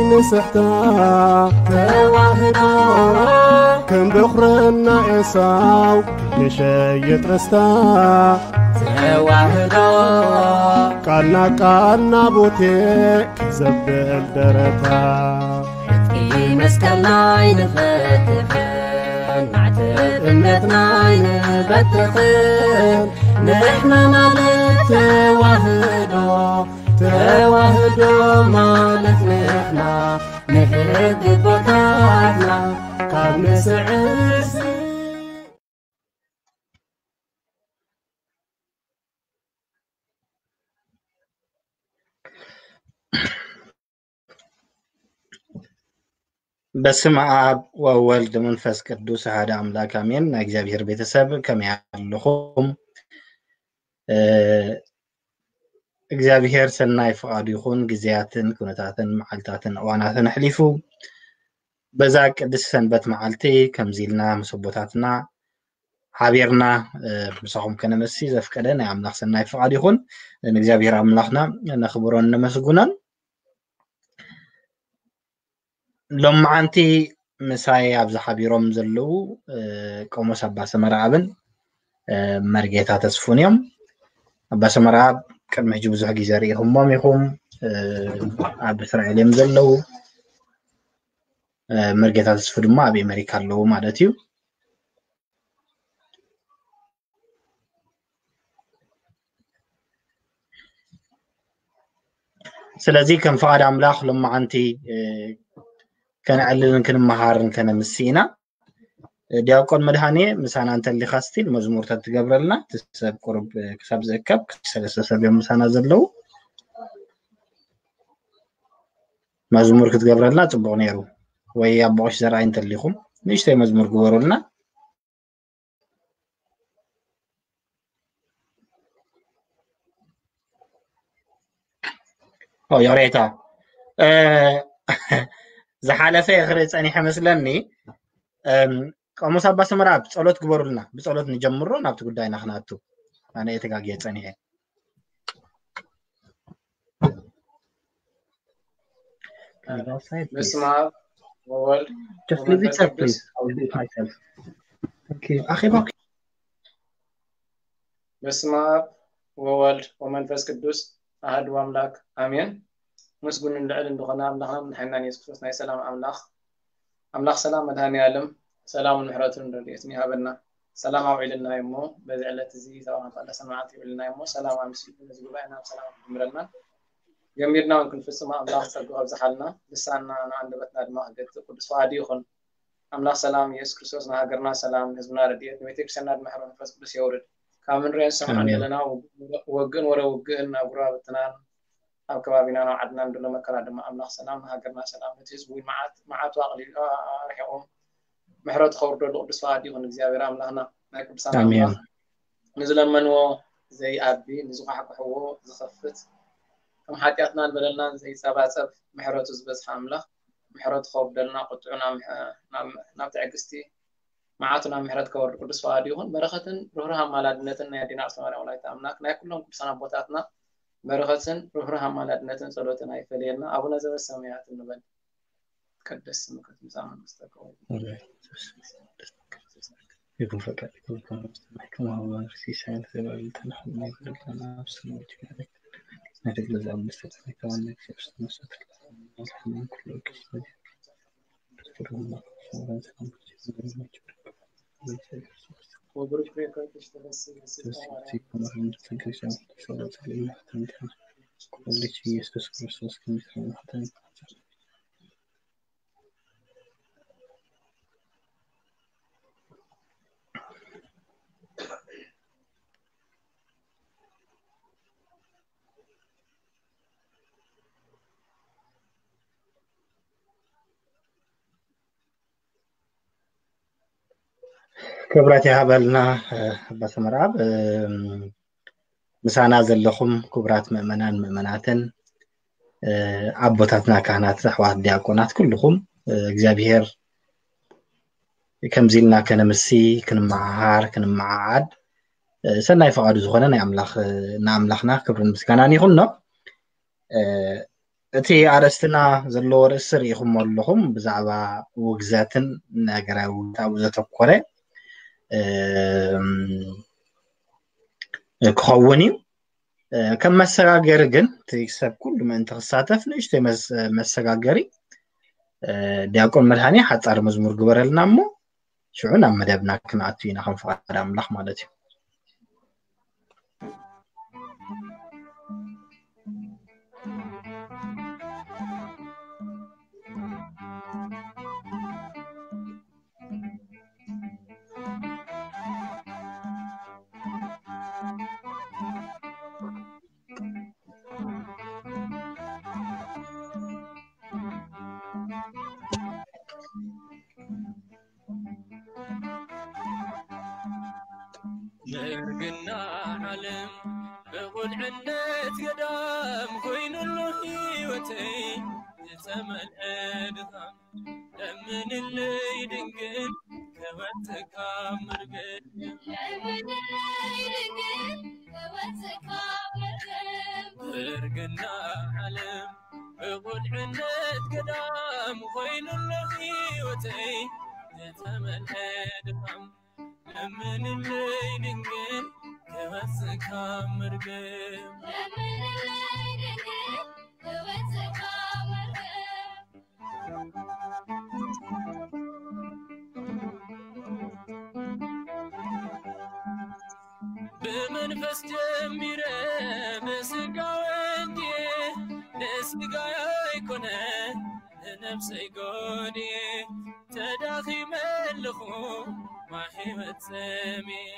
ንስሕታ ተዋህዶ ከም በኹርና ኤሳው ንሸይጥ ርስታ ተዋህዶ ቃልና ቃልና ቦቴ ክዘብል ደረታ እቲ መስቀል ናይ ንፈትሕን ማዕተብ እምነትና ኣይንበትኽን ንሕና ማለት ተዋህዶ ተዋህዶ ማለት ንሕና ንሕቢ ቦታትና ካብ ንስዕስ በስመ አብ ወወልድ መንፈስ ቅዱስ አሐደ አምላክ አሜን። ናይ እግዚኣብሔር ቤተሰብ ከመይ ኣለኹም? እ፣ እግዚኣብሔር ሰናይ ፍቓዱ ይኹን። ግዜያትን ኩነታትን መዓልታትን እዋናትን ኣሕሊፉ በዛ ቅድስቲ ሰንበት መዓልቲ ከምዚ ኢልና ምስ ኣቦታትና ሓቢርና፣ እ፣ ምሳኹም ከነመሲ ዘፍቀደ ናይ ኣምላኽ ሰናይ ፍቓዱ ይኹን። ንእግዚኣብሔር ኣምላኽና ነኽብሮን ነመስግኖን። ሎማዓንቲ ምሳይ ኣብዚ ሓቢሮም ዘለዉ፣ እ፣ ቆሞስ ኣባ ሰመረኣብን፣ እ፣ መርጌታ ተስፉን እዮም። ኣባ ሰመረኣብ ቅድሚ ሕጂ ብዙሕ ግዜ ርኢኹሞም ኢኹም። እ፣ ኣብ እስራኤል እዮም ዘለዉ። እ፣ መርጌታ ተስፉ ድማ ኣብ ኣሜሪካ ኣለዉ ማለት እዩ። ስለዚ ከም ፍቓድ ኣምላኽ ሎማዓንቲ፣ እ፣ ከነዕልልን ክንመሃርን ከነምሲ ኢና። እ፣ ዲያቆን መድሃኔ ምሳና እንተሊኻ ስቲል መዝሙር ተትገብረልና፣ እቲ ሰብ ቁሩብ፣ እ፣ ክሳብ ዝእከብ ክልተ ሰለስተ ሰብ እዮም ምሳና ዘለዉ። መዝሙር ክትገብረልና ጽቡቕ ነይሩ። ወይ ኣቦ ቀሺ ዘርኣይ እንተሊኹም ንእሽተይ መዝሙር ግበሩልና። ኦ፣ ይቕሬታ። እ፣ ዝሓለፈ ክርኢ ጸኒሐ መስለኒ። እም፣ ቆሞስ ኣባ ሰመራ፣ ጸሎት ግበሩልና። ብጸሎት ንጀምሮ፣ ናብቲ ጉዳይና ክነኣቱ። ኣነ እየ ተጋግየ ጸኒሐ። Can you go outside, please? በስመ አብ ወወልድ Just leave it ወመንፈስ there, ቅዱስ። Please. I will do it myself. Thank you. ኣኼባ በስመ አብ ወወልድ ወመንፈስ ቅዱስ ኣሐዱ ኣምላክ ኣሜን። ምስጉንን ልዕልን ዝኾነ ኣምላኽናን መድሓኒናን የሱስ ክርስቶስ ናይ ሰላም ኣምላኽ፣ ኣምላኽ ሰላም መድሃኔ ዓለም ሰላምን ምሕረትን ረድኤትን ይሃበና። ሰላም ኣውዒልና እሞ በዚ ዕለት እዚ ሰብዓ መቃደሰን መዓልቲ ይውዕልና እሞ ሰላም ኣምሲሉ ነዚ ጉባኤና ብሰላም ክጅምረልና ጀሚርና እውን ክንፍጽሞ ኣምላኽ ጸጋ ከብዝሓልና ልሳንና ንኣንደበትና ድማ ክገትእ ቅዱስ ፈቓዱ ይኹን። ኣምላኽ ሰላም፣ ኢየሱስ ክርስቶስ ንሃገርና ሰላም፣ ንህዝብና ረድኤት፣ ንቤተ ክርስቲያንና ድማ ሕሮ መንፈስ ቅዱስ የውርድ። ካብ እንሪኦን ዝሰምዖን ኣሜን። ዘለና ወግ-፣ ወግእን ወረ ውግእን ኣብ ጉረባብትናን ኣብ ከባቢና ናብ ዓድና ንደሎ መከራ ድማ ኣምላኽ ሰላም ንሃገርና ሰላም፣ ነቲ ህዝቢ እውን መዓት፣ መዓቱ ኣቕሊሉ፣ ኣ-፣ ኣርሒቑ ምሕረቱ ከውርደሉ ቅዱስ ፈቓዱ ይኹን። እግዚኣብሔር ኣምላኽና ናይ ቅዱሳን ኣሜን። ኣምላኽ ንዝለመንዎ ዘይኣቢ፣ ንዝኳሕኩሕዎ ዝኸፍት፣ ከም ሓጢኣትናን በደልናን ዘይጸባጸብ፣ ምሕረቱ ዝበዝሐ ኣምላኽ፣ ምሕረቱ ከውርደልና፣ ቁጥዑ ናብ ምሕ-፣ ናብ፣ ናብ ትዕግስቲ፣ መዓቱ ናብ ምሕረት ከወርድ ቅዱስ ፈቓዱ ይኹን። በረኸትን ርህሩህ ኣማላድነትን ናይ ኣዴና ኣርሴማ ማርያም ወላዲተ ኣምላክ፣ ናይ ኩሎም ቅዱሳን ኣቦታትና በረኸትን ርህሩህ ኣማላድነትን ጸሎትን ኣይፈለየና። ኣቡነ ዘበሰማያት እንበል። ይትቀደስ ስምከ ትምጻእ መንግስትከ ወይኩን ይኩን ፈቃድከ በከመ በሰማይ ከማሁ በምድር። ሲሳየነ ዘለለዕለትነ ሀበነ ዮም ህድግ ለነ አበሳነ ወጌጋየነ ከመ ንሕነኒ ለዘአበሰ ለነ ኢታብአነ እግዚኦ ውስተ መንሱት ለነ ኩሉ ጊዜ። ኢየሱስ ክርስቶስ ክብረት ይሃበልና፣ እ፣ ኣባ ሰመርኣብ። እም፣ ምሳና ዘለኹም ክቡራት ምእመናን ምእመናትን፣ እ፣ ኣቦታትና ካህናት፣ ኣሕዋት ዲያቆናት፣ ኩልኹም፣ እ፣ እግዚኣብሔር ከምዚ ኢልና ከነምሲ፣ ክንመሃሃር፣ ክንመዓዓድ፣ እ፣ ሰናይ ፈቓዱ ዝኾነ ናይ ኣምላኽ፣ እ፣ ንኣምላኽና ክብርን ምስጋናን ይኹኖ። እ፣ እቲ ኣርእስትና ዘለዎ ርእሲ ርኢኹሞ ኣለኹም፣ ብዛዕባ ውግዘትን ነገረ ውግዘት ኣብኡ ዘተኮረ ክኸውን እዩ። ከም መሰጋገሪ ግን እቲ ሰብ ኩሉ ምእንቲ ክሳተፍ ንእሽተይ መሰጋገሪ። ዲያቆን መድሃኒ ሓፃር መዝሙር ግበረልና እሞ ሽዑ ናብ መደብና ክንኣቱ ኢና፣ ከም ፍቓድ ኣምላኽ ማለት እዩ። መርግና ዓለም ብቑልዕነት ገዳም ኮይኑሉ ህይወተይ ዝተመልአ ድኻም ለምንለይ ድንግል ከወፅካ መርገም ለምንለይ ድንግል ከወፅካ መርገም መርግና ዓለም ብቑልዕነት ገዳም ኮይኑሎ ህይወተይ ዝተመልአ ድኻም ለምንለይ ድንግል ክወፅካ መርገም ለምንለይ ድንግል ክወፅካ መርገም ብመንፈስ ጀሚረ ብስጋ ወዲየ ንስጋይ ኣይኮነ ንነፍሰይ ጎድየ ተዳኺመ ኣለኹ ማይ ህይወት ሰምየ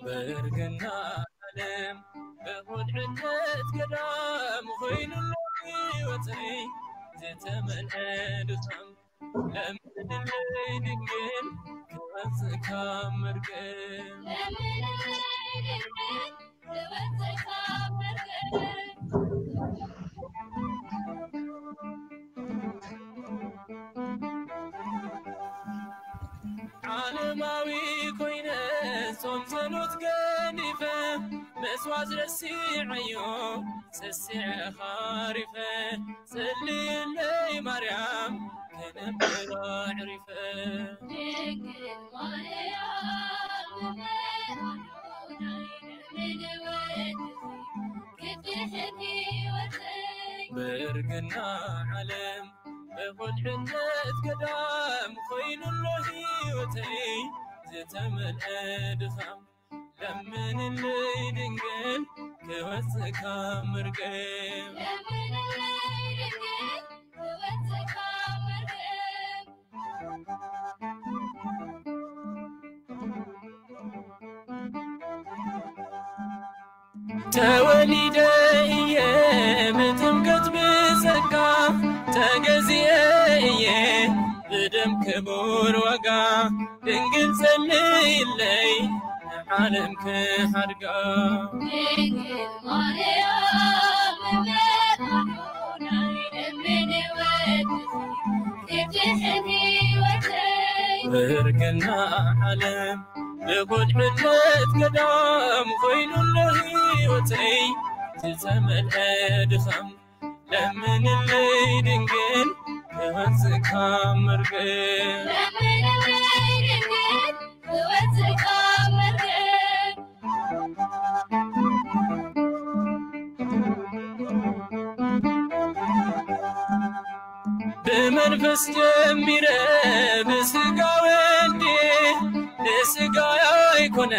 በእርግና ዓለም ብቑልዕነት ገዳም ኮይኑሎ ህይወተይ ዝተመልአ ድኻም ለምንለይ ድንግል ክወፅካ መርገም ዓለማዊ ኮይነ ጾም ጸሎት ገዲፈ መስዋዕት ረሲዐዮ ሰሲዐ ሃሪፈ ጸልይለይ ማርያም ከነብር ኣዕሪፈ ድንግል ማርያም ብእርግና ዓለም ብቑልዕነት ገዳም ኮይኑሎ ህይወተይ ዝተመልአ ድኻም ለምንለይ ድንግል ክወፅካ መርገም ተወሊደ እየ ብጥምቀት ብጸጋ ተገዚኤ እየ ብደም ክቡር ዋጋ ድንግል ጸልይለይ ንዓለም ክሓድጋ ድንግል ማርያም ብርግና ዓለም ብቁልዕነት ገዳም ኮይኑሎ ህይወተይ ዝተመልአ ድኻም ለምንለይ ድንግል ክወፅካ መርገም ብመንፈስ ጀሚረ ብስጋ ወልዴ ንስጋ ኣይኮነ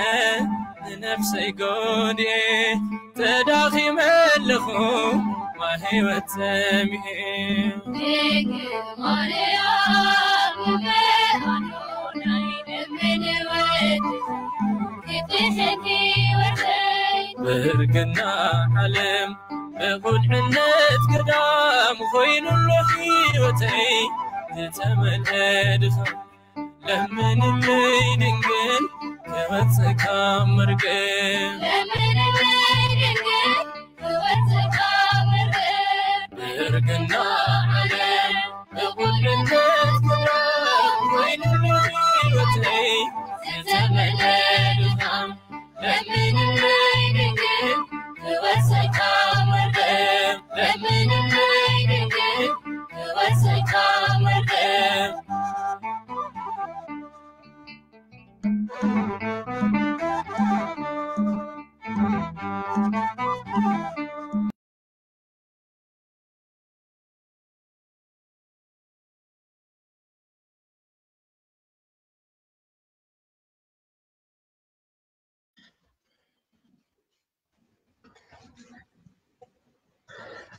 ንነፍሰይ ጎዴ ተዳኺመ ኣለኹ ማይ ህይወት ሰሚኤ ድንግል ማርያም ብእርግና ዓለም ብቁልዕነት ገዳም ኮይኑሎ ህይወተይ ዝተመልአ ድኻም ለምንለይ ድንግል ክወፅካ መርገም ብእርግና ዓለም ብቁልዕነት ገዳም ኮይኑሎ ህይወተይ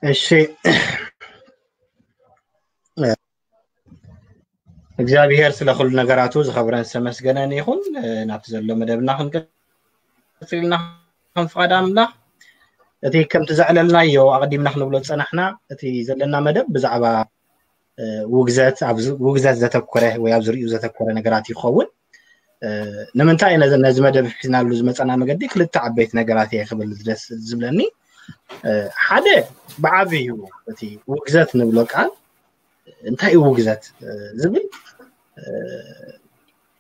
እሺ፣ እግዚኣብሔር ስለ ኩሉ ነገራቱ ዝኸብረን ዝተመስገነን ይኹን። ናብቲ ዘሎ መደብና ክንቀጽል ኢና ከም ፍቓድ ኣምላኽ። እቲ ከምቲ ዘዕለልናዮ ኣቐዲምና ክንብሎ ዝጸናሕና፣ እቲ ዘለና መደብ ብዛዕባ ውግዘት፣ ኣብ ውግዘት ዘተኮረ ወይ ኣብ ዝርእዩ ዘተኮረ ነገራት ይኸውን። ንምንታይ ነዚ መደብ ሒዝናሉ ዝመፀና መገዲ ክልተ ዓበይቲ ነገራት እየ ክብል ደስ ዝብለኒ። ሓደ፣ ብዓብዩ እቲ ውግዘት ንብሎ ቃል እንታይ እዩ ውግዘት ዝብል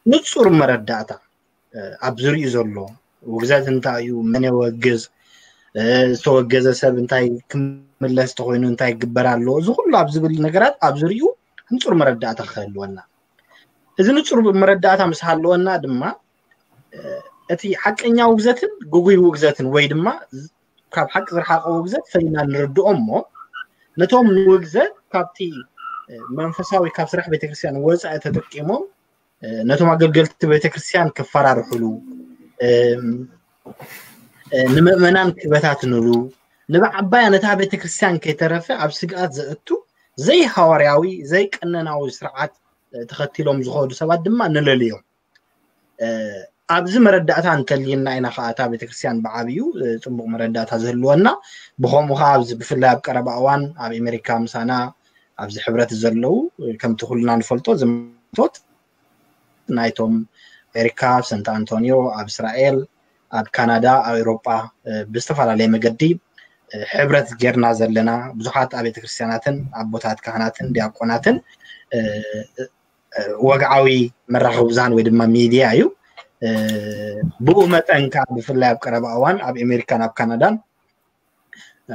ንፁር መረዳእታ ኣብ ዝርእዩ ዘሎ ውግዘት እንታይ እዩ፣ መን የወግዝ፣ ዝተወገዘ ሰብ እንታይ ክምለስ ተኮይኑ እንታይ ይግበር ኣሎ፣ እዚ ኩሉ ኣብ ዝብል ነገራት ኣብ ዝርእዩ ንፁር መረዳእታ ክህልወና። እዚ ንፁር መረዳእታ ምስ ሃለወና ድማ እቲ ሓቀኛ ውግዘትን ግጉይ ውግዘትን ወይ ድማ ካብ ሓቂ ዝረሓቐ ውግዘት ፈሊና ንርድኦ እሞ፣ ነቶም ንውግዘት ካብቲ መንፈሳዊ ካብ ስራሕ ቤተክርስትያን ወፃኢ ተጠቂሞም ነቶም ኣገልገልቲ ቤተክርስትያን ክፈራርሕሉ፣ ንምእመናን ክበታትንሉ፣ ንበዓባያ ነታ ቤተክርስትያን ከይተረፈ ኣብ ስግኣት ዘእቱ ዘይሃዋርያዊ ዘይቀነናዊ ስርዓት ተኸቲሎም ዝኸዱ ሰባት ድማ ንለልዮም። ኣብዚ መረዳእታ እንተልይና ኢና ከዓ እታ ቤተክርስትያን ብዓብዩ ፅቡቕ መረዳእታ ዝህልወና። ብኸምኡ ከዓ ኣብዚ ብፍላይ ኣብ ቀረባ እዋን ኣብ ኣሜሪካ ምሳና ኣብዚ ሕብረት ዘለዉ ከምቲ ኩልና ንፈልጦ ዝመቶት ናይቶም ኣሜሪካ ኣብ ሰንት ኣንቶኒዮ፣ ኣብ እስራኤል፣ ኣብ ካናዳ፣ ኣብ ኤውሮጳ ብዝተፈላለየ መገዲ ሕብረት ጌርና ዘለና ብዙሓት ኣብ ቤተክርስትያናትን ኣቦታት ካህናትን ዲያቆናትን ወግዓዊ መራኸቢ ብዙሃን ወይ ድማ ሚድያ እዩ። ብኡ መጠን ከዓ ብፍላይ ኣብ ቀረባ እዋን ኣብ ኣሜሪካን ኣብ ካናዳን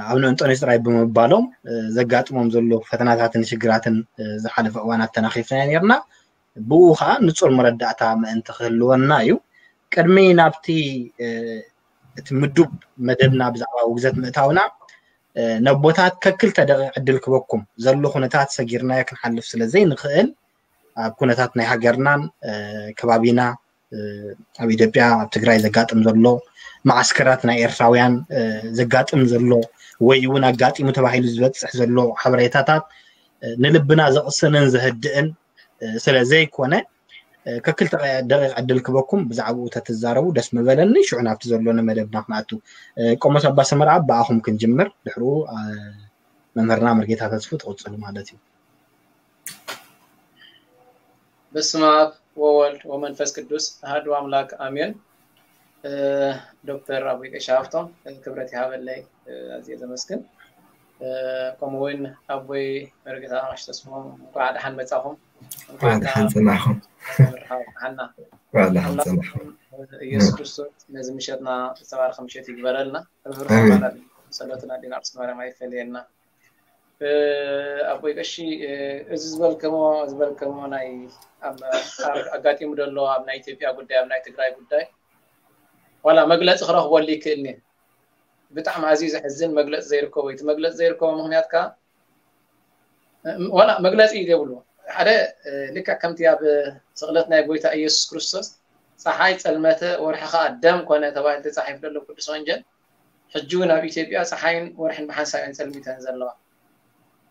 ኣብ ንእንጦንዮስ ጥራይ ብምባሎም ዘጋጥሞም ዘሎ ፈተናታትን ሽግራትን ዝሓለፈ እዋን ኣተናኺፍናዮ ነርና። ብኡ ከዓ ንፁር መረዳእታ ምእንቲ ክህልወና እዩ። ቅድሚ ናብቲ እቲ ምዱብ መደብና ብዛዕባ ውግዘት ምእታውና ነቦታት ከክልተ ደቂቕ ዕድል ክበኩም። ዘሎ ኩነታት ሰጊርናዮ ክንሓልፍ ስለ ዘይንኽእል ኣብ ኩነታት ናይ ሃገርናን ከባቢና ኣብ ኢትዮጵያ ኣብ ትግራይ ዘጋጥም ዘሎ መዓስከራት ናይ ኤርትራውያን ዘጋጥም ዘሎ ወይ እውን ኣጋጢሙ ተባሂሉ ዝበፅሕ ዘሎ ሓበሬታታት ንልብና ዘቕስንን ዘህድእን ስለ ዘይኮነ ከክልተ ደቂቕ ዕድል ክበኩም ብዛዕባኡ ተትዛረቡ ደስ ምበለኒ። ሽዑ ናብቲ ዘሎኒ መደብና ክንኣቱ። ቆሞስ ኣባ ሰመርኣብ ብኣኹም ክንጅምር፣ ድሕሩ መምህርና መርጌታ ተስፉ ትቕፅሉ ማለት እዩ። በስመ ኣብ ወወልድ ወመንፈስ ቅዱስ ኣሐዱ ኣምላክ ኣሜን። ዶክተር ኣቦይ ቀሺ ሃፍቶም ክብረት ይሃበለይ፣ ኣዝየ ዘመስግን። ከምኡ እውን ኣቦይ መርጌታ ቀሺ ተስፎም እንኳዕ ደሓን መጻኹም። እንኳዕ ደሓን ጸናሕኩም። ሓና እንኳዕ ደሓን ጸናሕኩም። ኢየሱስ ክርስቶስ ነዚ ምሸትና ዝተባረኸ ምሸት ይግበረልና። ርህሩህ ጸሎትና ዲና ቅድስት ማርያም ኣይፈለየና። ኣቦይ ቀሺ እዚ ዝበልከሞ ዝበልከሞ ናይ ኣጋጢሙ ዘሎ ኣብ ናይ ኢትዮጵያ ጉዳይ ኣብ ናይ ትግራይ ጉዳይ ዋላ መግለፂ ክረኽበሉ ይክእልኒ። ብጣዕሚ ኣዝዩ ዘሕዝን መግለፂ ዘይርከቦ እቲ መግለፂ ዘይርከቦ ምክንያት ከዓ ዋላ መግለፂ እዩ ዘይብሉ ሓደ ልክዕ ከምቲ ኣብ ስቕለት ናይ ጎይታ ኢየሱስ ክርስቶስ ፀሓይ ፀልመተ ወርሒ ከዓ ደም ኮነ ተባሂሉ ተፃሒፉ ዘሎ ቅዱስ ወንጌል ሕጂ እውን ኣብ ኢትዮጵያ ፀሓይን ወርሕን ብሓንሳብ እየን ፀልሚተን ዘለዋ።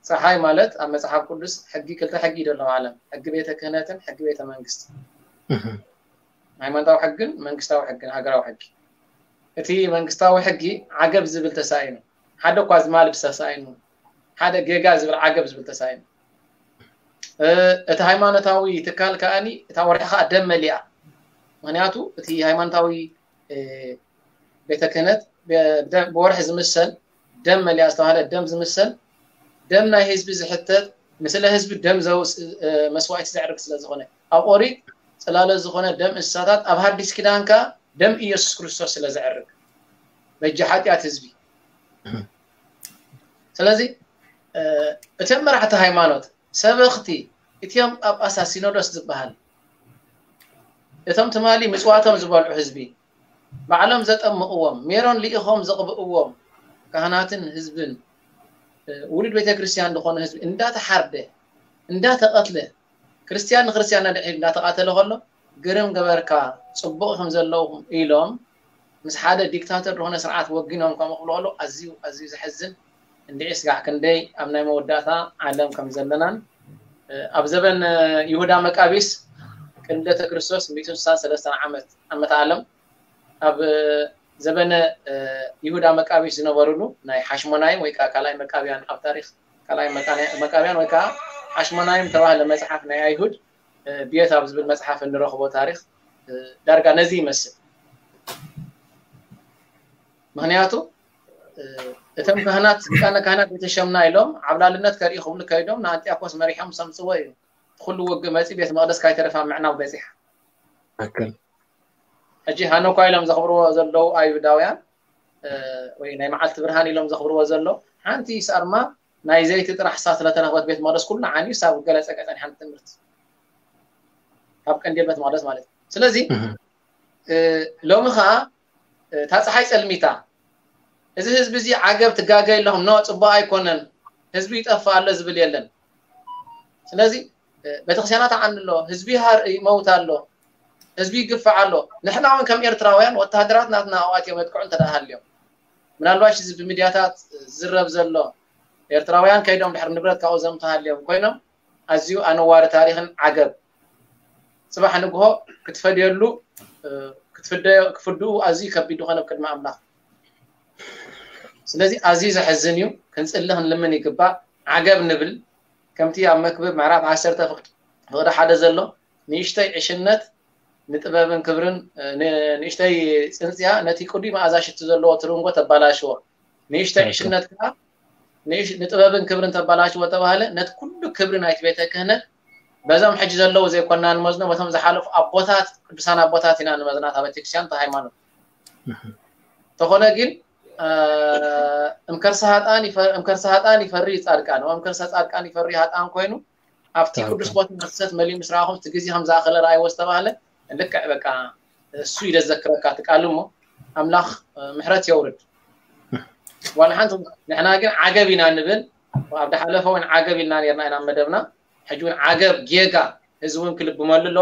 ፀሓይ ማለት ኣብ መፅሓፍ ቅዱስ ሕጊ ክልተ ሕጊ እዩ ዘሎ ዓለም ሕጊ ቤተ ክህነትን ሕጊ ቤተ መንግስት ሃይማኖታዊ ሕግን መንግስታዊ ሕግን ሃገራዊ ሕጊ። እቲ መንግስታዊ ሕጊ ዓገብ ዝብል ተሳኢኑ ሓደ እኳ ዝማልድ ተሳኢኑ ሓደ ጌጋ ዝብል ዓገብ ዝብል ተሳኢኑ። እቲ ሃይማኖታዊ ትካል ከዓኒ እታ ወርሒ ከዓ ደም መሊኣ። ምክንያቱ እቲ ሃይማኖታዊ ቤተ ክህነት ብወርሒ ዝምሰል ደም መሊኣ ዝተባሃለ ደም ዝምሰል ደም ናይ ህዝቢ ዝሕተት ንስለ ህዝቢ ደም ዘውፅእ መስዋእቲ ዘዕርግ ስለ ዝኾነ ኣብ ኦሪት ፅላለ ዝኾነ ደም እንስሳታት ኣብ ሃዲስ ኪዳን ከዓ ደም ኢየሱስ ክርስቶስ ስለ ዘዕርግ በጃ ሓጢኣት ህዝቢ። ስለዚ እቶም መራሕቲ ሃይማኖት ሰበኽቲ እቲኦም ጳጳሳት ሲኖዶስ ዝበሃል እቶም ትማሊ ምጽዋቶም ዝበልዑ ህዝቢ፣ ባዕሎም ዘጠምቕዎም፣ ሜሮን ልኢኾም ዘቕብእዎም ካህናትን ህዝብን፣ ውሉድ ቤተ ክርስቲያን ዝኾነ ህዝቢ እንዳተሓርደ፣ እንዳተቐትለ፣ ክርስቲያን ንክርስቲያን ነድሕድ እንዳተቓተለ ከሎ፣ ግርም ገበርካ፣ ጽቡቕ ኢኹም ዘለውኹም ኢሎም ምስ ሓደ ዲክታተር ዝኾነ ስርዓት ወጊኖም ከምኡ ክብሉ ከሎ ኣዝዩ ኣዝዩ ዘሕዝን። እንድዒ ስጋዕ ክንደይ ኣብ ናይ መወዳእታ ዓለም ከም ዘለናን ኣብ ዘበን ይሁዳ መቃቢስ ቅድሚ ልደተ ክርስቶስ ሚእትን ስሳን ሰለስተን ዓመት ዓመተ ዓለም ኣብ ዘበነ ይሁዳ መቃቢስ ዝነበሩሉ ናይ ሓሽሞናይም ወይ ከዓ ካልኣይ መቃብያን ኣብ ታሪክ ካልኣይ መቃብያን ወይ ከዓ ሓሽሞናይም ተባህለ መፅሓፍ ናይ ኣይሁድ ቤት ኣብ ዝብል መፅሓፍ እንረኽቦ ታሪክ ዳርጋ ነዚ ይመስል። ምክንያቱ እቶም ካህናት ሊቃነ ካህናት ቤተሸምና ኢሎም ዓብላልነት ከርኢ ክብሉ ከይዶም ንኣንጢያኮስ መሪሖም ሰምፅዎ እዩ። ኩሉ ውግእ መፂ ቤት መቅደስ ካይተረፋ ምዕናው በፂሓ። ትክክል። ሕጂ ሃኖኳ ኢሎም ዘኽብርዎ ዘለዉ ኣይሁዳውያን ወይ ናይ መዓልቲ ብርሃን ኢሎም ዘኽብርዎ ዘሎ ሓንቲ ሳርማ ናይ ዘይቲ ጥራሕ ሳ ስለተረኽበት ቤት መቅደስ ኩሉ ዓንዩ ሳብ ገለ ፀቀ ፀኒሓን ትምህርቲ ካብ ቀንዴል ቤት መቅደስ ማለት እዩ። ስለዚ ሎሚ ከዓ እታ ፀሓይ ፀልሚታ እዚ ህዝቢ እዚ ዓገብ ትጋገይ ኣለኹም ኖ ፅቡቅ ኣይኮነን ህዝቢ ይጠፍእ ኣሎ ዝብል የለን። ስለዚ ቤተክርስትያናት ዓኒ ኣሎ፣ ህዝቢ ይመውት ኣሎ፣ ህዝቢ ይግፋዕ ኣሎ። ንሕና እውን ከም ኤርትራውያን ወተሃደራት ናትና ኣብኣትዮም የጥቅዑ እንተ ሃልዮም ምናልባሽ እዚ ብሚድያታት ዝረብ ዘሎ ኤርትራውያን ከይዶም ድሕሪ ንብረት ካብኡ ዘምተሃልዮም ኮይኖም ኣዝዩ ኣነዋሪ ታሪኽን ዓገብ ጽባሕ ንግሆ ክትፈድየሉ ክትፍደዮ ክፍድኡ ኣዝዩ ከቢድ ዝኾነ ቅድሚ ኣምላኽ። ስለዚ ኣዝዩ ዘሕዝን እዩ። ክንጽሊ ክንልምን ይግባእ። ዓገብ ንብል ከምቲ ኣብ መክብብ ምዕራፍ ዓሰርተ ፍቕዲ ሓደ ዘሎ ንእሽተይ ዕሽነት ንጥበብን ክብርን ንእሽተይ ጽንጽያ ነቲ ቅዱይ መኣዛ ሽቲ ዘለዎ ትርንጎ ተባላሽዎ። ንእሽተይ ዕሽነት ከዓ ንጥበብን ክብርን ተባላሽዎ ተባህለ። ነቲ ኩሉ ክብሪ ናይቲ ቤተ ክህነት በዞም ሕጂ ዘለዉ ዘይኮና ንመዝኖ በቶም ዝሓለፉ ኣቦታት ቅዱሳን ኣቦታት ኢና ንመዝና እታ ቤተክርስትያን እታ ሃይማኖት። ተኾነ ግን እምከርሰ ሃጣን ይፈሪ ጻድቃን እምከርሰ ጻድቃን ይፈሪ ሃጣን ኮይኑ ኣብቲ ቅዱስ ቦታ መክሰት መሊኡ ምስ ረኣኹም እቲ ግዜ ከም ዝኣኸለ ረኣይዎ ዝተባህለ ልክዕ በቃ እሱ እዩ ዘዘክረካ እቲ ቃል እሞ ኣምላኽ ምሕረት የውርድ። ዋላ ሓንቲ ንሕና ግን ዓገብ ኢና ንብል ኣብ ዝሓለፈ እውን ዓገብ ኢልና ነርና ኢና መደብና ሕጂ እውን ዓገብ ጌጋ ህዝቢ እውን ክልብመሉ ኣሎ።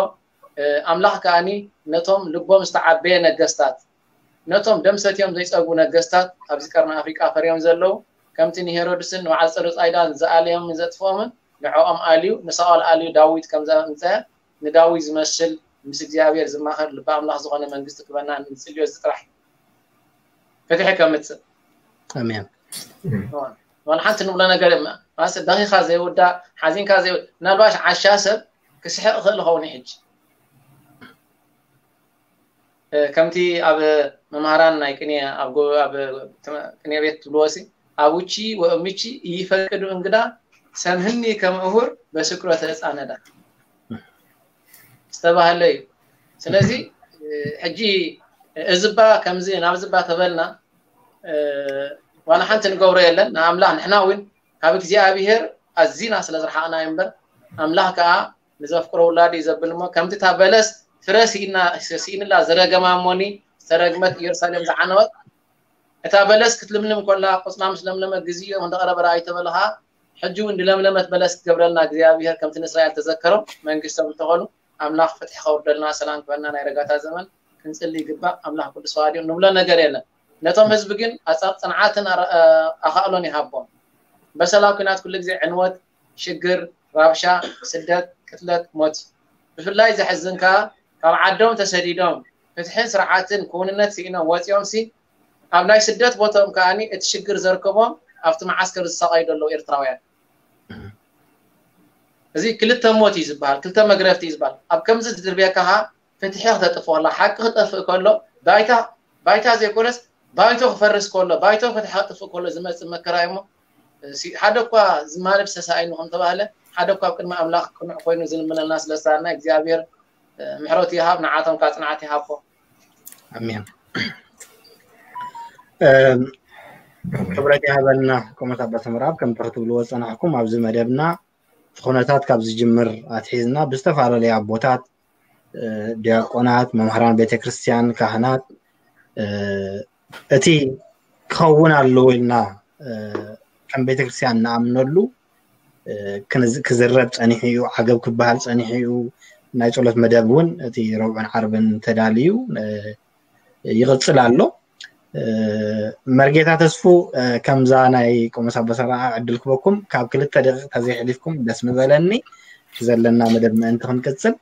ኣምላኽ ከኣኒ ነቶም ልቦም ዝተዓበየ ነገስታት ነቶም ደም ሰትዮም ዘይጸግቡ ነገስታት ኣብዚ ቀርኒ ኣፍሪቃ ፈርዮም ዘለዉ ከምቲ ንሄሮድስን ንበዓል ጸሩ ጻይዳን ዝኣለዮምን ዘጥፍኦምን ንዕኦም ኣልዩ ንሳኦል ኣልዩ ዳዊት ከም ዘምጸ ንዳዊት ዝመስል ምስ እግዚኣብሔር ዝማኸር ልቢ ኣምላኽ ዝኾነ መንግስቲ ክበና ንጽልዮ እዚ ጥራሕ ፍትሒ ከምጽእ ኣሜን። ዋላ ሓንቲ ንብሎ ነገር ደኺኻ ዘይውዳእ ሓዚንካ ዘይውዳእ ምናልባሽ ዓሻ ሰብ ክስሕቕ ይኽእል ይኸውን ሕጂ ከምቲ ኣብ መምሃራን ናይ ቅኔ ኣብ ቅኔ ቤት ትብልዎ ሲ ኣቡቺ ወእምቺ ይፈቅዱ እንግዳ ሰምህኒ ከምእሁር በስክሮ ተፃነዳ ዝተባህለ እዩ። ስለዚ ሕጂ እዝባ ከምዚ ናብዝባ ተበልና ዋላ ሓንቲ ንገብሮ የለን። ንኣምላኽ ንሕና እውን ካብ እግዚኣብሔር ኣዚና ስለ ዝረሓቕና እዩ እምበር ኣምላኽ ከዓ ንዘፍቅሮ ውላዱ እዩ ዘብል እሞ ከምቲ እታ በለስ ፍረ ስኢንላ ዝረገማ እሞኒ ዝተረግመት ኢየሩሳሌም ዝዓነወት እታ በለስ ክትልምልም ኮላ ቆፅላ ምስ ለምለመ ግዜኡ እንዳቐረበ ረኣይ ተበለ ከዓ ሕጂ እውን ንለምለመት በለስ ክገብረልና እግዚኣብሔር ከምቲ ንእስራኤል ተዘከሮም መንግስቶም እንተኾኑ ኣምላኽ ፍትሒ ከውርደልና ሰላም ክበና ናይ ረጋታ ዘመን ክንፅሊ ይግባእ። ኣምላኽ ቅዱስ ተዋህዲኡ ንብሎ ነገር የለን። ነቶም ህዝቢ ግን ኣጻብ ፅንዓትን ኣኻእሎን ይሃቦም። በሰላ ኩናት ኩሉ ግዜ ዕንወት ሽግር፣ ራብሻ፣ ስደት፣ ቅትለት፣ ሞት እዩ። ብፍላይ ዘሕዝን ከኣ ካብ ዓዶም ተሰዲዶም ፍትሕን ስርዓትን ክውንነት ስኢኖም ወጺኦም ሲ ኣብ ናይ ስደት ቦትኦም ከኣ እቲ ሽግር ዘርከቦም ኣብቲ መዓስከር ዝሳቐዩ ዘለዉ ኤርትራውያን። እዚ ክልተ ሞት እዩ ዝበሃል፣ ክልተ መግረፍቲ እዩ ዝበሃል። ኣብ ከምዚ ዝድርብየካ ከኣ ፍትሒ ክተጥፍኦ ከላ ሓቂ ክጠፍእ ከሎ ባይታ ባይታ ዘይኮነስ ባይቶ ክፈርስ ከሎ ባይቶ ፍትሒ ክጥፍእ ከሎ ዝመፅእ መከራ እዩ እሞ ሓደ እኳ ዝማልድ ሰሳኢኑ ከም ተባህለ ሓደ እኳ ኣብ ቅድሚ ኣምላኽ ቅኑዕ ኮይኑ ዝልምነልና ስለ ዝሰኣና እግዚኣብሔር ምሕረቱ ይሃብ ንዓቶም ከዓ ፅንዓት ይሃቦ ኣሜን ክብረት ይሃበልና። ክቡራት ኣቦታት ምዕራብ ከምቲ ክትብልዎ ዝፀናሕኩም ኣብዚ መደብና እቲ ኩነታት ካብ ዝጅምር ኣትሒዝና ብዝተፈላለዩ ኣቦታት ዲያቆናት፣ መምህራን ቤተክርስትያን፣ ካህናት እቲ ክኸውን ኣለዎ ኢልና ከም ቤተክርስትያን ንኣምነሉ ክዝረብ ጸኒሑ እዩ። ዓገብ ክበሃል ጸኒሑ እዩ። ናይ ጸሎት መደብ እውን እቲ ረብዑን ዓርብን ተዳልዩ ይቕጽል ኣሎ። መርጌታ ተስፉ፣ ከምዛ ናይ ቆሞስ ኣበሰራ ዕድል ክበኩም ካብ ክልተ ደቂቕ ተዘይሕሊፍኩም ደስ ምበለኒ። እቲ ዘለና መደብ ምእንቲ ክንቅጽል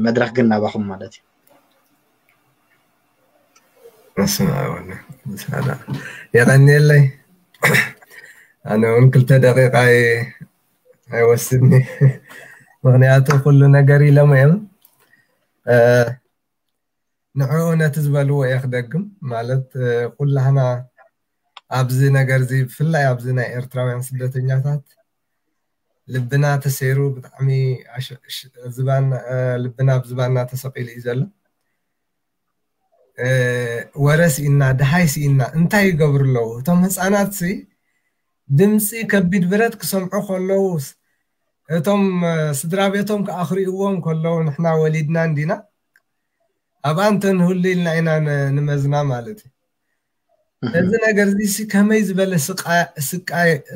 መድረኽ ግን ናባኹም ማለት እዩ። የቐንየለይ። ኣነ እውን ክልተ ደቂቓ ኣይወስድኒ፣ ምክንያቱ ኩሉ ነገር ኢሎም እዮም። ንዕኡ ነቲ ዝበልዎ እየ ክደግም። ማለት ኩላህና ኣብዚ ነገር እዚ ብፍላይ ኣብዚ ናይ ኤርትራውያን ስደተኛታት ልብና ተሰይሩ ብጣዕሚ ልብና ኣብ ዝባና ተሰቂሉ እዩ ዘሎ። ወረ ስኢና፣ ድሃይ ስኢና እንታይ ይገብሩ ኣለዉ እቶም ህፃናት ሲ? ድምፂ ከቢድ ብረት ክሰምዑ ከለዉ፣ እቶም ስድራ ቤቶም ክኣኽሪእዎም ከለዉ ንሕና ወሊድና እንዲና ኣብኣ እንተንህሉ ኢልና ኢና ንመዝና ማለት እዩ። እዚ ነገር እዚ ከመይ ዝበለ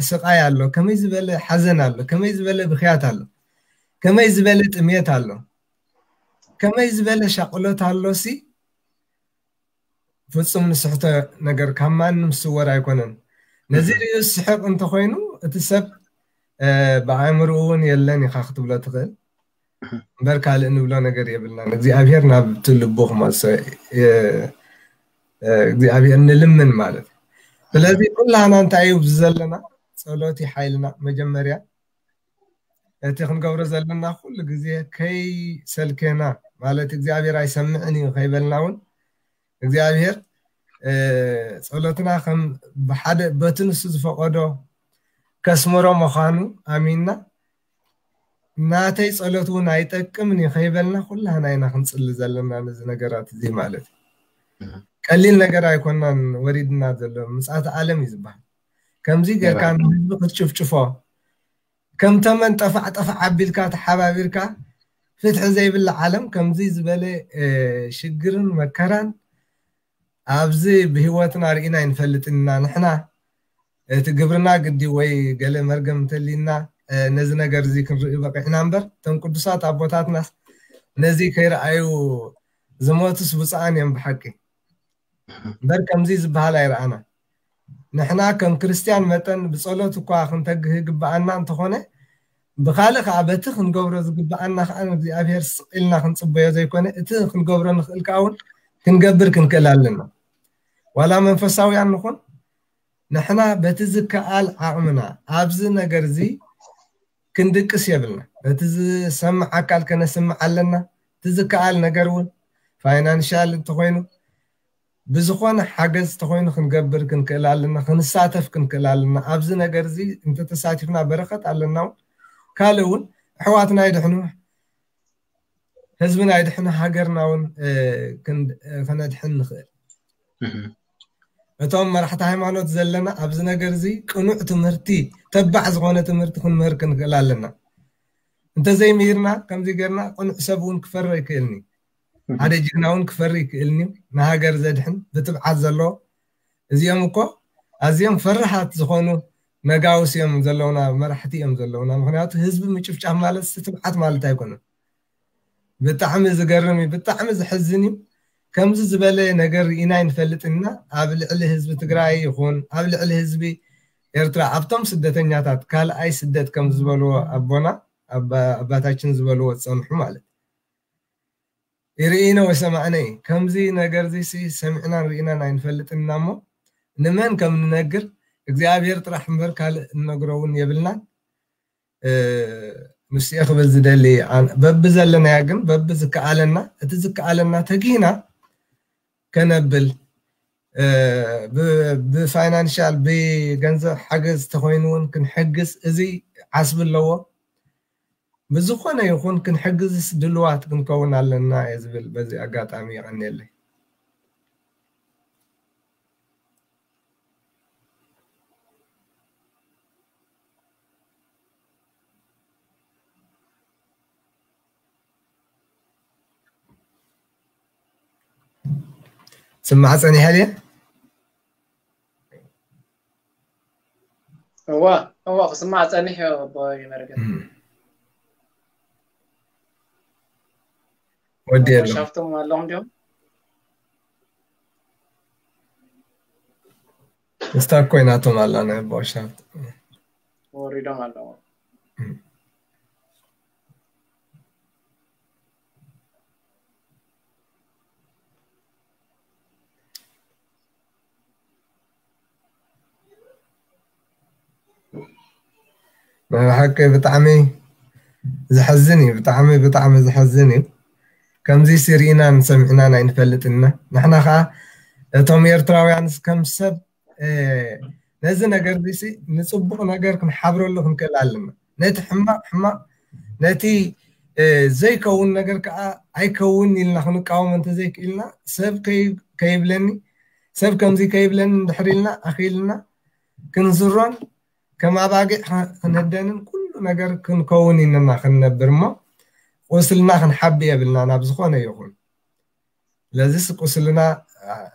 ስቃይ ኣሎ፣ ከመይ ዝበለ ሓዘን ኣሎ፣ ከመይ ዝበለ ብክያት ኣሎ፣ ከመይ ዝበለ ጥሜት ኣሎ፣ ከመይ ዝበለ ሻቕሎት ኣሎ ሲ ፍጹም ንስሕቶ ነገር ካብ ማንም ዝስወር ኣይኮነን። ነዚ ርእዩ ዝስሕቕ እንተኾይኑ እቲ ሰብ ብኣእምርኡ እውን የለን ኢኻ ክትብሎ ትኽእል እምበር ካልእ ንብሎ ነገር የብልናን። እግዚኣብሔር ናብቲ ልቡ ክመልሶ እግዚኣብሔር ንልምን ማለት እዩ። ስለዚ ኩላህና እንታይ እዩ ኣብዚ ዘለና? ጸሎት እዩ ሓይልና። መጀመርያ እቲ ክንገብሮ ዘለና ኩሉ ግዜ ከይሰልኬና ማለት እግዚኣብሔር ኣይሰምዕን እዩ ከይበልና እውን እግዚኣብሔር ጸሎትና ከም ብሓደ በቲ ንሱ ዝፈቐዶ ከስምሮ ምዃኑ ኣሚንና ናተይ ጸሎት እውን ኣይጠቅምን እዩ ከይበልና ኩላህና ኢና ክንጽሊ ዘለና ነዚ ነገራት እዚ ማለት እዩ። ቀሊል ነገር ኣይኮናን ወሪድና ዘሎ ምጽኣተ ዓለም እዩ ዝበሃል። ከምዚ ጌርካ ንህዝቢ ክትጭፍጭፎ ከም ተመን ጠፋዕ ጠፋዕ ኣቢልካ ተሓባቢርካ ፍትሒ ዘይብላ ዓለም ከምዚ ዝበለ ሽግርን መከራን ኣብዚ ብህይወትና ርኢና ኣይንፈልጥን ኢና። ንሕና እቲ ግብርና ግዲ ወይ ገለ መርገም እንተሊና ነዚ ነገር እዚ ክንርኢ በቂዕና እምበር እቶም ቅዱሳት ኣቦታትናስ ነዚ ከይረኣዩ ዝሞቱስ ብፁዓን እዮም ብሓቂ። እምበር ከምዚ ዝበሃል ኣይረኣና። ንሕና ከም ክርስትያን መጠን ብጸሎት እኳ ክንተግህ ይግብኣና እንተኾነ ብኻልእ ከዓ በቲ ክንገብሮ ዝግብኣና ከዓ ንእግዚኣብሔር ስቕ ኢልና ክንጽበዮ ዘይኮነ እቲ ክንገብሮ ንኽእል ከዓ እውን ክንገብር ክንክእል ኣለና። ዋላ መንፈሳውያን ንኹን ንሕና በቲ ዝከኣል ዓቕምና ኣብዚ ነገር እዚ ክንድቅስ የብልና። እቲ ዝሰምዕ ኣካል ከነስምዕ ኣለና። እቲ ዝከኣል ነገር እውን ፋይናንሻል እንተኾይኑ ብዝኾነ ሓገዝ እንተኾይኑ ክንገብር ክንክእል ኣለና፣ ክንሳተፍ ክንክእል ኣለና። ኣብዚ ነገር እዚ እንተተሳቲፍና በረኸት ኣለና። እውን ካልእ እውን ኣሕዋትና ይድሕኑ፣ ህዝብና ይድሕኑ፣ ሃገርና እውን ከነድሕን ንኽእል። እቶም መራሕቲ ሃይማኖት ዘለና ኣብዚ ነገር እዚ ቅኑዕ ትምህርቲ፣ ተባዕ ዝኾነ ትምህርቲ ክንምህር ክንክእል ኣለና። እንተዘይምሂርና ከምዚ ጌርና ቅኑዕ ሰብ እውን ክፈሪ ኣይክእልን እዩ። ሓደ ጅግና እውን ክፈሪ ኣይክእልን እዩ። ንሃገር ዘድሕን ብትብዓት ዘለዎ እዚኦም እኮ ኣዝዮም ፈርሃት ዝኾኑ ነጋውስ እዮም ዘለውና፣ መራሕቲ እዮም ዘለውና። ምክንያቱ ህዝቢ ምጭፍጫፍ ማለት ትብዓት ማለት ኣይኮነን። ብጣዕሚ ዝገርም እዩ፣ ብጣዕሚ ዝሕዝን እዩ። ከምዚ ዝበለ ነገር ርኢና ኣይንፈልጥን ኢና። ኣብ ልዕሊ ህዝቢ ትግራይ ይኹን ኣብ ልዕሊ ህዝቢ ኤርትራ ኣብቶም ስደተኛታት ካልኣይ ስደት ከም ዝበልዎ ኣቦና ኣባታችን ዝበልዎ ዝፀንሑ ማለት ይርኢነ ወይ ሰማዕነ እዩ። ከምዚ ነገር እዚ ሰሚዕናን ርኢናን ኣይንፈልጥን ኢና እሞ ንመን ከም ንነግር እግዚኣብሔር ጥራሕ እምበር ካልእ እንነግሮ እውን የብልናን። ንስየ ክብል ዝደሊ በቢ ዘለናያ ግን በቢ ዝከኣለና እቲ ዝከኣለና ተጊህና ከነብል ብፋይናንሻል ብገንዘብ ሓገዝ ተኮይኑ እውን ክንሕግዝ እዚ ዓስቢ ኣለዎ። ብዝኾነ ይኹን ክንሕግዝስ ድልዋት ክንከውን ኣለና እየ ዝብል በዚ ኣጋጣሚ የቐንየለይ። ስማዕ ጸኒሐ ድየ? እዋ እዋ ክስማዕ ጸኒሕ ኣቦይ መርገን። ወዲ የሎ ሻፍቶም ኣለኹም ድዮም? ስታክ ኮይናቶም ኣላ ናይ ኣቦ ሻፍት። ወሪዶም ኣለዉ። ናይ ብሓቂ ብጣዕሚ ዘሕዝን እዩ። ብጣዕሚ ብጣዕሚ ዘሕዝን እዩ። ከምዚ ሲ ርኢናን ሰሚዕናን ኣይንፈልጥን ኢና። ንሕና ከዓ እቶም ኤርትራውያን ከም ሰብ ነዚ ነገር እዚ ንፅቡቕ ነገር ክንሓብረሉ ክንክእል ኣለና። ነቲ ሕማቕ ሕማቕ፣ ነቲ ዘይከውን ነገር ከዓ ኣይከውን ኢልና ክንቃወሞ እንተዘይክኢልና፣ ሰብ ከይብለኒ፣ ሰብ ከምዚ ከይብለኒ እንድሕር ኢልና ኣኽኢልና ክንዝሮን ከም ኣባጊዕ ክንህደንን ኩሉ ነገር ክንከውን ኢንና ክንነብር እሞ ቁስልና ክንሓቢ የብልና ናብ ዝኾነ ይኹን። ስለዚስ ቁስልና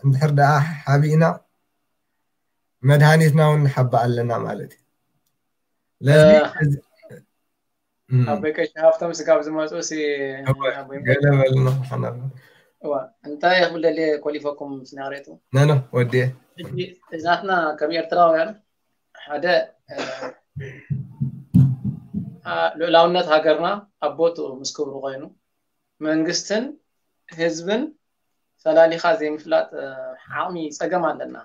እንድሕር ደኣ ሓቢእና መድሃኒትና እውን ንሓቢ ኣለና ማለት እዩ። ስለዚ ኣቦይ ቀሺ ሃፍቶም ስጋብ ዝመፁ ሲ ኣቦይ ገለ በልና ሓናብ እዋ እንታይ ክብል ደልየ ኮሊፈኩም ስናሬቱ ነኖ ወዲየ እዛትና ከም ኤርትራውያን ሓደ ልዑላውነት ሃገርና ኣብ ቦትኡ ምስ ክብሩ ኮይኑ መንግስትን ህዝብን ፈላሊኻ ዘይምፍላጥ ዓቕሚ ፀገም ኣለና።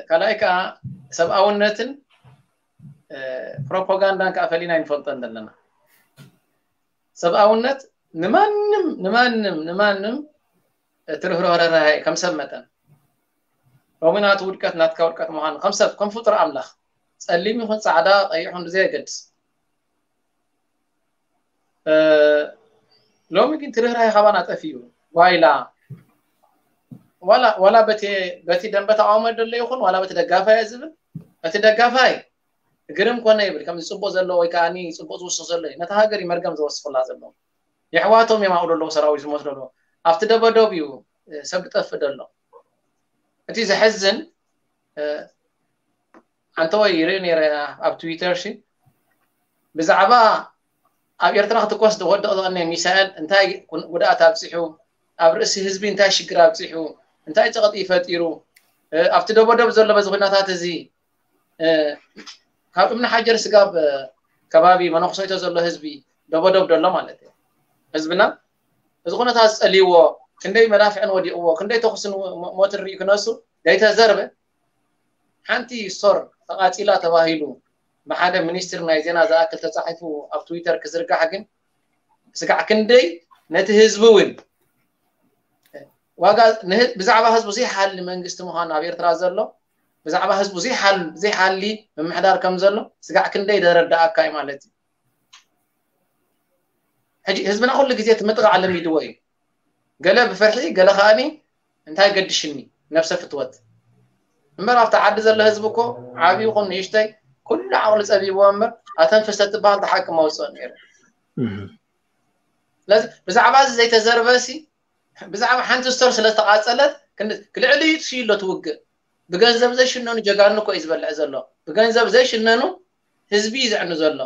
ካልኣይ ከዓ ሰብኣውነትን ፕሮፓጋንዳን ከዓ ፈሊና ይንፈልጦ ዘለና። ሰብኣውነት ንማንም ንማንም ንማንም ትርህሮ ርህራሄ ከም ሰብ መጠን ሎሚ ናቱ ውድቀት ናትካ ውድቀት ምዃኑ ከም ሰብ ከም ፍጡር ኣምላኽ ጸሊም ይኹን ጻዕዳ ቀይሕ ይኹን ብዘየገድስ ሎሚ ግን ትርህራሄ ካባና ጠፊኡ ዋይላ ዋላ ዋላ በቲ በቲ ደንበ ተቃውሞ ደሎ ይኹን ዋላ በቲ ደጋፋይ ዝብል እቲ ደጋፋይ ግርም ኮነ ይብል ከምዚ ጽቡቅ ዘሎ ወይ ከዓ ጽቡቅ ዝውስኽ ዘሎ እዩ ነታ ሃገር እዩ መርገም ዝወስኽላ ዘሎ የሕዋቶም እዮም ኣብኡ ዘለዉ ሰራዊት ዝሞት ዘሎ ኣብቲ ደበደብ እዩ ሰብ ዝጠፍእ ዘሎ እቲ ዘሕዝን ኣንተ ወይ ይርኢ ነይረ ኣብ ትዊተር ሲ ብዛዕባ ኣብ ኤርትራ ክትኮስ ዝወድቕ ዝቐነ ሚሳኤል እንታይ ጉድኣት ኣብፂሑ ኣብ ርእሲ ህዝቢ እንታይ ሽግር ኣብፂሑ እንታይ ፀቕጢ ፈጢሩ ኣብቲ ደቦደብ ዘሎ በዚ ኩነታት እዚ ካብ እምኒ ሓጀር ስጋብ ከባቢ መነኩሰይቶ ዘሎ ህዝቢ ደቦደብ ደሎ ማለት እዩ ህዝብና እዚ ኩነታት ዝፀልይዎ ክንደይ መዳፍዕን ወዲቕዎ ክንደይ ተኩስን ሞትን ርኢ ክነሱ ዘይተዘርበ ሓንቲ ስቶር ተቓጺላ ተባሂሉ ብሓደ ሚኒስትር ናይ ዜና ዝኣክል ተጻሒፉ ኣብ ትዊተር ክዝርጋሕ ግን ስጋዕ ክንደይ ነቲ ህዝቢ እውን ዋጋ ብዛዕባ ህዝቡ ዘይሓሊ መንግስቲ ምዃኑ ኣብ ኤርትራ ዘሎ ብዛዕባ ህዝቡ ዘይሓሊ ምምሕዳር ከም ዘሎ ስጋዕ ክንደይ ደረዳኣካ እዩ ማለት እዩ ሕጂ ህዝብና ኩሉ ግዜ ትምጥቓዕ ለሚድዎ እዩ ገለ ብፍርሒ ገለ ከኣኒ እንታይ ገድሽኒ ነብሰ ፍትወት እምበር ኣብቲ ዓዲ ዘሎ ህዝቢ እኮ ዓብዪ ይኹን ንእሽተይ ኩሉ ዓቕሉ ፀቢብዎ እምበር ኣተንፍስ ተትበሃል ተሓቂ መውፅኦ ነይሩ ስለዚ ብዛዕባ እዚ ዘይተዘርበ ሲ ብዛዕባ ሓንቲ ስቶር ስለ ዝተቓፀለት ልዕሊ ይጥፍዩ ኣሎ ትውግእ ብገንዘብ ዘይሽነኑ ጀጋኑ እኮ እዩ ዝበልዕ ዘሎ ብገንዘብ ዘይሽነኑ ህዝቢ እዩ ዘዕኑ ዘሎ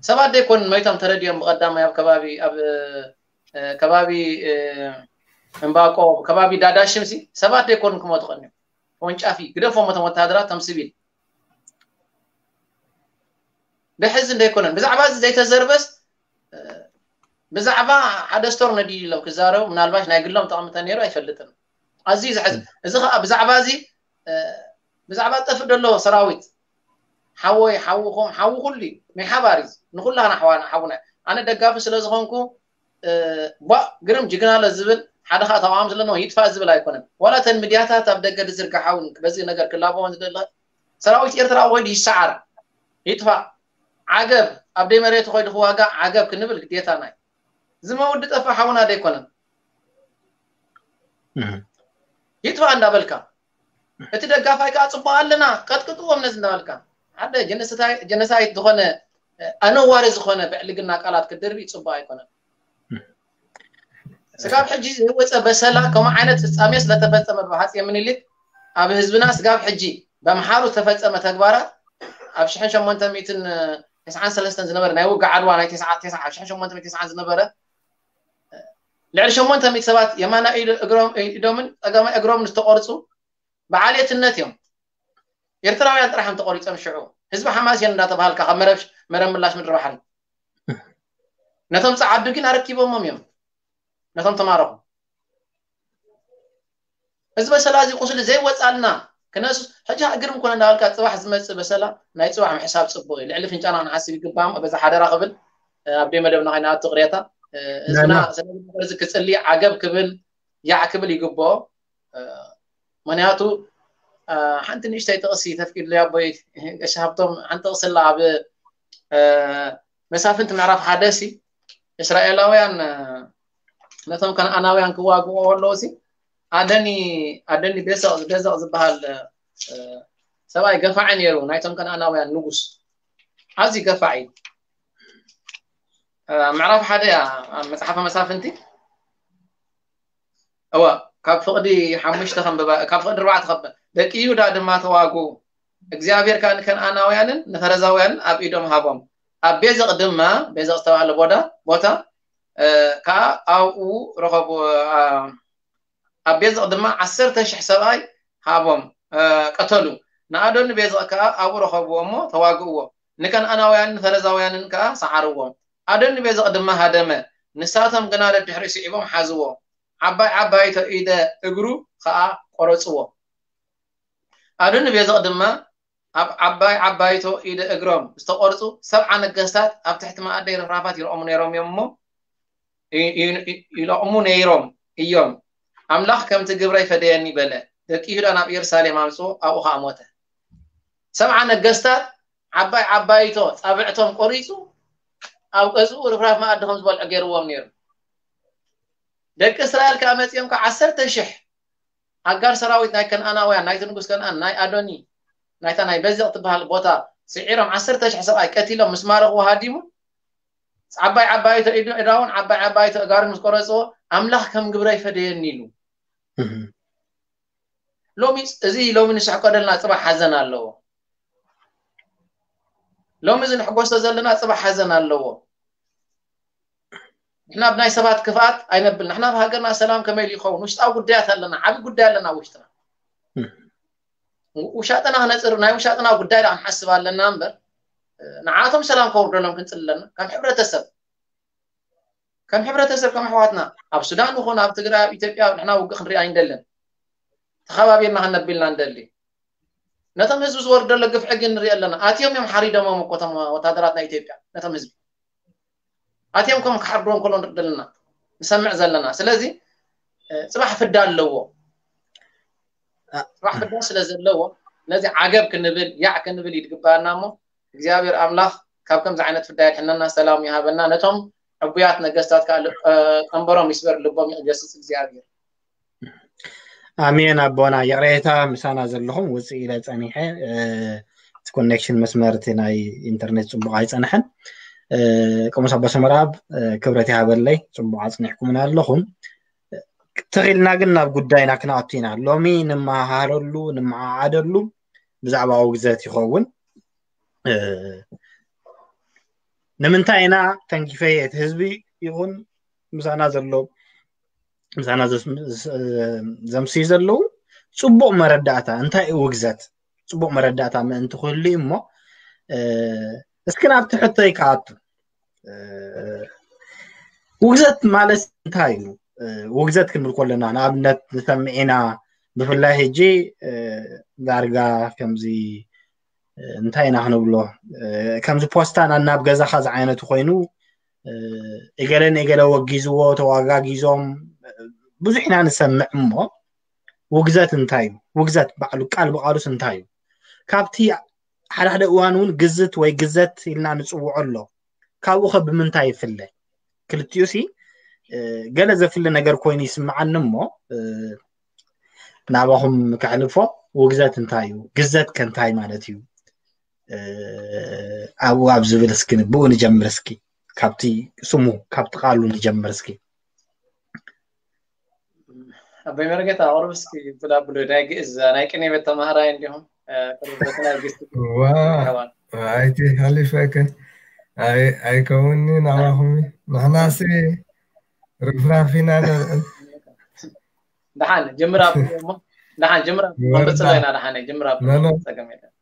ሰባት ዘይኮኑን መይቶም ተረዲኦም ብቐዳማይ ኣብ ከባቢ ኣብ ከባቢ እምባቆ ከባቢ ዳዳሽም ሲ ሰባት ዘይኮኑን ክሞቱ ቀኒዮም ተወንጫፊ ግደፎም እቶም ወታደራት ቶም ስቢል ብሕዚ እንደይኮነን ብዛዕባ እዚ ዘይተዘርበስ ብዛዕባ ሓደ ስቶር ነዲሉ ኢሎም ክዛረቡ ምናልባሽ ናይ ግሎም ጠቕሚ ተነይሩ ኣይፈልጥን ኣዝዩ ዘሕዝ እዚ ከዓ ብዛዕባ እዚ ብዛዕባ ጠፍእ ደሎ ሰራዊት ሓወይ ሓውኹም ሓዊ ኩሉ እዩ ናይ ሓባር እዩ ንኩላና ሓዋና ሓውና ኣነ ደጋፊ ስለ ዝኾንኩ ቧእ ግርም ጅግና ለ ዝብል ሓደ ከዓ ተቃዋሚ ስለነው ይጥፋእ ዝብል ኣይኮነን ዋላ ተን ሚድያታት ኣብ ደገ ዝዝርግሓ እውን በዚ ነገር ክላበዎን ዝደለ ሰራዊት ኤርትራ ኮይዱ ይሰዓር ይጥፋእ ዓገብ ኣብ ደይ መሬቱ ኮይዱ ክዋጋእ ዓገብ ክንብል ግዴታና እዩ ዝመውዲ ጠፋ ሓውና ደይኮነን ይጥፋእ እንዳበልካ እቲ ደጋፋይ ከዓ ፅቡቅ ኣለና ቀጥቅጥዎም ነዚ እንዳበልካ ሓደ ጀነሳይት ዝኾነ ኣነዋሪ ዝኾነ ብዕልግና ቃላት ክድርቢ ፅቡቅ ኣይኮነን ስጋብ ሕጂ ዘይወፀ በሰላ ከምኡ ዓይነት ፍፃሜ ስለተፈፀመ ብሃፅየ ምኒልክ ኣብ ህዝብና ስጋብ ሕጂ በምሓሩ ዝተፈፀመ ተግባራት ኣብ ሽሕን ሸሞንተ ሚእትን ተስዓን ሰለስተን ዝነበረ ናይ ውግእ ዓድዋ ናይ ተስዓ ተስዓ ሽሕን ሸሞንተ ሚእትን ተስዓን ዝነበረ ልዕሊ ሸሞንተ ሚእቲ ሰባት የማናይ ኢዶ- እግሮም ኢዶምን ፀጋማይ እግሮምን ዝተቆርፁ ብዓሌትነት እዮም። ኤርትራውያን ጥራሕ እዮም ተቆሪፆም። ሽዑ ህዝቢ ሓማሴን እንዳተባሃልካ ካብ መረብ መረብ ምላሽ ምድሪ ባሕሪ ነቶም ፀዓዱ ግን ኣረኪቦሞም እዮም ነቶም ተማረኹ። እዚ በሰላ እዚ ቁስሊ ዘይወፃልና ክነሱ ሕጂ ግርም ኮነ እንዳበልካ ፅባሕ ዝመፅእ በሰላ ናይ ፅባሕ ምሕሳብ ፅቡቅ እዩ። ልዕሊ ፍንጫና ክንሓስብ ይግባም። በዛ ሓደራ ክብል ኣብ ደይ መደብና ከይናቱ ቅሬታ ህዝብና ስለዚ ክፅሊ ዓገብ ክብል ያዕ ክብል ይግብኦ። ምክንያቱ ሓንቲ ንእሽተይ ጥቕሲ ተፍቂድለይ ኣቦይ ቀሺ ሃብቶም ሓንቲ ጥቕሲ ኣላ ኣብ መሳፍንቲ ምዕራፍ ሓደ ሲ እስራኤላውያን ነቶም ከነኣናውያን ክዋግኡ ከለዉ ሲ ኣደኒ ኣደኒ ቤሰቕ ቤዘቕ ዝበሃል ሰብኣይ ገፋዒ ነይሩ ናይቶም ከነኣናውያን ንጉስ ኣዝዩ ገፋዒ ምዕራፍ ሓደ እያ መፅሓፈ መሳፍንቲ እዋ ካብ ፍቕዲ ሓሙሽተ ከንብባ ካብ ፍቕዲ ኣርባዕተ ከንብባ ደቂ ይሁዳ ድማ ተዋጉ እግዚኣብሔር ከዓ ንከነኣናውያንን ንፈረዛውያንን ኣብ ኢዶም ሃቦም ኣብ ቤዘቕ ድማ ቤዘቕ ዝተባሃለ ቦዳ ቦታ ከዓ ኣብኡ ረኸቡ ኣብ ቤዘቕ ድማ ዓሰርተ ሽሕ ሰብኣይ ሃቦም ቀተሉ ንኣዶኒ ቤዘቕ ከዓ ኣብኡ ረኸብዎ እሞ ተዋግእዎ ንከነኣናውያንን ንፈረዛውያንን ከዓ ሰዓርዎም ኣዶኒ ቤዘቕ ድማ ሃደመ ንሳቶም ግና ደድሕሪኡ ስዒቦም ሓዝዎ ዓባይ ዓባይቶ ኢደ እግሩ ከዓ ቆረፅዎ ኣዶኒ ቤዘቕ ድማ ኣብ ዓባይ ዓባይቶ ኢደ እግሮም ዝተቆርፁ ሰብዓ ነገስታት ኣብ ትሕቲ መኣደይ ርፍራፋት ይረኦሙ ነይሮም እዮም እሞ ይለቕሙ ነይሮም እዮም ኣምላኽ ከምቲ ግብረይ ፈደየኒ በለ ደቂ ይሁዳ ናብ ኢየሩሳሌም ኣምፅዎ ኣብኡ ከዓ ሞተ ሰብዓ ነገስታት ዓባይ ዓባይቶ ፃብዕቶም ቆሪፁ ኣብ ገዝኡ ርፍራፍ መኣዲ ከም ዝበልዑ ገይርዎም ነይሩ ደቂ እስራኤል ከዓ መፂኦም ከዓ ዓሰርተ ሽሕ ኣጋር ሰራዊት ናይ ከነኣናውያን ናይቲ ንጉስ ከነኣን ናይ ኣዶኒ ናይታ ናይ በዚቕ ትበሃል ቦታ ስዒሮም ዓሰርተ ሽሕ ሰብኣይ ቀቲሎም ምስ ማረኽዎ ሃዲሙ ዓባይ ዓባይቶ ኢዳውን ዓባይ ዓባይቶ እጋሩን ምስ ቆረፅዎ ኣምላኽ ከም ግብረይ ፈደየኒ ኢሉ ሎሚ እዚ ሎሚ ንስሕቆ ዘለና ፅባሕ ሓዘን ኣለዎ ሎሚ እዚ ንሕጎሶ ዘለና ፅባሕ ሓዘን ኣለዎ ንሕና ብናይ ሰባት ክፍኣት ኣይነብል ንሕና ብሃገርና ሰላም ከመይ ኢሉ ይኸውን ውሽጣዊ ጉዳያት ኣለና ዓብ ጉዳይ ኣለና ውሽጥና ውሻጥና ክነፅር ናይ ውሻጥና ጉዳይ ዳ ክንሓስብ ኣለና እምበር ንዓቶም ሰላም ከውርደሎም ክንፅል ኣለና ከም ሕብረተሰብ ከም ሕብረተሰብ ከም ኣሕዋትና ኣብ ሱዳን ይኹን ኣብ ትግራይ ኣብ ኢትዮጵያ ንሕና ውግእ ክንሪኢ ኣይንደልን ተኸባቢርና ክነብልና ንደሊ ነቶም ህዝቢ ዝወርድ ዘሎ ግፍዒ ግን ንሪኢ ኣለና ኣትዮም እዮም ሓሪዶሞም እኮ እቶም ወታደራት ናይ ኢትዮጵያ ነቶም ህዝቢ ኣትዮም ከም ክሓርድዎም ከሎ ንርኢ ዘለና ንሰምዕ ዘለና ስለዚ ፅባሕ ፍዳ ኣለዎ ፅባሕ ፍዳ ስለ ዘለዎ ነዚ ዓገብ ክንብል ያዕ ክንብል ይድግበኣና እሞ እግዚኣብሔር ኣምላኽ ካብ ከምዚ ዓይነት ፍዳ የድሕነና ሰላም ይሃበና ነቶም ዕቡያት ነገስታት ከዓ ቀንበሮም ይስበር ልቦም ይገስፅ እግዚኣብሔር ኣሜን ኣቦና ይቕሬታ ምሳና ዘለኹም ውፅእ ኢለ ፀኒሐ እቲ ኮኔክሽን መስመር እቲ ናይ ኢንተርኔት ፅቡቕ ኣይፀንሐን ቅሙስ ኣቦ ሰመራብ ክብረት ይሃበለይ ፅቡቕ ኣፅኒሕኩምና ኣለኹም ተኺልና ግን ናብ ጉዳይና ክንኣቱ ኢና ሎሚ ንመሃሃረሉ ንመዓዓደሉ ብዛዕባ ውግዘት ይኸውን ንምንታይ ኢና ተንኪፈ እቲ ህዝቢ ይኹን ምሳና ዘሎ ምሳና ዘምስዩ ዘለዉ ፅቡቕ መረዳእታ እንታይ እዩ ውግዘት ፅቡቕ መረዳእታ ምእንቲ ክህሉ እሞ እስኪ ናብቲ ሕቶይ ክኣቱ ውግዘት ማለት እንታይ እዩ ውግዘት ክንብል ከለና ንኣብነት ንሰምዕ ኢና ብፍላይ ሕጂ ዳርጋ ከምዚ እንታይ ኢና ክንብሎ ከምዚ ፖስታ ናብ ገዛኻ ዝዓይነቱ ኮይኑ እገለ ንእገለ ወጊዝዎ ተዋጋጊዞም ብዙሕ ኢና ንሰምዕ እሞ ውግዘት እንታይ እዩ ውግዘት ባዕሉ ቃል ብቃሉስ እንታይ እዩ ካብቲ ሓደ ሓደ እዋን እውን ግዝት ወይ ግዘት ኢልና ንፅውዖ ኣሎ ካብኡ ከ ብምንታይ ይፍለ ክልቲኡ ሲ ገለ ዘፍሊ ነገር ኮይኑ ይስምዓኒ እሞ ናባኹም ከሕልፎ ውግዘት እንታይ እዩ ግዘት ከ እንታይ ማለት እዩ ኣብኡ ኣብ ዝብል እስኪ ብኡ ንጀምር እስኪ ካብቲ ስሙ ካብቲ ቃሉ ንጀምር እስኪ ኣቦይ መርጌታ ኣቕርብ እስኪ ብላ ብሎ ናይ ግእዝ ናይ ቅኔ ቤት ተማሃራይ እንዲኹም ቅርበትና ግስቲ ዋ ኣይቲ ሓሊፈከ ኣይ ኣይከውኒ ናባኹም ንሕናሲ ርፍራፍ ኢና ንልዕል ደሓን ጅምራ እሞ ደሓን ጅምራ ወርዳ በፅሎ ኢና ደሓን ጅምራ ኖኖ ፀገም የለን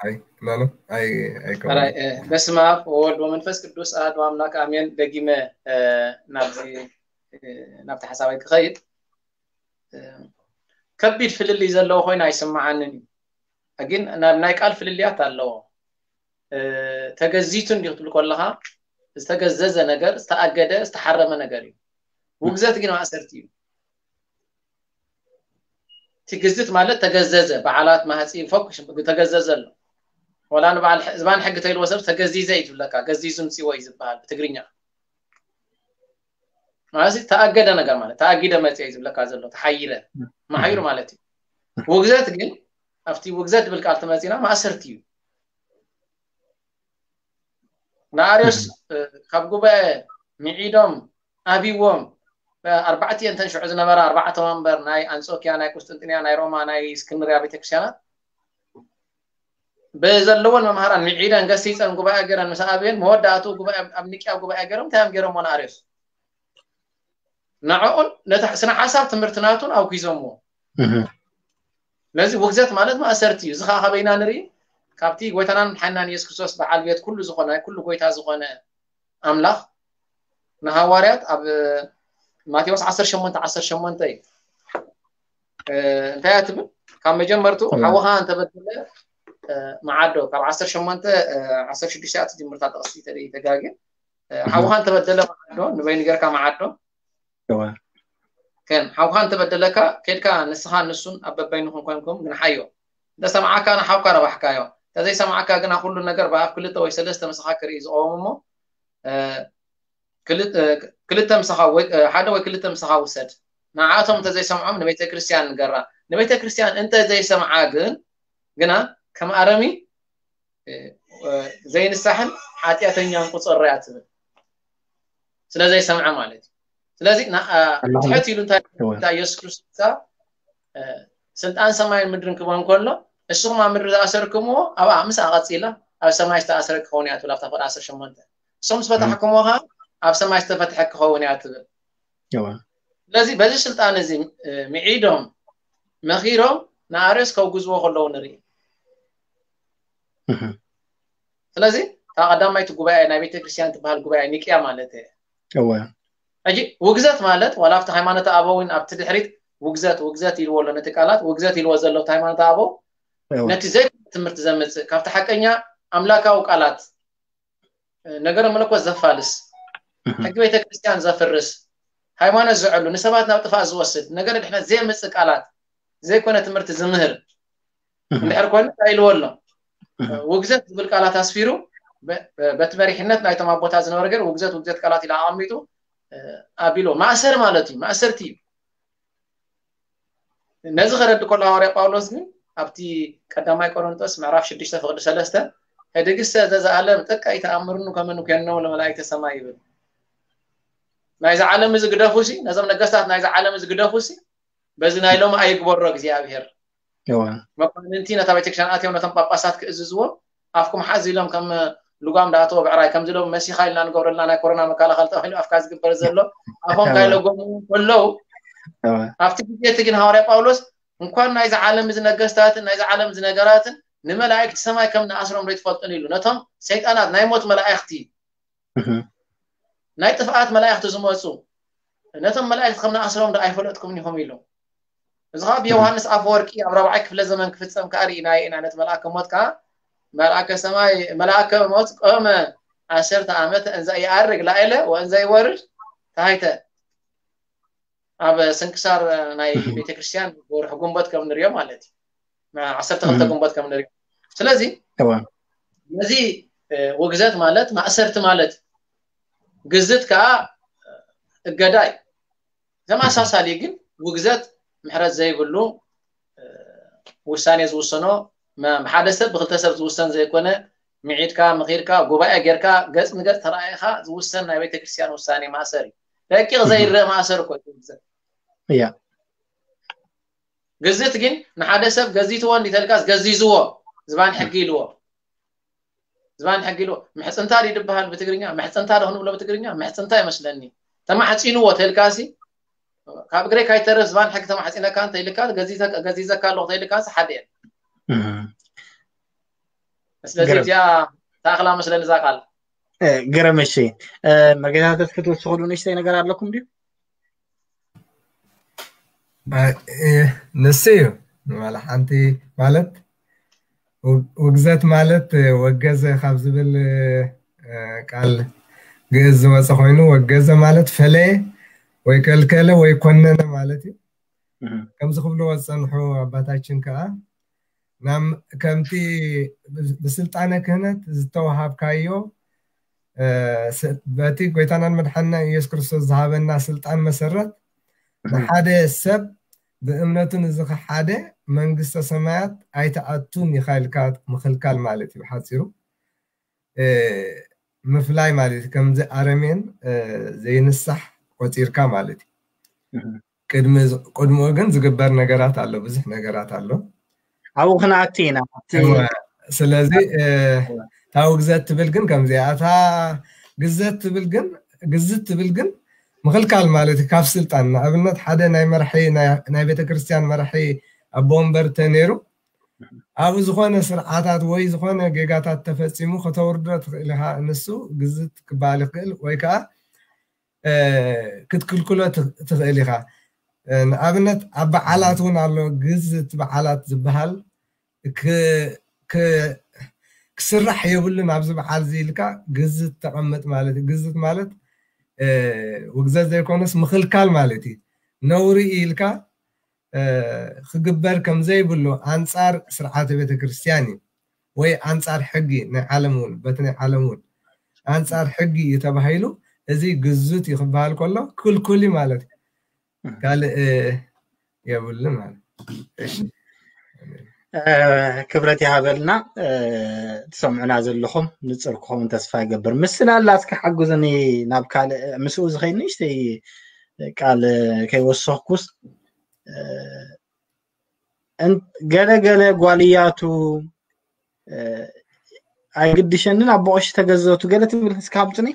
ኣይ ኖኖ ኣይ ኣይከውኒ ራይ በስመ ኣብ ወወልድ ወመንፈስ ቅዱስ ኣሐዱ ኣምላክ ኣሜን። ደጊመ ናብዚ ናብቲ ሓሳባይ ክኸይድ ከቢድ ፍልልይ ዘለዎ ኮይኑ ኣይስምዓንን እዩ። ግን ናብ ናይ ቃል ፍልልያት ኣለዎ። ተገዚቱ እንዲዩ ክትብል ከለኻ ዝተገዘዘ ነገር፣ ዝተኣገደ፣ ዝተሓረመ ነገር እዩ። ውግዘት ግን ማእሰርቲ እዩ። ትግዝት ማለት ተገዘዘ፣ በዓላት ማህፂ ፈኩሽ ተገዘዘ ኣሎ። ወላ ንበዓል ዝባን ሕጊ ተይልዎ ሰብ ተገዚዘ እዩ ዝብለካ። ገዚዙ ምፅዎ እዩ ዝበሃል ብትግርኛ። ማለት ተኣገደ ነገር ማለት ተኣጊደ መፅየ እዩ ዝብለካ ዘሎ። ተሓይረ መሓይሩ ማለት እዩ። ውግዘት ግን ኣብቲ ውግዘት ዝብል ቃል ተመፂና ማእሰርቲ እዩ። ንኣርዮስ ካብ ጉባኤ ምዒዶም ኣብዎም ኣርባዕተ እተን ሽዑ ዝነበራ ኣርባዕተ ወንበር ናይ ኣንጾኪያ ናይ ቁስጥንጥንያ ናይ ሮማ ናይ እስክንድርያ ቤተክርስትያናት ብዘለዎን መምሃራን ምዒደን ገሲፀን ጉባኤ ገይረን ምስ ኣብየን መወዳእትኡ ጉባኤ ኣብ ኒቅያ ጉባኤ ገይሮም እንታይ እዮም ገይሮምዎ ንኣርዮስ ንዕኡን ነቲ ስነ ሓሳብ ትምህርቲ ናቱን ኣውኪዞምዎ ስለዚ ውግዘት ማለት ማእሰርቲ እዩ እዚ ከዓ ካበይና ንርኢ ካብቲ ጎይታናን ሓናን የሱስ ክርስቶስ በዓል ቤት ኩሉ ዝኾነ ኩሉ ጎይታ ዝኾነ ኣምላኽ ንሃዋርያት ኣብ ማቴዎስ ዓሰርተ ሸሞንተ ዓሰርተ ሸሞንተ እዩ እንታይ እያ ትብል ካብ መጀመርቱ ሓውኻ እንተበደለ መዓዶ ካብ ዓሰርተ ሸሞንተ ዓሰርተ ሽዱሽተ እያ ትጅምርታ ጥቕሲ ተጋግየ ሓውኻ እንተበደለ መዓዶ ንበይኑ ጌርካ መዓዶ ከም ሓውኻ እንተበደለካ ኬድካ ንስኻ ንሱን ኣብ በበይንኹም ኮንኩም ግንሓዮ እንተሰምዓካ ንሓውካ ረባሕካዮ እንተዘይሰምዓካ ግና ኩሉ ነገር ብኣፍ ክልተ ወይ ሰለስተ ምሳኻ ክርኢ ዝቐወም እሞ ክልተ ምሳኻ ሓደ ወይ ክልተ ምሳኻ ውሰድ ንዓቶም እንተዘይሰምዖም ንቤተ ክርስቲያን ንገራ ንቤተ ክርስቲያን እንተዘይሰምዓ ግን ግና ከም ኣረሚ ዘይንሳሕን ሓጢኣተኛን ቁፅር እያ ትብል ስለዘይሰምዐ ማለት እዩ ስለዚ ትሕት ኢሉ እንታይ የሱስ ክርስቶስ ስልጣን ሰማይን ምድርን ክቦ እንከሎ እስኹም ኣብ ምድሪ ዝኣሰርክምዎ ኣብኣ ምስ ኣቐፂላ ኣብ ሰማይ ዝተኣሰረ ክኸውን እያ ትብል ኣብታ ፍቕዲ ዓሰርተ ሸሞንተ ንስኹም ዝፈታሕክምዎ ከዓ ኣብ ሰማይ ዝተፈትሐ ክኸውን እያ ትብል ስለዚ በዚ ስልጣን እዚ ምዒዶም መኺሮም ንኣርዮስ ከውግዝዎ ከለዉ ንርኢ ስለዚ እታ ቀዳማይቲ ጉባኤ ናይ ቤተክርስትያን ትበሃል ጉባኤ ኒቅያ ማለት እየ ሕጂ ውግዘት ማለት ዋላ ኣብቲ ሃይማኖት ኣበው ኣብቲ ድሕሪት ውግዘት ውግዘት ኢልዎ ኣሎ ነቲ ቃላት ውግዘት ኢልዎ ዘሎ ኣብቲ ሃይማኖት ኣበው ነቲ ዘይኮነ ትምህርቲ ዘምፅእ ካብቲ ሓቀኛ ኣምላካዊ ቃላት ነገረ መለኮት ዘፋልስ ሕጊ ቤተክርስትያን ዘፍርስ ሃይማኖት ዘዕሉ ንሰባት ናብ ጥፋእ ዝወስድ ነገረ ድሕነት ዘየምፅእ ቃላት ዘይኮነ ትምህርቲ ዝምህር እንድሕር ኮይኑ እንታይ ኢልዎ ኣሎ ውግዘት ዝብል ቃላት ኣስፊሩ በቲ መሪሕነት ናይቶም ኣቦታት ዝነበረ ገር ውግዘት ውግዘት ቃላት ኢሉ ኣቐሚጡ ኣቢሎ ማእሰር ማለት እዩ ማእሰርቲ እዩ ነዚ ከረዲ ከሎ ሃዋርያ ጳውሎስ ግን ኣብቲ ቀዳማይ ቆሮንቶስ ምዕራፍ ሽዱሽተ ፍቅዲ ሰለስተ ህድግሰ ዘዘኣለም ጥቀ ኣይተኣምርኑ ከመ ንኮኖም ለመላእክተ ሰማይ ይብል ናይዚ ዓለም እዚ ግደፉ ሲ ነዞም ነገስታት ናይዚ ዓለም እዚ ግደፉ ሲ በዚ ናይ ሎም ኣይግበሮ እግዚኣብሔር መኳንንቲ ነታ ቤተክርስትያን ኣትዮም ነቶም ጳጳሳት ክእዝዝዎም ኣፍኩም ሓዝ ኢሎም ከም ልጓም ዳኣተወ ብዕራይ ከምዚ ሎም መሲኻ ኢልና ንገብረልና ናይ ኮሮና መከላኸሊ ተባሂሉ ኣፍካ ዝግበር ዘሎ ኣፎም ካይለጎሙ ከለዉ ኣብቲ ግዜ እቲ ግን ሃዋርያ ጳውሎስ እንኳን ናይዚ ዓለም እዚ ነገስታትን ናይዚ ዓለም እዚ ነገራትን ንመላእክቲ ሰማይ ከም ንኣስሮም ዶ ትፈልጡን ኢሉ ነቶም ሰይጣናት ናይ ሞት መላእክቲ ናይ ጥፍኣት መላእክቲ ዝመፁ ነቶም መላእክቲ ከም ንኣስሮም ዶ ኣይፈለጥኩምን ኢኹም ኢሉ እዚ ከዓ ብዮሃንስ ኣፈወርቂ ኣብ ራብዓይ ክፍለ ዘመን ክፍፀም ከዓ ርኢናዮ ኢና ነቲ መልኣከ ሞት ከዓ መልኣከ ሰማይ መልኣከ ሞት ቆመ ዓሰርተ ዓመት እንዘ ይኣርግ ላይለ ወእንዘ ይወርድ ታይተ ኣብ ስንክሳር ናይ ቤተክርስትያን ወርሒ ጉንበት ከም ንሪኦ ማለት እዩ ዓሰርተ ክልተ ጉንበት ከም ንሪኦ ስለዚ ነዚ ውግዘት ማለት ማእሰርቲ ማለት ግዝት ከዓ እገዳ እዩ ተመሳሳሊ ግን ውግዘት ምሕረት ዘይብሉ ውሳኔ ዝውሰኖ ብሓደ ሰብ ብክልተ ሰብ ዝውሰን ዘይኮነ ምዒድካ ምኺድካ ጉባኤ ጌርካ ገፅ ንገፅ ተረኣይካ ዝውሰን ናይ ቤተክርስትያን ውሳኔ ማእሰር እዩ ደቂቕ ዘይረእ ማእሰር እኮ እዩ። እያ ግዝት ግን ንሓደ ሰብ ገዚትዎ እንዲተልካስ ገዚዝዎ ዝባን ሕጊ ኢልዎ። ዝባን ሕጊ ኢልዎ። ምሕፅንታ ድዩ ዝበሃል ብትግርኛ? ምሕፅንታ ዶ ክንብሎ ብትግርኛ? ምሕፅንታ ይመስለኒ። ተማሕፂንዎ ተልካሲ ካብ እግረይ ካይተርፍ ዝባን ሕጊ ተማሕፂነካ እንተ ኢልካ ገዚተ- ገዚዘካ ኣለኹ ተኢልካሲ ሓደ እየ። እም። ስለዚ ግርም። እዚኣ ተኣኽላ መስለኒ እዛ ቃል። እ፣ ግርም። እሺ፣ እ፣ መርጌታ ተስፍት ክትወስኽሉ ንእሽተይ ነገር ኣለኩም ድዩ? እ፣ ንሱ እዩ ዋላ ሓንቲ ማለት ውግ- ውግዘት ማለት እ፣ ወገዘ ካብ ዝብል እ፣ ቃል ግእዝ ዝወፀ ኮይኑ ወገዘ ማለት ፈለየ ወይ ከልከለ ወይ ኮነነ ማለት እዩ። እም። ከምዚ ክብልዎ ዝፀንሑ ኣባታችን ከዓ ናም ከምቲ ብስልጣነ ክህነት ዝተወሃብካዮ እ፣ ስ- በቲ ጎይታናን መድሓንና ኢየሱስ ክርስቶስ ዝሃበና ስልጣን መሰረት ንሓደ ሰብ ብእምነቱ ንዝኸሓደ መንግስተ ሰማያት ኣይተኣቱን ኢኻ ኢልካ ምኽልካል ማለት እዩ ሓፂሩ። እ፣ ምፍላይ ማለት እዩ። ከምዚ ኣረሜን እ፣ ዘይንሳሕ ቆፂርካ ማለት እዩ። እም። ቅድሚ ቅድሚኡ ግን ዝግበር ነገራት ኣሎ፣ ብዙሕ ነገራት ኣሎ። ኣብኡ ክንኣቱ ኢና። ኣብቲ እወ፣ ስለዚ እ፣ እታ ውግዘት ትብል ግን ከምዚኣ እታ ግዘት ትብል ግን ግዝት ትብል ግን ምኽልካል ማለት እዩ ካብ ስልጣን። ንኣብነት ሓደ ናይ መራሒ ናይ- ናይ ቤተክርስትያን መራሒ ኣቦ ወንበር ተነይሩ ኣብኡ ዝኾነ ስርዓታት ወይ ዝኾነ ጌጋታት ተፈፂሙ ከተውርዶ ትኽእል ኢኻ። ንሱ ግዝት ክበሃል ይኽእል ወይ ከዓ እ፣ ክትክልክሎ ትኽ- ትኽእል ኢኻ። እ፣ ንኣብነት ኣብ በዓላት እውን ኣሎ ግዝት በዓላት ዝበሃል ክ- ክ- ክስራሕ የብሉን ኣብዚ በዓል እዚ ኢልካ ግዝት ተቐምጥ ማለት እዩ። ግዝት ማለት እ፣ ውግዘት ዘይኮነስ ምኽልካል ማለት እዩ። ነውሪ እዩ ኢልካ እ፣ ክግበር ከም ዘይብሉ ኣንጻር ስርዓተ ቤተክርስትያን እዩ ወይ ኣንጻር ሕጊ ናይ ዓለም እውን በቲ ናይ ዓለም እውን ኣንጻር ሕጊ እዩ ተባሂሉ እዚ ግዙት እዩ ክበሃል ከሎ ክልኩል እዩ ማለት እዩ። ካልእ እ፣ የብሉን ማለት እዩ። እሺ። እ፣ ክብረት ይሃበልና። እ፣ ትሰምዑና ዘለኹም ንጽር ክኸውን ተስፋ ይገብር። ምስላ ኣላትካ ሓግዙኒ ናብ ካልእ ምስኡ ዝኸይድ ንእሽተይ ቃል ከይወሰኽኩስ እ፣ እን- ገለ ገለ ጓልያቱ እ፣ ኣይግድሸንን ኣብ ቦቕሽ ተገዘቱ ገለ ትብል እስካ ሃምፅኒ።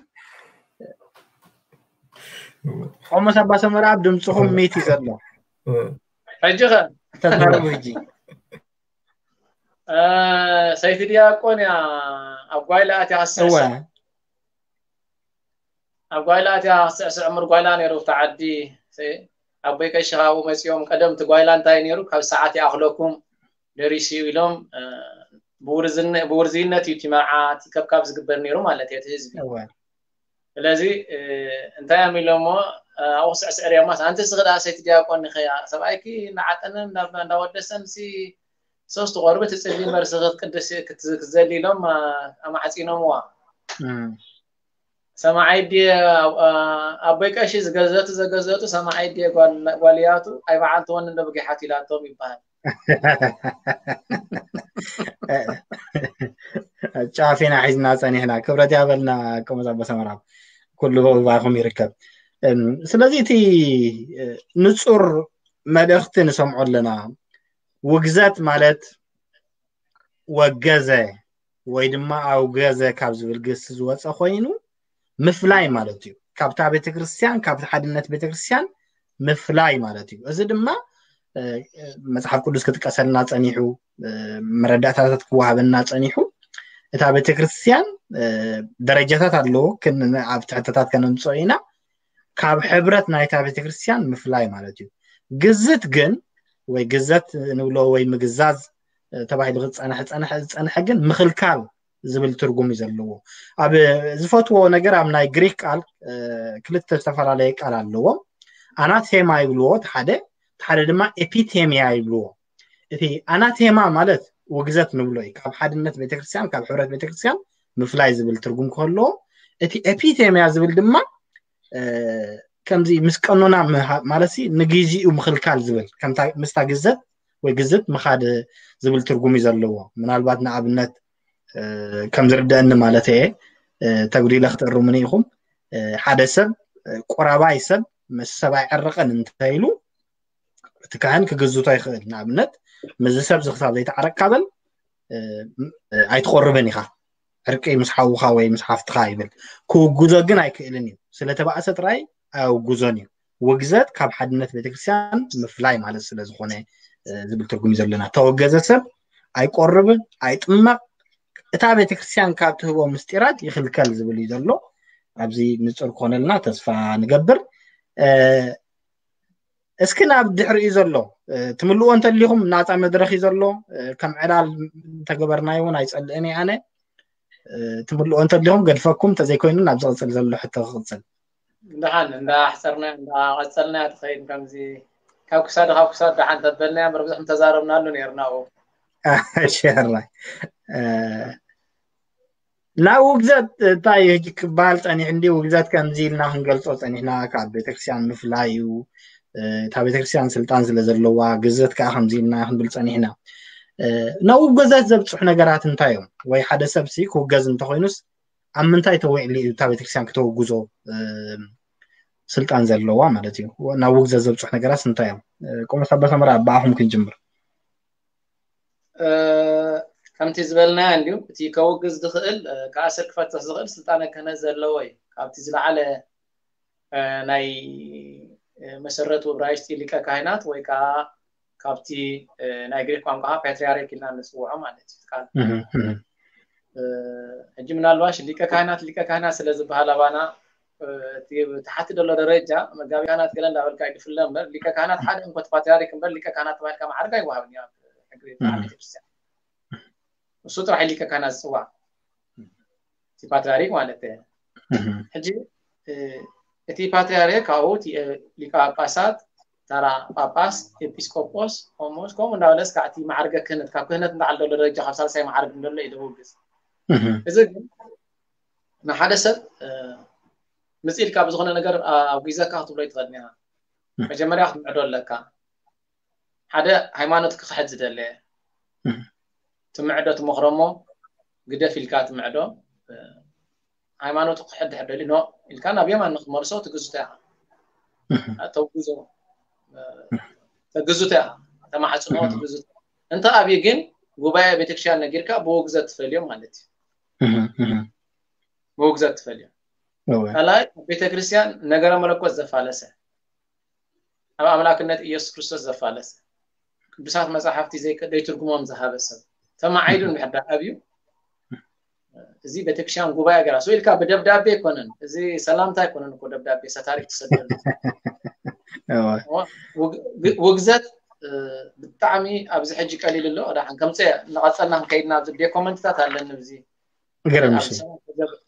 ቆሞስ ኣባ ሰመራ ኣብ ድምፅኹም ሚት እዩ ዘሎ። ሕጂ ከ ተዛረቡ ሕጂ። እ፣ ሰይቲ ዲያቆን እያ ኣብ ጓይላ ኣትያ እወ ክትስዕስዕ። ኣብ ጓይላ ኣትያ ክትስዕስዕ እምር ጓይላ ነይሩ ኣብቲ ዓዲ። ሰ- ኣቦይ ቀሺ ካብኡ መፂኦም ቀደም እቲ ጓይላ እንታይ ነይሩ ካብ ሰዓት ይኣኽለኩም ደሪሱ እዩ ኢሎም እ፣ ብውርዝነ- ብውርዝይነት እዩ እቲ መርዓ እቲ ከብካብ ዝግበር ነይሩ ማለት እዩ እቲ ህዝቢ። እወ ስለዚ እ፣ እንታይ እዮም ኢሎሞ ኣብኡ ክስዕስዕ ሪኦማስ ኣንቲ ስኽዳ ሰይቲ ዲያቆን ንኸያ ሰብኣይኪ እናዓጠነ እንዳ- እንዳወደሰን ሲ ሶስት ቆርቢ ትጽሊ መርሲ ክትቅድስ ክትዘሊ ኢሎም ኣማዕፂኖምዋ። እም። ሰማዓይ ድየ ኣቦይ ቀሺ ዝገዘቱ ዘገዘቱ ሰማዓይ ድየ ጓልያቱ ኣይ በዓል ትወኒ እንዶ ብጊሓት ኢላቶም ይበሃል። ጫፊና ሒዝና ፀኒሕና። ክብረት ያበልና። ቆመፃ በሰመራ ኩሉ ባይኹም ይርከብ። እም፣ ስለዚ እቲ እ፣ ንፁር መልእኽቲ ንሰምዖ ኣለና። ውግዘት ማለት ወገዘ ወይ ድማ ኣውገዘ ካብ ዝብል ግስ ዝወፀ ኮይኑ ምፍላይ ማለት እዩ። ካብታ ቤተክርስትያን፣ ካብቲ ሓድነት ቤተክርስትያን ምፍላይ ማለት እዩ። እዚ ድማ እ፣ መፅሓፍ ቅዱስ ክጥቀሰልና ፀኒሑ፣ እ፣ መረዳእታታት ክወሃበና ፀኒሑ፣ እታ ቤተክርስትያን እ፣ ደረጃታት ኣለዎ። ክን- ኣብ ትሕተታት ከነምፅኦ ኢና። ካብ ሕብረት ናይታ ቤተክርስትያን ምፍላይ ማለት እዩ። ግዝት ግን ወይ ግዘት ንብሎ ወይ ምግዛዝ እ፣ ተባሂሉ ክፀንሕ ፀንሐ ዝፀንሐ ግን ምኽልካል ዝብል ትርጉም እዩ ዘለዎ። ኣብ ዝፈትዎ ነገር ኣብ ናይ ግሪክ ቃል እ፣ ክልተ ዝተፈላለየ ቃል ኣለዎም። ኣናቴማ ይብልዎ እቲ ሓደ፣ እቲ ሓደ ድማ ኤፒቴሚያ ይብልዎ። እቲ ኣናቴማ ማለት ውግዘት ንብሎ እዩ። ካብ ሓድነት ቤተክርስትያን፣ ካብ ሕብረት ቤተክርስትያን ምፍላይ ዝብል ትርጉም ከለዎ፣ እቲ ኤፒቴሚያ ዝብል ድማ እ፣ ከምዚ ምስ ቀኖና ምሃ- ማለት ሲ ንግዜኡ ምኽልካል ዝብል ከምታ ምስታ ግዘት ወይ ግዝት ምኻድ ዝብል ትርጉም እዩ ዘለዎ። ምናልባት ንኣብነት እ፣ ከም ዝርደአኒ ማለት እየ እ፣ ተጉዲለ ክትእርሙኒ ኢኹም። እ፣ ሓደ ሰብ ቁራባይ ሰብ ምስ ሰብ ኣይዕርቕን እንተኢሉ እቲ ካህን ክግዝቶ ይኽእል። ንኣብነት ምስዚ ሰብ እዚ ክሳብ ዘይተዓረቅካ በል ኣይትቆርብን ኢኻ፣ ዕርቂ ምስ ሓውኻ ወይ ምስ ሓፍትኻ ይብል። ክውግዞ ግን ኣይክእልን እዩ። ስለተባእሰ ጥራይ ኣውግዞን እዩ። ውግዘት ካብ ሓድነት ቤተክርስትያን ምፍላይ ማለት ስለ ዝኾነ ዝብል ትርጉም እዩ ዘለና። ተወገዘ ሰብ ኣይቆርብ፣ ኣይጥመቕ፣ እታ ቤተክርስትያን ካብ ትህቦ ምስጢራት ይኽልከል ዝብል እዩ ዘሎ። ኣብዚ ንጹር ክኾነልና ተስፋ ንገብር። እስኪ ናብ ድሕሪኡ ዘሎ ትምልዎ እንተሊኹም ናፃ መድረኽ እዩ ዘሎ። ከም ዕላል እንተገበርናዮ እውን ኣይፀልእን እየ ኣነ። ትምልዎ እንተሊኹም ገድፈኩም፣ እንተዘይኮይኑ ናብ ዝቕፅል ዘሎ ሕቶ ክቕፅል። እንዳሓን እንዳሕፀርና እንዳቐፀልና ትኸይድ። ከምዚ ካብ ክሳድ ካብ ክሳድ ደሓን ተበልና እምበር ብዙሕ ምተዛረብናሉ ነርና። ሸራይ ናብ ውግዘት እንታይ እዩ ሕጂ ክበሃል ፀኒሑ? እንዲ ውግዘት ከምዚ ኢልና ክንገልፆ ፀኒሕና፣ ካብ ቤተክርስትያን ምፍላይ እዩ። እታ ቤተክርስትያን ስልጣን ስለ ዘለዋ፣ ግዘት ከዓ ከምዚ ኢልና ክንብል ፀኒሕና። ናብ ውግዘት ዘብፅሑ ነገራት እንታይ እዮም? ወይ ሓደ ሰብ ሲ ክውገዝ እንተኮይኑስ ኣብ ምንታይ ተዊዕሉ እዩ እታ ቤተክርስትያን ክተውግዞ ስልጣን ዘለዋ ማለት እዩ? ናብ ውግዘት ዘብፅሑ ነገራት እንታይ እዮም? ቆሞስ ኣባ ሰመራ ብኣኹም ክንጅምር። ከምቲ ዝበልናዮ እንዲሁ እቲ ከውግዝ ዝኽእል፣ ክኣስር ክፈትሕ ዝኽእል ስልጣነ ክህነት ዘለዎ እዩ። ካብቲ ዝለዓለ ናይ መሰረቱ እብራይስጢ ሊቀ ካህናት ወይ ከዓ ካብቲ ናይ ግሪክ ቋንቋ ፓትሪያርክ ኢልና ንፅውዖ ማለት እዩ ቃል። ሕጂ ምናልባሽ ሊቀ ካህናት ሊቀ ካህናት ስለ ዝበሃል ኣባና እቲ ታሕቲ ዘሎ ደረጃ መጋቢ ካህናት ገለ እንዳበልካ ይድፍለ እምበር ሊቀ ካህናት ሓደ እንኮ ፓትሪያርክ እምበር ሊቀ ካህናት ተባሂልካ መዓርግ ኣይወሃብን እዩ ኣብ ሕጊ ቤተክርስትያን። እሱ ጥራሕ ሊቀ ካህናት ዝፅዋዕ እቲ ፓትሪያርክ ማለት እዩ። ሕጂ እቲ ፓትሪያርክ ካብኡ ሊቀ ጳጳሳት፣ ተራ ጳጳስ፣ ኤጲስቆጶስ፣ ቆሞስ ከምኡ እንዳበለ እስካዕ እቲ መዓርገ ክህነት ካብ ክህነት እንዳዓል ዘሎ ደረጃ ካብ ሳልሳይ መዓርግ እንደሎ እዩ ደውግዝ። እዚ ግን ንሓደ ሰብ ምፅ ኢልካ ብዝኾነ ነገር ኣውጊዘካ ክትብሎ ይትኽእል ኒኻ። መጀመርያ ክትምዕዶ ኣለካ። ሓደ ሃይማኖት ክኽሕድ ዝደለ ትምዕዶ ትመኽሮ እሞ ግደፍ ኢልካ ትምዕዶ። ሃይማኖቱ ክሕድ ሕደሊ ኖ ኢልካ ናብ የማን ንክትመልሶ ትግዝቶ ኢኻ። ተውግዞ ተግዝቶ ኢኻ። ተማሕፅኖ ትግዝቶ። እንተ ኣብዩ ግን ጉባኤ ቤተክርስትያን ነጊርካ ብውግዘት ትፈልዮም ማለት እዩ። ብውግዘት ትፈልዮም። ካልኣይ ኣብ ቤተክርስትያን ነገረ መለኮት ዘፋለሰ፣ ኣብ ኣምላክነት ኢየሱስ ክርስቶስ ዘፋለሰ፣ ቅዱሳት መጻሕፍቲ ዘይትርጉሞም ዝሃበ ሰብ ተማዓይዱ እንድሕር ደኣ ኣብዩ፣ እዚ ቤተክርስትያን ጉባኤ ገራ ስው ኢልካ ብደብዳቤ ኣይኮነን፣ እዚ ሰላምታ ኣይኮነን እኮ ደብዳቤ ሰታሪክ ትሰደሉ። ውግዘት ብጣዕሚ ኣብዚ ሕጂ ቀሊል ኣሎ። ዳሓን ከምፀ እናቐፀልና ክንከይድና ኣብዚ ዶኮመንትታት ኣለኒ እዚ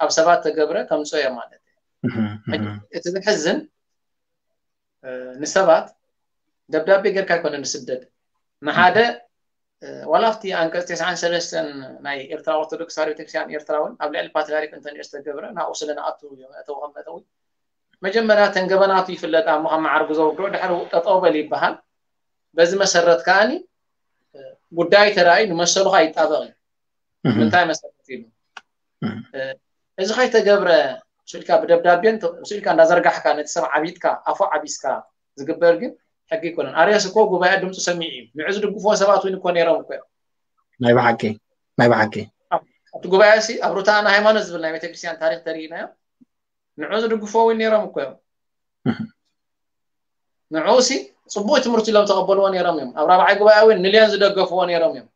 ኣብ ሰባት ተገብረ ከምፅኦ እየ ማለት እዩ። እቲ ዝሕዝን ንሰባት ደብዳቤ ጌርካ ኣይኮነ ንስደድ ንሓደ ዋላ ኣብቲ ኣንቀፅ ተስዓን ሰለስተን ናይ ኤርትራ ኦርቶዶክስ ተዋህዶ ቤተክርስትያን ኤርትራ እውን ኣብ ልዕሊ ፓትሪያርክ እንተንኦ ዝተገብረ ናብኡ ስለ ንኣቱ መእተዊ ከም መእተዊ መጀመርያ ተን ገበናቱ ይፍለጥ እሞ ካብ መዓርጉ ዘውርዶ ድሕሪ ጠጠው በል ይበሃል። በዚ መሰረት ከዓኒ ጉዳይ ተራእዩ ንመሰሉ ከኣ ይጣበቕ እዩ። ምንታይ መሰረት ኢሉ እዚ ከይተገብረ ስኢልካ ብደብዳቤን ስኢልካ እንዳዘርጋሕካ ነቲ ሰብ ዓቢጥካ ኣፉ ዓቢስካ ዝግበር ግን ሕጊ ኣይኮነን። ኣርዮስ እኮ ጉባኤ ድምፁ ሰሚዑ እዩ። ንዑ ዝድግፍዎ ሰባት እውን እኮ ነይሮም እኮ እዮም። ናይ ብሓቂ ናይ ብሓቂ ኣብቲ ጉባኤ ሲ ኣብ ሩታ ናይ ሃይማኖት ዝብል ናይ ቤተክርስትያን ታሪክ ተሪኢናዮ። ንዑ ዝድግፍዎ እውን ነይሮም እኮ እዮም። ንዑ ሲ ፅቡቅ ትምህርቲ ኢሎም ተቐበልዎ ነይሮም እዮም። ኣብ ራብዓይ ጉባኤ እውን ንልዮን ዝደገፍዎ ነይሮም እዮም።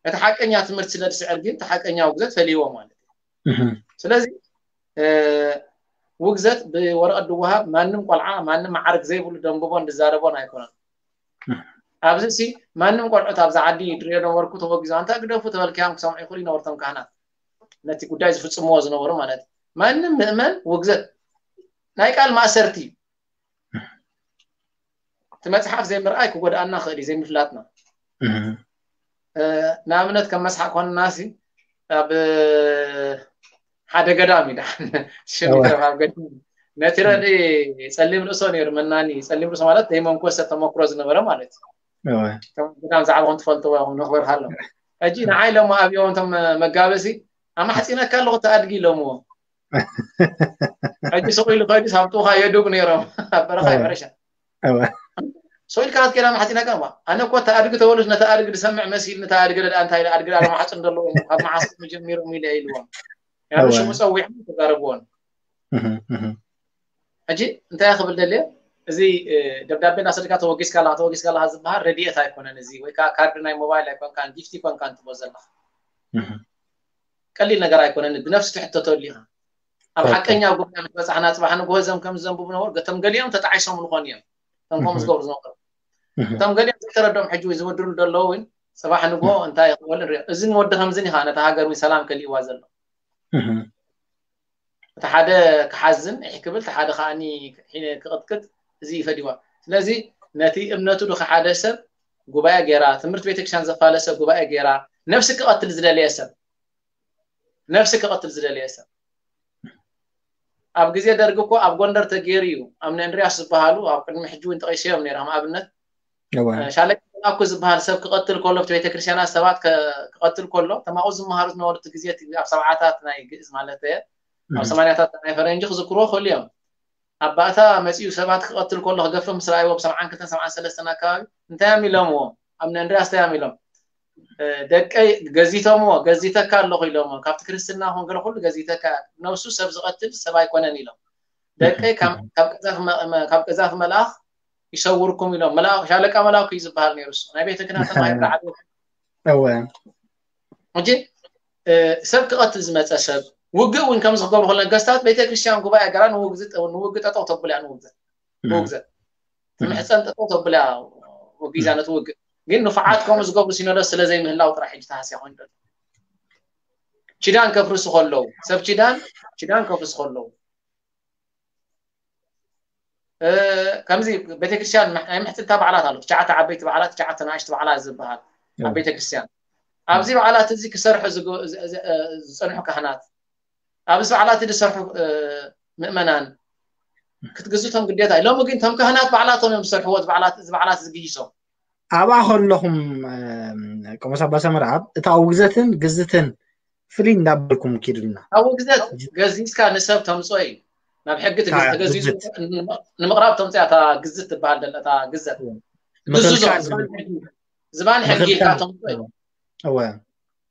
እቲ ሓቀኛ ትምህርቲ ስለ ዝስዕር ግን እቲ ሓቀኛ ውግዘት ፈሊዎ ማለት እዩ። ስለዚ ውግዘት ብወረቐት ድወሃብ ማንም ቆልዓ ማንም መዓርግ ዘይብሉ ደንብቦን ድዛረቦን ኣይኮነን። ኣብዚ ሲ ማንም ቆልዑት ኣብዚ ዓዲ ድሪኦ ነበርኩ ተወጊዞ ኣንታ ግደፉ ተበልካዮም ክሰምዑ ይኽእሉ ይነበርቶም ካህናት ነቲ ጉዳይ ዝፍፅምዎ ዝነበሩ ማለት እዩ። ማንም ምእመን ውግዘት ናይ ቃል ማእሰርቲ እዩ። እቲ መፅሓፍ ዘይምርኣይ ክጎድኣና ክእል እዩ ዘይምፍላጥና። ንኣብነት ከም መስሓቅ ኮንና ሲ ኣብ ሓደ ገዳም እዩ ደሓን ሽም ይትረፍ ኣብ ገዳም ነቲ ረድኢ ፀሊም ርእሶ ነይሩ መናኒ ፀሊም ርእሶ ማለት ዘይመንኮሰ ተመክሮ ዝነበረ ማለት እዩ። ገዳም ዛዕባኹም ትፈልጥዎ ኢኹም ነኽብር ሃሎም። ሕጂ ንዓይ ኢሎሞ ኣብዮም እቶም መጋበሲ ኣማሕፂነካ ኣለኹ እቲ ኣድጊ ኢሎምዎ። ሕጂ ስቕ ኢሉ ከይዱ ሳብጥኡ ከኣ የዱግ ነይሮም ኣብ በረኻ እወ። ይበረሻ እወ። ስቕ ኢልካ ክትከይዳ ማሕፂና ከ ኣነ እኮ እቲ ኣድጊ ተወሉስ ነቲ ኣድጊ ዝሰምዕ መሲል ነቲ ኣድጊ ደኣ እንታይ ኢለ ኣድጊ ደኣ ማሕፅን ዘለዎ ካብ መዓስ ጀሚሮም ኢለ ኢልዎም ያሉ እወ። ሽሙ ፀዊዖም ተዛረብዎን እህ፣ እህ። ሕጂ እንታይ ክብል ደልየ እዚ እ፣ ደብዳቤ እናሰደካ ተወጊስካ ኣለካ ተወጊስካ ኣለካ ዝበሃል ረድኤት ኣይኮነን እዚ ወይ ከዓ ካርድ ናይ ሞባይል ኣይኮንካን ጊፍት ይኮንካን ትቦ ዘለካ እህ። ቀሊል ነገር ኣይኮነን ብነፍሲ ትሕተተሉ ኢኻ ኣብ ኦኬ። ሓቀኛ ጉዳይ ምስ በፃሕና ፅባሕ ንግሆ እዞም ከም ዝዘንብቡ ነበሩ ገቶም ገሊኦም ተጣዒሶም ንኾን እዮም እቶም ከምኡ እህ። ዝገብሩ ዝነበሩ እህ። እቶም ገሊኦም ዘይተረዶም ሕጂ ወይ ዝወድሩ ዘለዉ እውን ፅባሕ ንግሆ እንታይ ይኽበሉ ንሪኦ እዝን ወዲ ከምዝን ኢኻ ነታ ሃገር እውን ሰላም ከሊእዋ ዘሎ እህ። እቲ ሓደ ክሓዝን ኢሕ ክብል እቲ ሓደ ከዓኒ ክቕጥቅጥ እዚ ይፈዲዋ ስለዚ ነቲ እምነቱ ድኸ ሓደ ሰብ ጉባኤ ገይራ ትምህርቲ ቤተክርስትያን ዘፋለሰ ጉባኤ ገይራ ነፍሲ ክቐትል ዝደለየ ሰብ ነፍሲ ክቐትል ዝደለየ ሰብ ኣብ ግዜ ደርጊ እኮ ኣብ ጎንደር ተገይሩ እዩ ኣብ ንእንድርያስ ዝበሃሉ ኣብ ቅድሚ ሕጂ እውን ጠቂሰዮም ነይረ ከም ኣብነት እወ። ሻለቃ መላኩ ዝበሃል ሰብ ክቐትል ከሎ ኣብቲ ቤተክርስትያናት ሰባት ከ- ክቐትል ከሎ ተማኡ ዝመሃሩ ዝነበሩ እቲ ግዜ እቲ ኣብ ሰብዓታት ናይ ግእዝ ማለት እየ ኣብ እህ። ሰማንያታት ናይ ፈረንጂ ክዝክርዎ ክእሉ እዮም ኣብ ባእታ መፂኡ ሰባት ክቐትል ከሎ ክገፍፍ ምስ ረኣይዎ ብ ሰብዓን ክልተን ሰብዓን ሰለስተን ኣካባቢ እንታይ እዮም ኢሎምዎ ኣብ ንእንድርያስ እንታይ እዮም ኢሎም እ፣ ደቀይ ገዚቶምዎ ገዚተካ ኣለኹ ኢሎምዎ ካብቲ ክርስትና ኹን ገለ ኩሉ ገዚተካ ነብሱ ሰብ ዝቐትል ሰብ ኣይኮነን ኢሎም ደቀይ ካብ ካብ ቀዛፊ መ- መ- ካብ ቀዛፊ መልኣኽ ይሰውርኩም ኢሎም መልኣኽ ሻለቃ መልኣኩ እዩ ዝበሃል ነይሩ እሱ ናይ ቤተ ክህነት ተማሂሩ ዝዓበየ እወ። ሕጂ እ፣ ሰብ ክቐትል ዝመፀ ሰብ ውግእ እውን ከምዚ ክገብሩ ከሎ ነገስታት ቤተክርስትያን ጉባኤ ገራ ንውግዝ- ንውግእ ጠጠው ተብሎ እያ ንውግዘት ንውግዘት ትምሕፀን ጠጠው ተብሎ እያ ወጊዛ ነቲ ውግእ ግን ንፉዓት ከምኡ ዝገብሩ ሲኖዶስ ስለ ዘይምህላው ጥራሕ ሕጂ ተሃስያ ኮይኑ ዘሎ ኪዳን ከፍርሱ ከለዉ ሰብ ኪዳን ኪዳን ከፍርሱ ከለዉ እ፣ ከምዚ ቤተክርስትያን ናይ ምሕፅንታ በዓላት ኣሎ ትሽዓተ ዓበይቲ በዓላት ትሽዓተ ንኣሽቲ በዓላት ዝበሃል ኣብ ቤተክርስትያን ኣብዚ በዓላት እዚ ክሰርሑ ዝግ- ዝ- ዝ- እ፣ ዝፀንሑ ካህናት ኣብዚ በዓላት ዝሰርሑ እ፣ ምእመናን ክትግዝቶም ግዴታ እዩ ሎሚ ግን እቶም ካህናት በዓላቶም እዮም ዝሰርሕዎ እዚ በዓላት እዚ በዓላት ዝግይሶም ኣብኣ ከለኹም እም፣ ቆሞስ ኣባ ሰመርኣብ እታ ውግዘትን ግዝትን ፍልይ እንዳበልኩም ኪዱልና ኣብ ውግዘት ገዚዝካ ንሰብ ተምፅኦ እዩ ናብ ሕጊ ትግዝ- እታ ተገዚዙ ግዝት ንምቕራብ ተምፅያ እታ ግዝት ትበሃል ደላ እታ ግዘት ግዝዞ ምኽልካል ዝባን ዝብል ሕጊ ዝባን ሕጊ ኢልካ ምኽልካል ተምፅኦ እዩ እወ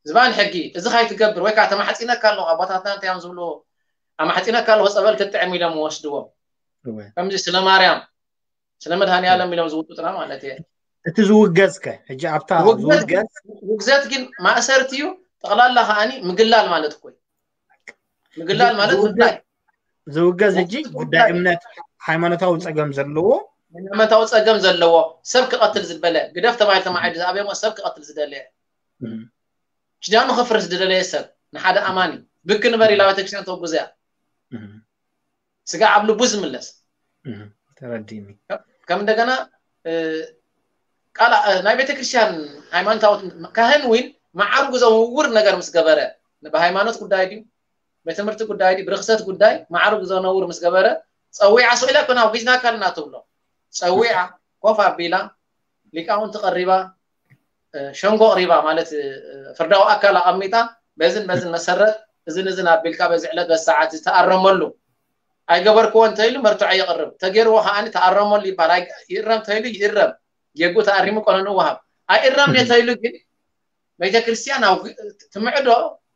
ዝባን ሕጊ እዚ ካይትገብር ወይ ከዓ ተማሕፂነካ ኣለኹ ኣቦታትና እንታይ እዮም ዝብሉ ኣማሕፂነካ ኣለኹ ፀበል ክትጥዕም ኢሎም ወስድዎም እወ ከምዚ ስለ ማርያም ስለ መድሃኒ ዓለም ኢሎም ዝውጡጥና ማለት እየ እቲ ዝውገዝ ከ ሕጂ ኣብታ ውግዘት ግን ዝውገዝ ውግዘት ግን ማእሰርቲ እዩ ጠቕላላ ከዓኒ ምግላል ማለት እኮ እዩ ምግላል ማለት ዝውገዝ- ምፍላይ ዝውገዝ ሕጂ ጉዳይ እምነት ሃይማኖታዊ ፀገም ዘለዎ ሃይማኖታዊ ፀገም ዘለዎ ሰብ ክቐትል ዝበለ ግደፍ ተባሂል ተማዒዱ ዝኣበሞ ሰብ ክቐትል ዝደለየ እም፣ ኪዳኑ ከፍርስ ዝደለየ ሰብ ንሓደ ኣማኒ ብክ ንበር ኢላ ቤተክርስትያን ተጉዘያ እም፣ ስጋ ኣብ ልቡ ዝምለስ እም፣ ተረዲኒ ከም እንደገና እ፣ ቃል እ፣ ናይ ቤተክርስትያን ሃይማኖታዊ ካህን ዊን መዓርጉ ዘውውር ነገር ምስ ገበረ ብሃይማኖት ጉዳይ ድዩ ብትምህርቲ ጉዳይ ድዩ ብርክሰት ጉዳይ መዓርጉ ዘነውር ምስ ገበረ ፀዊዓ ስቕ ኢላ ኮና ኣውጊዝናካ ኣለና ትብሎ ፀዊዓ ኮፍ ኣቢላ ሊቃውንቲ ቀሪባ እ፣ ሸንጎ ቅሪባ ማለት እ፣ ፍርዳዊ ኣካል ኣቐሚጣ በዝን በዝን መሰረት እዝን እዝን ኣቢልካ በዚ ዕለት በዚ ሰዓት ዝተኣረመሉ ኣይገበርክዎ እንተኢሉ መርትዖ የቕርብ ተገይርዎ ከዓኒ ተኣረመሉ ይበሃል ኣይ- ይእረም ተኢሉ ይእረም ጌጉ ተኣሪሙ ቆነኑ ወሃብ ኣይእረም ነተኢሉ ግን ቤተክርስትያን ኣብ ትምዕዶ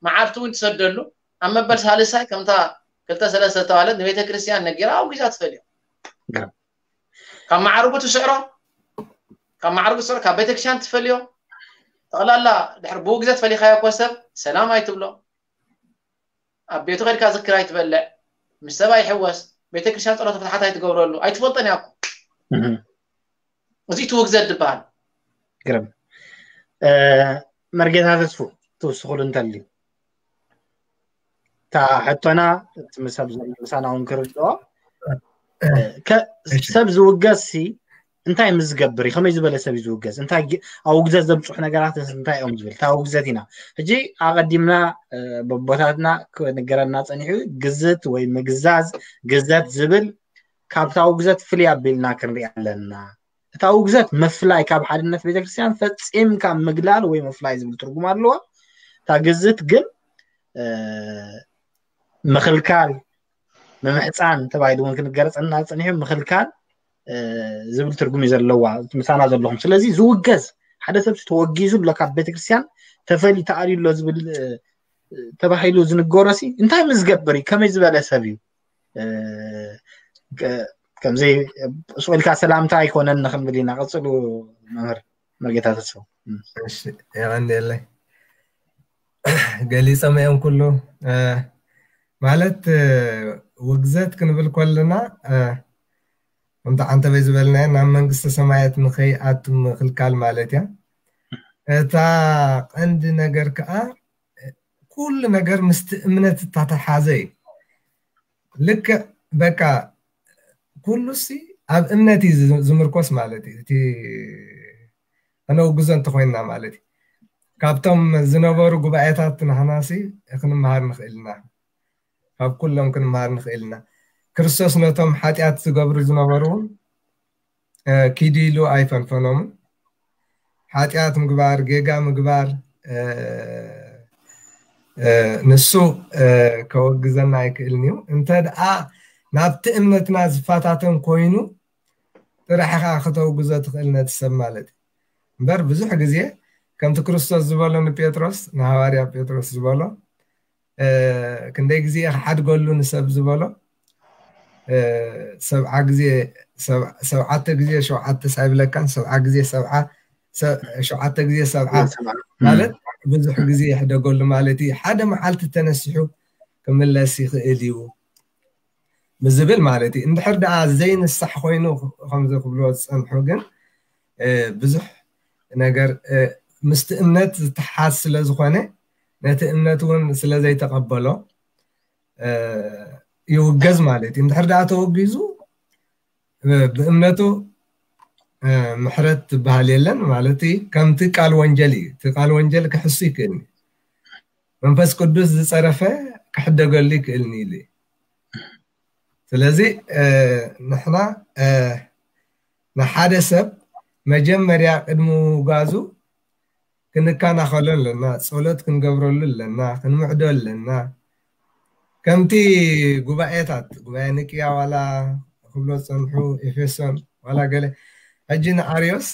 መዓልቲ እውን ትሰደሉ ኣብ መበል ሳልሳይ ከምታ ክልተ ሰለስተ ዝተባለት ንቤተክርስትያን ነጊራ ኣውጊዛ ትፈልዮ ካብ መዓርጉ ትስዕሮ ካብ መዓርጉ ትስዕሮ ካብ ቤተክርስትያን ትፈልዮ ጠቕላላ ድሕሪ ብውግዘት ፈሊኻዮ እኮ ሰብ ሰላም ኣይትብሎ ኣብ ቤቱ ከድካ ዝክር ኣይትበልዕ ምስ ሰብ ኣይሕወስ ቤተክርስትያን ፀሎተ ፍትሓት ኣይትገብረሉ ኣይትፈልጦን እያ እኮ እህ። እዚ እቲ ውግዘት ዝበሃል ግርም እ፣ መርጌታ ተስፉ ትውስኹሉ እንተልዩ እታ ሕቶና እቲ ምሰብ ዘሎ ምሳና እውን ክርድኦ እ፣ ከ- ሰብ ዝውገዝ ሲ እንታይ ምስ ዝገብር እዩ ከመይ ዝበለ ሰብ እዩ ዝውገዝ እንታይ ግ- ኣብ ውግዘት ዘብፅሑ ነገራት እንታይ እዮም ዝብል እታ ውግዘት ኢና ሕጂ ኣቐዲምና እ፣ በቦታትና ክነገረና ፀኒሑ ግዝት ወይ ምግዛዝ ግዘት ዝብል ካብታ ውግዘት ፍልይ ኣቢልና ክንሪኣ ኣለና እታ ውግዘት ምፍላይ ካብ ሓድነት ቤተክርስትያን ፈፂምካ ምግላል ወይ ምፍላይ ዝብል ትርጉም ኣለዎ እታ ግዝት ግን እ፣ ምኽልካል፣ ምምሕፃን ተባሂሉ እውን ክንገረፀና ፀኒሑ። ምኽልካል ዝብል ትርጉም እዩ ዘለዋ ምሳና ዘለኹም። ስለዚ ዝውገዝ ሓደ ሰብ ተወጊዙ ኣሎ ካብ ቤተክርስትያን ተፈልዩ ተኣልዩ ኣሎ ዝብል ተባሂሉ ዝንገሮ ሲ እንታይ ምስ ዝገብር እዩ? ከመይ ዝበለ ሰብ እዩ? ከምዘይ ስቕ ኢልካ ሰላምታ ኣይኮነን ንክንብል ኢና። ቀፅሉ መምህር መርጌታ ተስፋ። የቐንየለይ። ገሊፆም እዮም ኩሉ። ማለት ውግዘት ክንብል ከለና ከምቲ ዓንተበይ ዝበልናዮ ናብ መንግስተ ሰማያት ንኸይኣቱ ምኽልካል ማለት እያ። እታ ቀንዲ ነገር ከዓ ኩሉ ነገር ምስቲ እምነት እታተሓዘ እዩ። ልክዕ በቃ ኩሉ ሲ ኣብ እምነት እዩ ዝምርኮስ ማለት እዩ። እቲ ከነውግዞ እንተኮይንና ማለት እዩ። ካብቶም ዝነበሩ ጉባኤታት ንሕና ሲ ክንመሃር ንኽእል ኢና። ካብ ኩሎም ክንመሃር ንኽእል ኢና። ክርስቶስ ነቶም ሓጢኣት ዝገብሩ ዝነበሩ እውን ኪዱ ኢሉ ኣይፈንፈኖምን። ሓጢኣት ምግባር፣ ጌጋ ምግባር ንሱ ከወግዘና ኣይክእልን እዩ። እንተ ደኣ ናብቲ እምነትና ዝፈታተን ኮይኑ ጥራሕ ኢኻ ከተውግዞ ትኽእል ነቲ ሰብ ማለት እዩ። እምበር ብዙሕ ግዜ ከምቲ ክርስቶስ ዝበሎ ንጴጥሮስ፣ ንሃዋርያ ጴጥሮስ ዝበሎ ክንደይ ግዜ ክሓድገሉ ንሰብ ዝበሎ ሰብዓ ግዜ ሰብዓተ ግዜ ሸውዓተ ሳይብለካን ሰብዓ ግዜ ሰብዓ ሸውዓተ ግዜ ሰብዓ ማለት ብዙሕ ግዜ ይሕደገሉ ማለት እዩ። ሓደ መዓልቲ ተነሲሑ ክምለስ ይኽእል እዩ ብዝብል ማለት እዩ። እንድሕር ደኣ ዘይንሳሕ ኮይኑ ከምዚ ክብልዎ ዝፀንሑ ግን ብዙሕ ነገር ምስቲ እምነት ዝተሓዝ ስለ ዝኾነ ነቲ እምነት እውን ስለ ዘይተቐበሎ ይውገዝ ማለት እዩ። እንድሕር ደኣ ተወጊዙ ብእምነቱ ምሕረት ትበሃል የለን ማለት ከምቲ ቃል ወንጀል እዩ። እቲ ቃል ወንጀል ክሕሱ ይክእል፣ መንፈስ ቅዱስ ዝፀረፈ ክሕደገሉ ይክእል ኢሉ። ስለዚ ንሕና ንሓደ ሰብ መጀመርያ ቅድሚ ምውጋዙ ክንከናኸሎ ኣለና፣ ፀሎት ክንገብረሉ ኣለና፣ ክንምዕዶ ኣለና። ከምቲ ጉባኤታት ጉባኤ ኒቅያ ዋላ ክብሎ ዝፀንሑ ኤፌሶን ዋላ ገለ ሕጂ ንኣርዮስ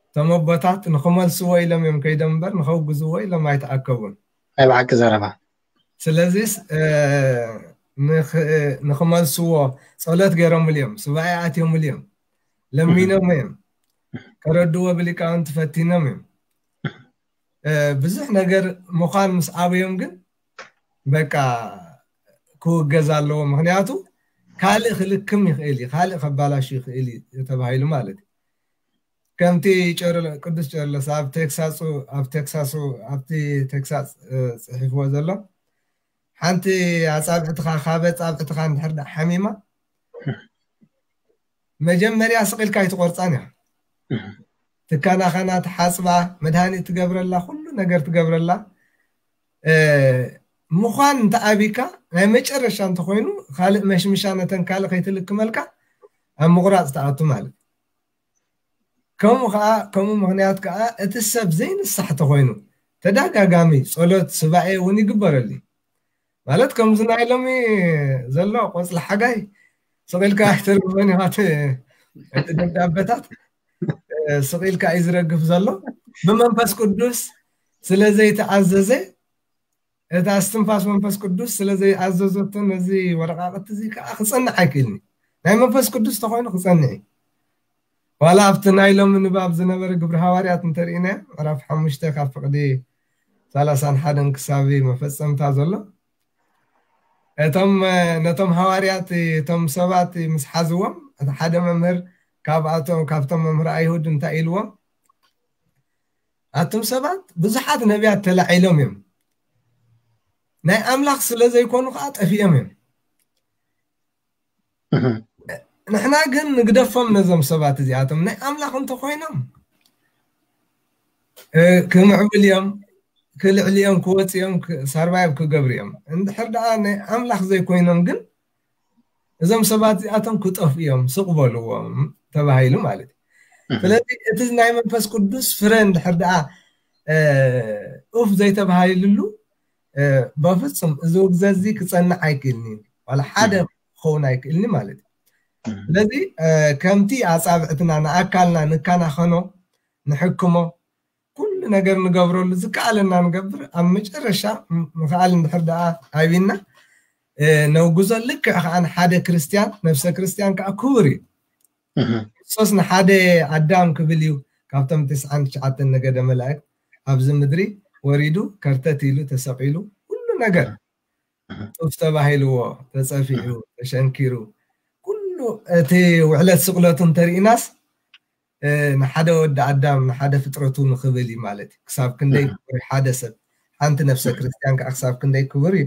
እቶም ኣቦታት ንክመልስዎ ኢሎም እዮም ከይዶም እምበር ንከውግዝዎ ኢሎም ኣይተኣከቡን። ናይ ብሓቂ ዘረባ። ስለዚስ ንክመልስዎ ፀሎት ገይሮምሉ እዮም፣ ሱባኤ ኣትዮምሉ እዮም፣ ለሚኖም እዮም፣ ከረድዎ ብሊቃውንቲ ፈቲኖም እዮም። ብዙሕ ነገር ምዃን ምስ ኣበዮም ግን በቃ ክውገዝ ኣለዎ። ምክንያቱ ካልእ ክልክም ይኽእል እዩ፣ ካልእ ከባላሹ ይኽእል እዩ ተባሂሉ ማለት እዩ። ከምቲ ቅዱስ ቄርሎስ ኣብ ቴክሳሱ ኣብ ቴክሳሱ ኣብቲ ቴክሳስ ፅሒፍዎ ዘሎ ሓንቲ ኣፃብዕትኻ ካብ ኣፃብዕትኻ እንድሕር ሓሚማ መጀመርያ ስቕ ኢልካ ኣይትቆርፃን እያ። ትከናኸና፣ ትሓፅባ፣ መድሃኒት ትገብረላ፣ ኩሉ ነገር ትገብረላ። ምዃን እንተኣቢካ ናይ መጨረሻ እንተኮይኑ ካልእ መሽምሻ ነተን ካልእ ከይትልክመልካ ኣብ ምቑራፅ ትኣቱ ማለት። ከምኡ ከዓ ከምኡ ምክንያት ከዓ እቲ ሰብ ዘይንሳሕ ተኮይኑ ተደጋጋሚ ፀሎት ስባኤ እውን ይግበረሉ ማለት ከምዚ ናይ ሎሚ ዘሎ ቆፅሊ ሓጋይ ስቕ ኢልካ ኣይተርግፎን ኢኻ። እቲ ደብዳቤታት ስቕ ኢልካ እዩ ዝረግፍ ዘሎ። ብመንፈስ ቅዱስ ስለ ዘይተኣዘዘ፣ እቲ ኣስትንፋስ መንፈስ ቅዱስ ስለ ዘይኣዘዘቶ ነዚ ወረቃቅቲ እዚ ከዓ ክፀንዕ ኣይክእልን። ናይ መንፈስ ቅዱስ ተኮይኑ ክፀንዕ እዩ። ዋላ ኣብቲ ናይ ሎሚ ንባብ ዝነበረ ግብሪ ሃዋርያት እንተርኢና ምዕራፍ ሓሙሽተ ካብ ፍቅዲ ሰላሳን ሓደን ክሳብ መፈፀምታ ዘሎ እቶም ነቶም ሃዋርያት እቶም ሰባት ምስ ሓዝዎም እቲ ሓደ መምህር ካብኣቶም ካብቶም መምህር ኣይሁድ እንታይ ኢልዎም? ኣቶም ሰባት ብዙሓት ነቢያት ተላዒሎም እዮም፣ ናይ ኣምላኽ ስለ ዘይኮኑ ከዓ ጠፊኦም እዮም። ንሕና ግን ንግደፎም ነዞም ሰባት እዚኣቶም ናይ ኣምላኽ እንተኮይኖም ክምዕብል እዮም፣ ክልዕል እዮም፣ ክወፅ እዮም፣ ሳርባይብ ክገብሩ እዮም። እንድሕር ደኣ ናይ ኣምላኽ ዘይኮይኖም ግን እዞም ሰባት እዚኣቶም ክጠፍ እዮም፣ ስቕ በልዎም ተባሂሉ ማለት እዩ። ስለዚ እቲ ናይ መንፈስ ቅዱስ ፍረ እንድሕር ደኣ ኡፍ ዘይተባሂልሉ በፍጹም እዚ ውግዘት እዚ ክጸንዕ ኣይክእልን እዩ። ዋላ ሓደ ክኸውን ኣይክእልን ማለት እዩ። ስለዚ ከምቲ ኣጻብዕትና ንኣካልና ንከናኸኖ፣ ንሕክሞ፣ ኩሉ ነገር ንገብረሉ ዝከኣለና ንገብር፣ ኣብ መጨረሻ ምኽኣል እንድሕር ደኣ ኣቢና ነውግዞ። ልክዕ ከኣ ንሓደ ክርስትያን፣ ነፍሰ ክርስትያን ከኣ ክቡር እዩ። ክርስቶስ ንሓደ ኣዳም ክብል እዩ ካብቶም ትስዓን ትሽዓተን ነገደ መላእክት ኣብዚ ምድሪ ወሪዱ፣ ከርተት ኢሉ፣ ተሰቒሉ፣ ኩሉ ነገር ጡፍ ተባሂልዎ፣ ተጸፊዑ፣ ተሸንኪሩ፣ ኩሉ እቲ ውዕለት ስቕለቱ እንተርኢናስ ንሓደ ወዲ ኣዳም፣ ንሓደ ፍጥረቱ ንኽብል እዩ ማለት እዩ። ክሳብ ክንደይ ክቡር እዩ ሓደ ሰብ፣ ሓንቲ ነፍሰ ክርስትያን ከዓ ክሳብ ክንደይ ክቡር እዩ።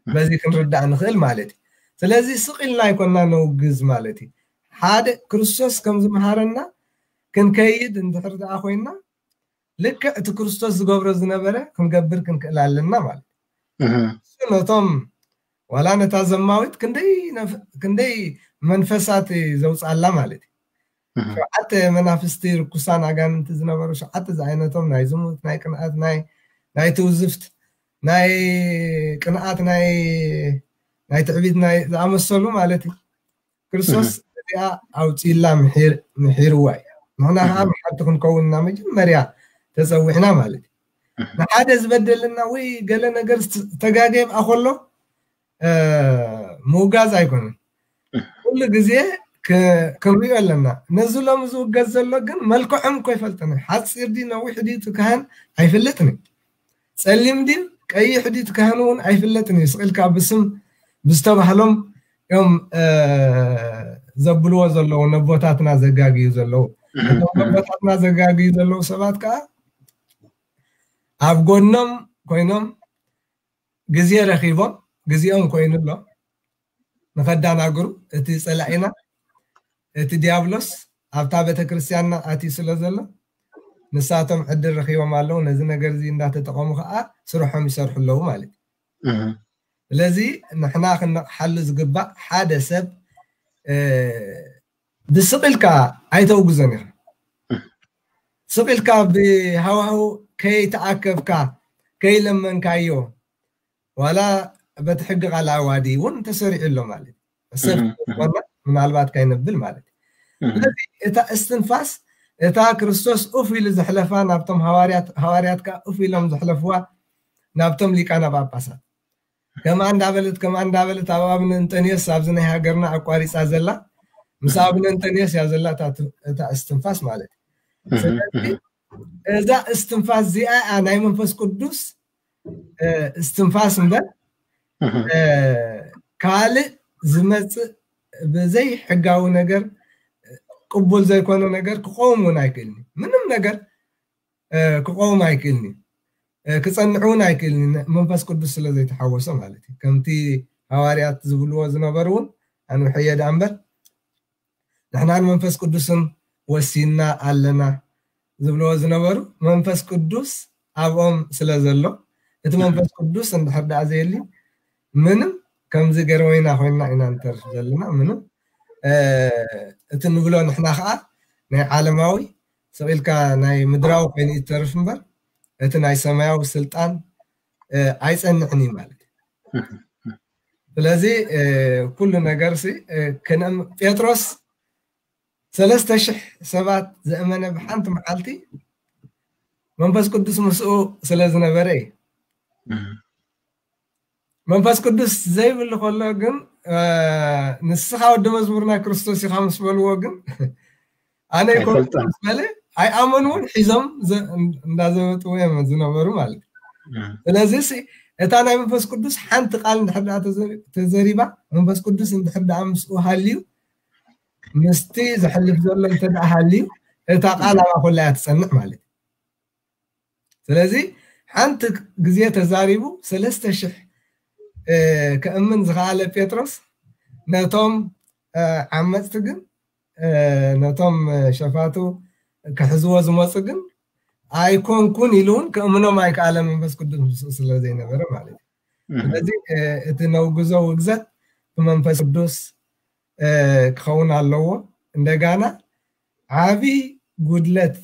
በዚ ክንርዳእ ንኽእል ማለት እዩ። ስለዚ ስቕ ኢልና ኣይኮና ነውግዝ ማለት እዩ። ሓደ ክርስቶስ ከም ዝመሃረና ክንከይድ እንድሕር ደኣ ኮይና፣ ልክዕ እቲ ክርስቶስ ዝገብሮ ዝነበረ ክንገብር ክንክእል ኣለና ማለት እዩ። እሱ ነቶም ዋላ ነታ ዘማዊት ክንደይ ነፍ-፣ ክንደይ መንፈሳት ዘውፅኣላ ማለት እዩ። ሸውዓተ መናፍስቲ ርኩሳን ኣጋንንቲ ዝነበሩ ሸውዓተ ዝዓይነቶም ናይ ዝሙት፣ ናይ ቅንኣት፣ ናይ፣ ናይ ትውዝፍት፣ ናይ ቅንኣት፣ ናይ፣ ናይ ትዕቢት፣ ናይ ዝኣመሰሉ ማለት እዩ። ክርስቶስ እዚኣ ኣውፂላ ምሒር-፣ ምሒርዋ እዩ። ንሕና ከዓ መሓርቲ ክንከውን እና መጀመርያ ተፀዊዕና ማለት እዩ። ንሓደ ዝበደልና ወይ ገለ ነገር ስ-፣ ተጋግየ ብኣ ከሎ፣ እ፣ ምውጋዝ ኣይኮነን። ኩሉ ግዜ ክ-፣ ክንሪኦ ኣለና። ነዚ ሎሚ ዝውገዝ ዘሎ ግን መልክዖም እኮ ይፈልጥን። ሓፂር ድዩ ነዊሕ ድዩ እቲ ካህን ኣይፍለጥን እዩ። ጸሊም ድዩ ቀይሕ ድዩ እቲ ካህን እውን ኣይፍለጥን እዩ። ስቕ ኢልካ ብስም ብዝተባህሎም እዮም፣ እ፣ ዘብልዎ ዘለዉ፣ ነቦታትና ዘጋግዩ ዘለዉ። እቶም ነቦታትና ዘጋግዩ ዘለዉ ሰባት ከዓ ኣብ ጎኖም ኮይኖም ግዜ ረኺቦም፣ ግዜኦም ኮይኑ ኣሎ ንኸዳናግሩ። እቲ ጸላኢና፣ እቲ ዲያብሎስ ኣብታ ቤተክርስትያንና ኣትዩ ስለ ዘሎ፣ ንሳቶም ዕድል ረኺቦም ኣለዉ። ነዚ ነገር እዚ እንዳተጠቐሙ ኸዓ ስርሖም ይሰርሑ ኣለዉ ማለት እዩ። እህ። ስለዚ ንሕና ክንነቕሓሉ ዝግባእ፣ ሓደ ሰብ፣ እ፣ ብስቕ ኢልካ ኣይተውግዞን ኢኻ። ስቕ ኢልካ ብሃዋህው ከይተኣከብካ፣ ከይለመንካዮ፣ ዋላ በቲ ሕጊ ቃል ኣዋዲ እውን ተሰሪዑ ኣሎ ማለት እዩ። ሰብ እህ፣ እህ። ዝኾነ ምናልባት ካይነብል ማለት እዩ። እህ። ስለዚ እታ እስትንፋስ፣ እታ ክርስቶስ ኡፍ ኢሉ ዘሕለፋ ናብቶም ሃዋርያት፣ ሃዋርያት ከኣ ኡፍ ኢሎም ዘሕለፍዋ ናብቶም ሊቃነ ጳጳሳት። ከምኣ እንዳበለት፣ ከምኣ እንዳበለት ኣብ ኣብነ እንጠንዮስ ኣብዚ ናይ ሃገርና ኣቋሪጻ ዘላ፣ ምስ ኣብነ እንጠንዮስ እያ ዘላ እታ ት-፣ እታ እስትንፋስ ማለት እዩ። እህ፣ ስለዚ እህ። እዛ እስትንፋስ እዚኣ እያ ናይ መንፈስ ቅዱስ፣ እ፣ እስትንፋስ እምበር፣ እህ። እ፣ ካልእ ዝመጽእ ብዘይ ሕጋዊ ነገር፣ ቅቡል ዘይኮነ ነገር ክቐውም እውን ኣይክእልን እዩ። ምንም ነገር፣ እ፣ ክቐውም ኣይክእልን እዩ። እ፣ ክጸንዕ እውን ኣይክእልን እዩ። መንፈስ ቅዱስ ስለ ዘይተሓወሶ ማለት እዩ። ከምቲ ሃዋርያት ዝብልዎ ዝነበሩ እውን ኣንውሐዮ ደኣ እምበር፣ ንሕና ንመንፈስ ቅዱስን ወሲንና ኣለና ዝብልዎ ዝነበሩ፣ መንፈስ ቅዱስ ኣብኦም ስለ ዘሎ፣ እቲ መንፈስ ቅዱስ እንድሕር ደኣ ዘየሊ፣ ምንም ከምዚ ገረወይና ኮይንና ኢና ንተርፍ ዘለና። ምንም፣ እ፣ እቲ ንብሎ ንሕና ኸዓ ናይ ዓለማዊ ስቕ ኢልካ ናይ ምድራዊ ኮይኑ እዩ ትተርፍ እምበር፣ እቲ ናይ ሰማያዊ ስልጣን፣ እ፣ ኣይጸንዕን እዩ ማለት እዩ። ስለዚ፣ እ፣ ኩሉ ነገር ሲ፣ እ፣ ክንእም-፣ ጴጥሮስ ሰለስተ ሽሕ ሰባት ዘእመነ ብሓንቲ መዓልቲ መንፈስ ቅዱስ ምስኡ ስለ ዝነበረ እዩ። እም። መንፈስ ቅዱስ ዘይብሉ ከሎ ግን፣ እ፣ ንስኻ ወዲ መዝሙር ናይ ክርስቶስ ኢኻ ምስ በልዎ ግን፣ ኣነ ኣይኮንኩን ኣይፈልጦን። ምስ በለ ኣይኣመንዎን፣ ሒዞም ዘ-፣ እንዳዘበጥዎ እዮም ዝነበሩ ማለት እዩ። እም። ስለዚ ሲ፣ እታ ናይ መንፈስ ቅዱስ ሓንቲ ቃል እንድሕር ደኣ ተዘ-፣ ተዘሪባ፣ መንፈስ ቅዱስ እንድሕር ደኣ ምስኡ ሃልዩ፣ ምስቲ ዘሕልፍ ዘሎ እንተ ደኣ ሃልዩ፣ እታ ቃል ኣብኣ ኮላ እያ ትጸንዕ ማለት እዩ። ስለዚ ሓንቲ ግዜ ተዛሪቡ ሰለስተ ሽሕ፣ እ፣ ከእምን ዝኸኣለ ጴጥሮስ ነቶም፣ እ፣ ዓመጽቲ ግን፣ እ፣ ነቶም፣ እ፣ ሸፋቱ ክሕዝዎ ዝመጹ ግን ኣይኮንኩን ኢሉ እውን ከእምኖም ኣይከኣለን፣ መንፈስ ቅዱስ ምስኡ ስለ ዘይነበረ ማለት እዩ። እህ። ስለዚ፣ እ፣ እቲ ነውግዞ ውግዘት ብመንፈስ ቅዱስ፣ እ፣ ክኸውን ኣለዎ። እንደጋና ዓቢ ጉድለት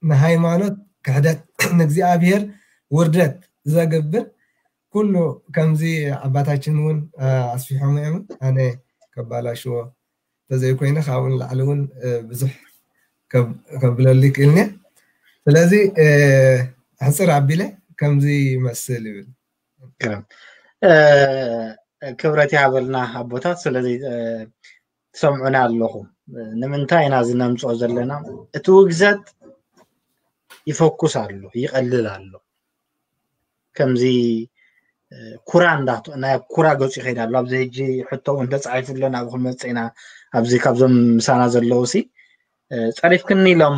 ንሃይማኖት ክሕደት፣ ንእግዚኣብሔር ውርደት ዘገብር ኩሉ ከምዚ ኣባታችን እውን ኣስፊሖም እዮም። ኣነ ከባላሽዎ ተዘይኮይነ ካብኡ ንላዕሊ እውን ብዙሕ ከብለሉ ይክእልኒ። ስለዚ ሕፅር ኣቢለ ከምዚ ይመስል ይብል። ክብረት ይሃበልና ኣቦታት። ስለዚ ትሰምዑና ኣለኹም። ንምንታይ ኢና እዚ ነምፅኦ ዘለና? እቲ ውግዘት ይፈኩስ ኣሎ፣ ይቐልል ኣሎ። ከምዚ ኩራ እንዳ ናይ ኩራ ገፁ ይኸይድ ኣሎ። ኣብዚ ሕጂ ሕቶ እውን ተፃሒፉ ኣሎ፣ ናብኡ ክንመፅእ ኢና። ኣብዚ ካብዞም ምሳና ዘለዉ ሲ ፀሪፍክኒ ኢሎም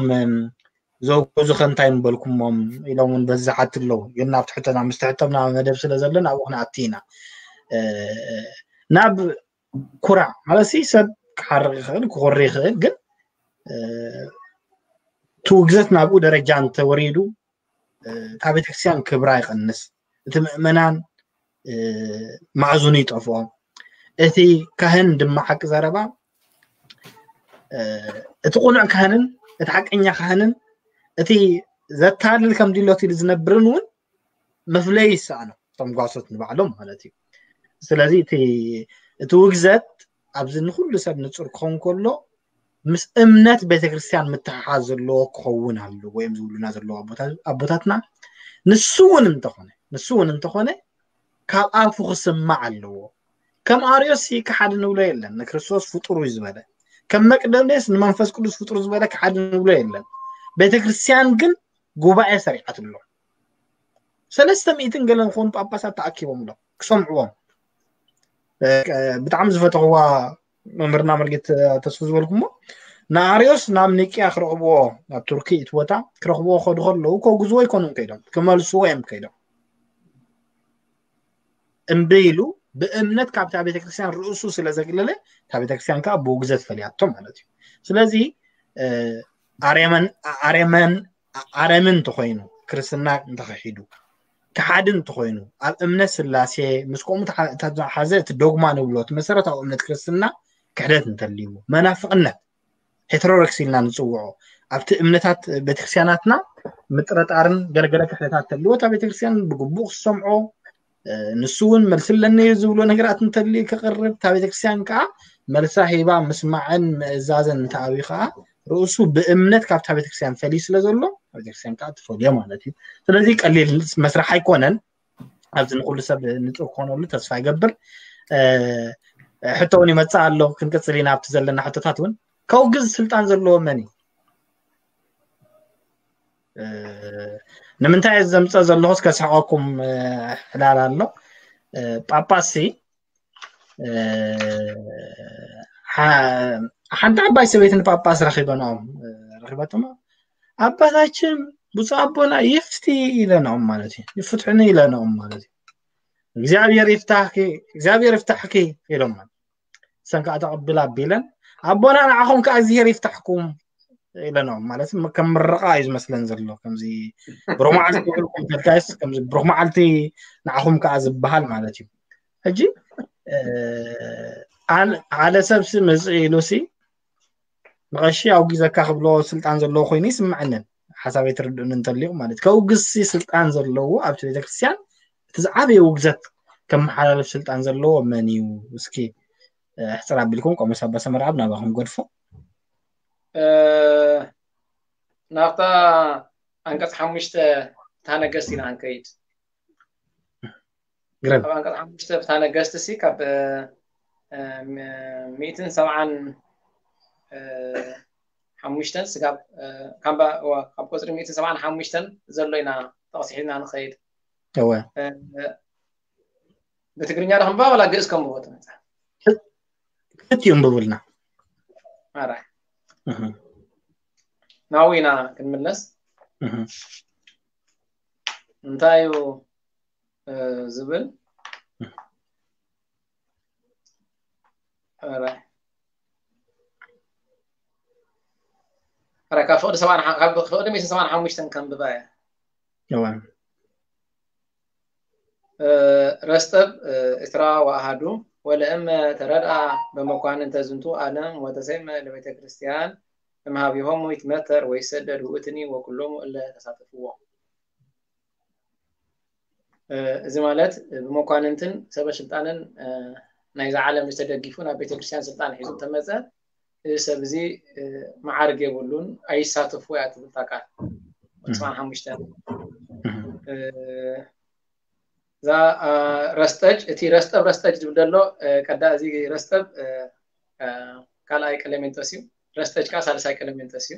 ዘውገዙ ከ እንታይ ምበልኩሞም ኢሎም እውን በዚ ዝሓቱ ኣለዉ። ግን ናብቲ ሕቶና ምስቲ ሕቶም ናብ መደብ ስለ ዘሎ ናብኡ ክንኣቱ ኢና። ናብ ኩራ ማለት ሲ ሰብ ክሓርቕ ይኽእል ክኾሪ ይኽእል፣ ግን እቲ ውግዘት ናብኡ ደረጃ እንተወሪዱ እታ ቤተክርስትያን ክብራ ይቐንስ፣ እቲ ምእመናን ማዕዙኑ ይጠፍኦ። እቲ ካህን ድማ ሓቂ ዘረባ እቲ ቁኑዕ ካህንን እቲ ሓቀኛ ካህንን እቲ ዘታልል ከም ድሎት ኢሉ ዝነብርን እውን መፍለይ ይሰኣኖ፣ እቶም ጓሶት ንባዕሎም ማለት እዩ። ስለዚ እቲ ውግዘት ኣብዚ ንኩሉ ሰብ ንፁር ክኸውን ከሎ ምስ እምነት ቤተክርስትያን ምትሓሓዝ ዘለዎ ክኸውን ኣለዎ እዮም ዝብሉና ዘለዉ ኣቦታትና። ንሱ እውን እንተኾነ ንሱ እውን እንተኾነ ካብ ኣፉ ክስማዕ ኣለዎ። ከም ኣርዮስ ከሓዲ ንብሎ የለን፣ ንክርስቶስ ፍጡር እዩ ዝበለ። ከም መቅደሌስ ንመንፈስ ቅዱስ ፍጡር ዝበለ ከሓዲ ንብሎ የለን። ቤተክርስትያን ግን ጉባኤ ሰሪዓትሎም። ሰለስተ ሚእትን ገለን ዝኾኑ ጳጳሳት ተኣኪቦም ሎም ክሰምዕዎም። ብጣዕሚ ዝፈተኽዋ መምህርና መርጌት ተስፉ ዝበልኩሞ ንኣርዮስ ናብ ኒቅያ ክረኽብዎ ናብ ቱርኪ እቲ ቦታ ክረኽብዎ ከዱ ከለዉ ከውግዝዎ ኣይኮኑን ከይዶም፣ ክመልስዎ እዮም ከይዶም። እምቢ ኢሉ ብእምነት ካብታ ቤተክርስትያን ርእሱ ስለ ዘግለለ እታ ቤተክርስትያን ከዓ ብውግዘት ፈሊያቶ ማለት እዩ። ስለዚ ኣርየመን ኣርየመን ኣረሚ እንተኮይኑ ክርስትና እንተክሒዱ ክሓዲ እንተኮይኑ ኣብ እምነት ስላሴ ምስ ከምኡ ተሓዘ እቲ ዶግማ ንብሎ እቲ መሰረታዊ እምነት ክርስትና ክሕደት እንተልይዎ መናፍቅነት ሄተሮዶክስ ኢልና ንፅውዖ ኣብቲ እምነታት ቤተክርስትያናትና ምጥረጣርን ገለገለ ክሕደታት ተልዎ እታ ቤተክርስትያን ብግቡእ ክሰምዖ ንሱ እውን መልሲ ኣለኒ ዝብሎ ነገራት እንተልዩ ክቅርብ እታ ቤተክርስትያን ከዓ መልሳ ሂባ ምስማዕን ምእዛዘን እንተኣብዩ ከዓ ርእሱ ብእምነት ካብታ ቤተክርስትያን ፈልዩ ስለ ዘሎ ቤተክርስትያን ከዓ ትፈልዮ ማለት እዩ። ስለዚ ቀሊል መስራሕ ኣይኮነን። ኣብዚ ንኩሉ ሰብ ንፁር ክኾነሉ ተስፋ ይገብር። ሕቶ እውን ይመፅእ ኣሎ፣ ክንቅፅል ኢና ኣብቲ ዘለና ሕቶታት እውን። ከውግዝ ስልጣን ዘለዎ መን እዩ? ንምንታይ ዘምፀ ዘለኹስ ከስሕቀኩም ዕላል ኣሎ። ጳጳስ ሓንቲ ዓባይ ሰበይቲ ንጳጳስ ረኺበንኦም ረኺበትሞ ኣባታችን ብፁዕ ኣቦና ይፍቲ ኢለንኦም ማለት እዩ። ይፍትሕኒ ኢለንኦም ማለት እዩ። እግዚኣብሔር ይፍታሕኪ፣ እግዚኣብሔር ይፍታሕኪ ኢሎም ማለት እሰን ከዓ ተቐብላ ኣቢለን ኣቦና ንዓኹም ከዓ እግዚኣብሔር ይፍታሕኩም ኢለንኦም ማለት ከም ምርቓ እዩ ዝመስለን ዘሎ። ከምዚ ብሩኽ መዓልቲ ክውዕልኩም ተልካይስ ከምዚ ብሩኽ መዓልቲ ንዓኹም ከዓ ዝበሃል ማለት እዩ። ሕጂ ሓደ ሰብ ሲ መፅእ ኢሉ ሲ ንቐሺ ኣውጊዘካ ክብሎ ስልጣን ዘለዎ ኮይኑ ይስምዐንን ሓሳብ ኣይትርድኡን እንተሊኹም ማለት ከውግዝሲ ስልጣን ዘለዎ ኣብቲ ቤተክርስትያን እቲ ዝዓበየ ውግዘት ከመሓላልፍ ስልጣን ዘለዎ መን እዩ? እስኪ ሕፅር ኣቢልኩም ቆሞስ ኣባ ሰመርኣብ ናባኹም ገድፎ። ናብታ ኣንቀፅ ሓሙሽተ እታ ነገስት ኢና ክንከይድ። ግረም ኣብ ኣንቀፅ ሓሙሽተ እታ ነገስት ሲ ካብ ሚእትን ሰብዓን ሓሙሽተን ስጋብ ካብ ቁፅሪ ሚእትን ሰብዓን ሓሙሽተን ዘሎ ኢና ተቕሲሒና ንኸይድ። እወ ብትግርኛ ዶ ክንባ ዋላ ግእዝ ከም ብቦት መፅሓፍ ክልቲኡ እንብብልና ኣራይ ናዊና ክንምለስ እንታይ እዩ ዝብል ኣራይ ኣራይ ካብ ፍቕዲ ሰብዓን ካብ ፍቕዲ ሚእትን ሰብዓን ሓሙሽተን ከንብባ እየ እወ ረስጠብ እስራ ወአሃዱ ወለእመ ተረድአ በመኳንንተ ዝንቱ ዓለም ወተሰይመ ለቤተ ክርስቲያን እምሃቢሆሙ ይትመተር ወይሰደድ ውእትኒ ወኩሎሙ እለ ተሳተፍዎ። እዚ ማለት ብመኳንንትን ሰበ ስልጣንን ናይዛ ዓለም ዝተደጊፉ ናብ ቤተክርስትያን ስልጣን ሒዙ ተመፀ። እዚ ሰብ እዚ መዓርግ የብሉን፣ ኣይሳተፉ እያ ትብል እታ ቃል። ስማን ሓሙሽተ እዛ ረስጠጅ፣ እቲ ረስጠብ ረስጠጅ ዝብል ዘሎ ቀዳ፣ እዚ ረስጠብ ካልኣይ ቀለሜንጦስ እዩ። ረስጠጅ ከዓ ሳልሳይ ቀለሜንጦስ እዩ።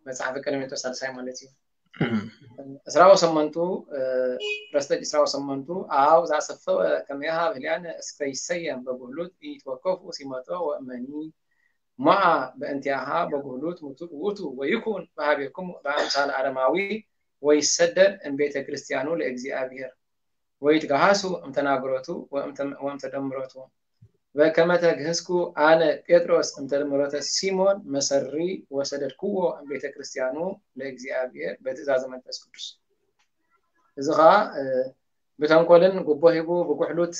መጽሓፈ ቀለሜንጦስ ሳልሳይ ማለት እዩ። እስራው ሰመንቱ ረስጠጅ እስራው ሰመንቱ ኣብ ዛሰፈወ ከመያሃብ ህልያን እስከ ይሰየም በጉህሉት ኢትወከፉ ሲመጦ ወእመኒ ሞኣ በእንቲኣሃ በጉህሉት ውእቱ ወይኩን በሃቤኩም በአምሳል አረማዊ ወይሰደድ እምቤተ ክርስቲያኑ ለእግዚአብሔር ወይትገሃሱ እምተናግሮቱ ወእምተደምሮቱ በከመ ተግህስኩ አነ ጴጥሮስ እምተደምሮተ ሲሞን መሰሪ ወሰደድክዎ እምቤተ ክርስቲያኑ ለእግዚአብሔር በትእዛዘ መንፈስ ቅዱስ። እዚ ከዓ ብተንኮልን ጉቦ ሂቡ ብጉሕሉት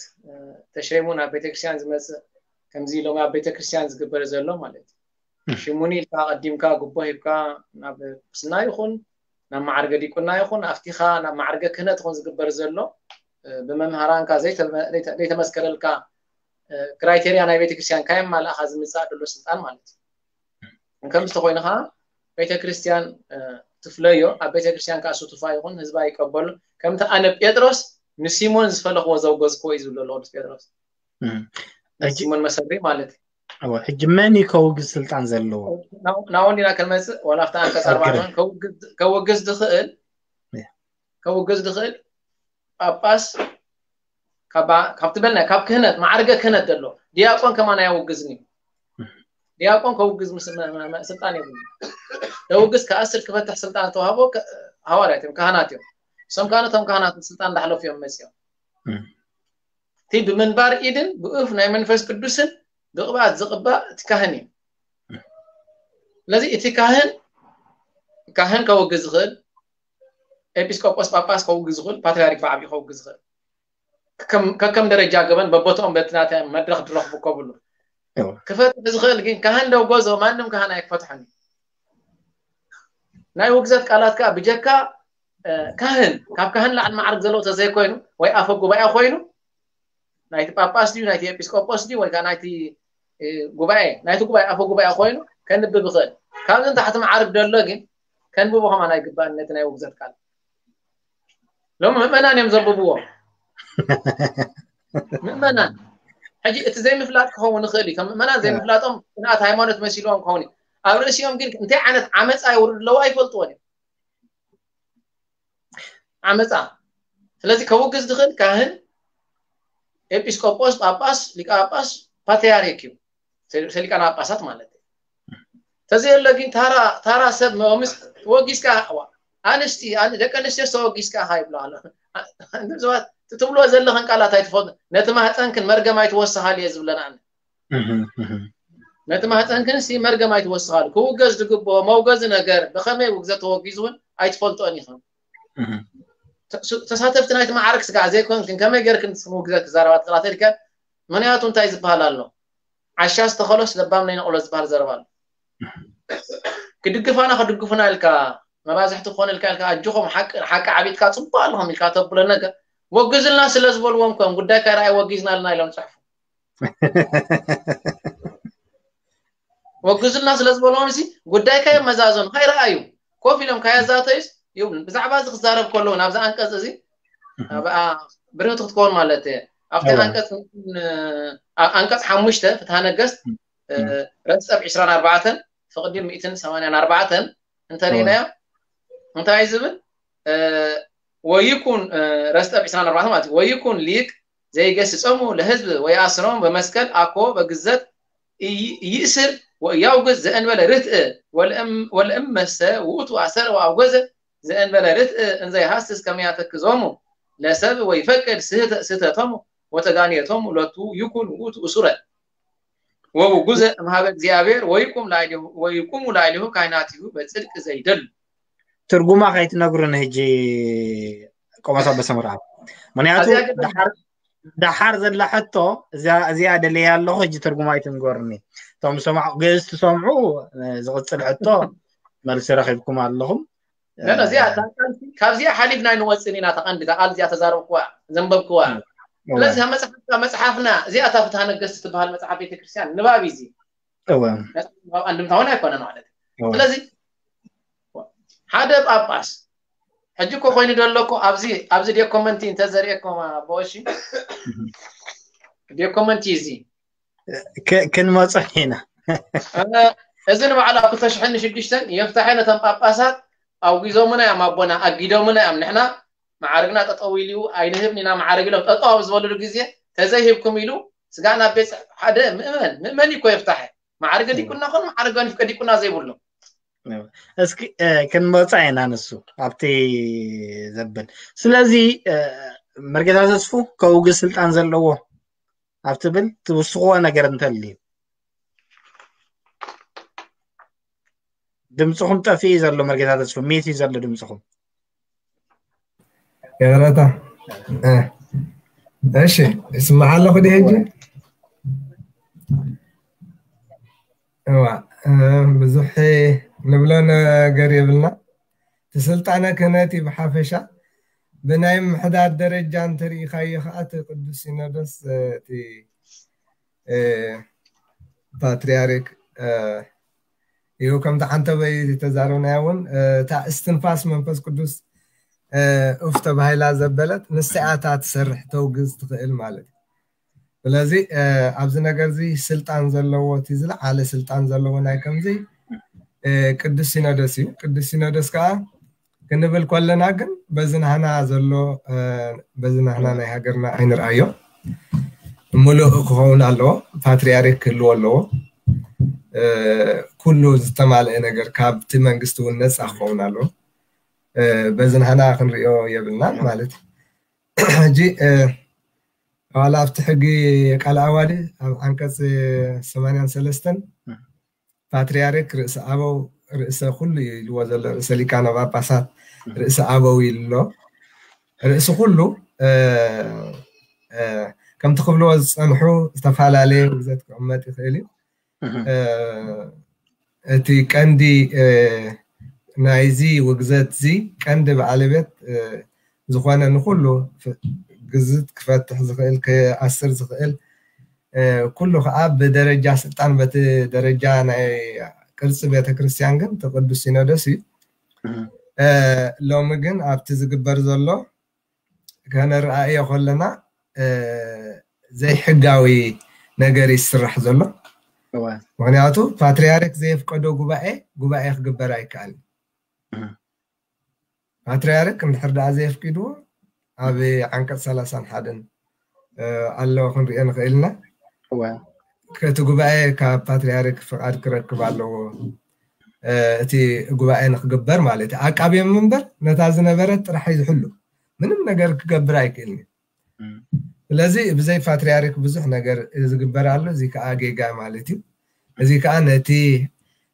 ተሸይሙ ናብ ቤተክርስትያን ዝመፅእ፣ ከምዚ ሎም ኣብ ቤተክርስትያን ዝግበር ዘሎ ማለት እዩ። ሽሙኒ ኢልካ ቀዲምካ ጉቦ ሂብካ ናብ ቁስና ይኹን ናብ ማዕርገ ዲቁና ይኹን ኣብቲኻ ናብ ማዕርገ ክህነት ይኹን ዝግበር ዘሎ ብመምሃራንካ ዘይተመስከረልካ ክራይቴሪያ ናይ ቤተክርስትያን ካየማላእኻ ዝምፃእ ዘሎ ስልጣን ማለት እዩ። ከምዚ ተኮይኑ ከዓ ቤተክርስትያን ትፍለዮ፣ ኣብ ቤተክርስትያን ከዓ ስቱፋ ይኹን ህዝባ ይቀበሉ። ከምቲ ኣነ ጴጥሮስ ንሲሞን ዝፈለኽዎ ዘውገዝክዎ እዩ ዝብሎ ኣሎ ቅዱስ ጴጥሮስ። ሲሞን መሰሪ ማለት እዩ። ሕጂ መን እዩ ከውግዝ ስልጣን ዘለዎ? ናውን ኢና ክንመፅእ ዋላ ኣብቲ ኣንቀፅ ኣርባዕተ ከውግዝ ዝኽእል ከውግዝ ዝኽእል ጳጳስ ካብ ትበልና ካብ ክህነት ማዕርገ ክህነት ዘሎ ዲያቆን ከማን ኣያውግዝን እዩ። ዲያቆን ከውግዝ ስልጣን የብሉ። ደውግዝ ከኣስር ክፈትሕ ስልጣን ተዋህቦ ሃዋርያት እዮም፣ ካህናት እዮም። እሶም ካህናት እቶም ካህናት ስልጣን እንዳሕለፉ እዮም መፅኦም። እቲ ብምንባር ኢድን ብእፍ ናይ መንፈስ ቅዱስን ብቅብኣት ዝቅባእ እቲ ካህን እዩ። ስለዚ እቲ ካህን ካህን ከውግዝ ዝኽእል ኤጲስቆጶስ ጳጳስ ከውግዝ ዝኽእል ፓትሪያርክ ብዓብዩ ከውግዝ ዝኽእል ከከም ደረጃ ገበን በቦትኦም በቲ ናተ መድረክ ዝረኽቡ ከብሉ ክፈትሕ ዝኽእል ግን ካህን ደው ጎዞ ማንም ካህን ኣይክፈትሐን እዩ። ናይ ውግዘት ቃላት ከዓ ብጀካ ካህን ካብ ካህን ላዕሊ ማዕርግ ዘለዎ ተዘይኮይኑ ወይ ኣፈ ጉባኤ ኮይኑ ናይቲ ጳጳስ ድዩ ናይቲ ኤጲስቆጶስ ድዩ ወይ ከዓ ናይቲ ጉባኤ ናይቲ ጉባኤ ኣፈ ጉባኤ ኮይኑ ከንብብ ይኽእል። ካብዚ ንታሕቲ ማዕርግ ደሎ ግን ከንብቦ ከማን ኣይግባእን ነቲ ናይ ውግዘት ቃል። ሎም ምእመናን እዮም ዘንብብዎ። ምእመናን ሕጂ እቲ ዘይምፍላጥ ክኸውን ይኽእል እዩ። ከም ምእመናን ዘይምፍላጦም ቅንኣት ሃይማኖት መሲልዎም ክኸውን እዩ። ኣብ ርእሲኦም ግን እንታይ ዓይነት ዓመፃ ይውርድ ኣለዎ ኣይፈልጥዎን እዮም። ዓመፃ ስለዚ ከውግዝ ዝኽእል ካህን፣ ኤጲስቆጶስ፣ ጳጳስ፣ ሊቀ ጳጳስ፣ ፓትሪያርክ እዩ። ሊቃነ ጳጳሳት ማለት እዩ። ተዘየለ ግን ታራ ሰብ መምስ ወጊስካ ኣንስቲ ደቂ ኣንስትዮ ተወጊስካ ይብላ ኣሎ። ሰባት ትብሎ ዘለኽን ቃላት ኣይትፈልጡ። ነቲ ማህፀንክን መርገም ኣይትወስኻል እየ ዝብለና። ነቲ ማህፀንክን ሲ መርገም ኣይትወስኻል። ክውገዝ ዝግብኦ መውገዚ ነገር ብኸመይ ውግዘት ተወጊዙ እውን ኣይትፈልጦን ኢኻ። ተሳተፍቲ ናይቲ ማዕረግ ስጋዕ ዘይኮንክን ከመይ ገርክን ውግዘት ክዛረባ ትኽእላ ተልከ? ምክንያቱ እንታይ ዝበሃል ኣሎ? ዓሻ ዝተኸሎስ ለባም ነይነቕሎ ዝበሃል ዘረባ ኣሎ። ክድግፋና ክድግፉና ኢልካ መባዝሕቲ ክኾነ ኢልካ ኢልካ ኣጆኹም ሓቂ ሓቂ ዓቢጥካ ጽቡቕ ኣለኹም ኢልካ ተብሎ ነገር ወግዝልና ስለ ዝበልዎም ከም ጉዳይካ ርኣይ ወጊዝናልና ኢሎም ጽሕፉ። ወግዝልና ስለ ዝበልዎም ሲ ጉዳይካ የመዛዘኑ ካይረኣዩ ኮፍ ኢሎም ካየዛተዩስ ይብሉን። ብዛዕባ እዚ ክዛረብ ከለዉ ናብዚ ኣንቀጽ እዚ ብርህቲ ክትከውን ማለት እየ። ኣብቲ ኣንቀጽ ኣንቀጽ ሓሙሽተ ፍትሃ ነገስት ረጸብ ዕስራን ኣርባዕተን ፍቕዲ ሚእትን ሰማንያን ኣርባዕተን እንተሪእናዮ እንታይ ዝብል ወይኩን ረስጠብ ዕስራን ኣርባዕተን ማለት ወይኩን ሊቅ ዘይገስጾሙ ለህዝብ ወይኣስሮም በመስቀል ኣኮ በግዘት ይእስር ወእያውግዝ ዘእንበለ ርትእ ወለእመሰ ውእቱ ኣሰረ ወኣውገዘ ዘእንበለ ርትእ እንዘይሃስስ ከመያተክዞሙ ለሰብ ወይፈቅድ ስህተቶሙ ወተጋንየቶሙ ሎቱ ይኩን ውእቱ እሱረ ወውጉዘ እምሃበ እግዚኣብሔር ወይቁሙ ላዕሌሁ ካይናቲሁ በጽድቅ ዘይደሉ። ትርጉማ ከይትነግሩን ህጂ ቆሞስ ኣበ ሰምርኣብ ምክንያቱ ደሓር ዘላ ሕቶ እዚኣ ደለያ ኣለኹ። ህጂ ትርጉማ ኣይትንገሩኒ። እቶም ሰማዕ ግእዝ ትሰምዑ ዝቕፅል ሕቶ መልሲ ረኺብኩም ኣለኹም። እዚኣ እታ ቃልሲ ካብዚኣ ሓሊፍና ኣይንወፅን ኢና። ተቐንዲ እዛ ቃል እዚኣ ተዛረብክዋ፣ ዘንበብክዋ። ስለዚ መፅሓፍካ፣ መፅሓፍና እዚኣ እታ ፍትሃ ነገስት ትበሃል መፅሓፍ ቤተክርስትያን ንባብ እዩ እዚ። መፅሓፍ ንባብ ኣንድምታ እውን ኣይኮነን ማለት እዩ። ስለዚ ሓደ ጳጳስ ሕጂ እኮ ኮይኑ ዘሎ እኮ ኣብዚ፣ ኣብዚ ዶኮመንቲ እንተዘርእየኩም ኣቦ፣ እሺ፣ ዶኮመንቲ እዚ ክንመፅእ ኢና። እዚ ንባዕሉ ኣብ ክልተ ሽሕን ሽዱሽተን የፍታሐ ነቶም ጳጳሳት ኣውጊዞምና እዮም ኣቦና፣ ኣጊዶምና እዮም። ንሕና መዓርግና ጠጠው ኢሉ እዩ፣ ኣይንህብን ኢና መዓርግ ኢሎም ጠጠው ኣብ ዝበልሉ ግዜ፣ ተዘይሂብኩም ኢሉ ስጋና ኣብ ቤት ጽሕፈት ሓደ ምእመን፣ ምእመን እዩ እኮ የፍታሐ። መዓርገ ዲቁና ኮን መዓርገ ንፍቀ ዲቁና ዘይብሎም። እስኪ ክንመፃ ኢና ንሱ ኣብቲ ዘብል። ስለዚ መርጌታ ተስፉ ከውግዝ ስልጣን ዘለዎ ኣብ ትብል ትውስኽዎ ነገር እንተልዩ። ድምፅኹም ጠፊኡ ዘሎ መርጌታ ተስፉ፣ ሚት እዩ ዘሎ ድምፅኹም። ይቕረታ። እሺ፣ ይስማዕ ኣለኹ ድየ ሕጂ? እዋ፣ ብዙሕ ንብሎ ነገር የብልና። እቲ ስልጣነ ክህነት እዩ ብሓፈሻ። ብናይ ምሕዳር ደረጃ እንተሪኢኻዮ ከዓ እቲ ቅዱስ ሲኖዶስ እቲ ፓትሪያርክ እዩ። ከምቲ ሓንተበይ ዝተዛረብናዮ እውን እታ እስትንፋስ መንፈስ ቅዱስ ኡፍ ተባሂላ ዘበለት ንሳ እያ እታ ትሰርሕ ተውግዝ ትኽእል ማለት እዩ። ስለዚ ኣብዚ ነገር እዚ ስልጣን ዘለዎ፣ እቲ ዝለዓለ ስልጣን ዘለዎ ናይ ከምዚ ቅዱስ ሲኖዶስ እዩ። ቅዱስ ሲኖዶስ ከዓ ክንብል ከለና ግን በዚ ናህና ዘሎ፣ በዚ ናህና ናይ ሃገርና ኣይንርኣዮ። ምሉእ ክኸውን ኣለዎ፣ ፓትሪያርክ ክህልዎ ኣለዎ። ኩሉ ዝተማልአ ነገር ካብቲ መንግስቲ እውን ነፃ ክኸውን ኣለዎ። በዚ ናህና ክንሪኦ የብልናን ማለት እዩ። ሕጂ ዋላ ኣብቲ ሕጊ ቃል ኣዋዲ ኣብ ዓንቀፅ ሰማንያን ሰለስተን ፓትሪያርክ ርእሰ ኣበው፣ ርእሰ ኩሉ እዩ ኢልዎ ዘሎ፣ ርእሰ ሊቃነ ጳጳሳት፣ ርእሰ ኣበው ኢሉ ኣሎ። ርእሲ ኩሉ ከምቲ ክብልዎ ዝፀንሑ ዝተፈላለየ ውግዘት ክቕመጥ ይኽእል እዩ። እቲ ቀንዲ ናይዚ ውግዘት እዚ ቀንዲ ባለቤት ዝኾነ ንኩሉ ግዝት ክፈትሕ ዝኽእል ክኣስር ዝኽእል ኩሉ ከዓ ብደረጃ ስልጣን በቲ ደረጃ ናይ ቅርፂ ቤተክርስትያን ግን እቲ ቅዱስ ሲኖዶስ እዩ። ሎሚ ግን ኣብቲ ዝግበር ዘሎ ከነረኣእዮ ከለና ዘይሕጋዊ ነገር ይስራሕ ዘሎ። ምክንያቱ ፓትሪያርክ ዘየፍቀዶ ጉባኤ ጉባኤ ክግበር ኣይከኣልን። ፓትሪያርክ እንድሕር ደኣ ዘየፍቂድዎ ኣብ ዓንቀፅ ሰላሳን ሓደን ኣሎ ክንሪኦ ንኽእል ኢና። እቲ ጉባኤ ካብ ፓትሪያርክ ፍቓድ ክረክብ ኣለዎ። እቲ ጉባኤ ንክግበር ማለት እዩ። ኣቃቢ መንበር ነታ ዝነበረት ጥራሕ እዩ ዝሕሉ። ምንም ነገር ክገብር ኣይክእልን እዩ። ስለዚ ብዘይ ፓትሪያርክ ብዙሕ ነገር ዝግበር ኣሎ። እዚ ከዓ ጌጋ ማለት እዩ። እዚ ከዓ ነቲ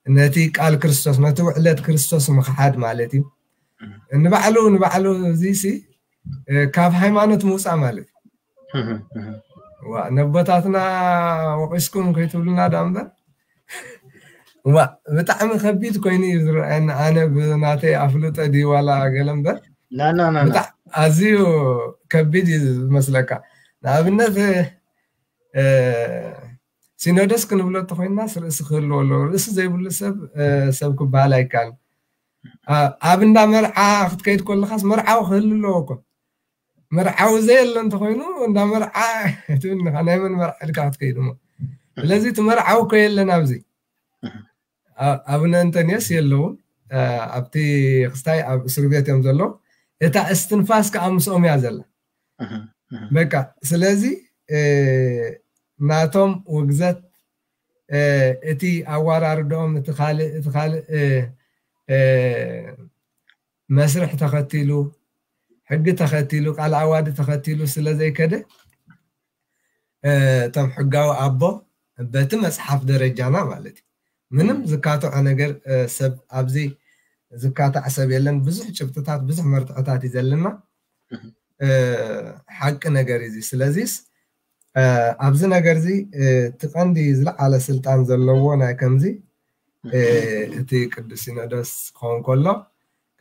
ነቲ ቃል ክርስቶስ፣ ነቲ ውዕለት ክርስቶስ ምኽሓድ ማለት እዩ። ንባዕሉ ንባዕሉ እዚ ሲ ካብ ሃይማኖት ምውፃእ ማለት እዩ። ነቦታትና ወቂስኩም ከይትብሉና ዳ እምበር ዋ ብጣዕሚ ከቢድ ኮይኑ እዩ ዝረኣየኒ። ኣነ ብናተይ ኣፍልጦ ድዩ ዋላ ገለ እምበር ኣዝዩ ከቢድ እዩ ዝመስለካ። ንኣብነት ሲኖዶስ ክንብሎ እንተኮይንና ርእሲ ክህልዎ ኣለዎ። ርእሲ ዘይብሉ ሰብ ሰብ ክበሃል ኣይከኣልን። ኣብ እንዳ መርዓ ክትከይድ ከለካስ መርዓዊ ክህሉ ኣለዎ እኮ። መርዓዊ ዘየለ እንተኮይኑ እንዳ መርዓ ትብል ኢኻ፣ ናይ መን መርዓ ኢልካ ክትከይድ እሞ። ስለዚ እቲ መርዓዊ እኮ የለን ኣብዚ። ኣቡነ እንጠንዮስ የለውን። ኣብቲ ክስታይ ኣብ እስር ቤት እዮም ዘለዉ። እታ እስትንፋስ ከዓ ምስኦም እያ ዘላ። በቃ ስለዚ ናቶም ውግዘት እቲ ኣዋራርዶኦም እቲ ካልእ እቲ ካልእ መስርሕ ተኸቲሉ ሕጊ ተኸቲሉ ቃል ኣዋዲ ተኸቲሉ ስለ ዘይከደ እቶም ሕጋዊ ኣቦ በቲ መፅሓፍ ደረጃና ማለት እዩ ምንም ዝካትዖ ነገር ሰብ ኣብዚ ዝካታዕ ሰብ የለን። ብዙሕ ጭብጥታት ብዙሕ መርትዖታት እዩ ዘለና። ሓቂ ነገር እዩ። ስለዚስ ኣብዚ ነገር እዚ እቲ ቀንዲ ዝለዓለ ስልጣን ዘለዎ ናይ ከምዚ እቲ ቅዱስ ሲኖዶስ ክኸውን ከሎ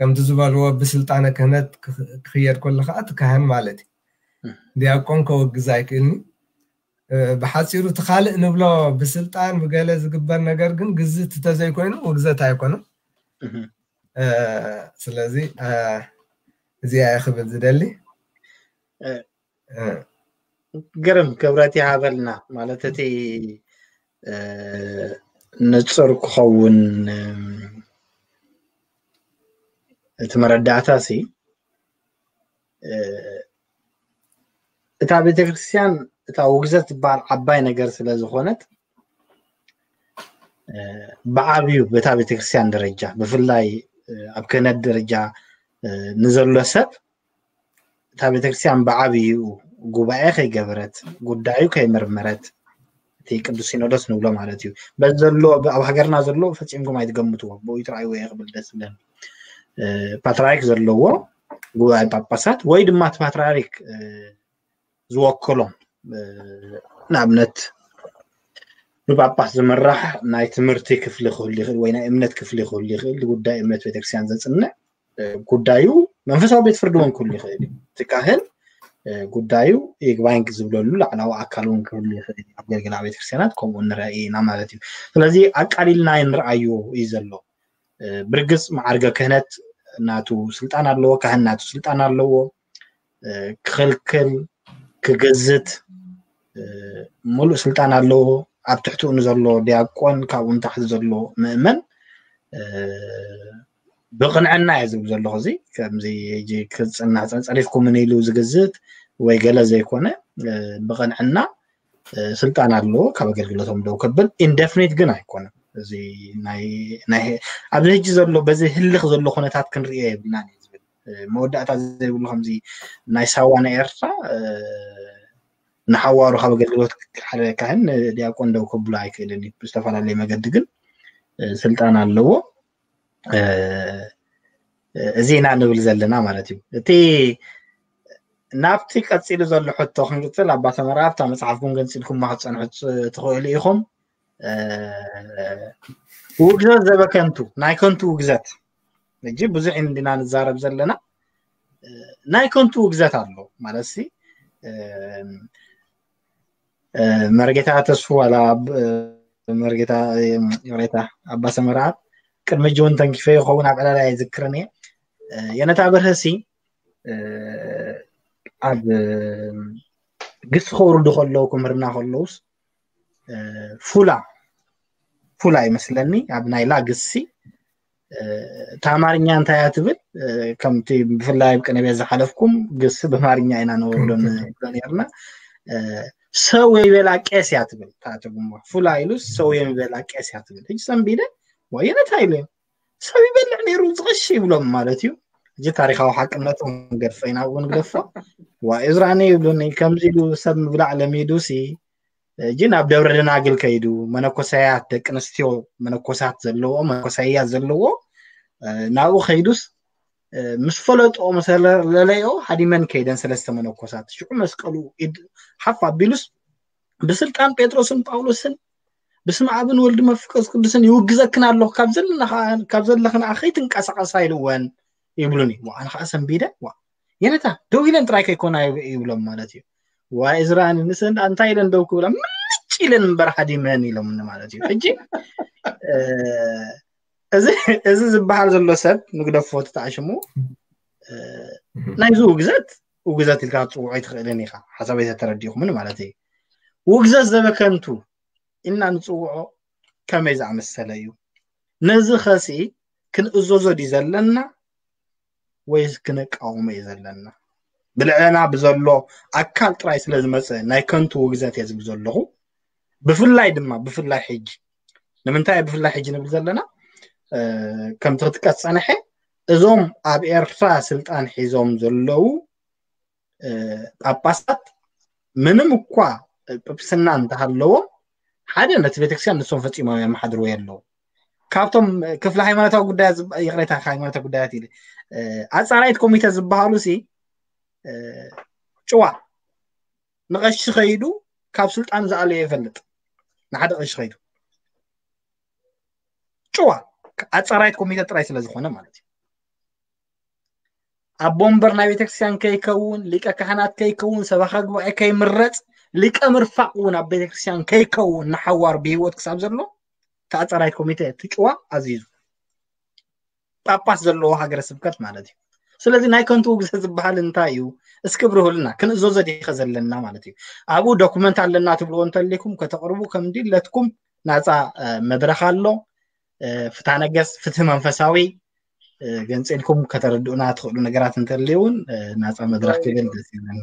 ከምቲ ዝበልዎ ብስልጣነ ክህነት ክኽ- ክኽየድ ከሎ ከዓ እቲ ካህን ማለት እዩ። ዲያቆን ከወግዝ ኣይክእልኒ። እ፣ ብሓፂሩ እቲ ካልእ ንብሎ ብስልጣን ብገለ ዝግበር ነገር ግን ግዝት ተዘይኮይኑ ውግዘት ኣይኮነን። እ፣ ስለዚ እ፣ እዚኣ እየ ክብል ዝደሊ። እ፣ እ፣ ግርም ክብረት ይሃበልና። ማለት እቲ እ፣ ንጹር ክኸውን፣ እም፣ እቲ መረዳእታ ሲ እ፣ እታ ቤተክርስትያን እታ ውግዘት ዝበሃል ዓባይ ነገር ስለ ዝኾነት፣ እ፣ ብዓብዩ በታ ቤተክርስትያን ደረጃ፣ ብፍላይ እ፣ ኣብ ክህነት ደረጃ እ፣ ንዘሎ ሰብ እታ ቤተክርስትያን ብዓብዩ ጉባኤ ከይገበረት፣ ጉዳዩ ከይመርመረት፣ እቲ ቅዱስ ሲኖዶስ ንብሎ ማለት እዩ። በዚ ዘሎ ኣብ ሃገርና ዘሎ ፈጺምኩም ኣይትገምትዎ፣ ብኡ ይትረኣይዎ እየ ክብል ደስ ዝብለኒ። እ፣ ፓትርያርክ ዘለዎ ጉባኤ ጳጳሳት ወይ ድማ እቲ ፓትርያርክ እ፣ ዝወክሎም እ፣ ንኣብነት ብጳጳስ ዝምራሕ ናይ ትምህርቲ ክፍሊ ክህሉ ይኽእል ወይ ናይ እምነት ክፍሊ ክህሉ ይኽእል። ጉዳይ እምነት ቤተክርስትያን ዘጽንዕ እ፣ ጉዳዩ መንፈሳዊ ቤት ፍርዲ እውን ክህሉ ይኽእል እዩ። እቲ ካህን እ፣ ጉዳዩ ይግባኝ ዝብለሉ ላዕላዊ ኣካል እውን ክህሉ ይኽእል እዩ። ኣብ ገልገላ ቤተክርስትያናት ከምኡ ንርኢ ኢና ማለት እዩ። ስለዚ ኣቃሊልና ንርኣዮ እዩ ዘሎ። እ፣ ብርግጽ መዓርገ ክህነት ናቱ ስልጣን ኣለዎ፣ ካህን ናቱ ስልጣን ኣለዎ። እ፣ ክኽልክል፣ ክግዝት እ፣ ሙሉእ ስልጣን ኣለዎ። ኣብ ትሕትኡ ንዘሎ ዲያቆን ካብኡ ንታሕቲ ዘሎ ምእመን እ፣ ብቕንዕና እየ ዝብል ዘለኹ። እዚ ከምዚ ሕጂ ክጽናዕ ጸ- ጸሪፍኩምን ኢሉ ዝግዝት ወይ ገለ ዘይኮነ እ፣ ብቕንዕና እ፣ ስልጣን ኣለዎ ካብ ኣገልግሎቶም ደው ከብል። ኢንደፍኒት ግን ኣይኮነን። እዚ ናይ ናይ ኣብዚ ሕጂ ዘሎ በዚ ህልኽ ዘሎ ኩነታት ክንርእዮ የብልናን እየ ዝብል። እ፣ መወዳእታ ዘይብሉ ከምዚ ናይ ሳዋ ናይ ኤርትራ እ፣ ንሓዋሩ ካብ ኣገልግሎት ሓደ ካህን ንዲያቆን ደው ከብሎ ኣይክእልን እዩ። ብዝተፈላለየ መገዲ ግን እ፣ ስልጣን ኣለዎ። እ፣ እዚ ኢና ንብል ዘለና ማለት እዩ። እቲ ናብቲ ቀፂሉ ዘሎ ሕቶ ክንቅፅል፣ ኣባ ሰመራ ኣብታ መፅሓፍኩም ገንፂልኩማ ክትፀንሑ ፅ- ትኽእሉ ኢኹም። እ፣ ውግዘት ዘበከንቱ፣ ናይ ከንቱ ውግዘት። ሕጂ ብዙሕ ኢና እንዲና ንዛረብ ዘለና። እ፣ ናይ ከንቱ ውግዘት ኣሎ ማለት ሲ እ፣ እ፣ መርጌታ ተስፉ ዋላ ኣብ- እ፣ መርጌታ እ፣ ይቕሬታ ኣባ ሰመራ ቅድሚ ሕጂ እውን ተንኪፈ ይኸውን ኣብ ዕላል ኣይዝክርን እየ። እ፣ የነታ በርሀሲ እ፣ ኣብ እ፣ ግሲ ከውርዱ ከለዉ ክምህርና ከለውስ እ፣ ፉላ ፉላ ይመስለኒ ኣብ ናይ ላ ግሲ እ፣ እታ ኣማርኛ እንታይ እያ ትብል እ፣ ከምቲ ብፍላይ ኣብ ቅነ ቤት ዝሓለፍኩም ግሲ ብኣማርኛ ኢና ነወርዶ ንብሎ ነርና እ፣ ሰው የሚበላ ቄስ እያ ትብል እታ ትርጉማ ፉላ ኢሉስ ሰው የሚበላ ቄስ እያ ትብል ሕጂ ሰንቢደ ወየነታ ኢሉ ሰብ ይበልዕ ነይሩ ዝቐሺ ይብሎም ማለት እዩ። እዚ ታሪካዊ ሓቅነቱ ንገድፎ ኢና እውን ንግደፎ። ዋ እዝራኒ ይብሉኒ ከምዚ ኢሉ ሰብ ምብላዕ ለሚዱ ሲ እጂ ናብ ደብረ ደናግል ከይዱ መነኮሳያት ደቂ ኣንስትዮ መነኮሳት ዘለዎ መነኮሳያት ዘለዎ እ፣ ናብኡ ከይዱስ እ፣ ምስ ፈለጦ መሰለለዮ ሃዲመን ከይደን ሰለስተ መነኮሳት ሽዑ መስቀሉ ኢድ ሓፍ ኣቢሉስ ብስልጣን ጴጥሮስን ጳውሎስን ብስም ኣብን ወልድ መንፈስ ቅዱስን ይውግዘክን ኣለኹ ካብ ዘለና ከዓ- ካብ ዘለኽን ከይትንቀሳቐሳ ኢልወን ይብሉኒ። ዋ ኣነ ከዓ ሰንቢደ ዋ የነታ ደው ኢለን ጥራይ ከይኮና ይብ- ይብሎም ማለት እዩ። ዋ እዝራን ንስን እንታይ ኢለን ደው ክብላ ምጭ ኢለን እምበር ሃዲመን ኢሎምኒ ማለት እዩ። ሕጂ እ፣ እዚ እዚ ዝበሃል ዘሎ ሰብ ንግደፎ ተጣዕሽሙ እ፣ ናይዚ ውግዘት ውግዘት ኢልካ ክትፅውዖ ኣይትኽእልን ኢኻ። ሓሳበይ ተተረዲእኹምን ማለት እዩ። ውግዘት ዘበከንቱ ኢልና ንፅውዖ ከመይ ዝኣመሰለ እዩ? ነዚ ኸሲ ክንእዘዞ ድዩ ዘለና ወይስ ክንቃወሞ እዩ ዘለና? ብልዕለና ብዘሎ ኣካል ጥራይ ስለ ዝመፀ ናይ ከንቱ ውግዘት እየ ዝብል ዘለኹ። ብፍላይ ድማ ብፍላይ ሕጂ ንምንታይ እየ ብፍላይ ሕጂ ንብል ዘለና እ፣ ከምቲ ክትጥቀስ ፀንሐ እዞም ኣብ ኤርትራ ስልጣን ሒዞም ዘለዉ እ፣ ጳጳሳት ምንም እኳ እ፣ ጵጵስና እንተሃለዎም ሓደ ነቲ ቤተክርስትያን ንሶም ፈፂሞም የመሓድርዎ የለዉ። ካብቶም እ፣ ክፍሊ ሃይማኖታዊ ጉዳያት ዝብ- ይቕሬታ ሃይማኖታዊ ጉዳያት ኢለ እ፣ ኣፃራይት ኮሚተ ዝበሃሉ ሲ እ፣ ጭዋ ንቐሺ ከይዱ ካብ ስልጣን ዝኣለዮ ይፈልጥ ንሓደ ቀሺ ከይዱ ጭዋ ኣፃራይት ኮሚተ ጥራይ ስለ ዝኾነ ማለት እዩ። ኣቦ ወንበር ናይ ቤተክርስትያን ከይከውን፣ ሊቀ ካህናት ከይከውን፣ ሰበኻ ጉባኤ ከይምረጽ፣ ሊቀ ምርፋቕ እውን ኣብ ቤተክርስትያን ከይከውን ንሓዋር ብህይወት ክሳብ ዘሎ ተኣጻራይ ኮሚቴ እቲ ጭዋ ኣዚዙ። ጳጳስ ዘለዎ ሃገረ ስብከት ማለት እዩ። ስለዚ ናይ ከንቱ ውግዘ ዝበሃል እንታይ እዩ? እስኪ ብርሁልና፣ ክንእዘዞ ዲኸ ዘለና ማለት እዩ። ኣብኡ ዶኩመንት ኣለና ትብልዎ እንተሊኩም ከተቕርቡ ከም ድለትኩም ናፃ መድረክ ኣሎ። ፍትሐ ነገስ፣ ፍትህ መንፈሳዊ ገንፂልኩም ከተረድኡና ትኽእሉ ነገራት እንተልዩ እውን ናፃ መድረክ ክብል ደስ ይብለኒ።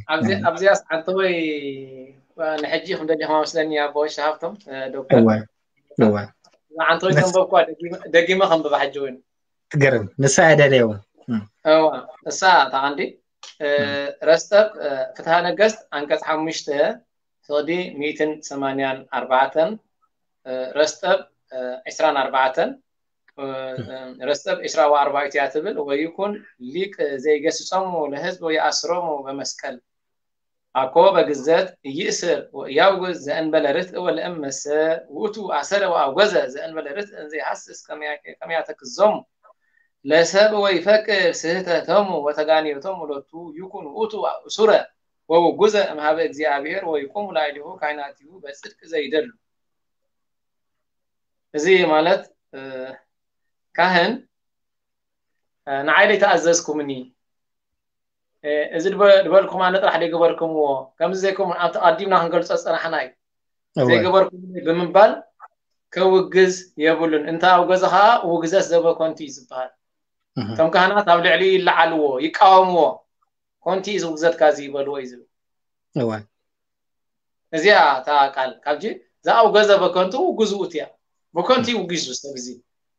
ኣብዚያስ ዓንተወይ ንሕጂ ከም ደሊኹም መስለኒ ኣቦ ወሻ ሃብቶም ዶክተር። እወ፣ እወ። ዓንተወይ ደስ- ተንበብኳ፣ ደጊመ- ደጊመ ከንብባ ሕጂ እውን። ግርም፣ ንሳ እየ ደልየ እውን። እም። እዋ፣ እሳ እታ ቀንዲ፣ እ፣ እም። ረስጠብ፣ እ፣ ፍትሐ ነገስት ዓንቀጽ ሓሙሽተ ፍቕዲ ሚእትን ሰማንያን ኣርባዕተን፣ እ፣ ረስጠብ፣ እ፣ ዕስራን ኣርባዕተን፣ እ፣ እም። እ፣ ረስጠብ ዕስራ ወኣርባዕተ እያ ትብል፣ ወይኩን ሊቅ ዘይገስጾሙ ለህዝብ ወይኣስሮሙ በመስቀል። አኮ በግዘት ኢይእስር ወኢያውግዝ ዘእንበለ ርትዕ ወለእመሰ ውእቱ አሰረ ወአውገዘ ዘእንበለ ርትዕ እንዘ ይሃስስ ከመ ያተክዞሙ ለሰብ ወይፈቅድ ስህተቶሙ ወተጋንዮቶሙ ሎቱ ይኩን ውእቱ እሱረ ወውጉዘ እምሃበ እግዚአብሔር ወይቁሙ ላዕሌሁ ካህናቲሁ በጽድቅ ዘይደሉ። እዚ ማለት፣ እ፣ ካህን፣ እ፣ ንዓይ ዘይተኣዘዝኩምኒ፣ እ፣ እዚ ድበ-፣ ድበልኩም ኣነ ጥራሕ ዘይገበርኩምዎ፣ ከምዚ ዘይኮነ ኣብቲ ኣቐዲምና ክንገልጾ ዝጸናሕና እዩ። እወ። ዘይገበርኩምኒ ብምባል ከውግዝ የብሉን። እንተ ኣውገዘ ኸኣ ውግዘት ዘበኮንቲ እዩ ዝበሃል። እህ። እቶም ካህናት ኣብ ልዕሊኡ ይለዓልዎ፣ ይቃወምዎ። ኮንቲ እዩ ዝውግዘትካ እዚ ይበልዎ እዩ ዝብል። እወ። እዚኣ እታ ቃል፣ ካብጂ ዘኣውገዘ በከንቱ ውጉዝ ውእቱ እያ። ብከንቱ እዩ ውጊዙ ሰብ እዚ።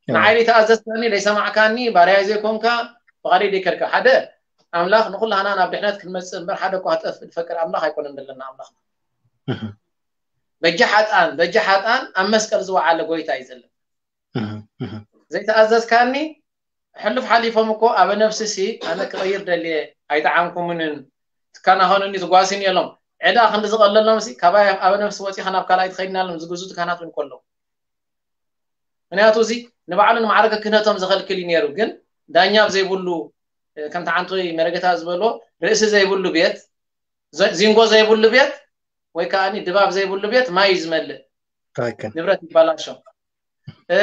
እወ። ንዓይ ዘይተኣዘዝካኒ፣ ዘይሰማዕካኒ፣ ባርያይ ዘይኮንካ፣ ፍቓደይ ዘይከድካ። ሓደ ኣምላኽ ንኹላህና ናብ ድሕነት ክንመጽእ እምበር፣ ሓደ እኳ ክጠፍእ ዝፈቅድ ኣምላኽ ኣይኮነን ዘለና ኣምላኽ። እህ። በጃ ሓጥኣን፣ በጃ ሓጥኣን ኣብ መስቀል ዝወዓለ ጎይታ እዩ ዘለና። እህ፣ እህ። ዘይተኣዘዝካኒ፣ ሕሉፍ ሓሊፎም እኮ ኣበ ነፍሲ ሲ ኣነ ክቐይር ደልየ ኣይጠዓምኩምንን፣ ትከናኸኑኒ ትጓስኒ የሎም። ዕዳ ክንዲ ዝቐለሎም ሲ ካባይ ኣበ ነፍሲ ወፂኻ ናብ ካልኣይ ትኸይድናሎም ዝግዙ ትካናት እውን ከለዉ። ምክንያቱ እዚ ንባዕሉ ንማዕረገ ክህነቶም ዘኸልክል እዩ ነይሩ። ግን ዳኛ ኣብ ዘይብሉ፣ እ፣ ከምቲ ዓንቶይ መረገታ ዝበሎ ርእሲ ዘይብሉ ቤት፣ ዘ-፣ ዚንጎ ዘይብሉ ቤት ወይ ከዓ ድባብ ዘይብሉ ቤት ማይ እዩ ዝመልእ። ትክክል። ንብረት ይበላሾ። እ፣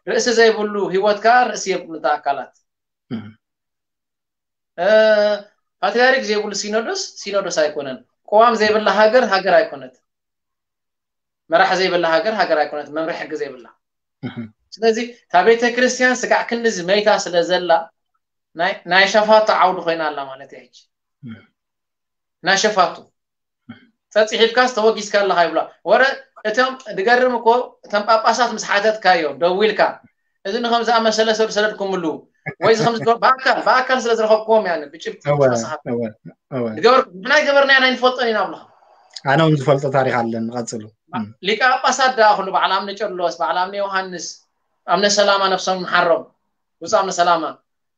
ርእሲ ዘይብሉ ህይወት ከዓ ርእሲ የብሉ እቲ ኣካላት። እም። እ፣ ፓትርያርክ ዘይብሉ ሲኖዶስ፣ ሲኖዶስ ኣይኮነን። ቅዋም ዘይብላ ሃገር፣ ሃገር ኣይኮነት። መራሕ ዘይብላ ሃገር፣ ሃገር ኣይኮነት። መምርሒ ሕጊ ዘይብላ። እም። ስለዚ እታ ቤተ ክርስቲያን ስጋዕ ክንድዚ መይታ ስለ ዘላ፣ ናይ፣ ናይ ሸፋቱ ዓውዲ ኮይና ኣላ ማለት እያ ሕጂ። እም። ናይ ሸፋቱ። ጸጽሒፍካስ ተወጊዝካ ኣለኻ ይብላ። ወረ እቶም ድገርም እኮ እቶም ጳጳሳት ምስ ሓተትካዮም ደዊልካ፣ "እዚ ንኸም ዝኣመሰለ ሰብ ዝሰደድኩምሉ ወይ እዚ ከም ዝገ-" ብኣካል፣ ብኣካል ስለ ዝረኸብኩዎም እያ ብጭብጢ እወ፣ ተሳሓብ። እወ፣ እወ። ዝገበርኩ-፣ ንሕና ይገበርና ኢና፣ ኣይንፈልጦን ኢና ብለኻ። ኣነ እውን ዝፈልጦ ታሪኽ ኣለኒ፣ ቀጽሉ። እም። ሊቀ ጳጳሳት ደኣ ኩሉ በዓል ኣምነ ጨርሎስ፣ በዓል ኣምነ ዮሃንስ፣ ኣምነ ሰላማ ነፍሶም ንሓሮም፣ ብፁዕ ኣምነ ሰላማ።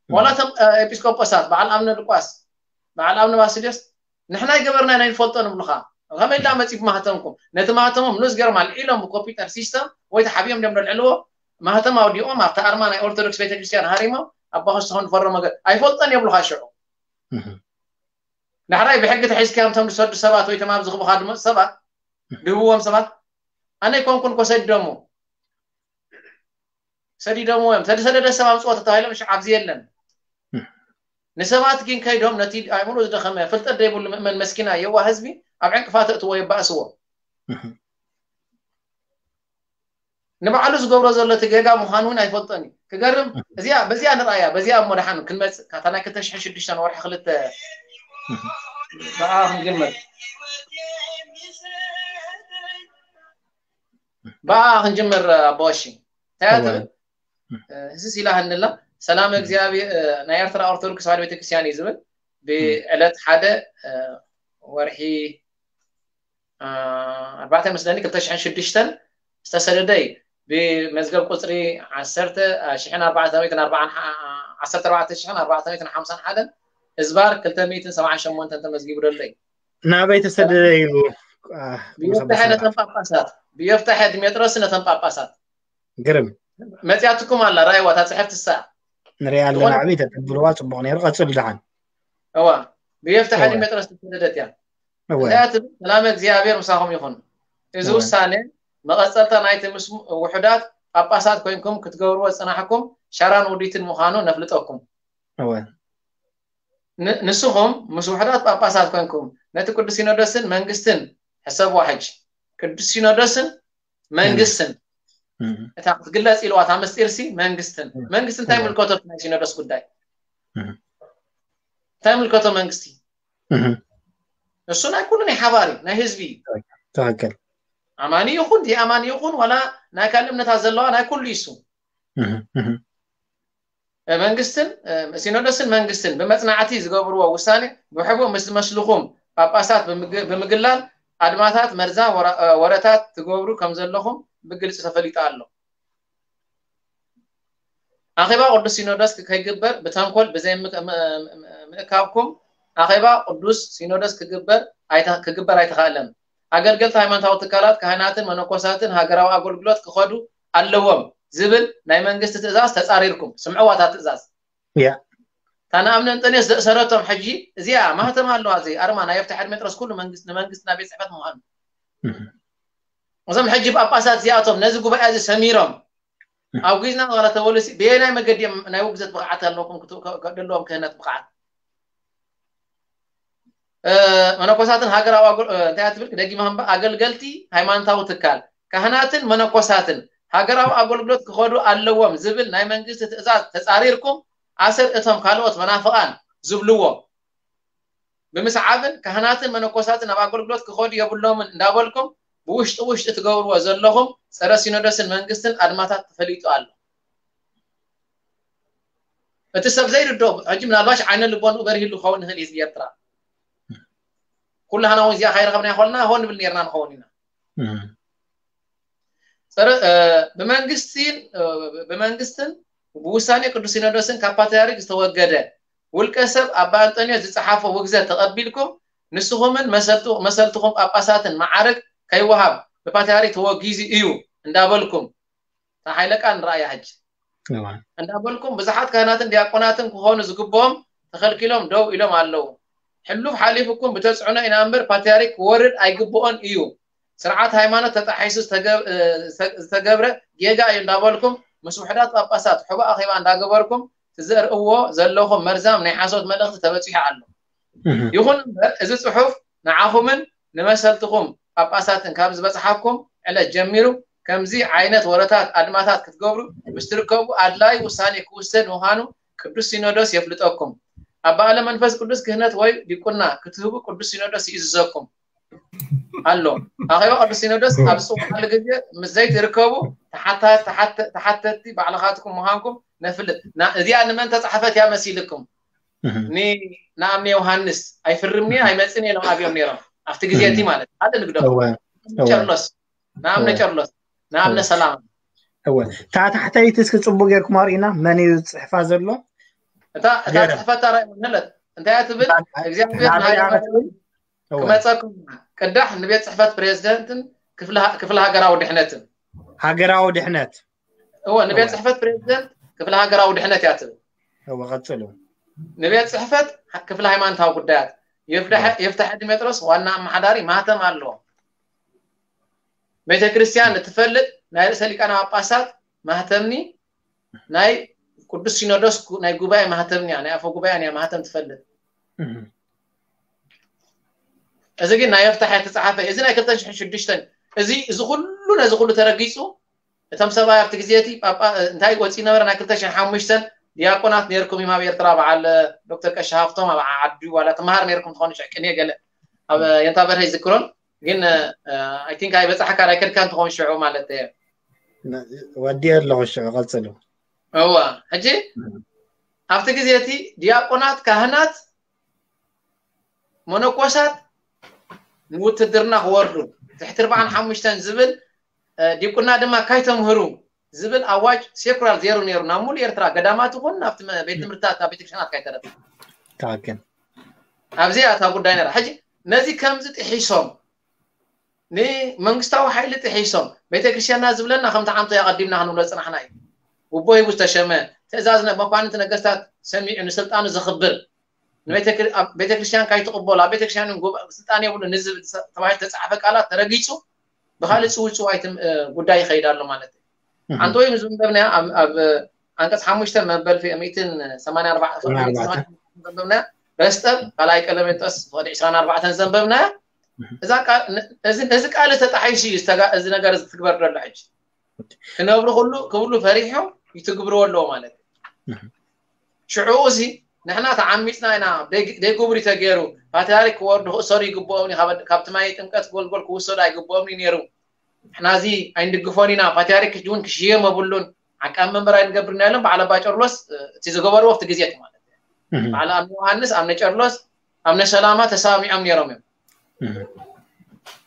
እም። ዋላ እቶም፣ እ፣ ኤጲስቆጶሳት፣ በዓል ኣምነ ሉቃስ፣ በዓል ኣምነ ባስልዮስ፣ ንሕና ይገበርና ኢና፣ ኣይንፈልጦን ይብሉኻ። ከመይ ኢልና መጺ ብማህተምኩም? ነቲ ማህተሞም ንኡስ ገርማ ኣልዒሎም ብኮምፒውተር ሲስተም ወይ ተሓቢኦም ድዮም ዘልዕልዎ? ማህተም ኣውዲቖም ኣብቲ ኣርማ ናይ ኦርቶዶክስ ቤተክርስትያን ሃሪሞም ኣባ ኸስተኾን ፈረሞ ገ-፣ ኣይፈልጦን የብሉኻ ሽዑ። እህ። ዳሕራይ ብሕጊ ተሒዝካዮም እቶም ዝሰዱ ሰባት ወይ እቶም ኣብ ዝኽቡኻ ዝመጹ ሰባት፣ ድህብዎም ሰባት፣ ኣነ ኣይኮንኩን እኮ ሰዲዶሞ። ሰዲዶምዎ እዮም። ተዝሰደደ ሰብ ኣምጽኦ ተባሂሎም ሽዑ ኣብዚ የለን። እም። ንሰባት ግን ከይዶም ነቲ ኣእምሮ ዝደኸመ፣ ፍልጠት ዘይብሉ ምእመን መስኪና የዋህ ህዝቢ ኣብ ዕንቅፋት እትዎ የባእስዎ። እም። ንባዕሉ ዝገብሮ ዘሎ እቲ ጌጋ ምዃኑ እውን ኣይፈልጦን እዩ። ክገርም፣ እም። እዚኣ፣ በዚኣ ንርኣያ፣ በዚኣ እሞ ደሓን ክንመጽእ፣ ካብታ ናይ ክልተ ሽሕን ሽዱሽተን ወርሒ ክልተ እም። ብኣ ክንጅምር። ብኣ ክንጅምር፣ ኣቦ ቀሺ። እንታይ እያ እወ። ትብል? እ፣ ህስስ ኢላ ሃንላ። ሰላም እም። እግዚኣብሔር፣ እ፣ ናይ ኤርትራ ኦርቶዶክስ ተዋህዶ ቤተክርስትያን እዩ ዝብል። እም። ብዕለት ሓደ፣ እ፣ ወርሒ፣ እ፣ ኣርባዕተ መስለኒ ክልተ ሽሕን ሽዱሽተን ዝተሰደደ እዩ። ብመዝገብ ቁጽሪ ዓሰርተ፣ እ፣ ሽሕን ኣርባዕተ ሚእትን ኣርባዓን ሓ-፣ ዓሰርተ ኣርባዕተ ሽሕን ኣርባዕተ ሚእትን ሓምሳን ሓደን እዝባር ክልተ ሚእትን ሰብዓን ሸሞንተን ተመዝጊቡ ዘሎ እዩ። ናበይ ተሰደደ እዩ? አ፣ ብዮፍታሔ ነተን ጳጳሳት፣ ብዮፍታሔ ዲሜጥሮስ ነተን ጳጳሳት። ግርም። መጽያትኩም ኣላ፣ ራእይዋ፣ እታ ጽሕፍቲ እሳ። ንሪኣ ኣለና፣ ዝኾነ ዓብዪ ተተብልዋ፣ ጽቡቕ ነይሩ። ቀጽሉ ደሓን። እዋ ብየፍትሐ ዲሜጥሮስ ዝተሰደደት እያ። እዚኣ ትብል ሰላመ እግዚኣብሔር ምሳኹም ይኹን። እዚ ውሳኔ መቐጸልታ ናይቲ ምስ ውሑዳት ጳጳሳት ኮይንኩም ክትገብርዎ ዝጸናሕኩም ሸራን ውዲትን ምዃኑ ነፍልጠኩም። ንስኹም ምስ ውሑዳት ጳጳሳት ኮይንኩም ነቲ ቅዱስ ሲኖዶስን መንግስትን፣ ሕሰብዋ ሕጂ፣ ቅዱስ ሲኖዶስን መንግስትን እታ ክትግለጽ ኢልዋ እታ ምስጢርሲ መንግስትን መንግስቲ እንታይ ምልከቶ ናይ ሲኖዶስ ጉዳይ? እንታይ ምልከቶ መንግስቲ? እሱ ናይ ኩሉ ናይ ሓባሪ ናይ ህዝቢ እዩ። ትክክል። ኣማኒ ይኹን ዘይኣማኒ ይኹን ዋላ ናይ ካልእ እምነታት ዘለዋ ናይ ኩሉ እዩ እሱ። መንግስትን ሲኖዶስን መንግስትን ብመጽናዕቲ ዝገብርዎ ውሳኔ ብሕቡእ ምስ ዝመስልኹም ጳጳሳት ብምግላል ኣድማታት መርዛ ወረታት ትገብሩ ከም ዘለኹም ብግልጺ ተፈሊጡ ኣሎ። ኣኼባ ቅዱስ ሲኖዶስ ከይግበር ብተንኮል ብዘይ ምእካብኩም ኣኼባ ቅዱስ ሲኖዶስ ክግበር ኣይተኻእለን። ኣገልገልቲ ሃይማኖታዊ ትካላት ካህናትን መነኮሳትን ሃገራዊ ኣገልግሎት ክኸዱ ኣለዎም ዝብል ናይ መንግስቲ ትእዛዝ ተጻሪርኩም። ስምዕዋ እታ ትእዛዝ። እታ ንኣብነ እንጠንዮስ ዘእሰረቶም ሕጂ እዚኣ ማህተም ኣለዋ። እዚ ኣርማ ናይ የፍትሐ ዲሜጥሮስ ኩሉ ንመንግስትና ቤት ጽሕፈት ምዃኑ። እዞም ሕጂ ጳጳሳት እዚኣቶም ነዚ ጉባኤ እዚ ሰሚሮም ኣብ ግዝና ዋላ ተበሉሲ ብየናይ መገዲ እዮም ናይ ውግዘት ብቕዓት ኣለዎም ክህነት ብቕዓት? መነኮሳትን ሃገራዊ እንታይ ትብል ክደጊማ ኣገልገልቲ ሃይማኖታዊ ትካል ካህናትን መነኮሳትን ሃገራዊ ኣገልግሎት ክኸዱ ኣለዎም ዝብል ናይ መንግስቲ ትእዛዝ ተጻሪርኩም ኣሰር እቶም ካልኦት መናፍቓን ዝብልዎ ብምስዓብን ካህናትን መነኮሳትን ኣብ ኣገልግሎት ክኸዱ የብሎምን እንዳበልኩም ብውሽጢ ውሽጢ ትገብርዎ ዘለኹም ጸረ ሲኖዶስን መንግስትን ኣድማታት ተፈሊጡ ኣሎ። እቲ ሰብ ዘይርድኦ ሕጂ ምናልባሽ ዓይነ ልቦንኡ በሪህሉ ክኸውን ይኽእል እዩ ህዝቢ ኤርትራ። ኩላህና እውን እዚኣ ካይረኸብና ይኾልና ሆን ንብል ነርና ንኸውን ኢና። ብመንግስትን ብውሳኔ ቅዱስ ሲኖዶስን ካብ ፓትርያርክ ዝተወገደ ውልቀ ሰብ ኣባ ኣንጠንዮስ ዝጸሓፎ ውግዘት ተቐቢልኩም ንስኹምን መሰልትኹም ጳጳሳትን መዓርግ ከይወሃብ ብፓትርያርክ ተወጊዙ እዩ እንዳበልኩም እታ ሓይለ ቃል ንረኣያ ሕጂ እንዳበልኩም ብዙሓት ካህናትን ዲያቆናትን ክኾኑ ዝግብኦም ተኸልኪሎም ደው ኢሎም ኣለዉ። ሕሉፍ ሓሊፉኩም ብተፅዕኖ ኢና እምበር ፓትርያርክ ክወርድ ኣይግብኦን እዩ። ስርዓት ሃይማኖት ተጣሒሱ ዝተገብረ ጌጋ እዩ እንዳበልኩም ምስ ውሕዳት ጳጳሳት ሕቡእ ኣኼባ እንዳገበርኩም ትዘርእዎ ዘለኹም መርዛም ናይ ሓሶት መልእኽቲ ተበፂሑ ኣሎ። ይኹን እምበር እዚ ፅሑፍ ንዓኹምን ንመሰልትኹም ጳጳሳትን ካብ ዝበፅሓኩም ዕለት ጀሚሩ ከምዚ ዓይነት ወረታት ኣድማታት ክትገብሩ ምስ ትርከቡ ኣድላይ ውሳኔ ክውሰድ ምዃኑ ቅዱስ ሲኖዶስ የፍልጠኩም። ኣባ ኣለ መንፈስ ቅዱስ ክህነት ወይ ዲቁና ክትህቡ ቅዱስ ሲኖዶስ ይእዝዘኩም ኣሎ። ኣኼባ ቅዱስ ሲኖዶስ ኣብ ዝፅውዓሉ ግዜ ምስ ዘይትርከቡ ተሓተቲ ባዕልኻትኩም ምዃንኩም ነፍልጥ። እዚኣ ንመን ተፃሕፈት እያ መሲልኩም? ንኣብነ ዮሃንስ ኣይፍርምኒ ኣይመፅን ኢሎም ኣብዮም ነይሮም ኣብቲ ግዜ እቲ ማለት ሓደ ንግደፉ ጨርሎስ ንኣብነ ጨርሎስ ንኣብነ ሰላም እወ እታ ታሕተይቲ እስኪ ፅቡቅ ጌርኩም ኣርእዩና መን እዩ ዝፅሕፋ ዘሎ እታ እታ ፅሕፈት ታራ ይመለት እንታይ እያ ትብል እግዚኣብሔር ክመፀኩም ቅዳሕ ንቤት ፅሕፈት ፕሬዚደንትን ክፍለ ሃገራዊ ድሕነትን ሃገራዊ ድሕነት እወ ንቤት ፅሕፈት ፕሬዚደንት ክፍለ ሃገራዊ ድሕነት እያ ትብል እወ ቀፅሉ ንቤት ፅሕፈት ክፍለ ሃይማኖታዊ ጉዳያት የፍትሐ ዲሜጥሮስ ዋና ኣመሓዳሪ ማህተም ኣለዎ ቤተ ክርስቲያን እትፈልጥ ናይ ርእሰ ሊቃነ ጳጳሳት ማህተምኒ ናይ ቅዱስ ሲኖዶስ ናይ ጉባኤ ማህተምኒ ናይ ኣፈ ጉባኤ ናይ ማህተም ትፈልጥ እዚ ግን ናይ የፍታሕ የተፃሓፈ እዚ ናይ ክልተ ሽዱሽተ እዚ እዚ ኩሉ ነዚ ኩሉ ተረጊፁ እቶም ሰብኣይ ኣብቲ ግዜ እቲ ጳጳ እንታይ ወፂ ነበረ ናይ ክልተ ሽሕን ሓሙሽተን ዲያቆናት ነርኩም እዮም ኣብ ኤርትራ በዓል ዶክተር ቀሺ ሃፍቶም ኣብ ዓዲ ዋላ ትምሃር ነርኩም ትኾኑ ሽሕ ቅኔ ገለ ኣብ የንታ በርሀ ይዝክሮን ግን I think ኣይበፃሕካን ኣይከድካን ትኾን ሽዑ ማለት እየ ወዲ ኣለኹ ሽዑ ቀፅሉ እዋ ሕጂ ኣብቲ ግዜ እቲ ዲያቆናት ካህናት መነኮሳት ንውትድርና ክወርዱ ትሕቲ ኣርባዓን ሓሙሽተን ዝብል ዲቁና ድማ ካይተምህሩ ዝብል ኣዋጅ ሴኩላር ዜሩ ነይሩ ናብ ሙሉ ኤርትራ ገዳማት ይኹን ናብቲ ቤት ትምህርትታት ናብ ቤተክርስትያናት ካይተረፈ ትክክል ኣብዚ እያ እታ ጉዳይ ነራ ሕጂ ነዚ ከምዚ ጥሒሶም ንመንግስታዊ ሓይሊ ጥሒሶም ቤተክርስትያንና ዝብለና ከምቲ ዓምቶ ኣቐዲምና ክንብሎ ዝፅናሕና እዩ ውቦ ሂቡ ዝተሸመ ትእዛዝ መኳንንቲ ነገስታት ሰሚዑ ንስልጣኑ ዘኽብር ንቤተክር- ኣብ ቤተክርስትያን ካይትቕበሉ ኣብ ቤተክርስትያን እውን ጉባ- ስልጣን የብሉን ንዝብል ተባሂሉ ተፃሓፈ ቃላት ተረጊፁ ብካልእ ፅውፅዋይ ትም- እ፣ ጉዳይ ይኸይድ ኣሎ ማለት እዩ። ኣንተ ወይም ዘንበብናያ ኣብ ኣብ፣ እ፣ ኣንቀፅ ሓሙሽተ መበል ፊ- ሚእትን ሰማንያ ኣርባዕተ ዘንበብናያ በስጠብ ካልኣይ ቀለሜንጦስ ወደ ዕስራን ኣርባዕተን ዘንበብናያ እዛ ቃል ነ- እዚ ነዚ ቃል ተጣሒሱ እዩ ዝተጋ- እዚ ነገር እዚ ትግበር ዘሎ ሕጂ ክነብሩ ኩሉ ክብሉ ፈሪሖም ይትግብርዎ ኣለዎ ማለት እዩ። ሽዑ እዚ ንሕና ተዓሚፅና ኢና ደግ- ደይግብሪ ተገይሩ ፓትሪያርክ ክወርዱ ክእሰሩ ይግብኦም እዩ ካብ- ካብቲ ማይ ጥምቀት ጎልጎል ክውሰዱ ኣይግብኦም እዩ ነይሩ። ንሕና እዚ ኣይንድግፎን ኢና ፓትሪያርክ እውን ክሽየም የብሉን። ዓቃብ መንበር ኣይንገብርን ኢና ኢሎም በዓል ኣባ ጨርሎስ እ፣ እቲ ዝገበርዎ ኣብቲ ግዜ እቲ ማለት እዩ። በዓል ኣምነ ዮሃንስ ኣምነ ጨርሎስ ኣምነ ሰላማ ተሰማሚዖም ነይሮም እዮም።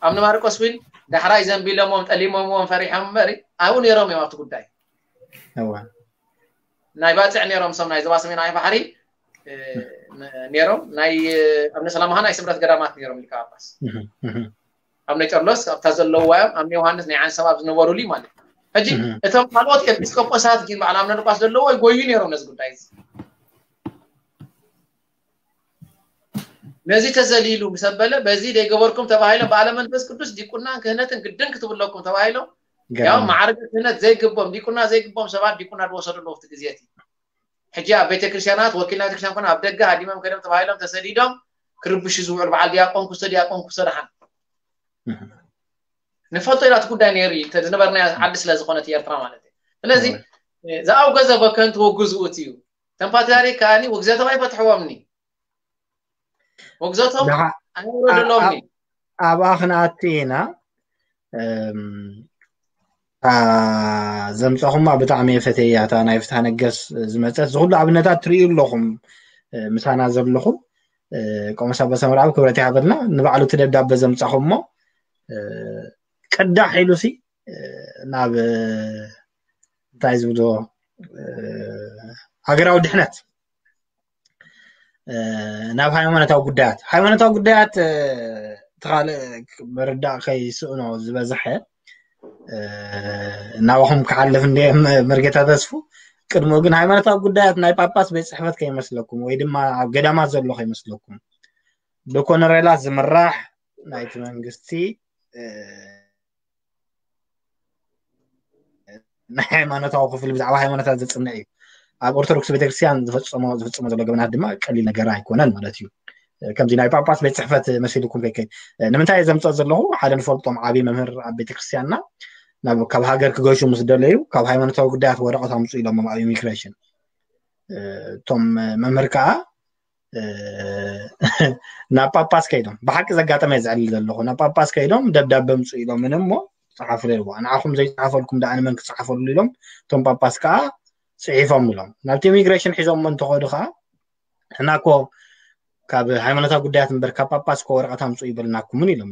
ኣምነ ማርቆስ እውን ዳሕራይ ዘንቢሎምዎም ጠሊሞምዎም ፈሪሖም እምበር ኣብኡ ነይሮም እዮም ኣብቲ ጉዳይ። እወ ናይ ባፅዕ ነይሮም እሶም ናይ ዞባ ሰሜናዊ ባሕሪ እ፣ ነ- ነይሮም ናይ እ፣ ኣምነ ሰላማ ናይ ስምረት ገዳማት ነይሮም ሊቀ ጳጳስ እህ፣ እህ፣ ኣምነ ጨርሎስ ኣብታ ዘለዋ እዮም ኣምነ ዮሃንስ ናይ ዓንሰባ ዝነበሩሉ ማለት እዩ። ሕጂ እህ። እቶም ካልኦት ኤጲስቆጶሳት ግን በዓል ኣምነ ሉቃስ ዘለዎ ይጎዩ ነይሮም ነዚ ጉዳይ እዚ ነዚ ተዘሊሉ ምስ ኣበለ በዚ ደይገበርኩም ተባሂሎም በዓለ መንፈስ ቅዱስ ዲቁናን ክህነትን ግድን ክትብለኩም ተባሂሎም ያው ገዳም ማዕርገ ክህነት ዘይግቦም ዲቁና ዘይግቦም ሰባት ዲቁና ዝወሰዱ ኣለዉ ኣብቲ ግዜ እቲ ሕጂ ኣብ ቤተክርስትያናት ወኪል ናይ ቤተክርስትያን ኮነ ኣብ ደገ ሃዲሞም ከይዶም ተባሂሎም ተሰዲዶም ክርብሹ ዝውዕሉ በዓል ዲያቆን ክስቶ ዲያቆን ክስቶ ደሓን ንፈልጦ ኢና እቲ ጉዳይ ነይሩ እዩ ዝነበርና ዓዲ ስለ ዝኾነት ኤርትራ ማለት እዩ ስለዚ ዝኣውገዘ በከንቱ ወግዝኡት እዩ ተም ፓትሪያርክ ከዓኒ ውግዘቶም ኣይፈትሕዎምኒ ውግዘቶም ኣይወረድሎምኒ ኣብኣ ክንኣቱ ኢና ዘምፀኹማ ብጣዕሚ የፈተያ እታ ናይ ፍትሃ ነገስ ዝመፀት ዝኩሉ ኣብነታት ትርእዩ ኣለኹም ምሳና ዘለኹም ቆመስ ኣባ ሰምርኣብ ክብረት ይሃበልና ንባዕሉ እቲ ደብዳበ ዘምፀኹሞ ቅዳሕ ኢሉ ሲ ናብ እንታይ ዝብሎ ሃገራዊ ድሕነት ናብ ሃይማኖታዊ ጉዳያት ሃይማኖታዊ ጉዳያት ተኻልእ ምርዳእ ከይስእኖ ዝበዝሐ ናባኹም ክሓልፍ እንደ መርጌታ ተስፉ ቅድሞ ግን ሃይማኖታዊ ጉዳያት ናይ ጳጳስ ቤት ፅሕፈት ከይመስለኩም ወይ ድማ ኣብ ገዳማት ዘሎ ከይመስለኩም ብኮነሬላት ዝምራሕ ናይቲ መንግስቲ ናይ ሃይማኖታዊ ክፍሊ ብዛዕባ ሃይማኖታት ዘፅንዕ እዩ ኣብ ኦርቶዶክስ ቤተክርስትያን ዝፈፀሞ ዝፍፅሞ ዘሎ ገበናት ድማ ቀሊል ነገር ኣይኮነን ማለት እዩ ከምዚ ናይ ጳጳስ ቤት ፅሕፈት መሲልኩም ከይከይድ ንምንታይ ዘምፀእ ዘለኹ ሓደ ንፈልጦም ዓብዪ መምህር ኣብ ቤተክርስትያንና ናብ ካብ ሃገር ክገሹ ምስ ደለዩ ካብ ሃይማኖታዊ ጉዳያት ወረቐት ኣምፁ ኢሎም ኣብ ኢሚግሬሽን እቶም መምህር ከዓ ናብ ጳጳስ ከይዶም ብሓቂ ዘጋጠመ እየ ዘዕልል ዘለኹ ናብ ጳጳስ ከይዶም ደብዳበ ምፁ ኢሎም እሞ ፀሓፉ ለልዋ ንዓኹም ዘይፀሓፈልኩም ደኣ ንመን ክፀሓፈሉ ኢሎም እቶም ጳጳስ ከዓ ፅሒፎም ኢሎም ናብቲ ኢሚግሬሽን ሒዞሞ እንተኸዱ ከዓ ንሕና እኮ ካብ ሃይማኖታዊ ጉዳያት እምበር ካብ ጳጳስ እኮ ወረቐት ኣምፁ ይበልናኩምን ኢሎም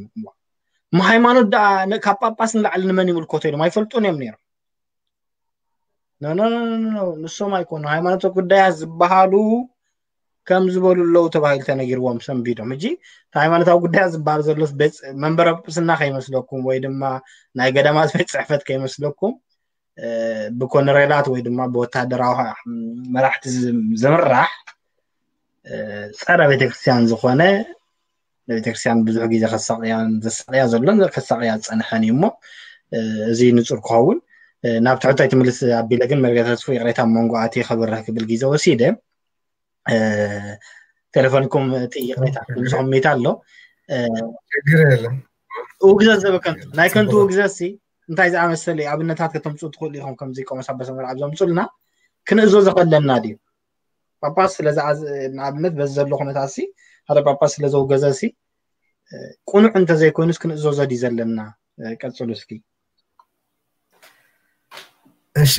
እሞ ሃይማኖት ደኣ ካብ ጳጳስ ንላዕሊ ንመን ይምልከቶ ኢሎም ኣይፈልጡን እዮም ነይሮም ንሶም ኣይኮኑ ሃይማኖት ጉዳያት ዝበሃሉ ከም ዝበሉ ኣለዉ ተባሂሉ ተነጊርዎም ሰንቢዶም ሕጂ ሃይማኖታዊ ጉዳያት ዝበሃል ዘሎ መንበረ ጵጵስና ከይመስለኩም ወይ ድማ ናይ ገዳማት ቤት ፅሕፈት ከይመስለኩም ብኮነሬላት ወይ ድማ ብወታደራዊ መራሕቲ ዝምራሕ ፀረ ቤተክርስትያን ዝኾነ ንቤተክርስትያን ብዙሕ ግዜ ከሳቅያን ዘሳቅያ ዘሎን ከሳቅያ ዝፀንሐን እዩ እሞ እዚ ንፁር ክኸውን ናብ ትሕቶይ ትምልስ ኣቢለ ግን መርጌታ ተስፉ ይቅሬታ መንጎ ኣትየ ከብርህ ክብል ግዜ ወሲደ ቴሌፎንኩም እቲ ይቅሬታ ድምፅኹም ሚት ኣሎ ችግር የለም ውግዘት ዘበከንቱ ናይ ከንቱ ውግዘት ሲ እንታይ ዝኣመሰለ ኣብነታት ከተምፅኡ ትኽእሉ ኢኹም ከምዚ ቆመስ ኣባ ሰምርኣብ ዘምፁልና ክንእዞ ዘኸለና ድዩ ጳጳስ ስለ ንኣብነት በዚ ዘሎ ኩነታት ሲ ሓደ ጳጳስ ስለ ዘውገዘ ሲ ቁኑዕ እንተዘይኮይኑስ ክንእዘዞ ድዩ ዘለና ቀፅሉ እስኪ እሺ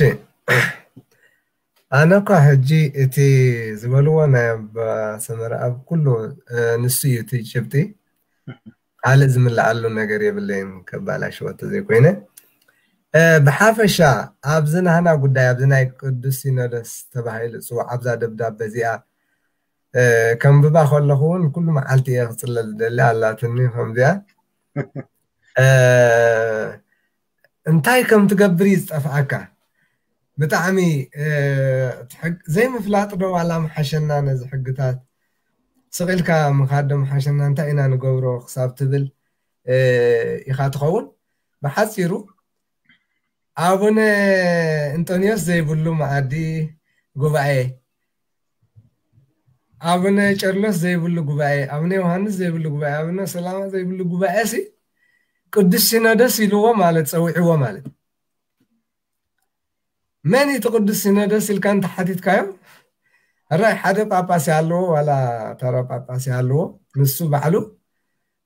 ኣነ እኳ ሕጂ እቲ ዝበልዎ ናይ ኣባ ሰመረ ኣብ ኩሉ ንሱ እዩ እቲ ጭብጢ ካልእ ዝምልኣሉ ነገር የብለይን ከባላሽወ ተዘይኮይነ ብሓፈሻ ኣብዚ ናህና ጉዳይ ኣብዚ ናይ ቅዱስ ሲኖዶስ ተባሂሉ ፅዋዕ ኣብዛ ደብዳበ እዚኣ ከንብባ ከለኹ እውን ኩሉ መዓልቲ እየ ክፅለል ደሊ ኣላትኒ ከምዚኣ እንታይ ከም ትገብር እዩ ዝጠፍኣካ ብጣዕሚ ዘይምፍላጥ ዶ ዋላ ምሓሸና ነዚ ሕግታት ስቕ ኢልካ ምኻድ ዶ ምሓሸና፣ እንታይ ኢና ንገብሮ ክሳብ ትብል ኢኻ ትኸውን። ብሓፂሩ ኣቡነ እንጦንዮስ ዘይብሉ መኣዲ ጉባኤ፣ ኣቡነ ቄርሎስ ዘይብሉ ጉባኤ፣ ኣቡነ ዮሃንስ ዘይብሉ ጉባኤ፣ ኣቡነ ሰላማ ዘይብሉ ጉባኤ ሲ ቅዱስ ሲኖዶስ ኢልዎ ማለት፣ ፀዊዕዎ ማለት። መን እቲ ቅዱስ ሲኖዶስ ኢልካ እንተሓቲትካዮ፣ ራይ ሓደ ጳጳስ ኣለዎ ዋላ ተራ ጳጳስ ኣለዎ፣ ንሱ ባዕሉ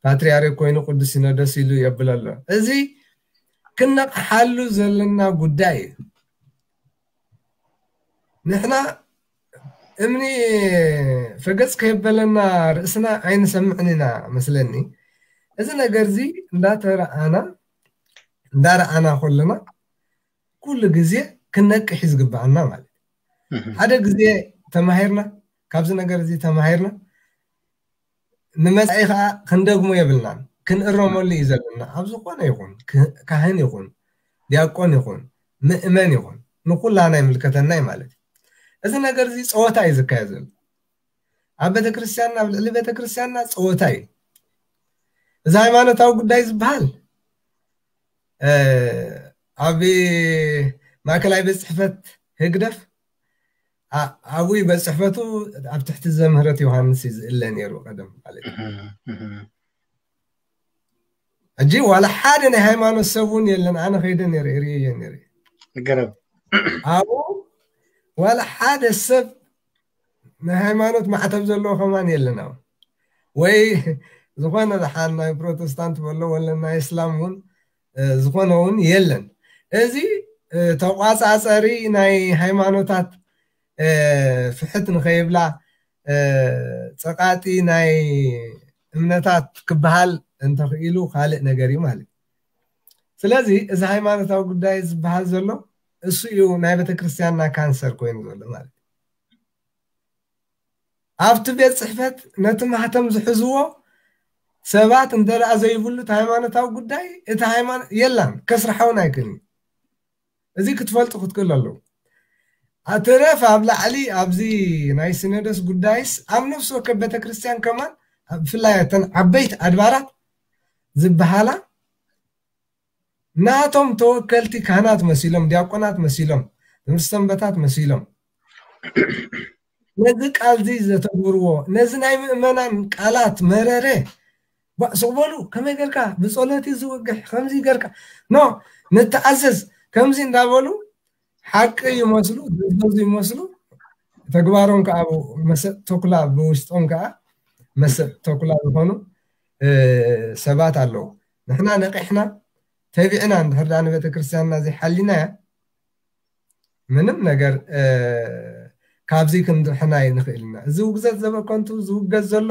ፓትሪያርክ ኮይኑ ቅዱስ ሲኖዶስ ኢሉ የብለሎ። እዚ ክነቕሓሉ ዘለና ጉዳይ እዩ። ንሕና እምኒ ፈገጽ ከየበለና ርእስና ኣይንሰምዕን ኢና መስለኒ። እዚ ነገር እዚ እንዳተረኣና እንዳረኣና ከለና ኩሉ ግዜ ክነቅሕ እዩ ዝግበኣና ማለት እዩ። ሓደ ግዜ ተማሂርና፣ ካብዚ ነገር እዚ ተማሂርና ንመጻኢ ከዓ ክንደግሞ የብልናን፣ ክንእረመሉ እዩ ዘለና። ኣብ ዝኾነ ይኹን ካህን ይኹን ዲያቆን ይኹን ምእመን ይኹን ንኩላና ይምልከተና እዩ ማለት እዩ። እዚ ነገር እዚ ፀወታ እዩ ዝካየድ ዘሎ ኣብ ቤተክርስትያንና፣ ኣብ ልዕሊ ቤተክርስትያንና ፀወታ እዩ። እዚ ሃይማኖታዊ ጉዳይ ዝበሃል ኣብ ማእከላይ ቤት ፅሕፈት ህግደፍ ኣብኡ ቤት ፅሕፈቱ ኣብ ትሕቲ ዘምህረት ዮሃንስ እዩ ዝእለ ነይሩ ቀደም ማለት እዩ። ሕጂ ዋላ ሓደ ናይ ሃይማኖት ሰብ እውን የለን። ኣነ ከይደ ነይረ ርእየ ነይረ። ገረብ ኣብኡ ዋላ ሓደ ሰብ ናይ ሃይማኖት ማዕተብ ዘለዎ ከማን የለን። ኣብ ወይ ዝኾነ ደሓን ናይ ፕሮቴስታንት በሎ ወለ ናይ እስላም እውን ዝኾነ እውን የለን። እዚ ተቋፃፀሪ ናይ ሃይማኖታት ፍሕት ንኸይብላ ፀቃጢ ናይ እምነታት ክበሃል እንተኽኢሉ ካልእ ነገር እዩ ማለት እዩ። ስለዚ እዚ ሃይማኖታዊ ጉዳይ ዝበሃል ዘሎ እሱ እዩ ናይ ቤተክርስትያንና ካንሰር ኮይኑ ዘሎ ማለት እዩ። ኣብቲ ቤት ፅሕፈት ነቲ ማህተም ዝሕዝዎ ሰባት እንተደኣ ዘይብሉ እቲ ሃይማኖታዊ ጉዳይ እቲ ሃይማኖት የላን ከስርሓውን ኣይክእልን። እዚ ክትፈልጡ ክትክእሉ ኣለዉ። ኣትረፍ ኣብ ላዕሊ ኣብዚ ናይ ሲኖዶስ ጉዳይስ ኣብ ነፍሲ ወከፍ ቤተክርስትያን ከማን ብፍላይ እተን ዓበይቲ ኣድባራት ዝበሃላ ናቶም ተወከልቲ ካህናት መሲሎም፣ ዲያቆናት መሲሎም፣ ትምህርቲ ሰንበታት መሲሎም ነዚ ቃል እዚ ዘተግብርዎ፣ ነዚ ናይ ምእመናን ቃላት መረረ ባእ ስቕ በሉ፣ ከመይ ጌርካ ብጸሎት እዩ ዝወግሕ፣ ከምዚ ጌርካ ኖ ንተኣዘዝ ከምዚ እንዳበሉ ሓቂ ይመስሉ፣ ዝእዘዙ ይመስሉ፣ ተግባሮም ከዓ መሰጥ ተኩላ ብውሽጦም ከዓ መሰጥ ተኩላ ዝኾኑ ሰባት ኣለዉ። ንሕና ነቂሕና ተቢዕና እንድሕር ዳ ንቤተክርስትያንና ዘይሓሊናያ ምንም ነገር ካብዚ ክንድሕና ይንኽእል ኢና። እዚ ውግዘት ዘበከንቱ ዝውገዝ ዘሎ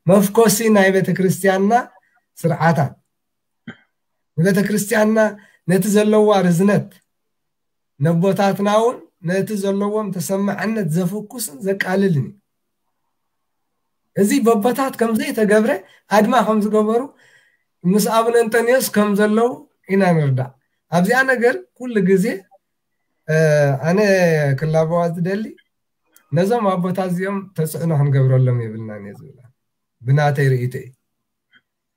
መፍኮሲ ናይ ቤተክርስትያንና ስርዓታት ንቤተክርስትያንና ነቲ ዘለዋ ርዝነት ነቦታትና እውን ነቲ ዘለዎም ተሰማዕነት ዘፍኩስን ዘቃልልን እዩ። እዚ በቦታት ከም ዘይተገብረ ኣድማ ከም ዝገበሩ ምስ ኣቡነ እንጠንዮስ ከም ዘለዉ ኢና ንርዳእ። ኣብዚኣ ነገር ኩሉ ግዜ ኣነ ክላበዋ ዝደሊ ነዞም ኣቦታት እዚኦም ተፅዕኖ ክንገብረሎም የብልናን እየ ዝብላ ብናተይ ርእይቶ እዩ።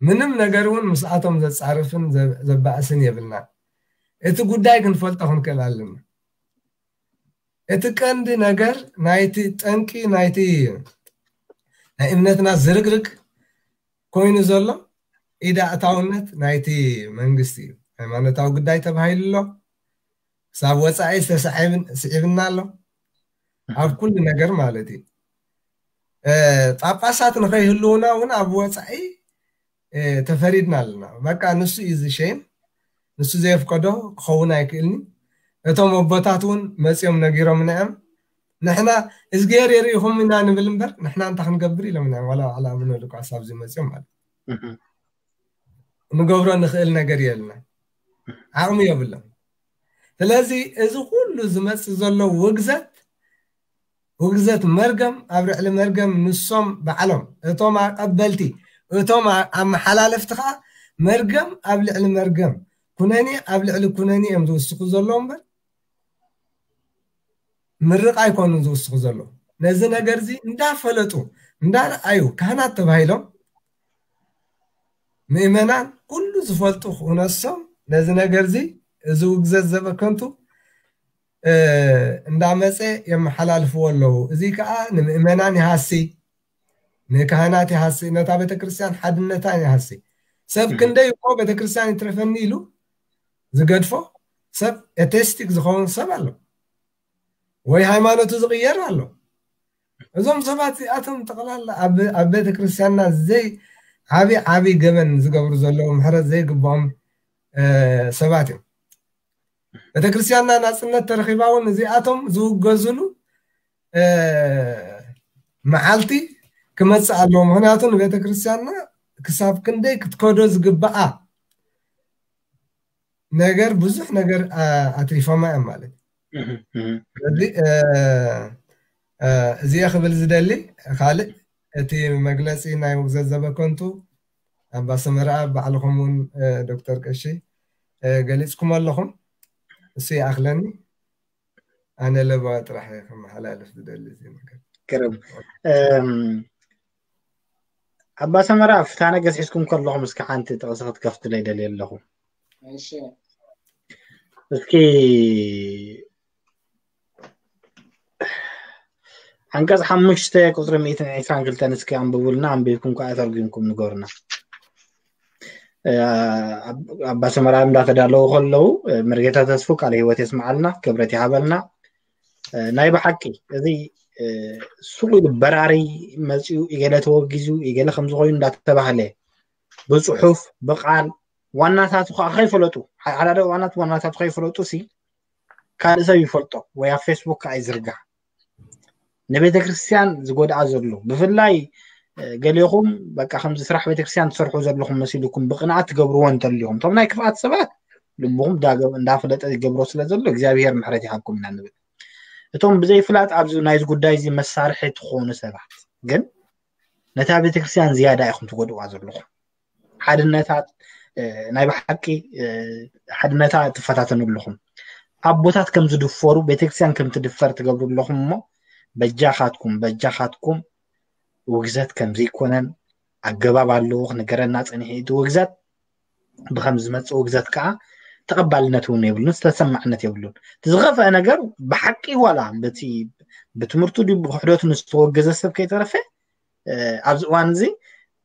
ምንም ነገር እውን ምስኣቶም ዘፃርፍን ዘባእስን የብልናን። እቲ ጉዳይ ክንፈልጦ ክንክእል ኣለና። እቲ ቀንዲ ነገር ናይቲ ጠንቂ ናይቲ ናይ እምነትና ዝርግርግ ኮይኑ ዘሎ ኢዳ እታውነት ናይቲ መንግስቲ እዩ። ሃይማኖታዊ ጉዳይ ተባሂሉ ኣሎ። ክሳብ ወፃኢ ዝተስዕብና ኣሎ ኣብ ኩሉ ነገር ማለት እዩ። ጳጳሳት ንኸይህልውና እውን ኣብ ወፃኢ ተፈሪድና ኣለና። በቃ ንሱ እዩ ዝሸይም፣ ንሱ ዘየፍቀዶ ክኸውን ኣይክእልኒ። እቶም ኣቦታት እውን መፂኦም ነጊሮምና እዮም። ንሕና እዝግሄር የርእይኹም ኢና ንብል እምበር ንሕና እንታይ ክንገብር ኢሎምና እዮም። ዋላ ባዕላ ኣቡነ ሉቃስ ኣብዚ መፂኦም ማለት ንገብሮ ንኽእል ነገር የልና፣ ዓቕሚ የብሎም። ስለዚ እዚ ኩሉ ዝመፅእ ዘሎ ውግዘት ውግዘት መርገም ኣብ ልዕሊ መርገም ንሶም ባዕሎም እቶም ኣቀበልቲ እቶም ኣመሓላለፍቲ ከዓ መርገም ኣብ ልዕሊ መርገም ኩነኔ ኣብ ልዕሊ ኩነኔ እዮም ዝውስኹ ዘለዉ እምበር ምርቕ ኣይኮኑን ዝውስኹ ዘለዉ። ነዚ ነገር እዚ እንዳፈለጡ እንዳረኣዩ ካህናት ተባሂሎም ምእመናን ኩሉ ዝፈልጡ ክነሶም ነዚ ነገር እዚ እዚ ውግዘት ዘበከንቱ እንዳመፀ የመሓላልፍዎ ኣለዉ። እዚ ከዓ ንምእመናን ይሃሲ፣ ንካህናት ይሃሲ፣ ነታ ቤተክርስትያን ሓድነታን ይሃሲ። ሰብ ክንደይ እኮ ቤተክርስትያን ይትረፈኒ ኢሉ ዝገድፎ ሰብ ኤቴስቲክ ዝኸውን ሰብ ኣሎ፣ ወይ ሃይማኖቱ ዝቕየር ኣሎ። እዞም ሰባት እዚኣቶም ጠቕላላ ኣብ ቤተክርስትያንና ዘይ ዓብዪ ዓብዪ ገበን ዝገብሩ ዘለዉ ምሕረት ዘይግብኦም ሰባት እዮም። ቤተክርስትያንና ናፅነት ተረኺባ እውን እዚኣቶም ዝውገዝሉ መዓልቲ ክመፅእ ኣለዎ። ምክንያቱ ንቤተክርስትያንና ክሳብ ክንደይ ክትከዶ ዝግባኣ ነገር ብዙሕ ነገር ኣትሪፎማ እዮም ማለት እዩ። ስለዚ እዚኦ ክብል ዝደሊ ካልእ እቲ መግለፂ ናይ ውግዘት ዘበከንቱ ኣባ ሰመረኣብ ባዕልኹም እውን ዶክተር ቀሺ ገሊፅኩም ኣለኹም። እሱ ይኣኽለኒ። ኣነ ለበዋ ጥራሕ እየ ከመሓላልፍ ዝደሊ እዚ ነገር። ግርም። ኣባ ሰመራ ፍታነ ገዝሒዝኩም ከለኹም እስኪ ሓንቲ ጥቕሲ ክትከፍትለይ ደልየ ኣለኹ። እስኪ ዓንቀፅ ሓሙሽተ ቁፅሪ ሚእትን ዕስራን ክልተን እስኪ ኣንብቡልና፣ ኣንቢብኩም ከዓ ተርጉምኩም ንገሩና። ኣባ ሰመራ እንዳተዳለዉ ከለዉ መርጌታ ተስፉ ቃለ ህይወት የስምዓልና፣ ክብረት ይሃበልና። ናይ ብሓቂ እዚ ሱቕ ኢሉ በራሪ መፂኡ ኢገለ ተወጊዙ ኢገለ ከምዚ ኮይኑ እንዳተባህለ ብፅሑፍ ብቃል ዋናታቱ ከዓ ከይፈለጡ ሓደ ዋናት ዋናታቱ ከይፈለጡ ሲ ካልእ ሰብ ይፈልጦ ወይ ኣብ ፌስቡክ ከዓ ይዝርጋሕ። ንቤተክርስትያን ዝጎድኣ ዘሎ ብፍላይ ገሌኹም በቃ ከምዚ ስራሕ ቤተክርስትያን ትሰርሑ ዘለኹም መሲልኩም ብቅንኣት ትገብርዎ እንተልኹም እቶም ናይ ክፍኣት ሰባት ልብኹም እንዳፈለጠ ይገብሮ ስለ ዘሎ እግዚኣብሔር ምሕረት ይሃብኩም ኢና ንብል። እቶም ብዘይፍላጥ ኣብዚ ናይዚ ጉዳይ እዚ መሳርሒ ትኾኑ ሰባት ግን ነታ ቤተክርስትያን ዝያዳ ኢኹም ትጎድዋ ዘለኹም። ሓድነታት ናይ ብሓቂ ሓድነታ ትፈታተኑ ኣለኹም። ኣቦታት ከም ዝድፈሩ ቤተክርስትያን ከም ትድፈር ትገብሩ ኣለኹም እሞ በጃኻትኩም በጃኻትኩም ውግዘት ከም ዘይኮነን ኣገባብ ኣለዎ ክንገረና ጸኒሑ። እቲ ውግዘት ብኸም ዝመጽእ ውግዘት ከዓ ተቐባልነት እውን የብሉን፣ ዝተሰማዕነት የብሉን። እቲ ዝኸፍአ ነገር ብሓቂ ዋላ በቲ ብትምህርቱ ድዩ ብክሕደቱ ዝተወገዘ ሰብ ከይተረፈ ኣብዚ እዋን እዚ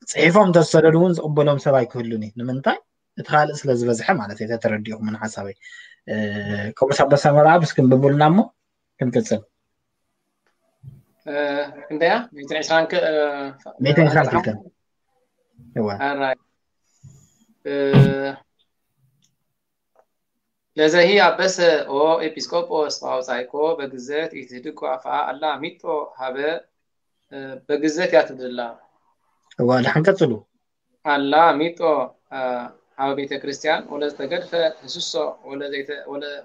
ፅሒፎም እንተዝሰደዱ እውን ዝቕበሎም ሰብ ኣይክህሉን እዩ። ንምንታይ? እቲ ካልእ ስለ ዝበዝሐ ማለት እዩ። ተተረዲእኹም ሓሳበይ። ከምኡስ ኣባ ሰመራ ኣብ እስኪ እንብቡልና እሞ ክንቅፅል። ክንደያ? ሚእትን ዕስራን ሚእትን ዕስራን ክልተን። ለዘሂ ኣበሰ ኦ ኤጲስቆጶስ ኣውጻይኮ በግዘት ኢትህድጎ ኣፍኣ ኣላ ሚጦ ሃበ በግዘት ያትብድላ እዋ ድሓን ቀጽሉ ኣላ ሚጦ ሃበ ቤተ ክርስቲያን ወለዝተገድፈ ህስሶ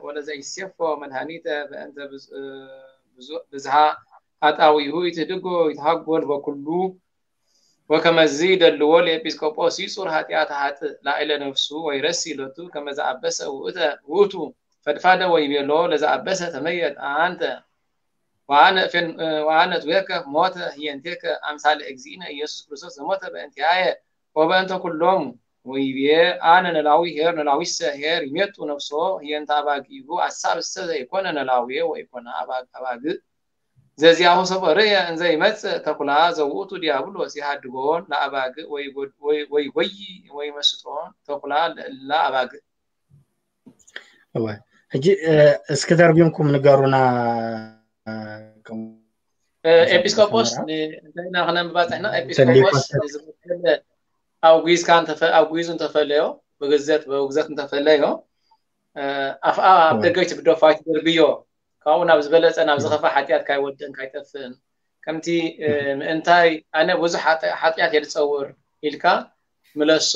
ወለዘይሴፎ መድሃኒተ በእንተ ብዝሃ ኣጣዊሁ ኢትህድጎ ይትሃጎል በኩሉ ወከመዚ ይደልዎ ለኤጲስቆጶስ ይጹር ኃጢአት ኃጥእ ላዕለ ነፍሱ ወይረሲ ሎቱ ከመ ዘአበሰ ውእተ ውእቱ ፈድፋደ ወይቤሎ ለዘአበሰ ተመየጥ አንተ ወአነ እፌን- ወአነ እትቤከ ሞተ ህየንቴከ አምሳለ እግዚእነ ኢየሱስ ክርስቶስ ዘሞተ በእንቲአየ ወበእንተ ኩሎሙ ወይቤ አነ ነላዊ ኄር ነላዊሰ ኄር ይሜጡ ነፍሶ ህየንተ አባጊሁ አሳብሰ ዘይኮነ ነላዊ ወይኮነ አባግ- አባግእ ዘዚአሁ ሰቦ ርእየ እንዘ ይመጽእ ተኩላ ዘውእቱ ዲያብሎስ ይሃድጎን ለአባግእ ወይጎይ ወይመስጦን ተኩላ ለእላ አባግእ። እወ ሕጂ እስኪ ተርጉምኩም ንገሩና። ኤጲስቆጶስ እንታይ ኢና ክነንብባ ፅሕና? ኤጲስቆጶስ ዝመሰለ ኣውጊዝካ ኣውጊዙ እንተፈለዮ ብግዘት ብውግዘት እንተፈለዮ ኣፍኣ ኣብ ደገ ይትብደፋ ይትደርብዮ ካብኡ ናብ ዝበለፀ ናብ ዝኸፋ ሓጢኣት ካይወድእን ካይጠፍእን ከምቲ ምእንታይ ኣነ ብዙሕ ሓጢኣት የድፀውር ኢልካ ምለሶ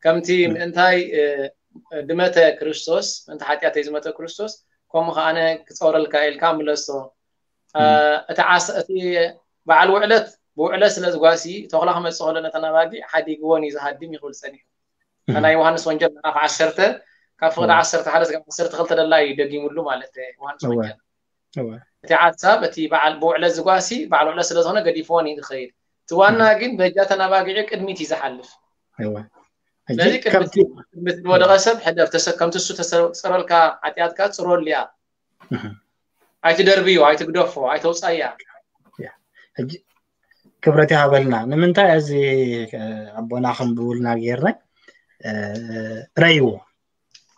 ከምቲ ምእንታይ ድመተ ክርስቶስ ምእንቲ ሓጢኣተይ ዝመተ ክርስቶስ ከምኡ ከዓነ ክፀውረልካ ኢልካ ምለሶ እቲ ዓስ እቲ በዓል ውዕለት ብውዕለት ስለ ዝጓሲ ተኹላ ክመፅእ ከሎ ነተን ኣባጊዕ ሓዲግወን እዩ ዝሃድም ይኽብል ፀኒሑ ናይ ዮሃንስ ወንጀል ምዕራፍ ዓሰርተ ካብ ፍቕዲ ዓሰርተ ሓደ ስጋብ ዓሰርተ ክልተ ደላ እዩ ደጊሙሉ ማለት ዮሃንስ ወንጀል እወ። እቲ ሓሳብ እቲ በዓል ብውዕለት ዝጓሲ በዓል ውዕለት ስለ ዝኾነ ገዲፍዎን እዩ ዝኸይድ። እቲ ዋና ግን በጃተን ኣባጊዑ ቅድሚት እዩ ዝሓልፍ። እወ። ሕጂ ስለዚ ቅድሚት ከምቲ ቅድሚት ዝወደቐ ሰብ ሕደር ተሰ- ከምቲ እሱ ተሰ- ዝጸረልካ ሓጢኣትካ ጽረሉ እያ። እህ። ኣይትደርብዮ፣ ኣይትግደፎ፣ ኣይተውጻያ። ያ። ሕጂ ክብረት ይሃበልና። ንምንታይ እዚ እ፣ ኣቦና ከንብቡልና ጌርና እ፣ ረይዎ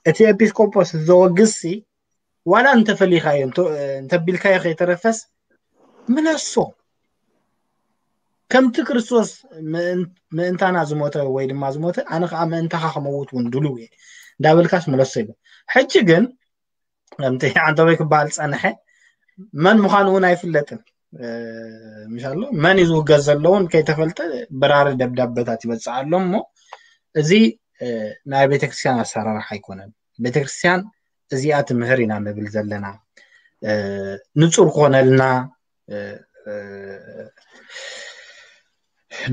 እቲ ኤጲስቆጶስ ዘወግዝሲ ዋላ እንተፈሊኻዮ እንተ- እንተቢልካዮ ከይተረፈስ ምለሶ ከምቲ ክርስቶስ ምእን- ምእንታና ዝሞተ ወይ ድማ ዝሞተ ኣነ ከዓ ምእንታኻ ከመውት እውን ድልው እየ እንዳበልካስ ምለሶ ይብል። ሕጂ ግን ከምቲ ዓንተቦይ ክበሃል ፀንሐ መን ምዃኑ እውን ኣይፍለጥን። እ፣ ምሻሎ መን እዩ ዝውገዝ ዘለውን ከይተፈልጠ በራሪ ደብዳበታት ይበፅእ ኣሎ እሞ እዚ እ፣ ናይ ቤተክርስትያን ኣሰራርሓ ኣይኮነን። ቤተክርስትያን እዚኣ ትምህር ኢና ንብል ዘለና። እ፣ ንጹር ክኾነልና እ፣ እ፣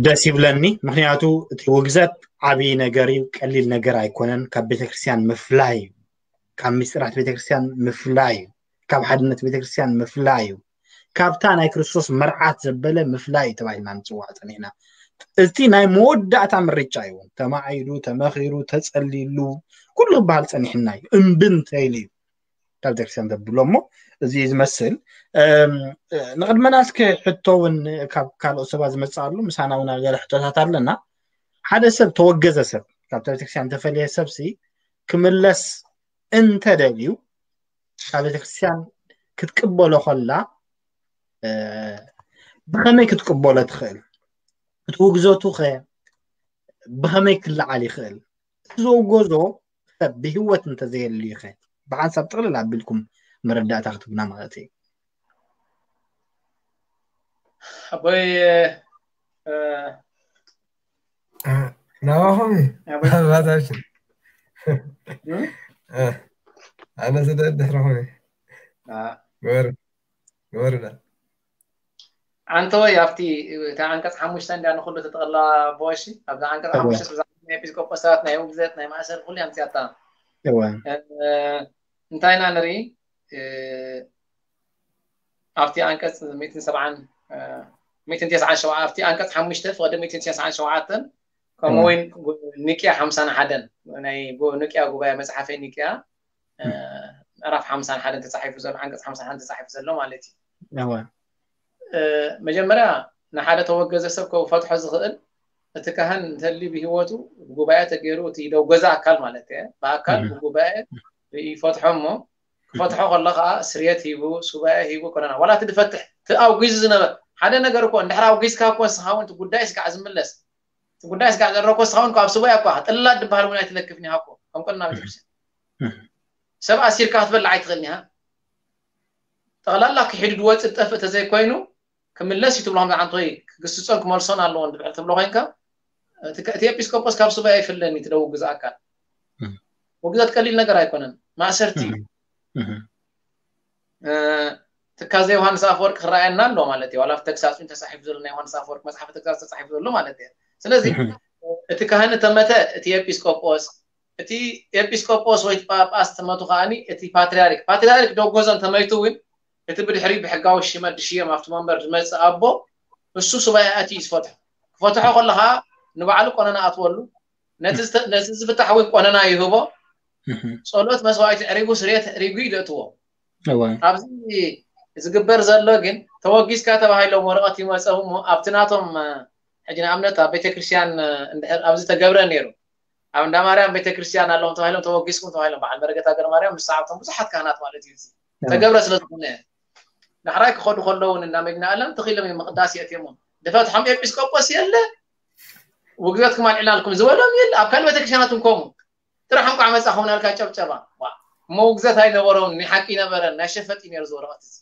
ደስ ይብለኒ። ምክንያቱ እቲ ውግዘት ዓብዪ ነገር እዩ፣ ቀሊል ነገር ኣይኮነን። ካብ ቤተክርስትያን ምፍላይ እዩ፣ ካብ ምስጢራት ቤተክርስትያን ምፍላይ እዩ፣ ካብ ሓድነት ቤተክርስትያን ምፍላይ እዩ፣ ካብታ ናይ ክርስቶስ መርዓት ዘበለ ምፍላይ እዩ ተባሂልና ንጽዋዕ ጸኒሕና። እቲ ናይ መወዳእታ ምርጫ እዩ። ተማዒዱ፣ ተመኺሩ፣ ተጸሊሉ ኩሉ ክበሃል ጸኒሕና እዩ። እምቢ እንተኢሉ እዩ ካብ ቤተክርስትያን ዘብሎ እሞ እዚ እዩ ዝመስል። እም፣ ንቕድመና እስኪ ሕቶ እውን ካብ ካልኦት ሰባት ዝመጽእ ኣሎ። ምሳና እውን ገለ ሕቶታት ኣለና። ሓደ ሰብ ተወገዘ ሰብ ካብታ ቤተክርስትያን ተፈልየ ሰብሲ ክምለስ እንተደልዩ ካብ ቤተክርስትያን ክትቅበሎ ከላ እ፣ ብኸመይ ክትቅበሎ ትኽእል? እቲ ውግዘቱ ኸ ብኸመይ ክለዓል ይኽእል? እቲ ዘውገዞ ሰብ ብህይወት እንተዘየልዩ ኸ ብሓንሳብ ጥቕልል ኣቢልኩም መረዳእታ ክትብና ማለት እዩ። ኣቦይ እ፣ ናባኹም እዩ። ኣቦይ ናባታችን እ? እ፣ ኣነ ስለ ድሕርኹም እዩ። አ፣ ግበር ግበር ዳ ኣንተ ወይ ኣብቲ እቲ ዓንቀፅ ሓሙሽተ እንዳ ንኩሉ ተጠቕላ ቦሺ ኣብዛ ዓንቀፅ እወ። ሓሙሽተ ብዛዕባ ናይ ኤጲስቆጶሳት ናይ ውግዘት ናይ ማእሰር ኩሉ ኣምፅያታ እወ። እ፣ እንታይ ኢና ንርኢ እ፣ ኣብቲ ዓንቀፅ ሚእትን ሰብዓን እ፣ ሚእትን ተስዓን ሸውዓተ ኣብቲ ዓንቀፅ ሓሙሽተ ፍቕዲ ሚእትን ተስዓን ሸውዓተን ከምኡ እውን ኒቅያ ሓምሳን ሓደን ናይ ጉ- ኒቅያ ጉባኤ መፅሓፈይ ኒቅያ እ፣ ምዕራፍ ሓምሳን ሓደን ተፃሒፉ ዘሎ ዓንቀፅ ሓምሳን ሓደን ተፃሒፉ ዘሎ ማለት እዩ። እወ። እ፣ መጀመርያ ንሓደ ተወገዘ ሰብ ከፈትሖ ዝኽእል እቲ ካህን እንተልዩ ብህይወቱ ብጉባኤ ተገይሩ እቲ ደውገዘ ኣካል ማለት እየ ብኣካል እም። ብጉባኤ ይፈትሖ እሞ ክፈትሖ ከሎ ከዓ ስርየት ሂቡ ሱባኤ ሂቡ ኮነና ዋላ እቲ ድፈትሕ እቲ ኣውጊዙ ዝነበር ሓደ ነገር እኮ እንድሕር ኣውጊዝካ እኮ ንስኻ እውን እቲ ጉዳይ ስጋዕ ዝምለስ እቲ ጉዳይ ስጋዕ ዘረኮ ንስኻ እውን ካብ ሱባኤ እኳ ጥላት ድበሃል እውን ኣይትለክፍን ኢኻ እኮ ከም ቀንና ቤተክርስትያን እም። ሰብ ኣሲርካ ክትበልዕ ኣይትኽእልን ኢኻ ጠቕላላ ክሒዱ ድወፅእ ዝጠፍእ ተዘይኮይኑ ክምለስ እዩ ትብሎ ከምዚ ዓንቶይ ክግስፆን ክመልሶን ኣለዎ እንድሕር ትብሎ ኮይንካ እቲ ከ- እቲ ኤጲስቆጶስ ካብ ሱባኤ ኣይፍለን እዩ ትደውግዝ ኣካል እም። ውግዘት ቀሊል ነገር ኣይኮነን ማእሰርቲ እዩ እም። እም። እ፣ ትካዘ ዮሃንስ ኣፈወርቅ ክረኣየና ኣሎ ማለት እዩ ዋላ ተግሳፅ እውን ተፃሒፉ ዘሎ ናይ ዮሃንስ ኣፈወርቅ መፅሓፈ ተግሳፅ ተፃሒፉ ዘሎ ማለት እዩ ስለዚ እም። እቲ ካህን ተመተ እቲ ኤጲስቆጶስ እቲ ኤጲስቆጶስ ወይ ጳጳስ ተመቱ ከዓኒ እቲ ፓትርያርክ ፓትርያርክ ደጎዞን ተመይቱ እውን እቲ ብድሕሪ ብሕጋዊ ሽመት ድሽየም ኣብቲ መንበር ዝመፅእ ኣቦ እሱ ሱባኤ ኣትዩ እዩ ዝፈትሖ ክፈትሖ ከለካ ንባዕሉ ቆነና ኣትወሉ ነቲ ዝተ- ነቲ ዝፍታሕ እውን ቆነና ይህቦ እህ፣ ጸሎት መስዋዕቲ ዕሪጉ ስርየት ዕሪጉ እዩ ዘእትዎ እወ፣ ኣብዚ ዝግበር ዘሎ ግን ተወጊዝካ ተባሂሎም ወረቐት ይመፀው እሞ ኣብቲ ናቶም ሕጂ ንኣብነት ኣብ ቤተክርስትያን እንድሕር ኣብዚ ተገብረ ነይሩ ኣብ እንዳ ማርያም ቤተክርስትያን ኣለዎም ተባሂሎም ተወጊዝኩም ተባሂሎም በዓል መረገት ሃገር ማርያም ንስዓብቶም ብዙሓት ካህናት ማለት እዩ እዚ ተገብረ ስለ ዝኾነ ዳሕራይ ክኸዱ ከለውን እንዳ መዲና ኣለም ተኺሎም እዮም ምቕዳስ የእትዮሞም ድፈትሖም ኤጲስቆጶስ የለ ውግዘትኩም ኣልዕልናልኩም ዝበሎም የለ ኣብ ካልእ ቤተክርስትያናት እንከሙ ጥራሕ እንኳዕ መፃኹም ናልካ ጨብጨባ እሞ ውግዘት ኣይነበረውን ናይ ሓቂ ነበረ ናይ ሸፈጥ እዩ ነይሩ ዝወረቐት እዚ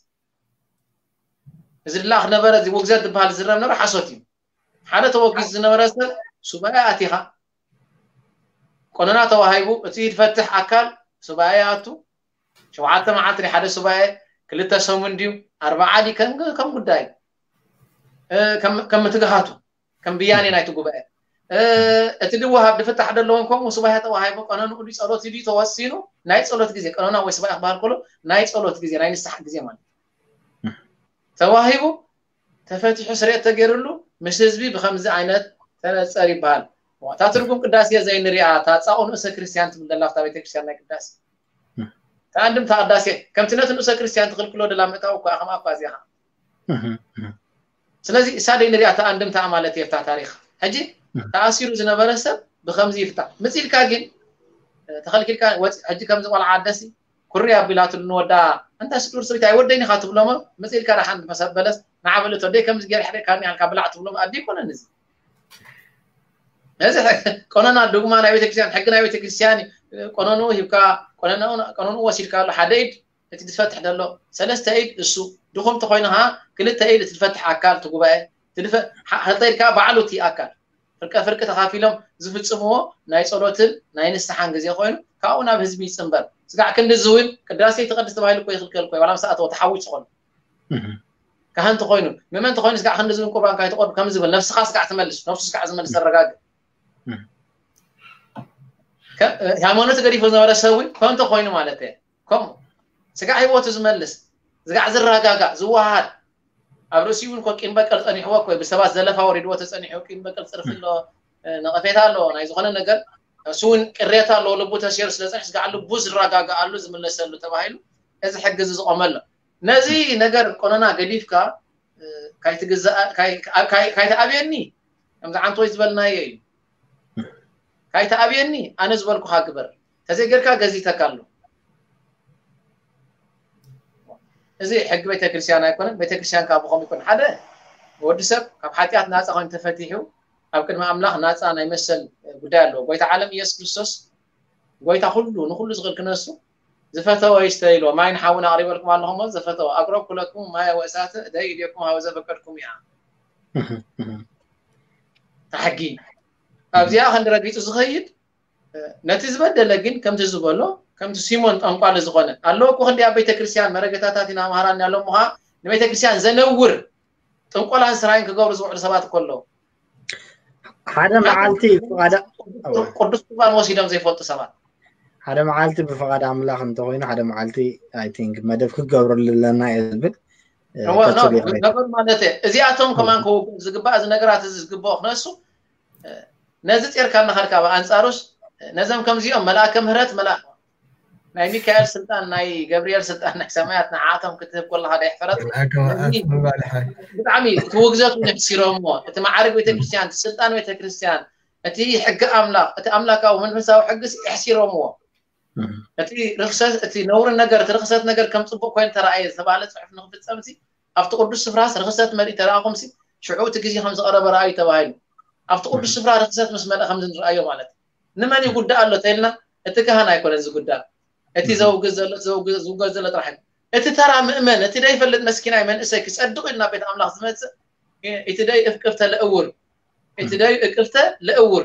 እዚ ድላ ክነበረ እዚ ውግዘት ዝበሃል ዝረብ ነበረ ሓሶት እዩ ሓደ ተወጊዝ ዝነበረ ሰብ ሱባኤ ኣቲኻ ቆነና ተዋሂቡ እቲ ዝፈትሕ ኣካል ሱባኤ ኣቱ ሸውዓተ መዓልቲ ናይ ሓደ ሱባኤ ክልተ ሰሙን ድዩ ኣርባዓ ድዩ ከም ከም ጉዳይ ከም ከም ምትግሃቱ ከም ብያኔ ናይቲ ጉባኤ እቲ ድወሃብ ድፍታሕ ደለዎን ከምኡ ሱባኤ ተዋሂቡ ቀነንኡ ድዩ ጸሎት ድዩ ተወሲኑ ናይ ጸሎት ግዜ ቀኖና ወይ ሱባኤ ክበሃል ከሎ ናይ ጸሎት ግዜ ናይ ንስሓ ግዜ ማለት ተዋሂቡ ተፈቲሑ ስርየት ተገይርሉ ምስ ህዝቢ ብከምዚ ዓይነት ተነፀር ይበሃል። እታ ትርጉም ቅዳሴ ዘይንሪኣ እታ ፃኦ ንእሰ ክርስቲያን ትብል ዘላ ኣብታ ቤተክርስትያን ናይ ቅዳሴ እታ ኣንድምታ ቅዳሴ ከምቲ ነቲ ንእሰ ክርስቲያን ትኽልክሎ ደላ ምእታው እኳ ከምኣ እኳ እዚኣ ስለዚ እሳ ደይ ንሪኣ እታ ኣንድምታ ማለት እየ እታ ታሪኽ ሕጂ ተኣሲሩ ዝነበረ ሰብ ብከምዚ ይፍታ ምፅልካ ግን ተኸልኪልካ ሕጂ ከምዚ ቆልዓ ኣደሲ ኩሪ ኣቢላትሉ ንወዳ እንታ ስዱር ስሪት ኣይወደይን ኢኻ ትብሎሞ መፅልካ ደሓን መሰበለስ ንዓበል እቶ ደይ ከምዚ ገይር ሕደ ካኒ ሃልካ ብላዕ ትብሎም ኣዲ ይኮነን እዚ ነዚ ቆነና ዱግማ ናይ ቤተክርስትያን ሕጊ ናይ ቤተክርስትያን ቆነኑ ሂብካ ቆነኑ ወሲድካ ኣሎ ሓደ ኢድ እቲ ዝፈትሕ ዘሎ ሰለስተ ኢድ እሱ ድኹም ተኮይኑ ካ ክልተ ኢድ እቲ ዝፈትሕ ኣካል እቲ ጉባኤ ክልተ ኢድ ካ ባዕሉ እቲ ኣካል ፍርቀ ፍርቂ ተኻፊሎም ዝፍጽምዎ ናይ ጸሎትን ናይ ንስሓን ግዜ ኮይኑ ካብኡ ናብ ህዝቢ ይጽንበር ስጋዕ ክንዲ ዝውን ቅዳሴ ትቐድስ ተባሂሉ እኮ ይኽልከል እኮ ዋላ ምስ ኣተወ ተሓዊሱ ኾኑ ካህን ተኮይኑ ምእመን ተኮይኑ ስጋዕ ክንዲ ዝውን ቁርባን ካይትቆርብ ከም ዝብል ነብስኻ ስጋዕ ትመልስ ነብሱ ስጋዕ ዝመልስ ኣረጋግእ ሃይማኖት ገዲፎ ዝነበረ ሰብ እውን ከምኡ ተኮይኑ ማለት እየ ከምኡ ስጋዕ ህይወቱ ዝመልስ ስጋዕ ዝረጋጋእ ዝወሃድ ኣብ ርእሲኡ እውን ኮ ቂም በቀል ጸኒሕዎ ኮ ብሰባት ዘለፋ ወሪድዎ ተጸኒሑ ቂም በቀል ጽርፊ ኣሎ ነቐፌታ ኣሎ ናይ ዝኾነ ነገር እሱ እውን ቅሬታ ኣለዎ ልቡ ተሲሩ ስለ ጸኒሕ ስጋዕ ልቡ ዝረጋጋኣሉ ዝምለሰሉ ተባሂሉ እዚ ሕጊ እዚ ዝቆመ ኣሎ ነዚ ነገር ቆነና ገዲፍካ ካይትግዛእ ካይትኣብየኒ ከምዚ ዓንቶይ ዝበልናዮ እዩ ካይትኣብየኒ ኣነ ዝበልኩኻ ግበር ተዘይገርካ ገዚተካ ኣሎ እዚ ሕጊ ቤተክርስትያን ኣይኮነን ቤተክርስትያን ካብ ብኸም ይኮን ሓደ ወዲ ሰብ ካብ ሓጢኣት ናፃ ኮይኑ ተፈቲሑ ኣብ ቅድሚ ኣምላኽ ናፃ ናይ መሰል ጉዳይ ኣለዎ ጎይታ ዓለም ኢየሱስ ክርስቶስ ጎይታ ኩሉ ንኩሉ ዝኽእል ክነሱ ዝፈተወ ይስተ ኢልዎ ማይን ሓውን ኣቕሪበልኩም ኣለኹሞ ዝፈተወ ኣቅረብኩ ለኩም ማየ ወእሳተ ደይ ኢልኩም ሃበ ዘፈቀድኩም እያ ታሕጊ ኣብዚኣ ክንዲ ረጊጹ ዝኸይድ ነቲ ዝበደለ ግን ከምቲ ዝበሎ ከምቲ ሲሞን ጠንቋሊ ዝኾነ ኣለዎ እኮ ክንዲ ኣብ ቤተክርስትያን መረገታታት ኢና መሃራን ያሎም ምዃ ንቤተክርስትያን ዘነውር ጥንቆላን ስራይን ክገብሩ ዝውዕሉ ሰባት እኮ ኣለዉ ሓደ መዓልቲ ፍቓዳ ቅዱስ ቁርባን ወሲዶም ዘይፈልጡ ሰባት ሓደ መዓልቲ ብፍቓድ ኣምላኽ እንተኮይኑ ሓደ መዓልቲ ኣይ ቲንክ መደብ ክገብረሉ ኣለና እየ ዝብል ገበር ማለት እየ እዚኣቶም ከማን ክውግእ ዝግባእ እዚ ነገራት እዚ ዝግብኦ ክነሱ ነዚ ጼርካ እናኸድካ ብኣንፃሩስ ነዞም ከምዚኦም መልኣከ ምህረት መልኣ ናይ ሚካኤል ስልጣን ናይ ገብርኤል ስልጣን ናይ ሰማያት ንዓቶም ክትህብ ከለካ ዶ ይሕፈረት ብጣዕሚ እቲ ውግዘት እውን የሕሲሮምዎ እቲ ማዕርግ ቤተክርስትያን እቲ ስልጣን ቤተክርስትያን እቲ ሕጊ ኣምላኽ እቲ ኣምላካዊ መንፈሳዊ ሕግስ የሕሲሮምዎ እቲ ርክሰት እቲ ነውሪ ነገር እቲ ርክሰት ነገር ከም ፅቡቅ ኮይኑ ተረኣየ ዝተባሃለ ፅሑፍ ንክፍፀም ኣብቲ ቅዱስ ስፍራስ ርክሰት መሊእ ተረኣኹምሲ ሽዑ እቲ ግዜ ከም ዝቐረበ ረኣዩ ተባሂሉ ኣብቲ ቅዱስ ስፍራ ርክሰት ምስ መልአ ከም ዝንረኣዮ ማለት እዩ ንመን ይጉዳእ ኣሎ ተልና እቲ ካህን ኣይኮነን ዝጉዳእ እቲ ዘውግዝ ዘሎ ዝውገዝ ዘሎ ጥራሕ እቲ ተራ ምእመን እቲ ደይፈልጥ መስኪናይ መንእሰይ ክፀድቕ ኢሉ ናብ ቤት ኣምላኽ ዝመፅእ እቲ ደይ እቅፍተ ለእውር እቲ ደይ እቅፍተ ለእውር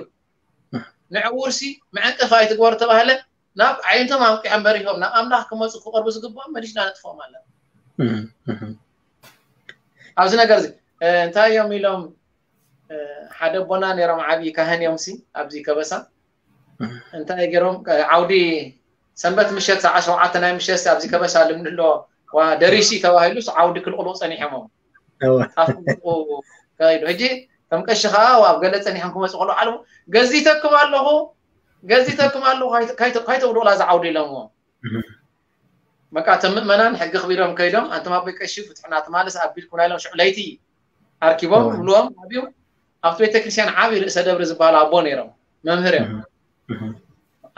ንዕውርሲ መዐንቀፊ ኣይትግበሩ ተባህለ ናብ ዓይነቶም ኣንቂሖም በሪሆም ናብ ኣምላኽ ክመፁ ክቐርቡ ዝግብኦም መሊስና ነጥፍኦም ኣለና ኣብዚ ነገር እዚ እንታይ እዮም ኢሎም ሓደ ኣቦና ነይሮም ዓብዪ ካህን እዮም ሲ ኣብዚ ከበሳ እንታይ ገይሮም ዓውዲ ሰንበት ምሸት ሰዓ ሸውዓተ ናይ ምሸት ኣብዚ ከበሳ ልምድ ኣሎ ደሪሲ ተባሂሉ ዓውዲ ክልቕሉ ፀኒሖም ከይዱ ሕጂ ከም ቀሺ ከዓ ኣብ ገለ ፀኒሖም ክመፁ ከለዉ ዓለሙ ገዚተኩም ኣለኹ ገዚተኩም ኣለኹ ካይተውድቑላ ዝዓውዲ ኢሎምዎ በቃ እቶም ምእመናን ሕጊ ክቢሮም ከይዶም ኣንቶም ኣቦይ ቀሺ ፍትሕና ትማልስ ኣቢልኩምና ኢሎም ሽዑ ለይቲ ኣርኪቦም ክብልዎም ኣብዩ ኣብቲ ቤተክርስትያን ዓብዪ ርእሰ ደብሪ ዝበሃሉ ኣቦ ነይሮም መምህር እዮም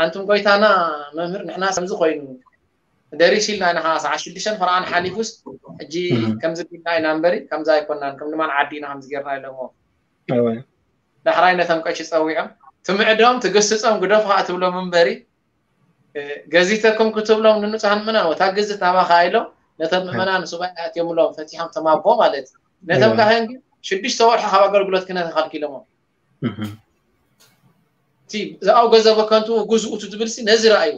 ኣንቱም ጎይታና መምህር ንሕና ከምዚ ኮይኑ ደሪስ ኢልና ኢና ከዓ ሰዓት ሽዱሽተን ፈረቓን ሓሊፉስ ሕጂ ከምዚ ቢልና ኢና እምበሪ ከምዚ ኣይኮናን ከም ልማን ዓዲ ኢና ከምዚ ጌርና ኢሎሞ ዳሕራይ ነቶም ቀሺ ፀዊዖም ትምዕዶም ትግስፆም ግደፉ ከዓ ትብሎም እምበሪ ገዚተኩም ክትብሎም ንንፁሃን ምእመናን ወታ ግዝት ናባኻ ኢሎም ነቶም ምእመናን ሱባኤ ኣትዮምሎም ፈቲሖም ተማቦ ማለት እዩ ነቶም ካህን ግን ሽዱሽተ ወርሒ ካብ ኣገልግሎት ክህነት ተኸልኪሎሞም እቲ ዝኣው ገንዘብ ከንቱ ግዝኡ እቲ ዝብል ነዚ ረኣይዎ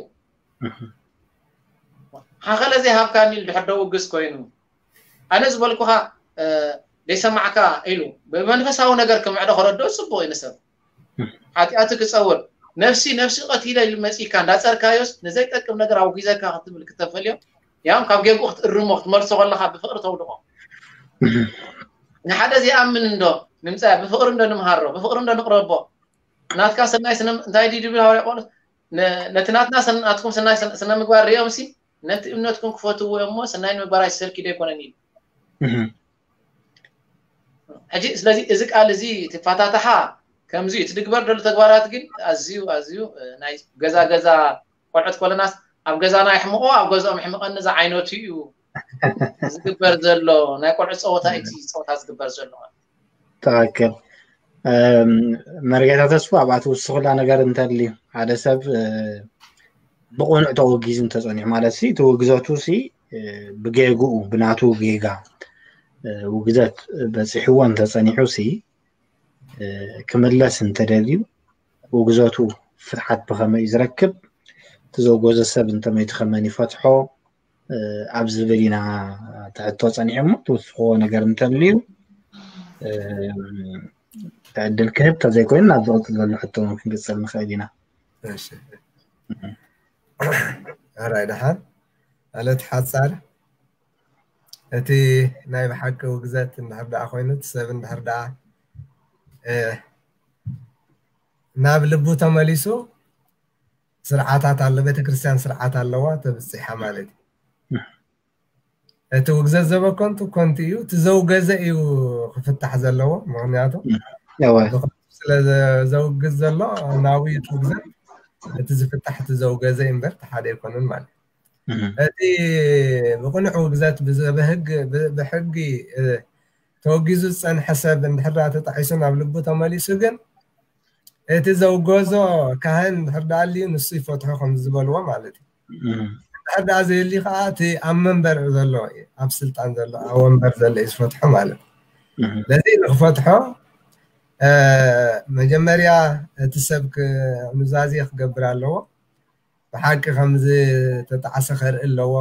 ሓኸለ ዘይሃብካኒ ድሕር ደውግዝ ኮይኑ ኣነ ዝበልኩኻ ዘይሰማዕካ ኢሉ ብመንፈሳዊ ነገር ክምዕዶ ከረድኦ ፅቡቅ እዩ ንሰብ ሓጢኣቱ ክፀውር ነፍሲ ነፍሲ ቀቲለ ኢሉ መፂካ እንዳፀርካዮስ ንዘይጠቅም ነገር ኣውጊዘካ ክትብል ክተፈልዮ ያም ካብ ጌግኡ ክትእርሞ ክትመልሶ ከለካ ብፍቅሪ ተውድቆ ንሓደ ዘይኣምን እንዶ ንምፃ ብፍቕሪ እንዶ ንምሃሮ፣ ብፍቕሪ እንዶ ንቕረቦ። ናትካ ሰናይ ስነ እንታይ ድዩ ድብል ሃዋርያ ጳውሎስ? ነቲ ናትና ናትኩም ሰናይ ስነ ምግባር ሪኦም ሲ ነቲ እምነትኩም ክፈትዎ እሞ ሰናይ ንምግባር ኣይሰርኪ ዶ ኣይኮነን ኢሉ። ሕጂ ስለዚ እዚ ቃል እዚ ትፋታተሓ ከምዚ ትድግበር ደሉ ተግባራት ግን ኣዝዩ ኣዝዩ ናይ ገዛ ገዛ ቆልዑት ኮለናስ ኣብ ገዛና ይሕምቆ ኣብ ገዛኦም ይሕምቀኒ ዝዓይነቱ እዩ ዝግበር ዘሎ ናይ ቆልዑት ፀወታ እቲ ፀወታ ዝግበር ዘሎ። ትክክል። መርጌታ ተስፉ ኣብኣ ትውስኹላ ነገር እንተልዩ ሓደ ሰብ ብቕኑዕ ተወጊዙ እንተፀኒሑ ማለት ሲ እቲ ውግዘቱ ሲ ብጌግኡ ብናቱ ጌጋ ውግዘት በፂሕዎ እንተፀኒሑ ሲ ክምለስ እንተደልዩ ውግዘቱ ፍትሓት ብኸመይ ዝረክብ እቲ ዘውገዘ ሰብ እንተመይቱ ከመን ይፈትሖ ኣብ ዝብል ኢና ትሕቶ ፀኒሑ እሞ ትውስኽዎ ነገር እንተልዩ ዕድል ክህብ ተዘይኮይኑ ናብ ዝቕፅል ዘሎ ሕቶ እውን ክንቅፅል ንኽእል ኢና። ኣራይ ደሓን ማለት ሓፃር እቲ ናይ ብሓቂ ውግዘት እንድሕር ደኣ ኮይኑ እቲ ሰብ እንድሕር ደኣ ናብ ልቡ ተመሊሱ ስርዓታት ኣሎ ቤተክርስትያን ስርዓት ኣለዋ ተብፅሓ ማለት እዩ። እቲ ውግዘት ዘበከንቱ ኮንቲ እዩ እቲ ዘውገዘ እዩ ክፍታሕ ዘለዎ ምክንያቱ ስለ ዘውግዝ ዘሎ ናብኡ እዩ እቲ ውግዘት እቲ ዝፍታሕ እቲ ዘውገዘ እምበር እቲ ሓደ ኣይኮነን ማለት እዩ። እቲ ብቕኑዕ ውግዘት ብህግ ብሕጊ ተወጊዙ ዝፀንሐ ሰብ እንድሕር ተጣሒሱ ናብ ልቡ ተመሊሱ ግን እቲ ዘውገዞ ካህን እንድሕር ኣልዩ ንሱ ይፈትሖ ከም ዝበልዎ ማለት እዩ። እንድሕር ደኣ ዘየሊ ከዓ እቲ ኣብ መንበር ዘሎ ኣብ ስልጣን ዘሎ ኣብ ወንበር ዘሎ እዩ ዝፈትሖ ማለት እዩ። ስለዚ ንክፈትሖ መጀመርያ እቲ ሰብ ኑዛዜ ክገብር ኣለዎ። ብሓቂ ከም ዝተጣዕሰ ከርኢ ኣለዎ።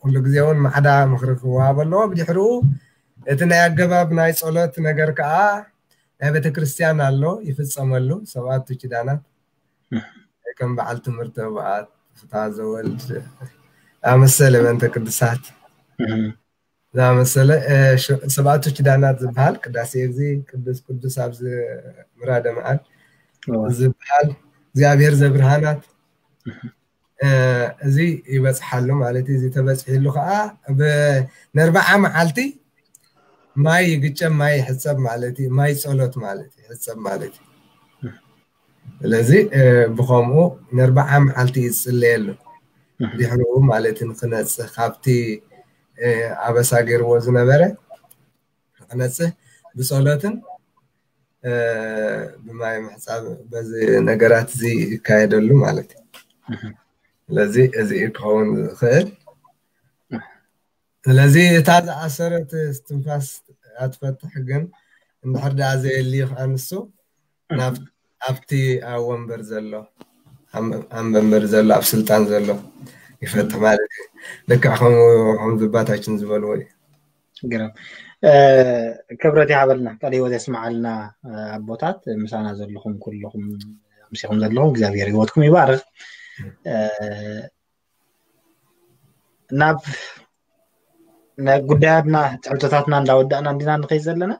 ኩሉ ግዜ እውን ማዕዳ ምኽሪ ክወሃብ ኣለዎ። ብድሕሪኡ እቲ ናይ ኣገባብ ናይ ጸሎት ነገር ከዓ ናይ ቤተ ክርስቲያን ኣሎ ይፍጸመሉ። ሰብኣቱ ኪዳናት ከም በዓል ትምህርቲ ህቡኣት፣ ፍትሐ ዘወልድ ኣመሰለ በእንተ ቅዱሳት ዝኣመሰለ ሰብኣቱ ኪዳናት ዝበሃል ቅዳሴ እዚ ቅዱስ ቅዱስ ኣብዚ ምራደ መዓል ዝበሃል እግዚኣብሔር ዘብርሃናት እዚ ይበፅሓሉ ማለት እዩ። እዚ ተበፅሒሉ ከዓ ነርባዓ መዓልቲ ማይ ይግጨም ማይ ይሕፀብ ማለት እዩ። ማይ ፀሎት ማለት ይሕፀብ ማለት እዩ። ስለዚ ብከምኡ ነርባዓ መዓልቲ እዩ ዝፅለየሉ ድሕሪኡ ማለት ንክነፅህ ካብቲ ኣበሳ ገይርዎ ዝነበረ ንክነፅህ ብፀሎትን ብማይ ምሕፃብ በዚ ነገራት እዚ ይካየደሉ ማለት እዩ። ስለዚ እዚ ክኸውን ዝኽእል ስለዚ እታ ዝኣሰረት ትንፋስ ኣትፈትሕ ግን እንድሕር ደኣ ዘየልዩ ከዓ ንሱ ኣብቲ ኣብ ወንበር ዘሎ ኣብ መንበር ዘሎ ኣብ ስልጣን ዘሎ ይፈትሕ ማለት እዩ። ልክዕ ከም ዝባታችን ዝበልዎ እዩ። ግርም ክብረት ይሃበልና ቃል ህይወት የስምዓልና። ኣቦታት ምሳና ዘለኹም ኩልኹም ምሲኹም ዘለኹም እግዚኣብሔር ህይወትኩም ይባርክ። ናብ ጉዳያትና ትሕቶታትና እንዳወዳእና እንዲና ንኸይ ዘለና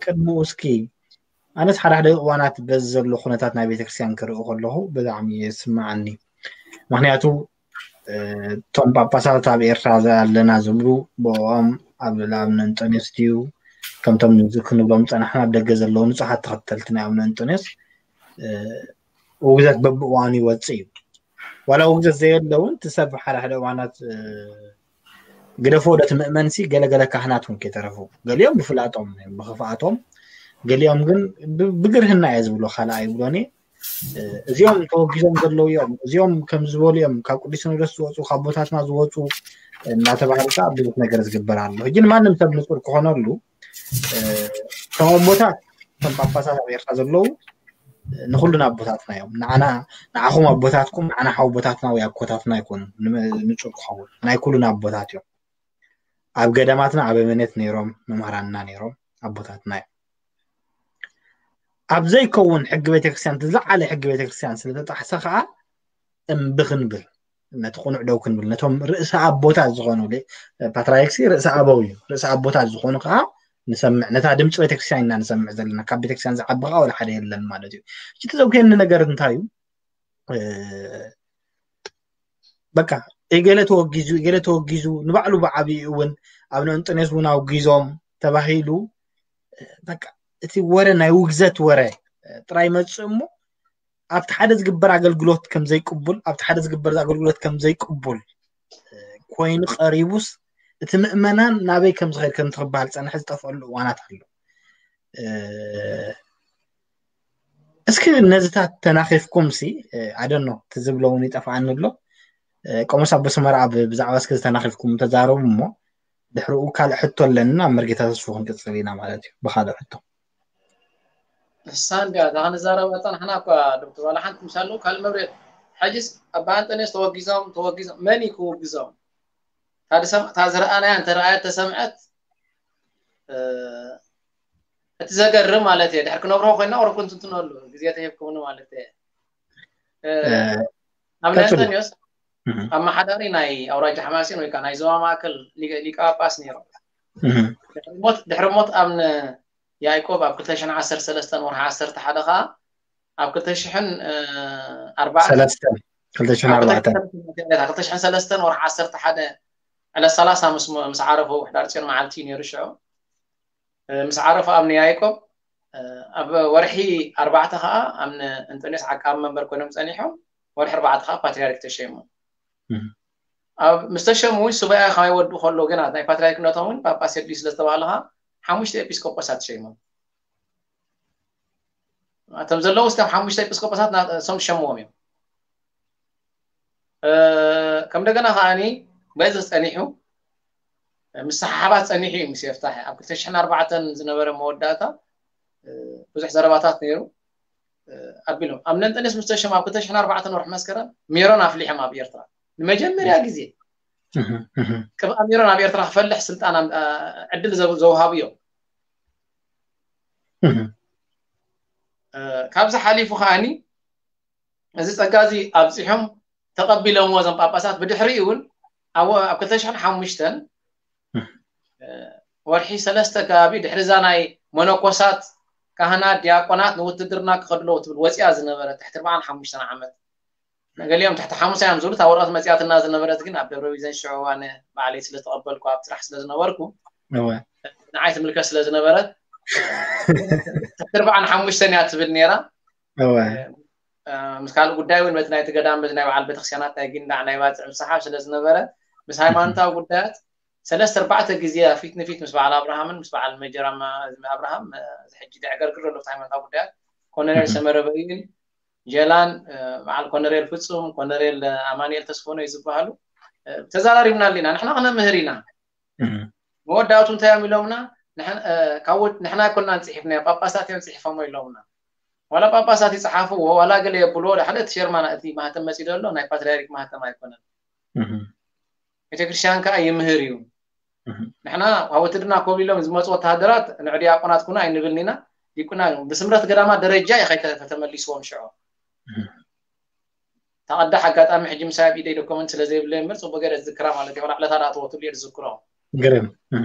ቅድሚኡ እስኪ ኣነስ ሓደ ሓደ እዋናት በዚ ዘሎ ኩነታት ናይ ቤተክርስትያን ክርኢ ከለኹ ብጣዕሚ ይስምዓኒ። ምክንያቱ እቶም ጳጳሳት ኣብ ኤርትራ ኣለና ዝብሉ ብኦም ኣብ ልዕሊ ኣቡነ እንጦንዮስ ድዩ ከምቶም ክንብሎም ዝፀናሕና ኣብ ደገ ዘለዉ ንፁሓት ተኸተልቲ ናይ ኣቡነ እንጦንዮስ ውግዘት በብእዋኑ ይወፅእ እዩ። ዋላ ውግዘት ዘየለ እውን እቲ ሰብ ሓደ ሓደ እዋናት ግደፎ ወደ እቲ ምእመንሲ ገለገለ ካህናት እውን ከይተረፉ ገሊኦም ብፍላጦም ብክፍኣቶም ገሊኦም ግን ብግርህና እየ ዝብሎ ካልኣ ይብሎኒ። እዚኦም ተወጊዞም ዘለዉ እዮም እዚኦም ከም ዝበሉ እዮም ካብ ቅዱስ ሲኖዶስ ዝወፁ ካብ ቦታትና ዝወፁ እናተባሃሉ ከዓ ብዙሕ ነገር ዝግበር ኣሎ። ሕጂ ንማንም ሰብ ንፁር ክኾነሉ እቶም ኣቦታት እቶም ጳጳሳት ኣብ ኤርትራ ዘለዉ ንኩሉና ኣቦታትና እዮም። ንዓና ንዓኹም ኣቦታትኩም ንዓና ሓወቦታትና ወይ ኣኮታትና ኣይኮኑን ንፁር ክኸውን ናይ ኩሉና ኣቦታት እዮም። ኣብ ገዳማትና ኣበምኔት ነይሮም መምህራንና ነይሮም ኣቦታትና እዮም። ኣብ ዘይከውን ሕጊ ቤተክርስትያን ዝለዓለ ሕጊ ቤተክርስትያን ስለተጣሕሰ ከዓ እምቢ ክንብል ነቲ ቅኑዕ ደው ክንብል፣ ነቶም ርእሰ ኣቦታት ዝኾኑ፣ ፓትርያርክሲ ርእሰ ኣበው እዩ። ርእሰ ኣቦታት ዝኾኑ ከዓ ንሰምዕ፣ ነታ ድምፂ ቤተክርስትያን ኢና ንሰምዕ ዘለና። ካብ ቤተክርስትያን ዝዓቢ ከዓ ወላ ሓደ የለን ማለት እዩ። እቲ ዘውክየኒ ነገር እንታይ እዩ? በቃ፣ እገለ ተወጊዙ፣ እገለ ተወጊዙ፣ ንባዕሉ ብዓብዩ እውን ኣብ ንእንጦንዮስ እውን ኣውጊዞም ተባሂሉ፣ በቃ፣ እቲ ወረ ናይ ውግዘት ወረ ጥራይ መፅእ እሞ፣ ኣብቲ ሓደ ዝግበር ኣገልግሎት ከም ዘይቅቡል፣ ኣብቲ ሓደ ዝግበር ኣገልግሎት ከም ዘይቅቡል ኮይኑ ቀሪቡስ፣ እቲ ምእመናን ናበይ ከም ዝኸድ ከም ትኽበሃል ፀንሐ ዝጠፍአሉ እዋናት ኣሎ። እስኪ ነዚታት ተናኺፍኩም ሲ፣ ኣደኖ፣ ትዝብሎ እውን ይጠፍኣኒ ኣሎ። ቆሞስ ኣቦ ሰመራ ኣብ ብዛዕባ እስኪ ዝተናኺፍኩም ተዛረቡ እሞ፣ ድሕሪኡ ካልእ ሕቶ ኣለኒ፣ ኣብ መርጌታ ተስፉ ክንቅፅል ኢና ማለት እዩ ብካልእ ሕቶ። ንሳ እንዲያ እዛ ክንዛረባ ጸናሕና እኳ ዶክተር፣ ዋላ ሓንቲ ምሳሉ ካልእ መብሬት። ሕጅስ ኣባ ኣንጠንዮስ ተወጊዞም ተወጊዞም፣ መን እዩ ክውግዞም? እታ ዝረኣናያ እንተረኣየት ተሰምዐት፣ እቲ ዘገርም ማለት እየ። ድሕር ክነብርሆ ኮይና ቁሩብ ክንትንትነሉ ግዜ ተሂብኩምኒ ማለት እየ። ኣብ ናይ ኣንጠንዮስ ኣመሓዳሪ ናይ ኣውራጃ ሓማሴን ወይ ከዓ ናይ ዞባ ማእከል ሊቀ ጳጳስ ነይሮም። ድሕሪ ሞት ኣብነ ያዕቆብ ኣብ ክልተ ሽሕን ዓሰርተ ሰለስተን ወርሒ ዓሰርተ ሓደ ከዓ ኣብ ክልተ ሽሕን ኣርባዕተን ክልተ ሽሕን ሰለስተን ወርሒ ዓሰርተ ሓደ ዕለት ሰላሳ ምስ ዓረፉ፣ ሕዳር ፅዮን መዓልቲ ነይሩ ሽዑ። ምስ ዓረፉ ኣብነ ያዕቆብ ኣብ ወርሒ ኣርባዕተ ከዓ ኣብነ እንጠንዮስ ዓቃቢ መንበር ኮይኖም ፀኒሖም። ወርሒ ኣርባዕተ ከዓ ፓትርያርክ ተሸይሞም። ኣብ ምስ ተሸሙ እውን ሱባኤ ካብ ይወድኡ ከሎ ግና ናይ ፓትርያርክነቶም እውን ጳጳስ የድልዩ ስለ ዝተባህለ ከዓ ሓሙሽተ ኤጲስቆጶሳት ተሸይሞም። እቶም ዘለዉ እስካብ ሓሙሽተ ኤጲስቆጶሳት እሶም ዝሸምዎም እዮም። ከም እንደገና ከዓኒ በዚ ጸኒሑ ምስሓሓባት ጸኒሑ እዩ ምስ የፍታሕ። ኣብ ክልተ ሽሕን ኣርባዕተን ዝነበረ መወዳእታ ብዙሕ ዘረባታት ነይሩ። ኣቢሎም ኣብ ነንጠንዮስ ምስ ተሸሙ ኣብ ክልተ ሽሕን ኣርባዕተን ወርሒ መስከረም ሜሮን ኣፍሊሖም ኣብ ኤርትራ ንመጀመርያ ግዜ ቅብኣ ሜሮን ኣብ ኤርትራ ክፈልሕ ስልጣን ዕድል ዘውሃቡ እዮም። ካብዚ ሓሊፉ ከዓኒ እዚ ጸጋ እዚ ኣብጺሖም ተቐቢሎምዎ እዞም ጳጳሳት። ብድሕሪኡ እውን ኣብ ክልተ ሽሕን ሓሙሽተን ወርሒ ሰለስተ ከባቢ ድሕሪ እዛ ናይ መነኮሳት፣ ካህናት፣ ዲያቆናት ንውትድርና ክኸዱ ኣለዉ ትብል ወፂኣ ዝነበረት ትሕቲ ኣርባዓን ሓሙሽተን ዓመት፣ ገሊኦም ትሕቲ ሓሙሳ እዮም ዝብሉ፣ እታ ወረቐት መፂኣትና ዝነበረት ግን ኣብ ደብረ ቢዘን ሽዑ ኣነ ባዕለይ ስለ ዝተቐበልኩ ኣብ ስራሕ ስለ ዝነበርኩ ንዓይ ትምልከት ስለ ዝነበረት ትሕቲ ኣርባዓን ሓሙሽተን እያ ትብል ነይራ። ምስ ካልእ ጉዳይ እውን በቲ ናይቲ ገዳም በቲ ናይ በዓል ቤተክርስትያናት ናይ ጊንዳዕ ናይ ባፅዕ ምስሓብ ስለ ዝነበረ ምስ ሃይማኖታዊ ጉዳያት ሰለስተ ኣርባዕተ ግዜ ፊት ንፊት ምስ በዓል ኣብርሃምን ምስ በዓል ሜጀር ኣማ- ኣዝሚ ኣብርሃም እዚ ሕጂ ደዕገርግር ዘሎ ሃይማኖታዊ ጉዳያት ኮነሬል ሰመረ በይን ጀላን በዓል ኮነሬል ፍጹም ኮነሬል ኣማኑኤል ተስፎኖ እዩ ዝበሃሉ ተዛራሪብና ኣለና። ንሕና ክነምህር ኢና። መወዳእቱ እንታይ እዮም ኢሎምና? ንሕና ኣይኮናን ፅሒፍናዮ ጳጳሳት እዮም ፅሒፎሞ ኢሎምና። ዋላ ጳጳሳት ይፅሓፍዎ ዋላ ገለ የብልዎ ሓደ እቲ ሸርማና እቲ ማህተም መፂ ዘሎ ናይ ፓትርያርክ ማህተም ኣይኮነን። ቤተክርስትያን ከዓ ይምህር እዩ። ንሕና ኣብ ውትድርና ኮብሊሎም ዝመፁ ወተሃደራት ንዑ ዲያቆናት ኩኑ ኣይንብልን ኢና። ዲቁና ብስምረት ገዳማት ደረጃ እዩ ከይተረፈ ተመሊስዎም ሽዑ። ተቐዳሕ ኣጋጣሚ ሕጂ ምሳይ ኣብ ኢደይ ዶኮመንት ስለ ዘይብለይ እምበር ፅቡቅ ገይረ ዝዝክራ ማለት እዩ። ዕለታ ዳ ተወትሉ እየ ዝዝክሮ። ግርም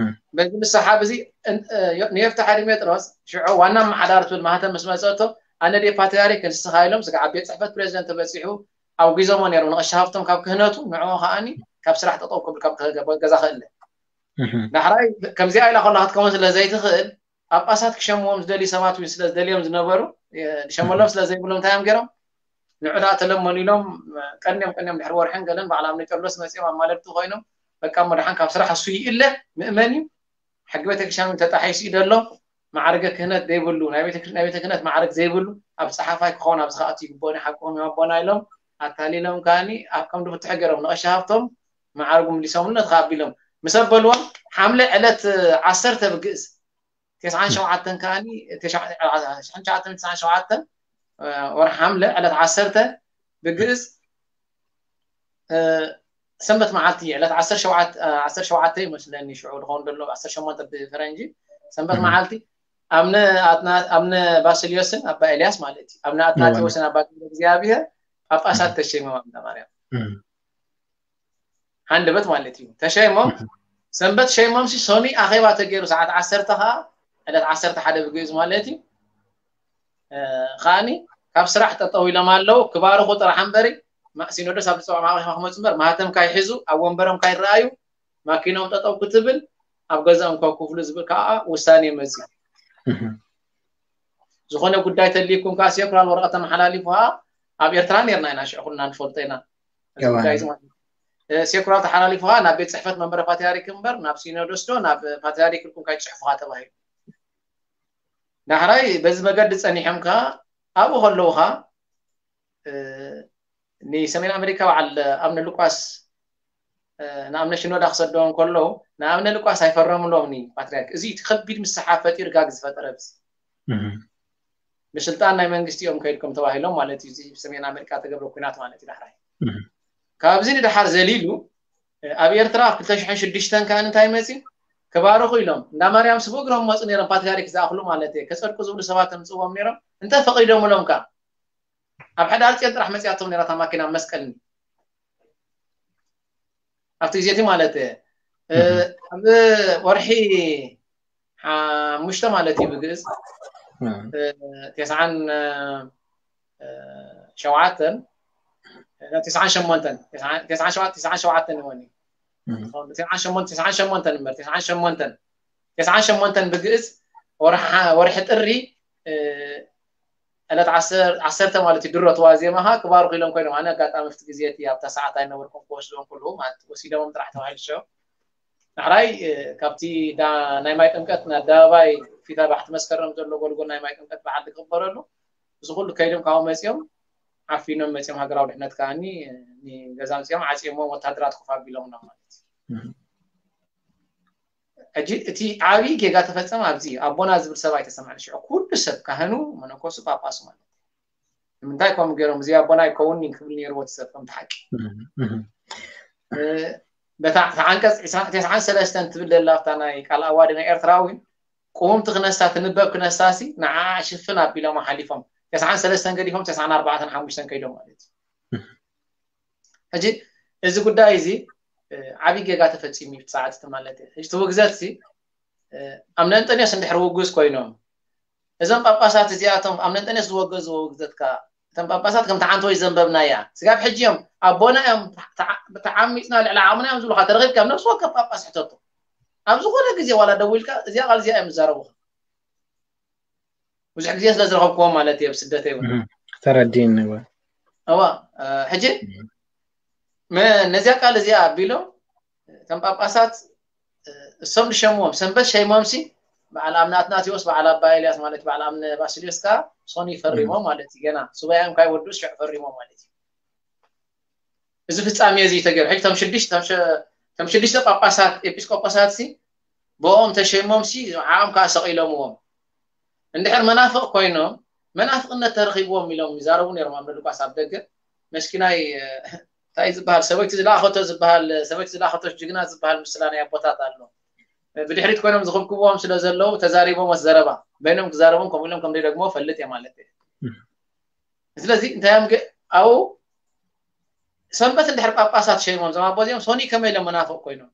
በዚ ምስሓብ እዚ ንየፍትሓ ዲሜጥሮስ ሽዑ ዋና ኣመሓዳሪ ትብል ማህተም ምስ መፀቶ ኣነ ደ ፓትርያርክ ንስኻ ኢሎም ስጋዕ ቤት ፅሕፈት ፕሬዚደንት ተበፂሑ ኣውጊዞሞ ነይሮም ንቐሺ ሃፍቶም ካብ ክህነቱ ንዕኡ ከዓኒ ካብ ስራሕ ጠጠው ክብል ካብ ገዛ ክእለ ዳሕራይ ከምዚኣ ኢላ ከላ ክትከውን ስለ ዘይትኽእል ጳጳሳት ክሸምዎም ዝደልዩ ሰባት እውን ስለ ዝደልዮም ዝነበሩ ዝሸመሎም ስለ ዘይብሎም እንታይ እዮም ገይሮም ንዑ ደኣ ተለመኑ ኢሎም ቀንዮም ቀንዮም ድሕሪ ወርሕን ገለን በዓል ኣምነ ቄርሎስ መፅኦም ኣማለድቲ ኮይኖም በቃ እሞ ደሓን ካብ ስራሕ እሱ ይእለ ምእመን እዩ ሕጊ ቤተክርስትያን እውን ተጣሒሱ እዩ ዘሎ ማዕርገ ክህነት ዘይብሉ ናይ ቤተ ክህነት ማዕርግ ዘይብሉ ኣብ ፀሓፋይ ክኸውን ኣብዚ ከኣቱ ይግበኦ ሓቅኹም እዮም ኣቦና ኢሎም ኣታሊሎም ከዓኒ ኣብ ከም ድፍትሑ ገይሮም ንቐሺ ሃፍቶም ማዕርጉ ምሊሶምሉ ነቲ ከኣቢሎም ምስ ኣበልዎም ሓምለ ዕለት ዓሰርተ ብግእዝ ተስዓን ሸውዓተን ከዓኒ ተስዓን ሸውዓተን ወርሒ ሓምለ ዕለት ዓሰርተ ብግእዝ ሰንበት መዓልቲ ዕለት ዓሰርተ ሸውዓተ ይመስለኒ ሽዑ ዝኸውን ዘሎ ዓሰርተ ሸሞንተ ብፈረንጂ ሰንበት መዓልቲ ኣብነ ባስልዮስን ኣባ ኤልያስ ማለት እዩ ኣብነ ኣትናቴዎስን ኣባ ገብረ እግዚኣብሔር ጳጳሳት ተሸይሞም ኣብነ ማርያም ሃንደበት ማለት እዩ። ተሸይሞም ሰንበት ሸይሞም ሲ ሶኒ ኣኼባ ተገይሩ ሰዓት ዓሰርተ ከዓ ዕለት ዓሰርተ ሓደ ብግእዝ ማለት እዩ። ከዓኒ ካብ ስራሕ ጠጠው ኢሎም ኣለዉ። ክባርኹ ጥራሕ እምበሪ ሲኖዶስ ኣብ ዝፀውዖም ኣኼባ ክመፁ እምበር ማህተም ካይሕዙ ኣብ ወንበሮም ካይረኣዩ ማኪኖም ጠጠው ክትብል ኣብ ገዛኦም ከክፍሉ ዝብል ከዓ ውሳኔ መፅዩ። ዝኾነ ጉዳይ ተልይኩም ከዓ ሴኩራል ወረቐት ተመሓላሊፉ ከዓ ኣብ ኤርትራ ነርና ኢና ሽዑ ኩልና ንፈልጦ ኢና። ሴኩራል ተሓላሊፉ ከዓ ናብ ቤት ፅሕፈት መንበረ ፓትሪያርክ እምበር ናብ ሲኖዶስ ዶ ናብ ፓትሪያርክ ኢልኩም ካይትፅሕፉ ከዓ ተባሂሉ። ዳሕራይ በዚ መገዲ ፀኒሖም ከዓ ኣብኡ ከለዉ ከዓ ንሰሜን ኣሜሪካ በዓል ኣብነ ሉቃስ ንኣብነ ሽኖዳ ክሰደዎም ከለዉ ንኣብነ ሉቃስ ኣይፈረምሎም ፓትሪያርክ። እዚ እቲ ከቢድ ምስሓብ ፈጢሩ ጋግ ዝፈጠረ ብዚ ብስልጣን ናይ መንግስቲ እዮም ከይድኩም ተባሂሎም ማለት እዩ። ሰሜን ኣሜሪካ ተገብረ ኩናት ማለት እዩ። ዳሕራይ ካብዚ ንድሓር ዘሊሉ ኣብ ኤርትራ ኣብ ክልተ ሽሕን ሽዱሽተን ከኣ እንታይ መፂ ክባርኹ ኢሎም እንዳ ማርያም ስቡ እግሮም መፁ ነይሮም። ፓትሪያርክ ዝኣኽሉ ማለት እየ ከፀድቁ ዝብሉ ሰባት ምፅዎም ነይሮም። እንተ ፈቒዶምሎም ከ ኣብ ሕዳር ፅዮን ጥራሕ መፅያቶም ነይራ እታ ማኪና መስቀልኒ ኣብቲ ግዜ እቲ ማለት እየ ኣብ ወርሒ ሓሙሽተ ማለት እዩ ብግእዝ ተስዓን ሸውዓተን ተስዓን ሸሞንተን ተስዓን ሸውዓተን ይኾን ተስዓን ሸሞንተን እምበር ተስዓን ሸሞንተን ተስዓን ሸሞንተን ብግእዝ ወርሒ ጥሪ ዕለት ዓሰርተ ማለት እዩ ድሮ ተዋዜማኻ ክባርኩ ኢሎም ኮይኖም ኣነ ኣጋጣሚ ፍቲ ግዜ እቲ ኣብታ ሰዓት ኣይነበርኩም ክወስዶም ኩሉ ማለት ወሲዶም ጥራሕ ተባሂሉ ሸው ዳሕራይ ካብቲ ናይ ማይ ጥምቀት ንኣደባባይ ፊት ኣርባዕተ መስከረም ዘሎ ጎልጎል ናይ ማይ ጥምቀት በዓል ዝግበረሉ እዚ ኩሉ ከይዶም ካብኡ መፂኦም ዓፊኖም መፂኦም ሃገራዊ ድሕነት ከዓኒ ንገዛ መፂኦም ዓፂኦምዎም ወታደራት ኮፍ ኣቢሎምና ማለት እዩ። ሕጂ እቲ ዓብዪ ጌጋ ተፈፀመ ኣብዚ ኣቦና ዝብል ሰብ ኣይተሰማዕን ሽዑ ኩሉ ሰብ ካህኑ መነኮሱ ጳጳሱ ማለት ንምንታይ ከምኡ ገይሮም እዚ ኣቦና ኣይከውን ክብል ነይርዎ እቲ ሰብ ከምቲ ሓቂ በታ ዓንቀፅ ተስዓን ሰለስተን ትብል ዘላ ኣብታ ናይ ቃል ኣዋዲ ናይ ኤርትራዊ ቅውምቲ ክነሳ ትንበብ ክነሳ ሲ ንዓ ሽፍን ኣቢሎም ሓሊፎም ተስዓን ሰለስተን ገዲፎም ተስዓን ኣርባዕተን ሓሙሽተን ከይዶም ማለት እዩ። ሕጂ እዚ ጉዳይ እዚ ዓብዪ ጌጋ ተፈፂሙ እዩ ሰዓት ማለት እዩ። ሕጂ ትውግዘት ሲ ኣብ ነንጠንዮስ እንድሕር ውጉዝ ኮይኖም እዞም ጳጳሳት እዚኣቶም ኣብ ነንጠንዮስ ዝወገዝዎ ውግዘት ከ እቶም ጳጳሳት ከም ተዓንተወይ ዘንበብናያ ስጋብ ሕጂ እዮም ኣቦና እዮም ተዓሚፅና ልዕሊ ዓቕምና እዮም ዝብሉካ ተረኺብካ ኣብ ነብሲ ወከፍ ጳጳስ ሕተቶ ኣብ ዝኾነ ግዜ ዋላ ደዊልካ እዚኣ ቃል እዚኣ እዮም ዝዛረቡካ ብዙሕ ግዜ ስለ ዝረኸብክዎም ማለት እየ ብስደተይ እውን ተረዲኒ እዋ ሕጂ ነዚኣ ቃል እዚኣ ኣቢሎም እቶም ጳጳሳት እሶም ዝሸምዎም ሰንበት ሸይሞምሲ በዓል ኣምነ ኣትናቴዎስ በዓል ኣባ ኤልያስ ማለት በዓል ኣምነ ባስልዮስ ከዓ ሶኒ ፈሪሞም ማለት እዩ ገና ሱባኤም ካይወዱ ሽዕ ፈሪሞም ማለት እዩ እዚ ፍፃሜ እዚ ተገይሩ ሕጂ ቶም ሽዱሽተ ጳጳሳት ኤጲስቆጶሳት ሲ ብኦም ተሸይሞም ሲ ዓኦም ከዓ ሰቂሎምዎም እንድሕር መናፍቅ ኮይኖም መናፍቅነት ተረኪብዎም ኢሎም ይዛረቡ ነይሮም ኣብ ሉቃስ ኣብ ደገ መስኪናይ እንታይ ዝበሃል ሰበይቲ ዝለኣኸቶ ዝበሃል ሰበይቲ ዝለኣኸቶ ጅግና ዝበሃል ምስላ ናይ ኣቦታት ኣሎ ብድሕሪት ኮይኖም ዝኽብክብዎም ስለ ዘለዉ ተዛሪቦም ዘረባ በይኖም ክዛረቦም ከምኡ ኢሎም ከም ደግሞ ፈልጥ እየ ማለት እየ ስለዚ እንታይ እዮም ኣብኡ ሰንበት እንድሕር ጳጳሳት ሸይሞም ዞም ኣቦዚኦም ሶኒ ከመይ ኢሎም መናፍቅ ኮይኖም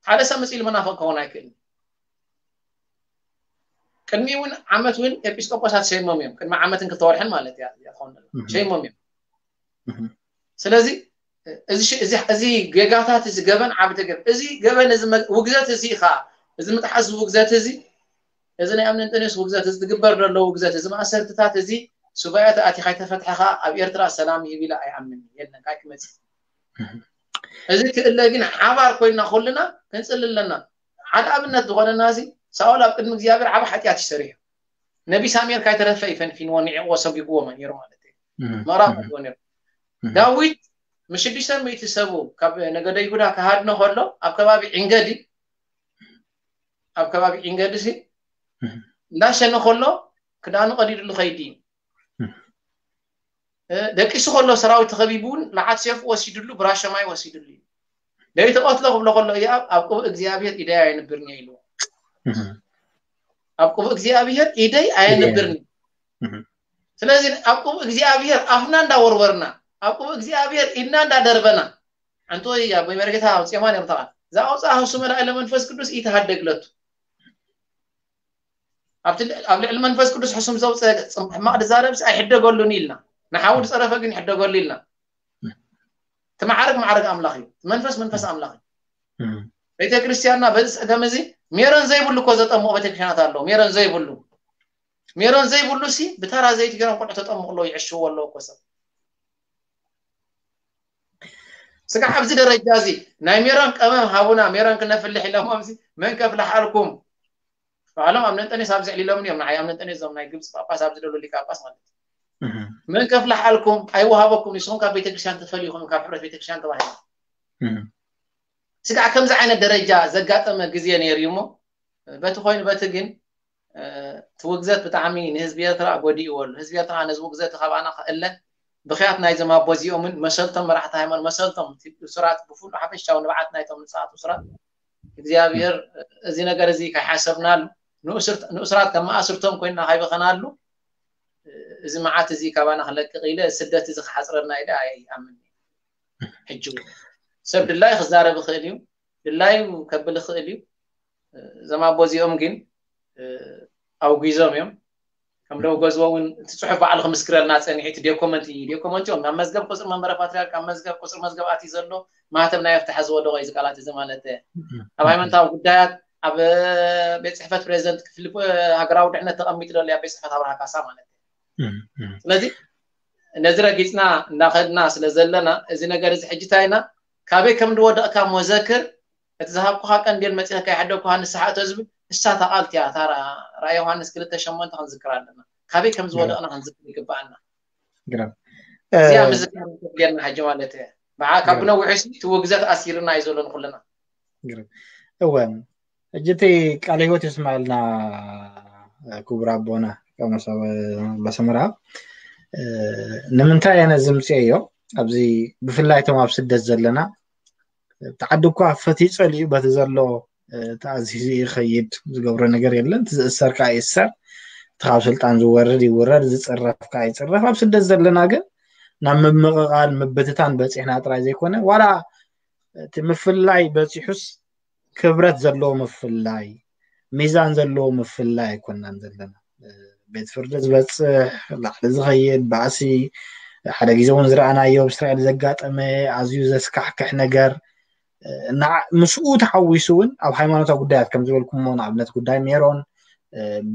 ሓደ ሰብ መፂሉ መናፍቅ ክኸውን ኣይክእልን ቅድሚ እውን ዓመት እውን ኤጲስቆጶሳት ሸይሞም እዮም ቅድሚ ዓመትን ክተወርሕን ማለት እያ ሸይሞም እዮም ስለዚ እዚ ጌጋታት እዚ ገበን ዓቢ ተገብ እዚ ገበን እዚ ውግዘት እዚ ከዓ እዚ ምጥሓስ ውግዘት እዚ እዚ ናይ ኣምነ እንጠንዮስ ውግዘት እዚ ትግበር ዘሎ ውግዘት እዚ ማእሰርትታት እዚ ሱባኤ ተኣቲኻ ይተፈትሐኻ ኣብ ኤርትራ ሰላም ይህብ ኢለ ኣይኣምን የለን ካይ ክመፅእ እዚ ክእለ ግን ሓባር ኮይና ኩልና ክንፅሊ ኣለና ሓደ ኣብነት ዝኾነና እዚ ሳኦል ኣብ ቅድሚ እግዚኣብሔር ዓብ ሓጢኣት ይሰሪሑ ነቢ ሳሙኤል ካይተረፈ ይፈንፊንዎ ንዕዎ ሰጒግዎ ነይሩ ማለት እዩ ምዕራፍ ነይሩ ዳዊት ምስ ሽዱሽተ ሚእቲ ሰቡ ካብ ነገደ ይሁዳ ክሃድኖ ከሎ ኣብ ከባቢ ዕንገዲ ኣብ ከባቢ ዕንገዲ ሲ እንዳሸነ ከሎ ክዳኑ ቀዲድሉ ከይዲ ደቂሱ ከሎ ሰራዊት ተኸቢቡ እውን ለዓት ሴፍ ወሲድሉ ብራሸማይ ወሲድሉ እዩ ደይተቐትሎ ክብሎ ከሎ እያብ ኣብ ቅቡእ እግዚኣብሔር ኢደይ ኣየንብርን እየ ኢልዎ ኣብ ቅቡእ እግዚኣብሔር ኢደይ ኣየንብርን እዩ ስለዚ ኣብ ቅቡእ እግዚኣብሔር ኣፍና እንዳወርወርና ኣብ ቅቡእ እግዚኣብሔር ኢድና እንዳደርበና ኣንቶ ኣቦይ መርጌታ ኣውፅኦማ ነይሩ ተቓል። ዝኣውፅኣ ህሱ መላእለ መንፈስ ቅዱስ ኢተሃደግለቱ። ኣብቲ ል-፣ ኣብ ልዕሊ መንፈስ ቅዱስ ሕሱም ዘውፅእ ፅም-፣ ሕማቕ ድዛረብስ ኣይሕደገሉን ኢልና። ንሓው ዝፀረፈ ግን ይሕደገሉ ኢልና። እቲ ማዕረግ ማዕረግ ኣምላኽ እዩ። እቲ መንፈስ መንፈስ ኣምላኽ እዩ። ቤተ ክርስቲያንና በዚ ፀገም እዚ ሜሮን ዘይብሉ እኮ ዘጠምቑ ቤተ ክርስቲያናት ኣለዉ። ሜሮን ዘይብሉ፣ ሜሮን ዘይብሉ ሲ ብተራ ዘይቲ ገይሮም ቆልዑ ተጠምቑ ኣለዉ፣ ይዕሽዎ ኣለዉ እኮ ሰብ። ስጋዕ ኣብዚ ደረጃ እዚ ናይ ሜሮን ቀመም ሃቡና፣ ሜሮን ክነፍልሕ ኢሎሞም ሲ መን ከፍልሓልኩም? ባዕሎም ኣብ ነንጠኔስ ኣብዚ ዕሊሎም እዮም፣ ንዓይ ኣብ ነንጠኔስ እዞም ናይ ግብፂ ጳጳስ ኣብዚ ደሎ ሊቀ ጳጳስ ማለት እዩ። መን ከፍልሓልኩም? ኣይወሃበኩም፣ ንስኹም ካብ ቤተክርስትያን ትፈልዩ ኢኹም፣ ካብ ሕብረት ቤተክርስትያን ተባሂሉ። ስጋዕ ከምዚ ዓይነት ደረጃ ዘጋጠመ ግዜ ነይሩ እዩ እሞ፣ በቲ ኮይኑ በቲ ግን፣ እ፣ እቲ ውግዘት ብጣዕሚ ንህዝቢ ኤርትራ ጎዲእዎ ኣሎ። ህዝቢ ኤርትራ ነዚ ውግዘት ካባና ክእለ ብኽያት ናይዞም ኣቦ እዚኦምን መሰልቶም መራሕቲ ሃይማኖት፣ መሰልቶም እቲ እሱራት ብፍሉ ሓፈሻዊ ንብዓት ናይቶም ንጹሃት እሱራት እግዚኣብሔር እዚ ነገር እዚ ከይሓሰብናሉ ንእሱርት-፣ ንእሱራት ከም መኣስርቶም ኮይንና ከይበኸናሉ እዚ መዓት እዚ ካባና ክለቅቕ ኢለ ስደት እዚ ክሓጽረና ኢለ ኣይኣምን። ሕጂ እውን ሰብ ድላይ ክዛረብ ይኽእል እዩ፣ ድላዩ ከብል ይኽእል እዩ። እዞም ኣቦ እዚኦም ግን፣ እ፣ ኣውጊዞም እዮም። ከም ደው ገዝዎ እውን እቲ ጽሑፍ ባዕሉ ክምስክረልና ጸኒሑ፣ እቲ ዶኮመንት እዩ። ዶኮመንት እዮም። ኣብ መዝገብ ቁጽሪ መንበረ ፓትርያርክ፣ ኣብ መዝገብ ቁጽሪ መዝገብ ኣትዩ ዘሎ፣ ማህተም ናይ ኣፍትሐ ዝወደቖ እዩ፣ እዚ ቃላት እዚ ማለት እዩ። ኣብ ሃይማኖታዊ ጉዳያት፣ ኣብ ቤት ጽሕፈት ፕሬዚደንት ክፍሊ ሃገራዊ ድሕነት ተቐሚጡ ዘሎ እዩ፣ ኣብ ቤት ጽሕፈት ኣብርሃ ካሳ ማለት እዩ። ስለዚ ነዚ ረጊጽና እንዳኸድና ስለ ዘለና፣ እዚ ነገር እዚ ሕጂ እንታይ ኢና፣ ካበይ ከም ዝወደቕካ እሞ ዘክር፣ እቲ ዝሃብኩኻ ቀንዴል መጺኸ ከይሓደግኩኻ ንስሓ እቶ ዝብል፣ እሳ እታ ቃል እቲኣ፣ እታ ራ-፣ ራእይ ዮሃንስ ክልተ ሸሞንተ ክንዝክር ኣለና። ካበይ ከም ዝወደቕና ክንዝክር ይግብኣና። ግርም። እዚኣ እ፣ ምዝካር እንተድልየና ሕጂ ማለት እየ። ብዓ-፣ ካብ ግርም። ብነዊሑ ሲ እቲ ውግዘት ኣሲርና እዩ ዘሎ ንኹልና። ግርም። እወ፣ ሕጂ እቲ ቃለ ህይወት የስምዐልና፣ ክቡር ኣቦና ቀመስ ኣበ-፣ ኣባ ሰመራ። እ፣ ንምንታይ ኣነ ዝምፅኤዮ? ኣብዚ ብፍላይ እቶም ኣብ ስደት ዘለና፣ እቲ ዓዲ እኳ ፈትዩ ጸሊኡ በቲ ዘሎ፣ እ፣ ተኣዚዙ ይኸይድ፣ ዝገብሮ ነገር የለን። እቲ ዝእሰር ከዓ ይእሰር፣ እቲ ካብ ስልጣን ዝወርድ ይውረድ፣ ዝጽረፍ ከዓ ይጽረፍ። ኣብ ስደት ዘለና ግን ናብ ምምቕቓል፣ ምብትታን በጺሕና ጥራይ ዘይኮነ፣ ዋላ እቲ ምፍላይ በጺሑስ ክብረት ዘለዎ ምፍላይ፣ ሚዛን ዘለዎ ምፍላይ ኣይኮናን ዘለና። ቤት ፍርዲ ዝበጽሕ፣ ላዕሊ ዝኸይድ ባእሲ፣ ሓደ ግዜ እውን ዝረኣናዮ ኣብ እስራኤል ዘጋጠመ ኣዝዩ ዘስካሕክሕ ነገር፣ እና ምስኡ ተሓዊሱ እውን ኣብ ሃይማኖታዊ ጉዳያት ከም ዝበልኩሞ፣ ንኣብነት ጉዳይ ሜሮን፣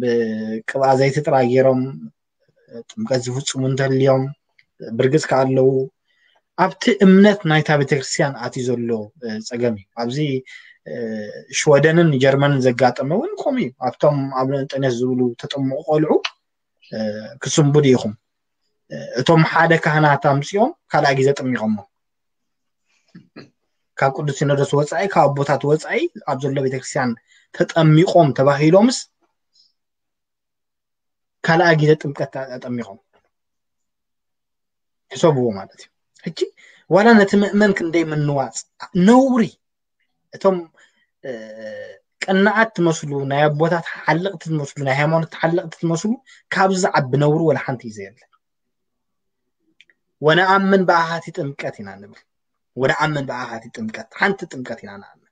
ብቅብኣ ዘይቲ ጥራይ ገይሮም ጥምቀት ዝፍጽሙ እንተልዮም፣ ብርግጽ ከኣ ኣለዉ። ኣብቲ እምነት ናይታ ቤተክርስትያን ኣትዩ ዘሎ፣ እ፣ ጸገም እዩ። ኣብዚ፣ እ፣ ሽወደንን ጀርመንን ዘጋጠመ እውን ከምኡ እዩ። ኣብቶም ኣብ እንጠኔስ ዝብሉ ተጠምቑ ቆልዑ፣ እ፣ ክስንብዱ ኢኹም። እ፣ እቶም ሓደ ካህናት ኣምጺኦም ካልኣይ ግዜ ጠሚቖሞ። ካብ ቅዱስ ሲኖዶስ ወጻኢ፣ ካብ ኣቦታት ወጻኢ ኣብ ዘሎ ቤተክርስትያን ተጠሚቖም ተባሂሎምስ ካልኣይ ግዜ ጥምቀት ኣጠሚቖም። ሕሰብዎ ማለት እዩ። ሕጂ ዋላ ነቲ ምእመን ክንደይ ምንዋጽ ነውሪ። እቶም፣ እ፣ ቅንዓት ትመስሉ፣ ናይ ኣቦታት ሓለቕቲ ትመስሉ፣ ናይ ሃይማኖት ሓለቕቲ ትመስሉ፣ ካብዚ ዝዓቢ ነውሪ ወላ ሓንቲ እዩ ዘየለ። ወነኣምን ብኣሃቲ ጥምቀት ኢና ንብል። ወነኣምን ብኣሃቲ ጥምቀት፣ ሓንቲ ጥምቀት ኢና ንኣምን።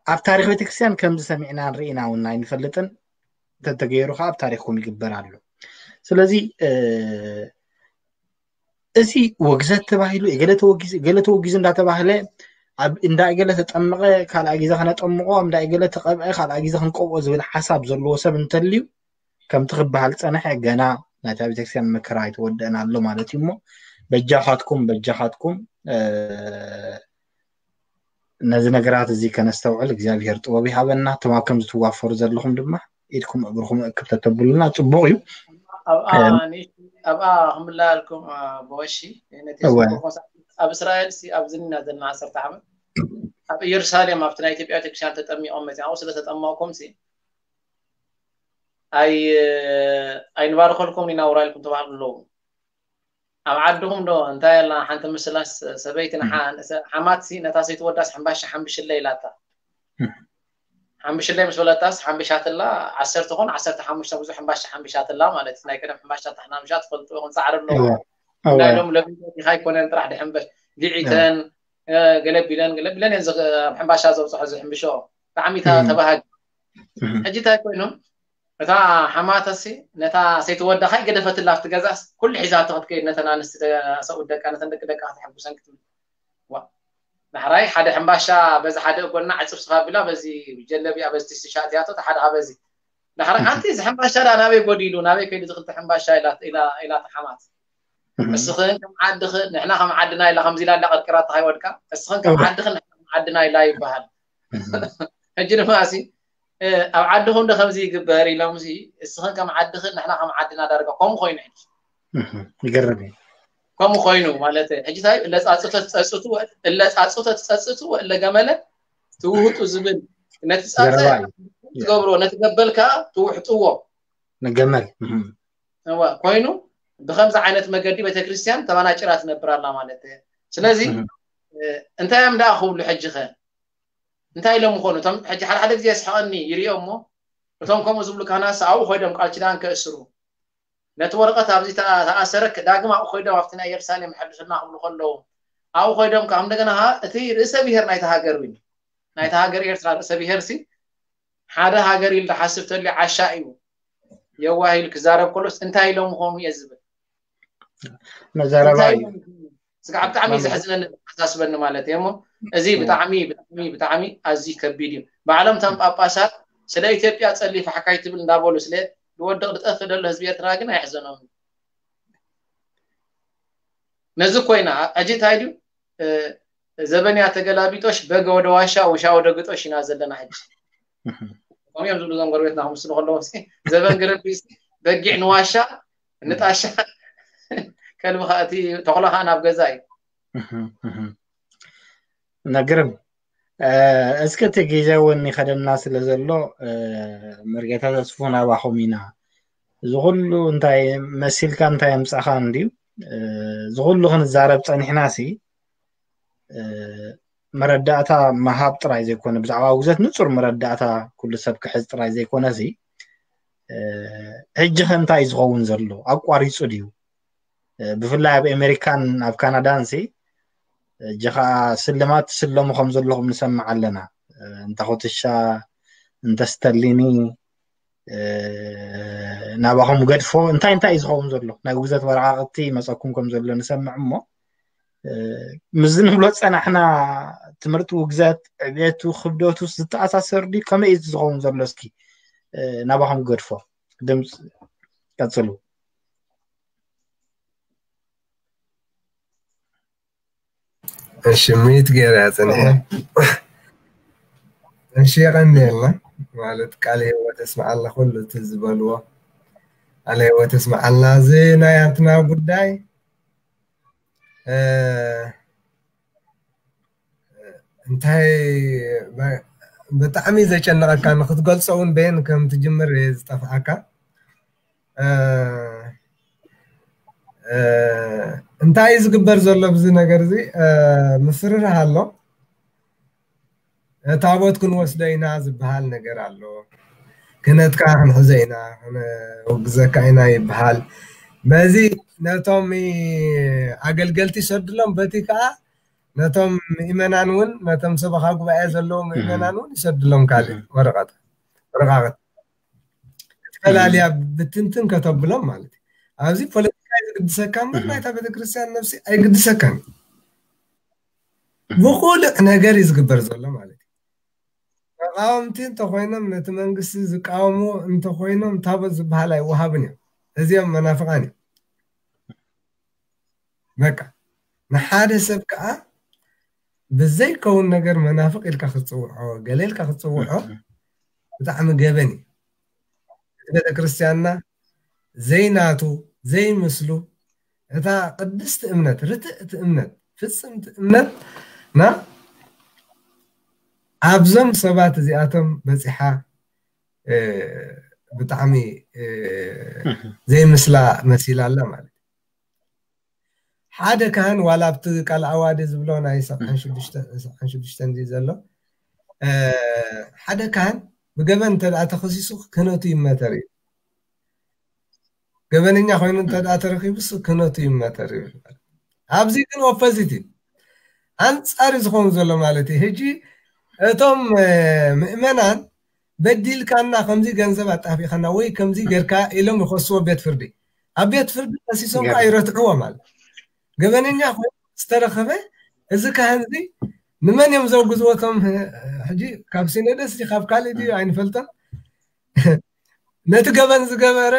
ኣብ ታሪኽ ቤተክርስትያን ከምዚ ሰሚዕናን ርኢና እውን ኣይንፈልጥን። እንተተገይሩ ከዓ ኣብ ታሪኽኩም ይግበር ኣሎ። ስለዚ፣ እ፣ እዚ ውግዘት ተባሂሉ፣ እገለ ተወጊዙ፣ እገለ ተወጊዙ እንዳተባህለ፣ ኣብ እንዳ እገለ ተጠመቐ፣ ካልኣይ ግዜ ከነጠምቖ፣ ኣብ እንዳ እገለ ተቐብአ፣ ካልኣይ ግዜ ክንቀብኦ ዝብል ሓሳብ ዘለዎ ሰብ እንተልዩ፣ ከምቲ ክበሃል ጸንሐ፣ ገና ናይታ ቤተክርስትያን መከራ ኣይተወደአን ኣሎ ማለት እዩ። እሞ በጃኻትኩም፣ በጃኻትኩም፣ እ፣ ነዚ ነገራት እዚ ከነስተውዕል እግዚኣብሔር ጥበብ ይሃበና። እቶም ኣብ ከምዚ ትዋፈሩ ዘለኹም ድማ ኢድኩም እግርኹም እክብ ተተብሉና ጽቡቕ እዩ። ኣብኣ እም። ንእሽቶ፣ ኣብኣ ክምላለልኩም፣ እ፣ ብቐሺ፣ ነቲ እወ። ዝነበርኩም ሰዓት ኣብ እስራኤል ሲ፣ ኣብዚ ኢና ዘለና ዓሰርተ ዓመት። ኣብ ኢየሩሳሌም ኣብቲ ናይ ኢትዮጵያ ቤተክርስትያን ተጠሚቖም መጺኦም፣ ኣብኡ ስለ ተጠመቕኩም ሲ፣ ኣይ-፣ ኣይንባርኸልኩም ኢና ውራ ኢልኩም ተባህሉ ኣለዉ። ኣብ ዓድኹም ዶ እንታይ ኣላ ሓንቲ ምስላስ ሰበይቲ ንሓ-፣ ሓማትሲ ነታ ሰይቲ ወዳስ ሕምባሻ ሓምብሽለ ኢላታ። ሓምብሽለ ምስ በለታስ ሓምብሻትላ ዓሰርተ ኾን ዓሰርተ ሓሙሽተ ብዙሕ ሕምባሻ ሓምብሻትላ ማለት እዩ። ናይ ቀደም ሕምባሻ ታሕናምሻ ትፈልጡ ኢኹም፣ ጻዕሪ ኣለዎ። እወ፣ እወ። ናይ ሎም ለቢቦት ኢኻ ኣይኮነን ጥራሕ ድሕምበሽ። ጊዒተን ገለቢለን ገለቢለን እየን ኣብ ሕምባሻ ዘብፅሖ ዝሕምብሾ ብጣዕሚ ተባሃጊ። ሕጂ እንታይ ኮይኑ እታ ሓማተሲ ነታ ሰይቲ ወዳ ካይ ገደፈትላ ኣብቲ ገዛስ ኩሉ ሒዛቶ ክትከይድ ነተን ኣንስቲ ሰብኡት ደቃ ነተን ደቂ ደቃ ከተሐጉሰን ክትብል ዳሕራይ ሓደ ሕምባሻ በዚ ሓደ እጎና ዕፅፍ ስፋ ቢላ በዚ ጀለቢያ በዚ ቲሽቲ ሻእትያቶ ተሓድኻ በዚ ዳሕራይ ኣንቲ እዚ ሕምባሻ ዳ ናበይ ጎዲሉ ናበይ ከይዱ ዝክልተ ሕምባሻ ኢላ ተሓማት እስኽን ከም ዓድኽን ንሕና ከም ዓድና ኢላ ከምዚ ኢላ እንዳቀርቅራታ ከይወድቃ እስኽን ከም ዓድኽን ንሕና ከም ዓድና ኢላ ይበሃል። ሕጂ ድማ ሲ ኣብ ዓድኹም ዶ ከምዚ ይግበር ኢሎም ሲ እስኽን ከም ዓድኽን ንሕና ከም ዓድና ዳርጋ ከምኡ ኮይኑ ሕጂ ይገርም እዩ። ከምኡ ኮይኑ ማለት ሕጂ ታይ እለፃፅቶ ትፀፅቱ እለፃፅቶ ትፀፅቱ እለገመለ ትውህጡ ዝብል ነቲ ፃፀ ትገብሮ ነቲ ገበል ከዓ ትውሕጥዎ ንገመል እዋ ኮይኑ ብከምዚ ዓይነት መገዲ ቤተክርስትያን ተባናጭራ ትነብር ኣላ ማለት እየ። ስለዚ እንታይ እዮም ደኣ ክብሉ ሕጂ ኸ እንታይ ኢሎም ምኾኑ እቶም ሕጂ ሓደ ሓደ ግዜ የስሕቐኒ ይሪኦ እሞ እቶም ከምኡ ዝብሉ ካህናት ኣብኡ ኮይዶም ቃል ኪዳን ከእስሩ ነቲ ወረቐት ኣብዚ ተኣሰረ ዳግም ኣብኡ ኮይዶም ኣብቲ ናይ ኢየሩሳሌም ሕድሱና ክብሉ ከለዉ ኣብኡ ኮይዶም ከዓ እንደገና እቲ ርእሰ ብሔር ናይቲ ሃገር እዩ ናይቲ ሃገር ኤርትራ ርእሰ ብሔር ሲ ሓደ ሃገር ኢሉ ዝሓስብ ተልዩ ዓሻ እዩ የዋህ ኢሉ ክዛረብ ከሎስ እንታይ ኢሎም ምኾኑ እየ ዝብል መዛረባ እዩ ስጋዕ ብጣዕሚ ዘሕዝነኒ ኣሳስበኒ ማለት እዩ እሞ እዚ ብጣዕሚ ብጣዕሚ ብጣዕሚ ኣዝዩ ከቢድ እዩ ባዕሎም እቶም ጳጳሳት ስለ ኢትዮጵያ ጸሊፍ ሓካይ ትብል እንዳበሉ ስለ ዝወድቕ ዝጠፍእ ዘሎ ህዝቢ ኤርትራ ግን ኣይሕዘኖም ነዚ ኮይና ሕጂ እንታይ ድዩ ዘበንያ ተገላቢጦሽ በገ ወደ ዋሻ ውሻ ወደ ግጦሽ ኢና ዘለና ሕጂ ከምኡ እዮም ዝብሉ እዞም ጎረቤትና ክምስሉ ከለዎም ዘበን ግረቢ በጊዕ ንዋሻ ንጣሻ ከልቢ ከዓ እቲ ተኽሎ ከዓ ናብ ገዛ እዩ ነግርም እስኪ እቲ ግዜ እውን ይኸደና ስለ ዘሎ መርጌታ ተስፉ ናባኹም ኢና እዚ ኩሉ እንታይ መሲልካ እንታይ ኣምፃእካ እንድዩ እዚ ኩሉ ክንዛረብ ፀኒሕና ሲ መረዳእታ መሃብ ጥራይ ዘይኮነ ብዛዕባ ውግዘት ንፁር መረዳእታ ኩሉ ሰብ ክሕዝ ጥራይ ዘይኮነ ሲ ሕጂ ከ እንታይ ዝኸውን ዘሎ ኣቋሪፁ ድዩ ብፍላይ ኣብ ኣሜሪካን ኣብ ካናዳን ሲ እጂ ከዓ ስልማት ትስለሙ ከም ዘለኹም ንሰምዕ ኣለና እንተ ኩትሻ እንተ ስተሊኒ ናባኹም ገድፎ እንታይ እንታይ እዩ ዝኸውን ዘሎ ናይ ውግዘት ወረቃቅቲ መፀኩም ከም ዘሎ ንሰምዕ እሞ ምዚ ንብሎ ፀናሕና ትምህርቲ ውግዘት ዕቤቱ ክብደቱ ዝተኣሳሰር ድዩ ከመይ እዩ ዝኸውን ዘሎ እስኪ ናባኹም ገድፎ ድምፂ ቀፅሉ እሺ ሚት ገይረ ያፅንሐ እሺ የቀንየልና ማለት ቃል ህይወት እስማዓልና ኩሉ እቲ ዝበልዎ ቃል ህይወት እስማዓልና እዚ ናይ ኣትና ጉዳይ እንታይ ብጣዕሚ ዘጨነቐካ ንክትገልፆ እውን በየን ከም ትጅምር ዝጠፍኣካ እንታይ እዩ ዝግበር ዘሎ ብዚ ነገር እዚ ምፍርርህ ኣሎ ታቦት ክንወስዶ ኢና ዝበሃል ነገር ኣሎ ክነትካ ክንሕዞ ኢና ክነውግዘካ ኢና ይበሃል በዚ ነቶም ኣገልገልቲ ይሰድሎም በቲ ከዓ ነቶም ምእመናን እውን ነቶም ሰበኻ ጉባኤ ዘለዎም ምእመናን እውን ይሰድሎም ካልእ ወረቐት ወረቃቅት ፈላልያ ብትንትን ከተብሎም ማለት እዩ ኣብዚ ፖለቲካ ዝግድሰካ እምበር ናይታ ቤተክርስትያን ነብሲ ኣይግድሰካን ብቁልዕ ነገር እዩ ዝግበር ዘሎ ማለት እዩ ተቃወምቲ እንተኮይኖም ነቲ መንግስቲ ዝቃወምዎ እንተኮይኖም ታቦት ዝበሃል ኣይወሃብን እዮም እዚኦም መናፍቃን እዮም በቃ ንሓደ ሰብ ከዓ ብዘይከውን ነገር መናፍቅ ኢልካ ክትፅውዖ ገለ ኢልካ ክትፅውዖ ብጣዕሚ ገበን እዩ እቲ ቤተክርስትያንና ዘይናቱ ዘይምስሉ እታ ቅድስቲ እምነት ርትእቲ እምነት ፍፅምቲ እምነት ና ኣብዞም ሰባት እዚኣቶም በፂሓ ብጣዕሚ ዘይምስላ መሲላ ኣላ ማለት ሓደ ካህን ዋላ ኣብቲ ቃል ኣዋዲ ዝብሎ ናይ ሰብዓን ሽዱሽተን ዘሎ ሓደ ካህን ብገበን እንተ ተኸሲሱ ክህነቱ ይመተር እዩ ገበነኛ ኮይኑ እንተ ተረኪቡስ ክህነቱ ይመተር እዩ ኣብዚ ግን ኦፖዚት እዩ ኣንጻር እዩ ዝኸውን ዘሎ ማለት እዩ። ሕጂ እቶም ምእመናን በዲልካና፣ ከምዚ ገንዘብ ኣጣፊእካና ወይ ከምዚ ጌርካ ኢሎም ይኸስዎ ቤት ፍርዲ። ኣብ ቤት ፍርዲ ከሲሶም ከዓ ይረትዕዎ ማለት ገበነኛ ኮይኑ ዝተረኸበ እዚ ካህን እዚ ንመን እዮም ዘውግዝዎ? እቶም ሕጂ ካብ ሲኖዶስ ድዩ ካብ ካልእ ድዩ ኣይንፈልጦን። ነቲ ገበን ዝገበረ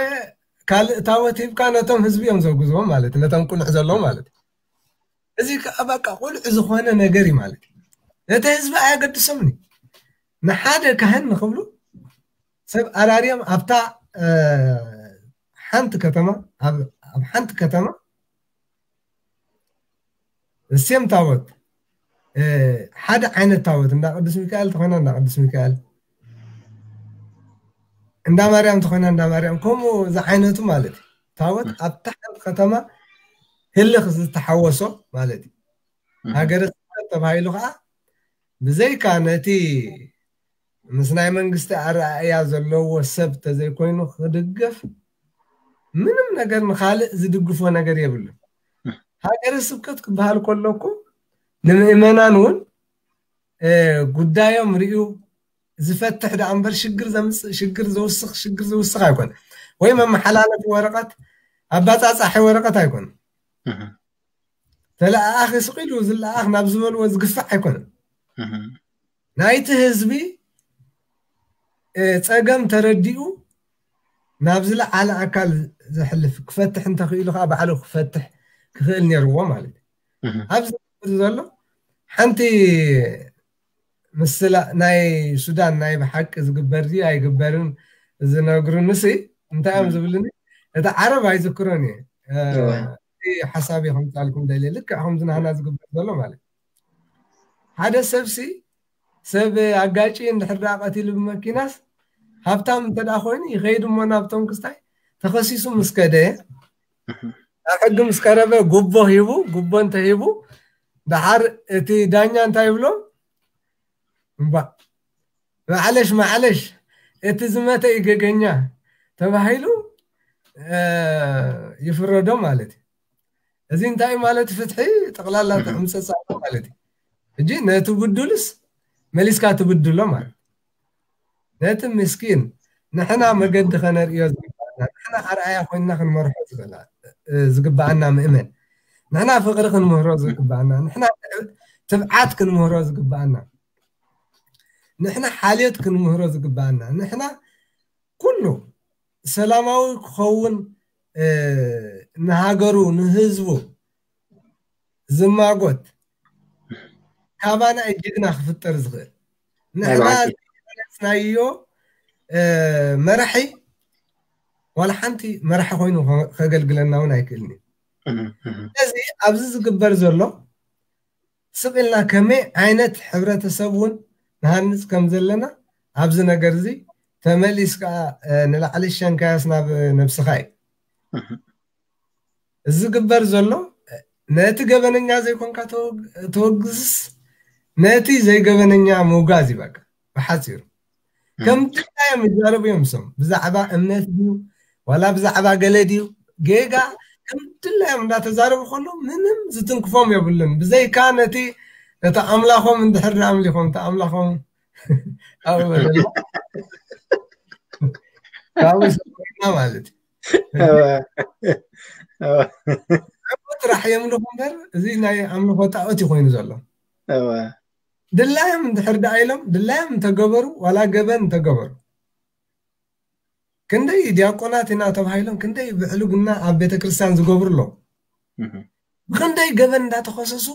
ካልእ ታወት ሂብካ ነቶም ህዝቢ እዮም ዘውግዝዎም ማለት ነቶም ቁልዕ ዘለዉ ማለት። እዚ ከዓ በቃ ቁልዕ ዝኾነ ነገር እዩ ማለት እዩ። ነቲ ህዝቢ ኣየገድሶምን እዩ። ንሓደ ካህን ንክብሉ ሰብ ኣራርዮም ኣብታ ሓንቲ ከተማ ኣብ ሓንቲ ከተማ እሴም ታወት ሓደ ዓይነት ታወት እንዳ ቅዱስ ሚካኤል ተኾይና እንዳ ቅዱስ ሚካኤል እንዳ ማርያም ተኾይና እንዳ ማርያም ከምኡ ዝዓይነቱ ማለት እዩ። ታወት ኣብታ ሓንቲ ከተማ ህልኽ ዝተሓወሶ ማለት እዩ። ሃገረ ስብከት ተባሂሉ ከዓ ብዘይካ ነቲ ምስ ናይ መንግስቲ ኣረኣእያ ዘለዎ ሰብ ተዘይኮይኑ ክድገፍ ምንም ነገር ንካልእ ዝድግፎ ነገር የብሉን። ሃገረ ስብከት ክበሃል ከሎ እኮ ንምእመናን እውን ጉዳዮም ርእዩ ዝፈትሕ ደኣ እምበር ሽግር ዘምፅእ ሽግር ዘውስኽ ሽግር ዝውስኽ ኣይኮነ። ወይ መመሓላለፊ ወረቐት ኣባፃፃሒ ወረቐት ኣይኮነ። ተለኣኣኺ ስቕ ኢሉ ዝለኣኽ ናብ ዝበልዎ ዝግፋዕ ኣይኮነን። ናይቲ ህዝቢ ፀገም ተረዲኡ ናብ ዝለዓለ ኣካል ዘሕልፍ ክፈትሕ እንተኽኢሉ ከዓ ባዕሉ ክፈትሕ ክኽእል ነይርዎ ማለት እዩ። ኣብዚ ዘሎ ሓንቲ ምስላ ናይ ሱዳን ናይ ብሓቂ ዝግበር ድዩ ኣይግበርን ዝነግሩንሲ እንታይ እዮም ዝብልኒ? እቲ ዓረብ ኣይዝክሮን እየ። ሓሳብ ከምፃልኩም ደልየ ልክዕ ከምዚ ናህና ዝግበር ዘሎ ማለት ሓደ ሰብሲ ሰብ ኣጋጭ እንድሕር ደኣ ቀቲሉ ብመኪናስ ሃብታም እንተ ደኣ ኮይኑ ይኸይድ እሞ ናብቶም ክስታይ ተኸሲሱ ምስ ከደ ናብ ሕጊ ምስ ቀረበ ጉቦ ሂቡ ጉቦ እንተሂቡ ደሓር እቲ ዳኛ እንታይ ይብሎ? እምባ ማዕለሽ ማዕለሽ እቲ ዝመተ እዩ ገገኛ ተባሂሉ ይፍረዶ ማለት እዩ። እዚ እንታይ ማለት ፍትሒ ጠቕላላ ተምፀፃ ማለት እዩ። ሕጂ ነቲ ብዱልስ መሊስካ ትብድሎ ማለት ነቲ ምስኪን ንሕና መገዲ ከነርእዮ ዝግባና ንሕና ኣርኣያ ኮይንና ክንመርሖ ዝግባኣና ምእመን ንሕና ፍቕሪ ክንምህሮ ዝግባኣና ንሕና ትብዓት ክንምህሮ ዝግባኣና ንሕና ሓልዮት ክንምህሮ ዝግባኣና ንሕና ኩሉ ሰላማዊ ክኸውን ንሃገሩ ንህዝቡ ዝማጎት ካባና ጅግና ክፍጠር ዝኽእል ንሕና ዝናዮ መራሒ ዋላ ሓንቲ መራሒ ኮይኑ ከገልግለና እውን ኣይክእልን እዩ። ስለዚ ኣብዚ ዝግበር ዘሎ ስቕ ኢልና ከመይ ዓይነት ሕብረተሰብ እውን ንሃንፅ ከም ዘለና ኣብዚ ነገር እዚ ተመሊስ ከዓ ንላዕሊ ሸንካያስ ናብ ነብስኻ እዩ። እዚ ዝግበር ዘሎ ነቲ ገበነኛ ዘይኮንካ ተወግዝስ ነቲ ዘይገበነኛ ምውጋዝ እዩ በቃ ብሓፂሩ። ከም ድላዮም ይዛረቡ እዮም እሶም ብዛዕባ እምነት ድዩ ዋላ ብዛዕባ ገለ ድዩ ጌጋ ከም ድላዮም እንዳተዛረቡ ከሎ ምንም ዝትንክፎም የብሉን ብዘይካ ነቲ ነቲ ኣምላኾም እንድሕር ኣምሊኾም እቲ ኣምላኾም ኣብኡ በለና ካብኡ ይሰምዑና ማለት እዩ። ጥራሕ የምልኹ እምበር እዚ ናይ ኣምልኾ ጣኦት እዩ ኮይኑ ዘሎ። ድላዮም እንድሕር ደኣ ኢሎም ድላዮም እንተገበሩ ዋላ ገበን እንተገበሩ ክንደይ ዲያቆናት ኢና ተባሂሎም ክንደይ ብዕሉግና ኣብ ቤተክርስትያን ዝገብሩ ኣለዉ። ብክንደይ ገበን እንዳተኸሰሱ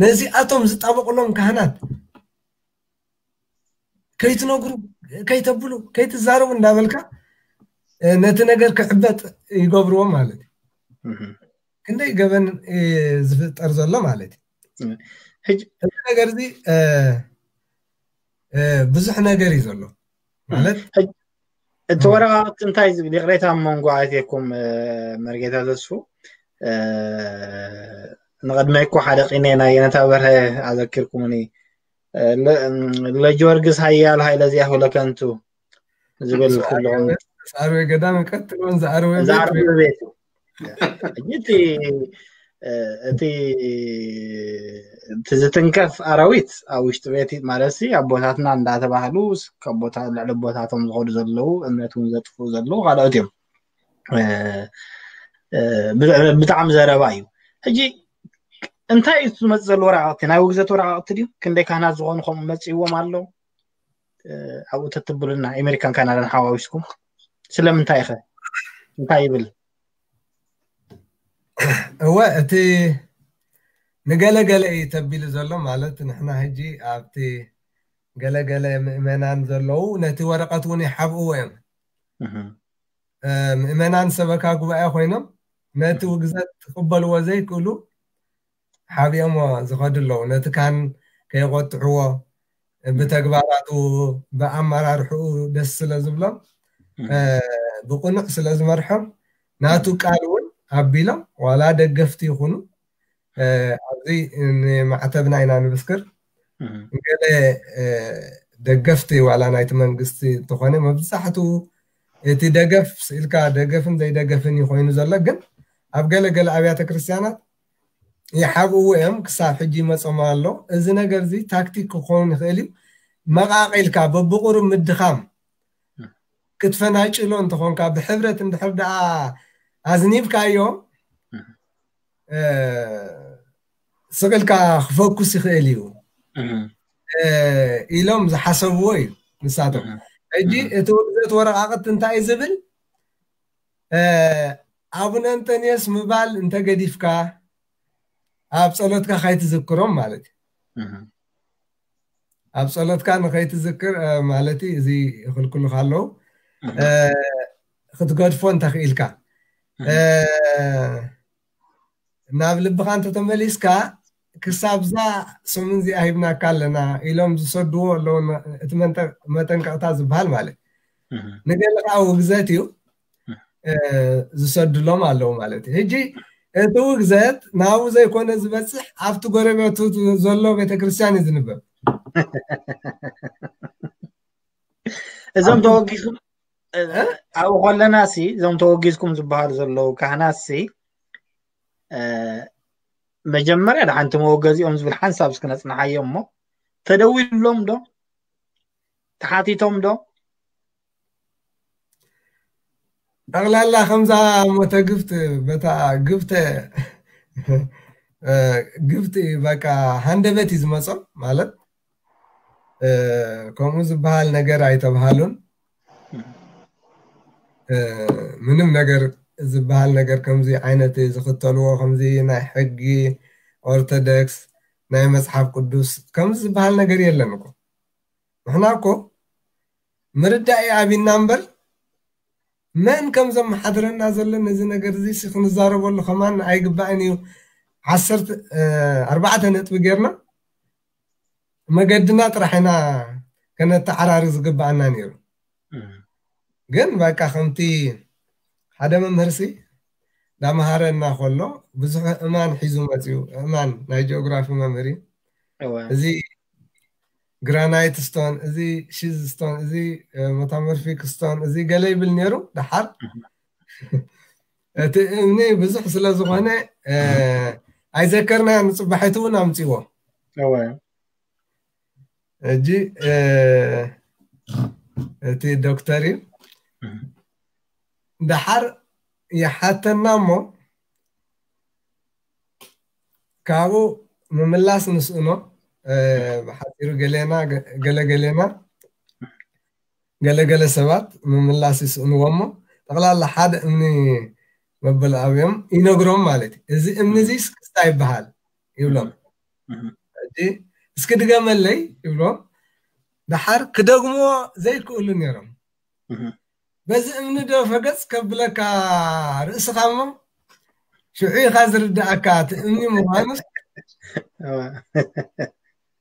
ነዚኣቶም ዝጣበቁሎም ካህናት ከይትነግሩ ከይተብሉ ከይትዛረቡ እንዳበልካ ነቲ ነገር ክዕበጥ ይገብርዎ ማለት እዩ። ክንደይ ገበን ዝፍጠር ዘሎ ማለት እዩ። እዚ ነገር እዚ ብዙሕ ነገር እዩ ዘሎ ማለት እቲ ወረቃቅቲ እንታይ ዝብል ይቅሬታ ኣብ መንጎ ኣትየኩም መርጌታ ተስፉ ንቅድመይ እኮ ሓደ ቂኔ ናይ የነታ በርሀ ኣዘኪርኩምኒ ለጊዮርጊስ ሃያል ሃይለ ዚያሁ ለከንቱ ዝብል ኩሎም ዝኣርዌ ገዳም ቀጥሎን ዝኣርዌ ዝኣርዌ ቤቱ እቲ እቲ እቲ ዝትንከፍ ኣራዊት ኣብ ውሽጢ ቤት ማለት ሲ ኣቦታትና እንዳተባህሉ ካብ ቦታ ልዕሊ ቦታቶም ዝኸዱ ዘለዉ እምነት እውን ዘጥፍኡ ዘለዉ ካልኦት እዮም። ብጣዕሚ ዘረባ እዩ። ሕጂ እንታይ እዩ ዝመፅእ ዘሎ ወረቃቅቲ? ናይ ውግዘት ወረቃቅቲ ድዩ? ክንደይ ካህናት ዝኾኑ ከምኡ መፅእዎም ኣሎ? ኣብኡ ተትብሉና ኣሜሪካን ካናዳን ሓዋዊስኩም ስለምንታይ ኢኸ እንታይ ይብል? እወ እቲ ንገለገለ እዩ ተቢሉ ዘሎ። ማለት ንሕና ሕጂ ኣብቲ ገለገለ ምእመናን ዘለዉ ነቲ ወረቀት እውን ይሓብእዎ እዮም። ምእመናን ሰበካ ጉባኤ ኮይኖም ነቲ ውግዘት ክቕበልዎ ዘይክእሉ ሓቢኦሞ ዝኸዱ ኣለዉ። ነቲ ካህን ከየቆጥዕዎ ብተግባራቱ ብኣመራርሕኡ ደስ ስለ ዝብሎም ብቕኑዕ ስለ ዝመርሖም ናቱ ቃል እውን ኣቢሎም ዋላ ደገፍቲ ይኹኑ ኣብዚ ንማዕተብና ኢና ንብስክር ገለ ደገፍቲ ዋላ ናይቲ መንግስቲ እንተኾነ መብዛሕትኡ እቲ ደገፍ ስኢልካ ደገፍን ዘይደገፍን እዩ ኮይኑ ዘሎ። ግን ኣብ ገለ ገለ ኣብያተ ክርስቲያናት ይሓብእዎ እዮም። ክሳብ ሕጂ ይመጾም ኣሎ። እዚ ነገር እዚ ታክቲክ ክኸውን ይኽእል እዩ። መቓቒልካ በብቑሩብ ምድኻም ክትፈናጭሎ እንተኾንካ ብሕብረት እንድሕር ደኣ ኣዝኒብካዮ ስቕልካ ክፈኩስ ይኽእል እዩ ኢሎም ዝሓሰብዎ እዩ ንሳቶም። ሕጂ እቲ ውግዘት ወረቃቅቲ እንታይ እዩ ዝብል? ኣቡነ እንጠንዮስ ምባል እንተገዲፍካ ኣብ ጸሎትካ ካይትዝክሮም ማለት እዩ። ኣብ ጸሎትካ ንኸይትዝክር ማለት እዚ ይኽልክሉካ ኣለዉ ክትገድፎ እንተኽኢልካ ናብ ልብኻ እንተተመሊስካ ክሳብዛ ሰሙን እዚኣ ሂብናካ ኣለና ኢሎም ዝሰድዎ ኣለዉ እቲ መጠንቀቕታ ዝበሃል ማለት ንገለ ከዓ ውግዘት እዩ ዝሰድሎም ኣለዉ ማለት እዩ። ሕጂ እቲ ውግዘት ናብኡ ዘይኮነ ዝበፅሕ ኣብቲ ጎረቤቱ ዘሎ ቤተክርስትያን እዩ ዝንበብ። እዞም ተወጊዝኩም ኣብኡ ከለና ሲ እዞም ተወጊዝኩም ዝበሃሉ ዘለዉ ካህናት ሲ መጀመርያ ደሓንቲ መወገዚኦም ዝብል ሓንሳብ እስኪ ነፅንሓዮ እሞ ተደዊሉሎም ዶ ተሓቲቶም ዶ ጠቕላላ ከምዛ ሞተ ግፍት በታ ግፍተ ግፍት በቃ ሃንደበት እዩ ዝመፆም ማለት ከምኡ ዝበሃል ነገር ኣይተብሃሉን። ምንም ነገር ዝበሃል ነገር ከምዚ ዓይነት ዝኽተልዎ ከምዚ ናይ ሕጊ ኦርቶዶክስ ናይ መፅሓፍ ቅዱስ ከምዚ ዝበሃል ነገር የለን እኮ። ንሕና እኮ ምርዳእ እዩ ኣቢና እምበር መን ከም ዘመሓድረና ዘሎ ነዚ ነገር እዚ ክንዛረበሉ ከማን ኣይግባእን እዩ። ዓሰርተ ኣርባዕተ ነጥቢ ጌርና መገድና ጥራሕ ኢና ከነተዓራሪ ዝግባኣና ነይሩ። ግን በቃ ከምቲ ሓደ መምህርሲ ዳመሃረና ከሎ ብዙሕ እማን ሒዙ መፅዩ። እማን ናይ ጂኦግራፊ መምህር እዩ። እዚ ግራናይት ስቶን፣ እዚ ሺዝ ስቶን፣ እዚ መታመርፊክ ስቶን፣ እዚ ገለ ይብል ነይሩ። ደሓር እቲ እምኒ ብዙሕ ስለ ዝኾነ ኣይዘከርናዮ። ንፅባሒቱ እውን ኣምፅዎ። ሕጂ እቲ ዶክተር እዩ። ደሓር ይሓተና እሞ ካብኡ ምምላስ ንስእኖ። ብሓፂሩ ገሌና ገለገሌና ገለገለ ሰባት ምምላስ ይስእንዎ እሞ ጠቕላላ ሓደ እምኒ መበል ኣብዮም ይነግሮም ማለት እዩ። እዚ እምኒ እዚ ስክስታ ይበሃል ይብሎም። እስኪ ድገመለይ ይብሎም። ደሓር ክደግምዎ ዘይክእሉ ነይሮም። በዚ እምኒ ዶ ፈገፅ ከብለካ ርእስኻ እሞ ሽዑ ኢኻ ዝርዳእካ እቲ እምኒ ምዃኑስ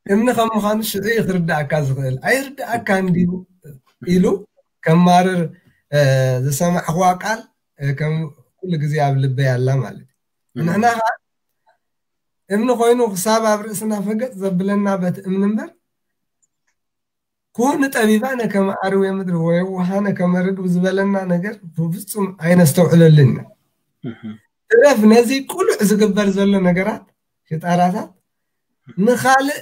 እምኒ ከም ምዃኑ ሽዑ እዩ ክርዳእካ ዝኽእል። ኣይርዳእካ እንዲዩ ኢሉ ከማርር ዝሰማዕኽዋ ቃል ከም ኩሉ ግዜ ኣብ ልበይ ኣላ ማለት እዩ። ንሕና ከዓ እምኒ ኮይኑ ክሳብ ኣብ ርእስና ፈገፅ ዘብለና በቲ እምኒ እምበር ኩን ጠቢባነ ከመ ኣርዌ ምድሪ ወየዋሃነ ከመ ርግብ ዝበለና ነገር ብፍጹም ኣይነስተውዕለሉን ኢና። ትረፍ ነዚ ቁሉዕ ዝግበር ዘሎ ነገራት ሽጣራታት ንኻልእ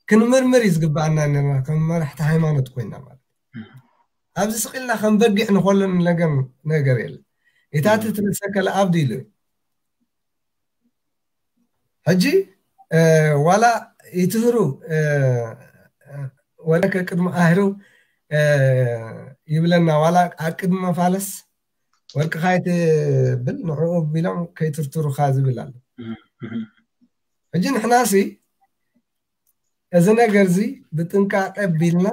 ክንምርምር እዩ ዝግባኣና ነርና ከም መራሕቲ ሃይማኖት ኮይና ማለት ኣብዚ ስቕ ኢልና ከም በጊዕ ንኾለን ነገር ነገር የለን። ኢታቲ ትንሰከለ ኣብዲ ኢሉ እዩ። ሕጂ ዋላ ይትህሩ ወለ ከቅድሚ ኣህሩ ይብለና ዋላ ኣብ ቅድሚ መፋለስ ወርቅኻ ይትብል ንዕኡ ቢሎም ከይትርትሩኻ ዝብል ኣሎ። ሕጂ ንሕናሲ እዚ ነገር እዚ ብጥንቃቄ ቢልና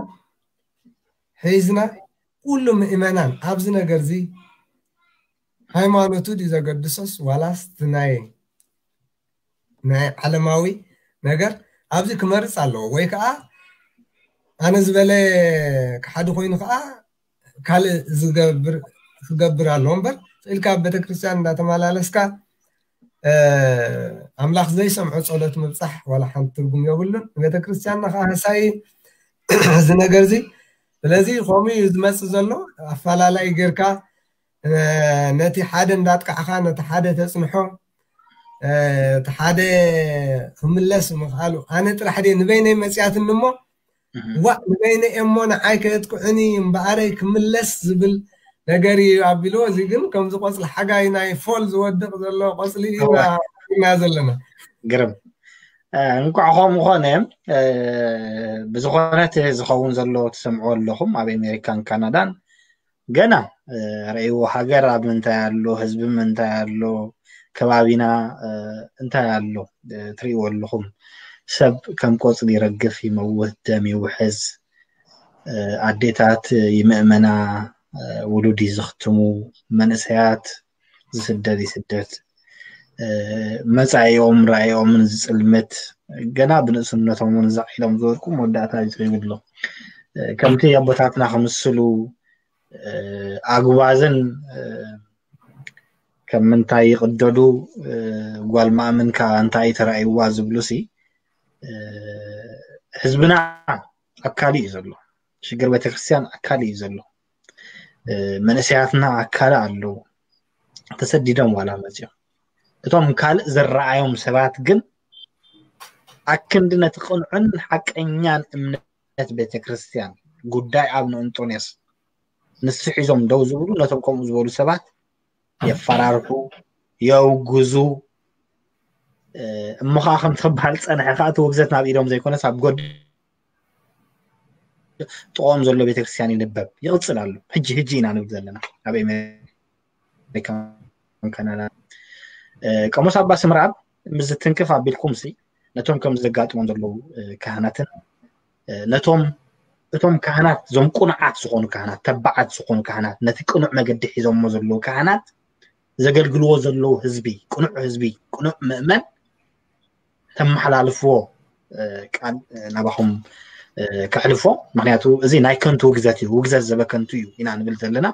ሒዝና ኩሉ ምእመናን ኣብዚ ነገር እዚ ሃይማኖቱ ድዩ ዘገድሶስ ዋላስ ናይ ናይ ዓለማዊ ነገር ኣብዚ ክመርፅ ኣለዎ ወይ ከዓ ኣነ ዝበለ ክሓዲ ኮይኑ ከዓ ካልእ ዝገብር ክገብር ኣለዎ እምበር ኢልካ ኣብ ቤተክርስትያን እንዳተመላለስካ ኣምላኽ ዘይሰምዖ ጸሎት ምብጻሕ ዋላ ሓንቲ ትርጉም የብሉን። ንቤተክርስትያንና ከዓ ህሳይ እዚ ነገር እዚ ስለዚ ከምኡ እዩ ዝመጽእ ዘሎ ኣፈላላይ ጌርካ ነቲ ሓደ እንዳጥቃዕኻ ነቲ ሓደ ተጽንሖ እቲ ሓደ ክምለስ ምኽኣሉ ኣነ ጥራሕ ድየ ንበይነይ መፅያትኒ እሞ ዋእ ንበይነ እሞ ንዓይ ከየጥቅዑኒ እምበኣረይ ክምለስ ዝብል ነገር እዩ ኣቢልዎ። እዚ ግን ከምዚ ቆፅሊ ሓጋይ ናይ ፎል ዝወድቕ ዘሎ ቆፅሊ ኢና ዘለና። ግርም እንኳዕ ከምኡ ኮነ። ብዝኾነ እቲ ዝኸውን ዘሎ ትሰምዑ ኣለኹም ኣብ ኣሜሪካን ካናዳን ገና ረእይዎ ሃገር ኣብ ምንታይ ኣሎ፣ ህዝቢ ምንታይ ኣሎ፣ ከባቢና እንታይ ኣሎ ትርእይዎ ኣለኹም። ሰብ ከም ቆፅሊ ይረግፍ፣ ይመውት፣ ደም ይውሕዝ፣ ኣዴታት ይምእመና፣ ውሉድ ይዝኽትሙ፣ መንእሰያት ዝስደድ ይስደድ፣ መፃኢኦምን ራእዮምን ዝፅልምት፣ ገና ብንእስነቶም እውን ዛዕ ኢሎም ዝወድቁ መወዳእታ እዩ ትርእዩ ኣሎ። ከምቲ ኣቦታትና ክምስሉ ኣጉባዝን ከም ምንታይ ይቕደዱ፣ ጓል ማእምን ከኣ እንታይ እዩ ተራእይዋ ዝብሉ ሲ ህዝብና ኣካሊ እዩ ዘሎ። ሽግር ቤተክርስትያን ኣካሊ እዩ ዘሎ። መንእሰያትና ኣካሊ ኣለዉ። ተሰዲዶም ዋላ መፅኦም እቶም ካልእ ዝረኣዮም ሰባት ግን ኣክንዲ ነቲ ቅንዑን ሓቀኛን እምነት ቤተክርስትያን ጉዳይ ኣብነ እንጦንዮስ ንሱ ሒዞም ደው ዝብሉ ነቶም ከምኡ ዝበሉ ሰባት የፈራርሑ፣ የውግዙ። እሞ ከዓ ከምቲ ክበሃል ዝፀንሐ ከዓ እቲ ውግዘት ናብ ኢዶም ዘይኮነስ ኣብ ጎድ ጥቕኦም ዘሎ ቤተክርስትያን ይንበብ ይቕፅል ኣሎ። ሕጂ ሕጂ ኢና ንብል ዘለና ኣብ ኣሜሪካን ካናዳ። ቀሞስ ኣባ ስምረኣብ ምስ ዝትንክፍ ኣቢልኩም ሲ ነቶም ከም ዘጋጥሞም ዘለዉ ካህናትን ነቶም እቶም ካህናት እዞም ቁኑዓት ዝኾኑ ካህናት ተባዓት ዝኾኑ ካህናት ነቲ ቅኑዕ መገዲ ሒዞሞ ዘለዉ ካህናት ዘገልግልዎ ዘለዉ ህዝቢ ቅኑዕ ህዝቢ ቅኑዕ ምእመን ተመሓላልፍዎ ቃል ናባኹም ከሕልፎ። ምክንያቱ እዚ ናይ ከንቱ ውግዘት እዩ፣ ውግዘት ዘበከንቱ እዩ ኢና ንብል ዘለና።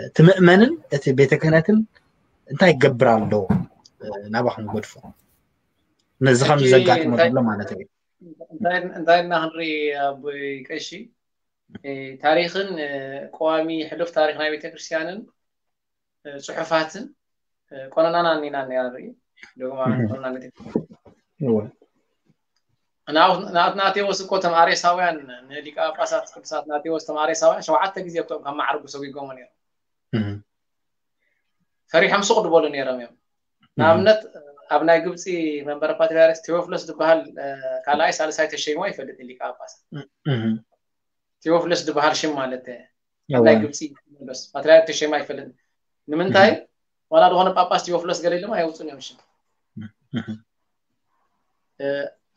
እቲ ምእመንን እቲ ቤተ ክህነትን እንታይ ይገብር ኣሎ ናባኹም ገድፎ ነዚ ከም ዘጋጥሞ ዘሎ ማለት እዩ። እንታይ ኢልና ክንርኢ ኣቦይ ቀሺ ታሪኽን ቀዋሚ ሕሉፍ ታሪኽ ናይ ቤተክርስትያንን ፅሑፋትን ቆነናና ኒና ኒና ንርኢ ዶግማ ቆነና ቤተክርስትያን ንኣትናቴዎስ እኮ ተም ኣሬሳውያን ንሊቀ ጳጳሳት ቅዱሳት ናቴዎስ ተም ኣሬሳውያን ሸውዓተ ግዜ እኮ ካብ ማዕርጉ ሰጒጎሞ ነይሮም ፈሪሖም ሱቕ ድበሉ ነይሮም እዮም ንኣብነት ኣብ ናይ ግብፂ መንበረ ፓትሪያርክ ቴዎፍሎስ ዝበሃል ካልኣይ ሳልሳይ ተሸይሞ ይፈልጥ ሊቀ ጳጳሳት ቴዎፍሎስ ዝበሃል ሽም ማለት ኣብ ናይ ግብፂ ቴዎፍሎስ ፓትሪያርክ ተሸይማ ይፈልጥ ንምንታይ ዋላ ዝኾነ ጳጳስ ቴዎፍሎስ ገለ ኢሎም ኣይውፅን እዮም ሽም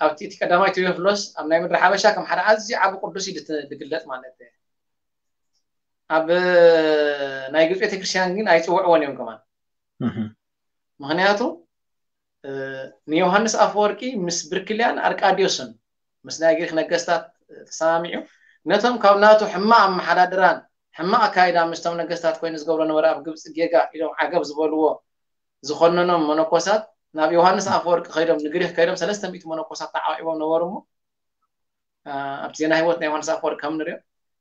ኣብቲ እቲ ቀዳማይ ቴዎፍሎስ ኣብ ናይ ምድሪ ሓበሻ ከም ሓደ ኣዝዩ ዓቢ ቅዱስ እዩ ዝግለጽ ማለት ኣብ ናይ ግብፂ ቤተክርስትያን ግን ኣይፅውዕዎን እዮም ከማን ምክንያቱ ንዮሃንስ ኣፈወርቂ ምስ ብርክልያን ኣርቃድዮስን ምስ ናይ ግሪክ ነገስታት ተሰማሚዑ ነቶም ካብ ናቱ ሕማቕ ኣመሓዳድራን ሕማቕ ኣካይዳ ምስቶም ነገስታት ኮይኑ ዝገብሮ ነበረ ኣብ ግብፂ ጌጋ ኢሎም ዓገብ ዝበልዎ ዝኾነኖም መነኮሳት ናብ ዮሃንስ ኣፈወርቂ ከይዶም ንግሪክ ከይዶም ሰለስተ ሚእቲ መነኮሳት ተዓቂቦም ነበሩ እሞ ኣብቲ ዜና ህይወት ናይ ዮሃንስ ኣፈወርቂ ከም ንሪኦ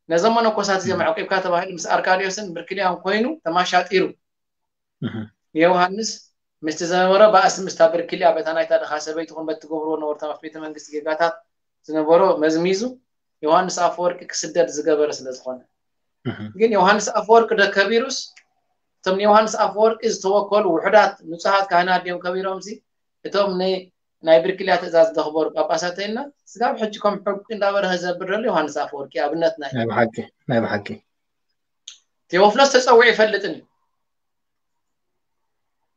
ነዞም መነኮሳት እዚኦም ኣዕቂብካ ተባሂሉ ምስ ኣርካድዮስን ብርክልያን ኮይኑ ተማሻጢሩ ንዮሃንስ ምስቲ ዝነበሮ ባእሲ ምስታ ብርኪልያ በታ ናይታ ድኻ ሰበይትኹን በቲ ትገብርዎ ነበርታ ቤተ መንግስቲ ጌጋታት ዝነበሮ መዝሚዙ ዮሃንስ ኣፈወርቂ ክስደድ ዝገበረ ስለ ዝኾነ ግን ዮሃንስ ኣፈወርቂ ዶ ከቢሩስ እቶም ንዮሃንስ ኣፈወርቂ ዝተወከሉ ውሑዳት ንጹሃት ካህናት ድዮም ከቢሮምሲ እቶም ናይ ብርኪልያ ትእዛዝ ዘኽበሩ ጳጳሳት ተይልና ስጋብ ሕጂ ከም ሕቂ እንዳበረኸ ዘብር ዘሎ ዮሃንስ ኣፈወርቂ ኣብነትና እዩ። ናይ ብሓቂ ናይ ብሓቂ ቴዎፍሎስ ተጸዊዑ ይፈልጥን እዩ።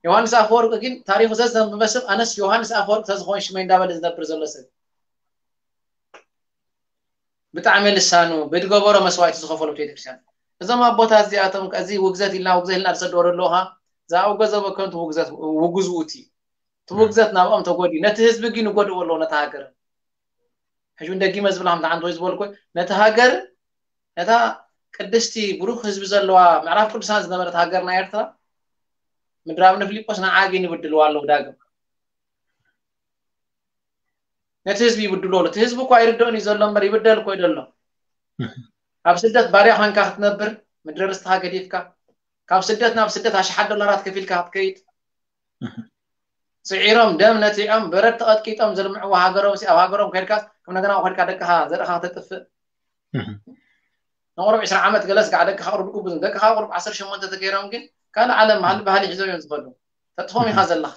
ዮሃንስ ኣፈወርቂ ግን ታሪኹ ዘዘንበበ ሰብ ኣነስ ዮሃንስ ኣፈወርቂ ተዝኾን ሽመይ እንዳበለ ዝነብር ዘሎ ሰብ ብጣዕሚ ልሳኑ ብድገበሮ መስዋዕቲ ዝኸፈሉ ቤተክርስትያን እዞም ኣቦታት እዚኣቶም እዚ ውግዘት ኢልና ውግዘት ኢልና ዝሰደወ ኣለውካ ዝኣውገዘ በከንቱ ውግዘት ውጉዝ ውእቲ እቲ ውግዘት ናብኦም ተጎዲ ነቲ ህዝቢ ግን ይጎድዎ ኣለዎ ነቲ ሃገር ሕጂ እውን ደጊመ ዝብላ ከምቲ ሓንቲ ወይ ዝበልኩ ነቲ ሃገር ነታ ቅድስቲ ብሩክ ህዝቢ ዘለዋ ምዕራፍ ቅዱሳን ዝነበረት ሃገርና ኤርትራ ምድራብነ ፊልጶስ ንዓ ግን ይብድልዋ ኣለዉ ዳግም ነቲ ህዝቢ ይብድሎ እቲ ህዝቢ እኳ ይርድኦን እዩ ዘሎ እምበር ይብደል እኮ ይደሎ ኣብ ስደት ባርያ ኮንካ ክትነብር ምድሪ ርስትኻ ገዲፍካ ካብ ስደት ናብ ስደት ኣሽሓት ዶላራት ከፊልካ ክትከይድ ስዒሮም ደም ነቲዖም በረድ ተቐጥቂጦም ዘልምዕዎ ሃገሮም ኣብ ሃገሮም ከድካ ከም ነገና ከድካ ደቅኻ ዘርእኻ ተጥፍእ ንቁሩብ ዕስራ ዓመት ገለ ስጋዕ ደቅኻ ቁሩብ ግቡዝ ደቅኻ ቁሩብ ዓሰርተ ሸሞንተ ተገይሮም ግን ካልእ ዓለም ባህሊ ባህሊ ሒዞም እዮም ዝኸዱ ተጥፎም ኢኻ ዘለኻ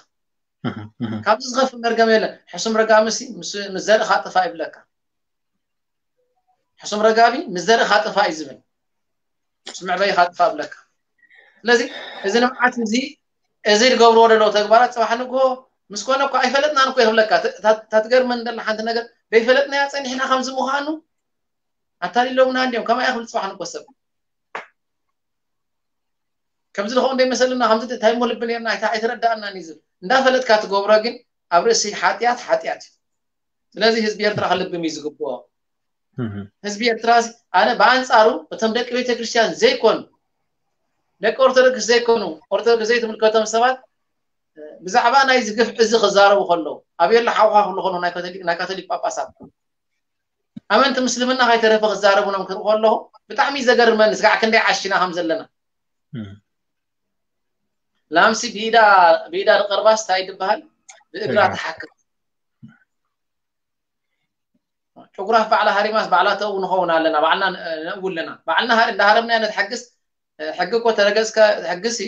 ካብዚ ዝኸፍእ መርገም የለን ሕሱም ረጋሚ ሲ ምስ ዘርእኻ ጥፋ ይብለካ ሕሱም ረጋቢ ምስ ዘርእኻ ጥፋ እዩ ዝብል ምስ መዕበይኻ ጥፋ ይብለካ ስለዚ እዚ ንብዓት እዚ እዚ ዝገብርዎ ዘለዉ ተግባራት ፅባሕ ንግሆ ምስ ኮነ እኮ ኣይፈለጥናን እኮ ይብለካ እታ ትገርመን ደላ ሓንቲ ነገር ዘይፈለጥናያ ፀኒሕና ከምዚ ምዃኑ ኣታሊሎምና እንዲዮም ከማይ ክብል ፅባሕ ንግሆ ሰብ ከምዚ ዝኸውን ደይመሰልና ከምዚ እንታይ እሞ ልቢ ነርና ኣይተረዳእናን እዩ ዝብል እንዳፈለጥካ ትገብሮ ግን ኣብ ርእሲ ሓጢኣት ሓጢኣት እዩ ስለዚ ህዝቢ ኤርትራ ክልብም እዩ ዝግብኦ ህዝቢ ኤርትራ ኣነ ብኣንፃሩ እቶም ደቂ ቤተክርስትያን ዘይኮኑ ደቂ ኦርቶዶክስ ዘይኮኑ ኦርቶዶክስ ዘይትምልከቶም ሰባት ብዛዕባ ናይ ዝግፍ እዚ ክዛረቡ ከለዉ ኣብየላ ሓውካ ክብሉ ከለዉ ናይ ካቶሊክ ጳጳሳት ኣመንቲ ምስልምና ከይተረፈ ክዛረቡኖም ክርኢ ከለኹ ብጣዕሚ ዘገርመኒ ስጋዕ ክንደይ ዓሽና ከም ዘለና ላምሲ ብኢዳ ብኢዳ ንቀርባስ እንታይ ትበሃል ብእግራ ትሓክም ጭጉራፍ ባዕላ ሃሪማስ ባዕላ ተእው ንኸውን ኣለና ባዕልና ነእው ኣለና ባዕልና እንዳሃረምና ነትሓግስ ሕጊ እኮ ተረገጽካ ሕግሲ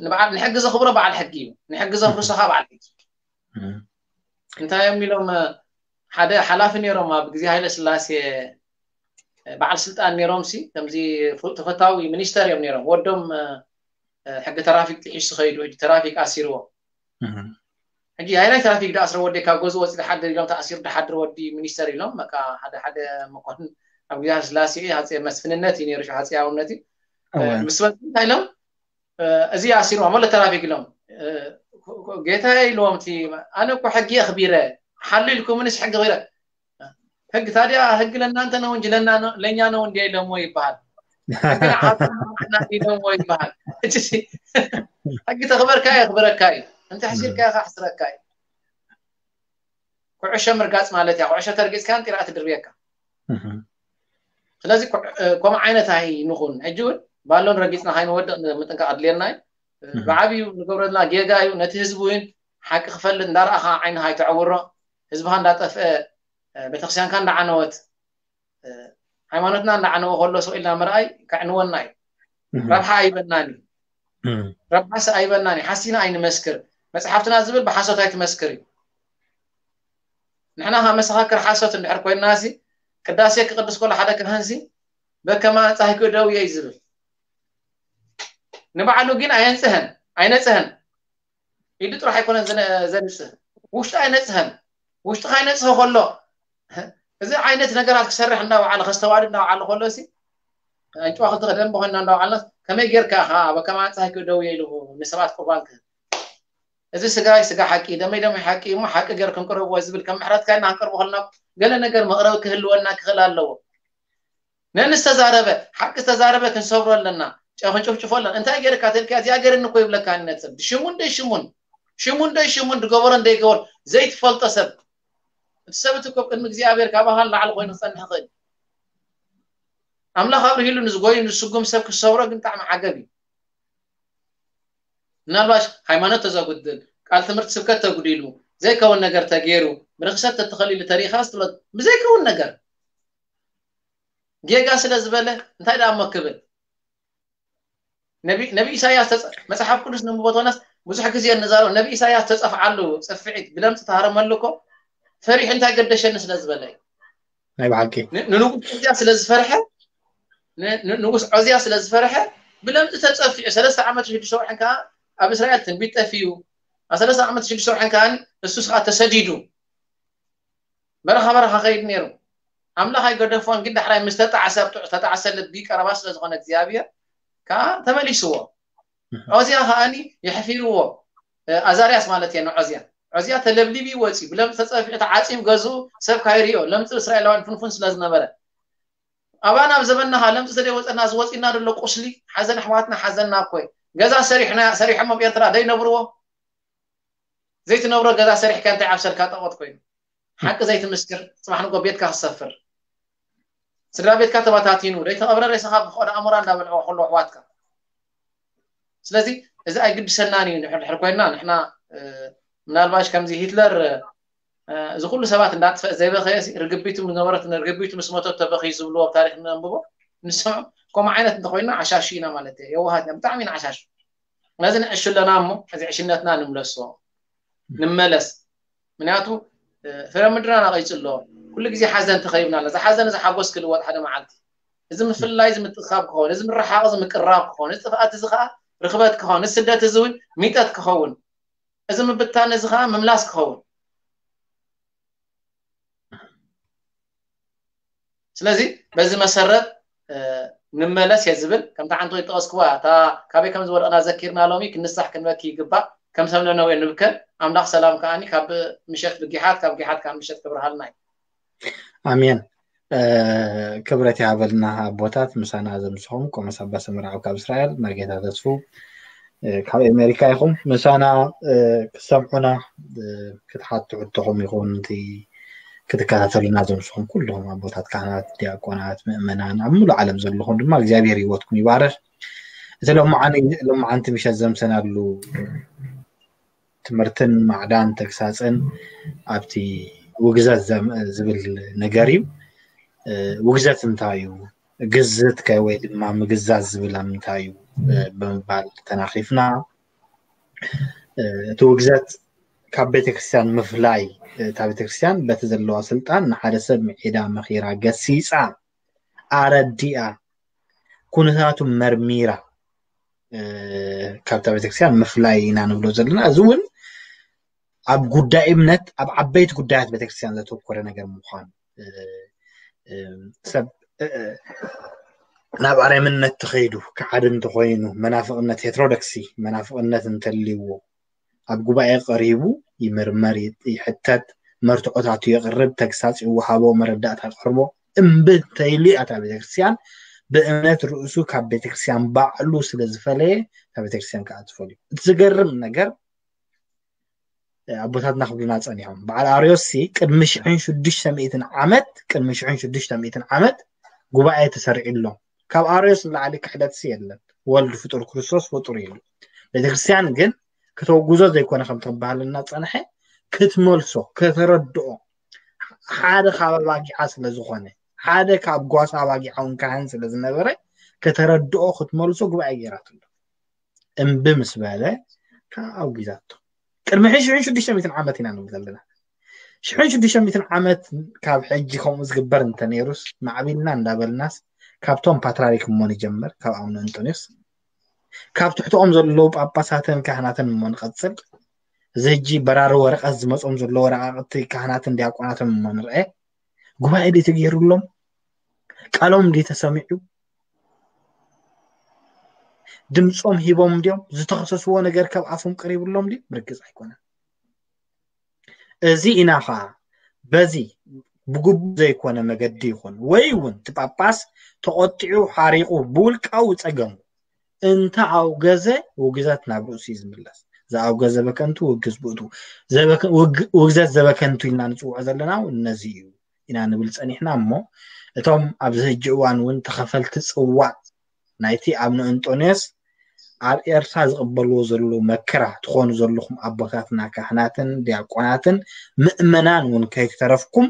ንበዓል ንሕጊ ዘኽብሮ በዓል ሕጊ እዩ ንሕጊ ዘፍርሶ ከዓ በዓል ሕጊ እንታይ እዮም ኢሎም ሓደ ሓላፊ ነይሮም ኣብ ግዜ ሃይለ ስላሴ በዓል ስልጣን ነይሮም ሲ ከምዚ ተፈታዊ ሚኒስተር እዮም ነይሮም ወዶም ሕጊ ተራፊክ ጥሒሱ ከይዱ ሕጂ ተራፊክ ኣሲርዎ ሕጂ ሃይላይ ትራፊክ ዳኣስረ ወዲ ካብ ገዝኡ ወፂ ድሓድር ኢሎም ተኣሲሩ ድሓድር ወዲ ሚኒስተር ኢሎም በቃ ሓደ ሓደ መኮንን ኣብ ግዜ ስላሴ ሃፀ መስፍንነት እዩ ነይሩ ሃፀያውነት እዩ ምስ በሉ እንታይ ኢሎም እዚ ኣሲርዎም ኣሎ ትራፊክ ኢሎም ጌታ ኢልዎም እቲ ኣነ እኮ ሕጊ ኣኽቢረ ሓሉ ኢልኩምንስ ሕጊ ኽረ ሕግ ታዲያ ሕግ ለእናንተ ነው እንጂ ለእኛ ነው እንዲ ኢለሞ ይበሃል ሕግ ንዓና ኢለሞ ይበሃል ሕጂ ሕጊ ተኽበርካ የኽብረካ እዩ እንተ ሕሲርካ ከሕስረካ እዩ ኩዕሾ ምርጋፅ ማለት እያ ኩዕሾ ተርጊፅካ ጢራ ትድርብየካ ስለዚ ከምኡ ዓይነት ኣይንኹን ሕጂ እውን ባሎን ረጊፅና ካይንወድቕ ምጥንቃቕ ኣድልየና እዩ ብዓብዩ ንገብረልና ጌጋ እዩ ነቲ ህዝቢ እውን ሓቂ ክፈልጥ እንዳረኣኻ ዓይንኻ ኣይተዕውሮ ህዝብኻ እንዳጠፍአ ቤተክርስትያንካ እንዳዓነወት ሃይማኖትና እንዳዓነወ ከሎ ስቕ ኢልና ምርኣይ ከዕንወና እዩ ረብሓ ኣይበናን እዩ ረብሓስ ኣይበናን እዩ ሓሲና ኣይንመስክር መፅሓፍትና ዝብል ብሓሶት ኣይትመስክር እዩ ንሕና ካብ መሰኻክር ሓሶት እንድሕር ኮይንና ሲ ቅዳሴ ክቅድስ ከሎ ሓደ ካህን ሲ በከማ ኣንጻሂኩ ደውየ እዩ ዝብል ንባዕሉ ግን ኣየንፅህን ኣይነፅህን ኢዱ ጥራሕ ኣይኮነን ዘንፅህ ውሽጡ ኣይነፅህን ውሽጡ ካይነፅህ ከሎ እዚ ዓይነት ነገራት ክሰርሕ እንዳውዓለ ከስተዋድድ እንዳውዓለ ከሎ ሲ ዕንጭዋ ክልተ ደንበ ኮይና እንዳውዓልና ከመይ ጌርካ ኢኻ በከማ ኣንጻሂኩ ደውየ ኢሉ ንሰባት ቁርባን ክህብ እዚ ስጋይ ስጋ ሓቂ ደመይ ደመይ ሓቂ እሞ ሓቂ ገር ክንቅርብዎ ዝብል ከም ምሕረትካ ኢና ክንቅርቦ ከለና ገለ ነገር መቕረቢ ክህልወና ክኽእል ኣለዎ ነንዝተዛረበ ሓቂ ዝተዛረበ ክንሰብሮ ኣለና ጨኽንጭፍጭፎ ኣለና እንታይ ገርካ ተልካ እዚኣ ገርኒ እኮ ይብለካ ንነጥብ ሽሙን ደይ ሽሙን ሽሙን ደይ ሽሙን ዝገበሮን ደይገበሮን ዘይትፈልጦ ሰብ እቲ ሰብ እቲ እኮ ቅድሚ እግዚኣብሔር ካባኻ ንላዕሊ ኮይኑ ክጸንሕ ይኽእል ኣምላኽ ኣብርሂሉ ንዝጎዩ ንዝስጉም ሰብ ክሰብሮ ግን ብጣዕሚ ዓገብ እዩ ምናልባሽ ሃይማኖት ተዘጉድል፣ ቃል ትምህርቲ ስብከት ተጉዲሉ፣ ዘይከውን ነገር ተገይሩ፣ ብርክሰት ተተኸሊሉ ተሪኻ ስትብሎ ብዘይከውን ነገር ጌጋ ስለ ዝበለ እንታይ ደኣ እሞ ክብል? ነቢ ነቢ ኢሳያስ ተጸ- መጽሓፍ ቅዱስ ንንብቦ ተኾናስ ብዙሕ ግዜ እንዛረብ፣ ነቢ ኢሳያስ ተጸፍዓሉ ጽፍዒት ብለምጽ ተሃረመሉ እኮ ፈሪሑ እንታይ ገደሸኒ ስለ ዝበለ እዩ። ናይ ብሓቂ ን- ንንጉስ ዖዝያ ስለ ዝፈርሐ ን- ን- ንጉስ ዖዝያ ስለ ዝፈርሐ ብለምጽ ተጸፊዑ ሰለስተ ዓመት ሽዱሽተ ወርሕን ከዓ ኣብ እስራኤል ትንቢት ጠፊኡ ኣብ ሰለስተ ዓመት ሽዱሽተ ወርሕን ከዓ እሱስ ከዓ ተሰዲዱ በረኻ በረኻ ከይድ ነይሩ ኣምላኽ ኣይገደፎን ግን ዳሕራይ ምስ ተጣዕሰ ብጥዑ ተጣዕሰ ልቢ ቀረባ ስለ ዝኾነ እግዚኣብሔር ከዓ ተመሊስዎ ዖዝያ ከዓኒ የሕፊርዎ ኣዛርያስ ማለት እየ ንዖዝያ ዖዝያ ተለብሊቢ ወፂ ብለምፅ ተፀፊዑ ተዓፂብ ገዝኡ ሰብ ካይሪኦ ለምፅ እስራኤላውያን ፍንፉን ስለ ዝነበረ ኣባና ኣብ ዘበናኻ ለምፅ ተደይወፀና ዝወፂና ደሎ ቁስሊ ሓዘን ኣሕዋትና ሓዘንና እኮ ገዛ ሰሪሕና ሰሪሖም ኣብ ኤርትራ ደይነብርዎ ዘይትነብሮ ገዛ ሰሪሕካ እንታይ ዓብሰልካ ጠቆት ኮይኑ ሓቂ ዘይትምስክር ፅባሕ ንጎ ቤትካ ክሰፍር ስድራ ቤትካ ተበታቲኑ ደይተቐብረ ሬሳኻ ብፍቐዶ ኣሞራ እንዳበልዕዎ ከሎ ኣሕዋትካ ስለዚ እዚ ኣይግድሰናን እዩ ንሕድሕር ኮይና ንሕና ምናልባሽ ከምዚ ሂትለር እዚ ኩሉ ሰባት እንዳጥፈእ ዘይበኸየ ርግቢቱ ዝነበረት ርግቢቱ ምስ መቶ ተበኺ ዝብልዎ ኣብ ታሪክ ነንብቦ ንስምዖ ከምኡ ዓይነት እንተኮይና ዓሻሹ ኢና ማለት እየ የዋሃት ኢና ብጣዕሚ ኢና ዓሻሹ ነዚ ንዕሹ ኣለና እሞ እዚ ዕሽነትና ንምለሶ ንመለስ ምክንያቱ ፍረ ምድርና ነቐይፁ ኣሎ ኩሉ ግዜ ሓዘን ተኸይብና ኣሎ እዚ ሓዘን እዚ ሓጎስ ክልወጥ ሓደ መዓልቲ እዚ ምፍልላይ እዚ ምትእኻብ ክኸውን እዚ ምርሓቕ እዚ ምቅራብ ክኸውን እዚ ጥፍኣት እዚ ከዓ ርኽበት ክኸውን እዚ ስደት እዚ እውን ሚጠት ክኸውን እዚ ምብታን እዚ ከዓ ምምላስ ክኸውን ስለዚ በዚ መሰረት ንመለስ እየ ዝብል ከምታ ሓንቲ ዝጠቐስክዋ እታ ካበይ ከም ዝወደቕና ዘኪርና ሎሚ ክንሳሕ ክንበኪ ይግባእ ከም ሰብ ነነዌ ንብከ ኣምላኽ ሰላም ከዓኒ ካብ ምሸት ብጊሓት ካብ ጊሓት ካብ ምሸት ክብርሃልና እዩ ኣሜን ክብረት ይሃበልና ኣቦታት ምሳና ዘምስኹም ቆመስ ኣባ ሰምርዓው ካብ እስራኤል መርጌታ ተስፉ ካብ ኣሜሪካ ኢኹም ምሳና ክሰምዑና ክትሓቱ ሕቶኹም ይኹን እቲ ክትከታተሉና ዘምስኹም ኩልኹም ኣቦታት ካህናት ዲያቆናት ምእመናን ኣብ ሙሉ ዓለም ዘለኹም ድማ እግዚኣብሔር ህይወትኩም ይባረክ እቲ ሎማዓንቲ ምሸት ዘምሰናሉ ትምህርትን ማዕዳን ተግሳፅን ኣብቲ ውግዘት ዝብል ነገር እዩ ውግዘት እንታይ እዩ ግዝት ከ ወይ ድማ ምግዛዝ ዝብል ኣብ ምንታይ እዩ ብምባል ተናኺፍና እቲ ውግዘት ካብ ቤተክርስትያን ምፍላይ እታ ቤተክርስትያን በቲ ዘለዋ ስልጣን ንሓደ ሰብ ምዒዳ መኺራ ገሲፃ ኣረዲኣ ኩነታቱ መርሚራ ካብታ ቤተክርስትያን ምፍላይ ኢና ንብሎ ዘለና እዚ እውን ኣብ ጉዳይ እምነት ኣብ ዓበይቲ ጉዳያት ቤተክርስትያን ዘተኮረ ነገር ምዃኑ ሰብ ናብ ኣረምነት ተኸይዱ ክዓድ እንተኾይኑ መናፍቕነት ሄትሮዶክሲ መናፍቕነት እንተልይዎ ኣብ ጉባኤ ቀሪቡ ይምርመር ይሕተት መርትዖታቱ የቕርብ ተግሳፅ ይወሃቦ መረዳእታ ይቐርቦ እምቢ እንተይሉ ኣታ ቤተክርስትያን ብእምነት ርእሱ ካብ ቤተክርስትያን ባዕሉ ስለ ዝፈለየ ካብ ቤተክርስትያን ከዓ ትፈልዩ እቲ ዝገርም ነገር ኣቦታትና ክብሉና ፀኒሖም በዓል ኣርዮስ ሲ ቅድሚ ሽሕን ሽዱሽተ ሚእትን ዓመት ቅድሚ ሽሕን ሽዱሽተ ሚእትን ዓመት ጉባኤ ተሰሪዑ ኣሎ ካብ ኣርዮስ ንላዕሊ ክሕደት ሲ የለን ወልድ ፍጡር ክርስቶስ ፍጡር ኢሉ ቤተክርስትያን ግን ከተወጉዞ ዘይኮነ ከም ተባህለና ፀንሐ ክትመልሶ ከተረድኦ ሓደ ካብ ኣባጊዓ ስለ ዝኾነ ሓደ ካብ ጓሳ ኣባጊዓ እውን ካህን ስለ ዝነበረ ከተረድኦ ክትመልሶ ጉባኤ ገይራትሎ እምቢ ምስ በለ ከዓ ኣውጊዛቶ ቅድሚ ሽሕን ሽዱሽተ ሚእትን ዓመት ኢና ንብል ዘለና ሽሕን ሽዱሽተ ሚእትን ዓመት ካብ ሕጂ ከምኡ ዝግበር እንተነይሩስ ማዕቢልና እንዳበልናስ ካብቶም ፓትራሪክ እሞ ንጀምር ካብ ኣቡነ እንጦንዮስ ካብ ትሕትኦም ዘለዉ ጳጳሳትን ካህናትን እሞ ንቐጽል እዚ ሕጂ በራሪ ወረቐት ዝመጾም ዘሎ ወረቃቅቲ ካህናትን ዲያቆናትን እሞ ንርአ ጉባኤ ድዩ ተገይሩሎም ቃሎም ድዩ ተሰሚዑ ድምፆም ሂቦም ድዮም ዝተኸሰስዎ ነገር ካብ ኣፎም ቀሪብሎም ድዩ ርግፅ ኣይኮነን እዚ ኢና ከዓ በዚ ብግቡእ ዘይኮነ መገዲ ይኹን ወይ እውን እቲ ጳጳስ ተቆጢዑ ሓሪቁ ብውልቃዊ ፀገሙ እንተ ኣውገዘ ውግዘት ናብ ርእሱ እዩ ዝምለስ ዝኣውገዘ በከንቱ ውግዝ ብእቱ ውግዘት ዘበከንቱ ኢልና ንፅውዖ ዘለና እውን ነዚ እዩ ኢና ንብል ፀኒሕና እሞ እቶም ኣብዚ ሕጂ እዋን እውን ተኸፈልቲ ፅዋዕ ናይቲ ኣብ ንእንጦንዮስ ኣብ ኤርትራ ዝቕበልዎ ዘለዉ መከራ ትኾኑ ዘለኹም ኣቦታትና ካህናትን ዲያቆናትን ምእመናን እውን ከይተረፍኩም፣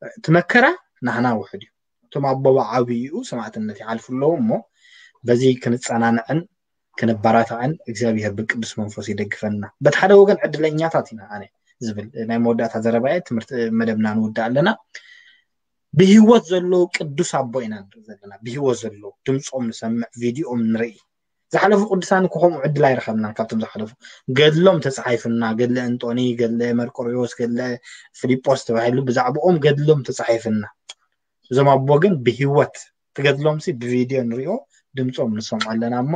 እቲ መከራ ናህና ውሕድ እዩ። እቶም ኣቦ ብዓብይኡ ሰማዕትነት ይሓልፉ ኣለዉ እሞ፣ በዚ ክንጸናንዕን ክንበራታዕን እግዚኣብሔር ብቅዱስ መንፈስ ይደግፈና። በቲ ሓደ ወገን ዕድለኛታት ኢና። ኣነ ዝብል ናይ መወዳእታ ዘረባየ፣ ትምህርቲ መደብና ንውዳእ ኣለና። ብህይወት ዘለዉ ቅዱስ ኣቦ ኢና ንርኢ ዘለና። ብህይወት ዘለዉ፣ ድምፆም ንሰምዕ፣ ቪዲኦም ንርኢ። ዝሓለፉ ቅዱሳን እኮ ከምኡ ዕድል ኣይረኸብናን። ካብቶም ዝሓለፉ ገድሎም ተፃሒፍና፣ ገድለ እንጦኒ፣ ገድለ መርቆሪዎስ፣ ገድለ ፊልጶስ ተባሂሉ ብዛዕባኦም ገድሎም ተፃሒፍና። እዞም ኣቦ ግን ብህይወት፣ ትገድሎም ሲ ብቪድዮ ንሪኦ፣ ድምፆም ንሰምዖ ኣለና እሞ፣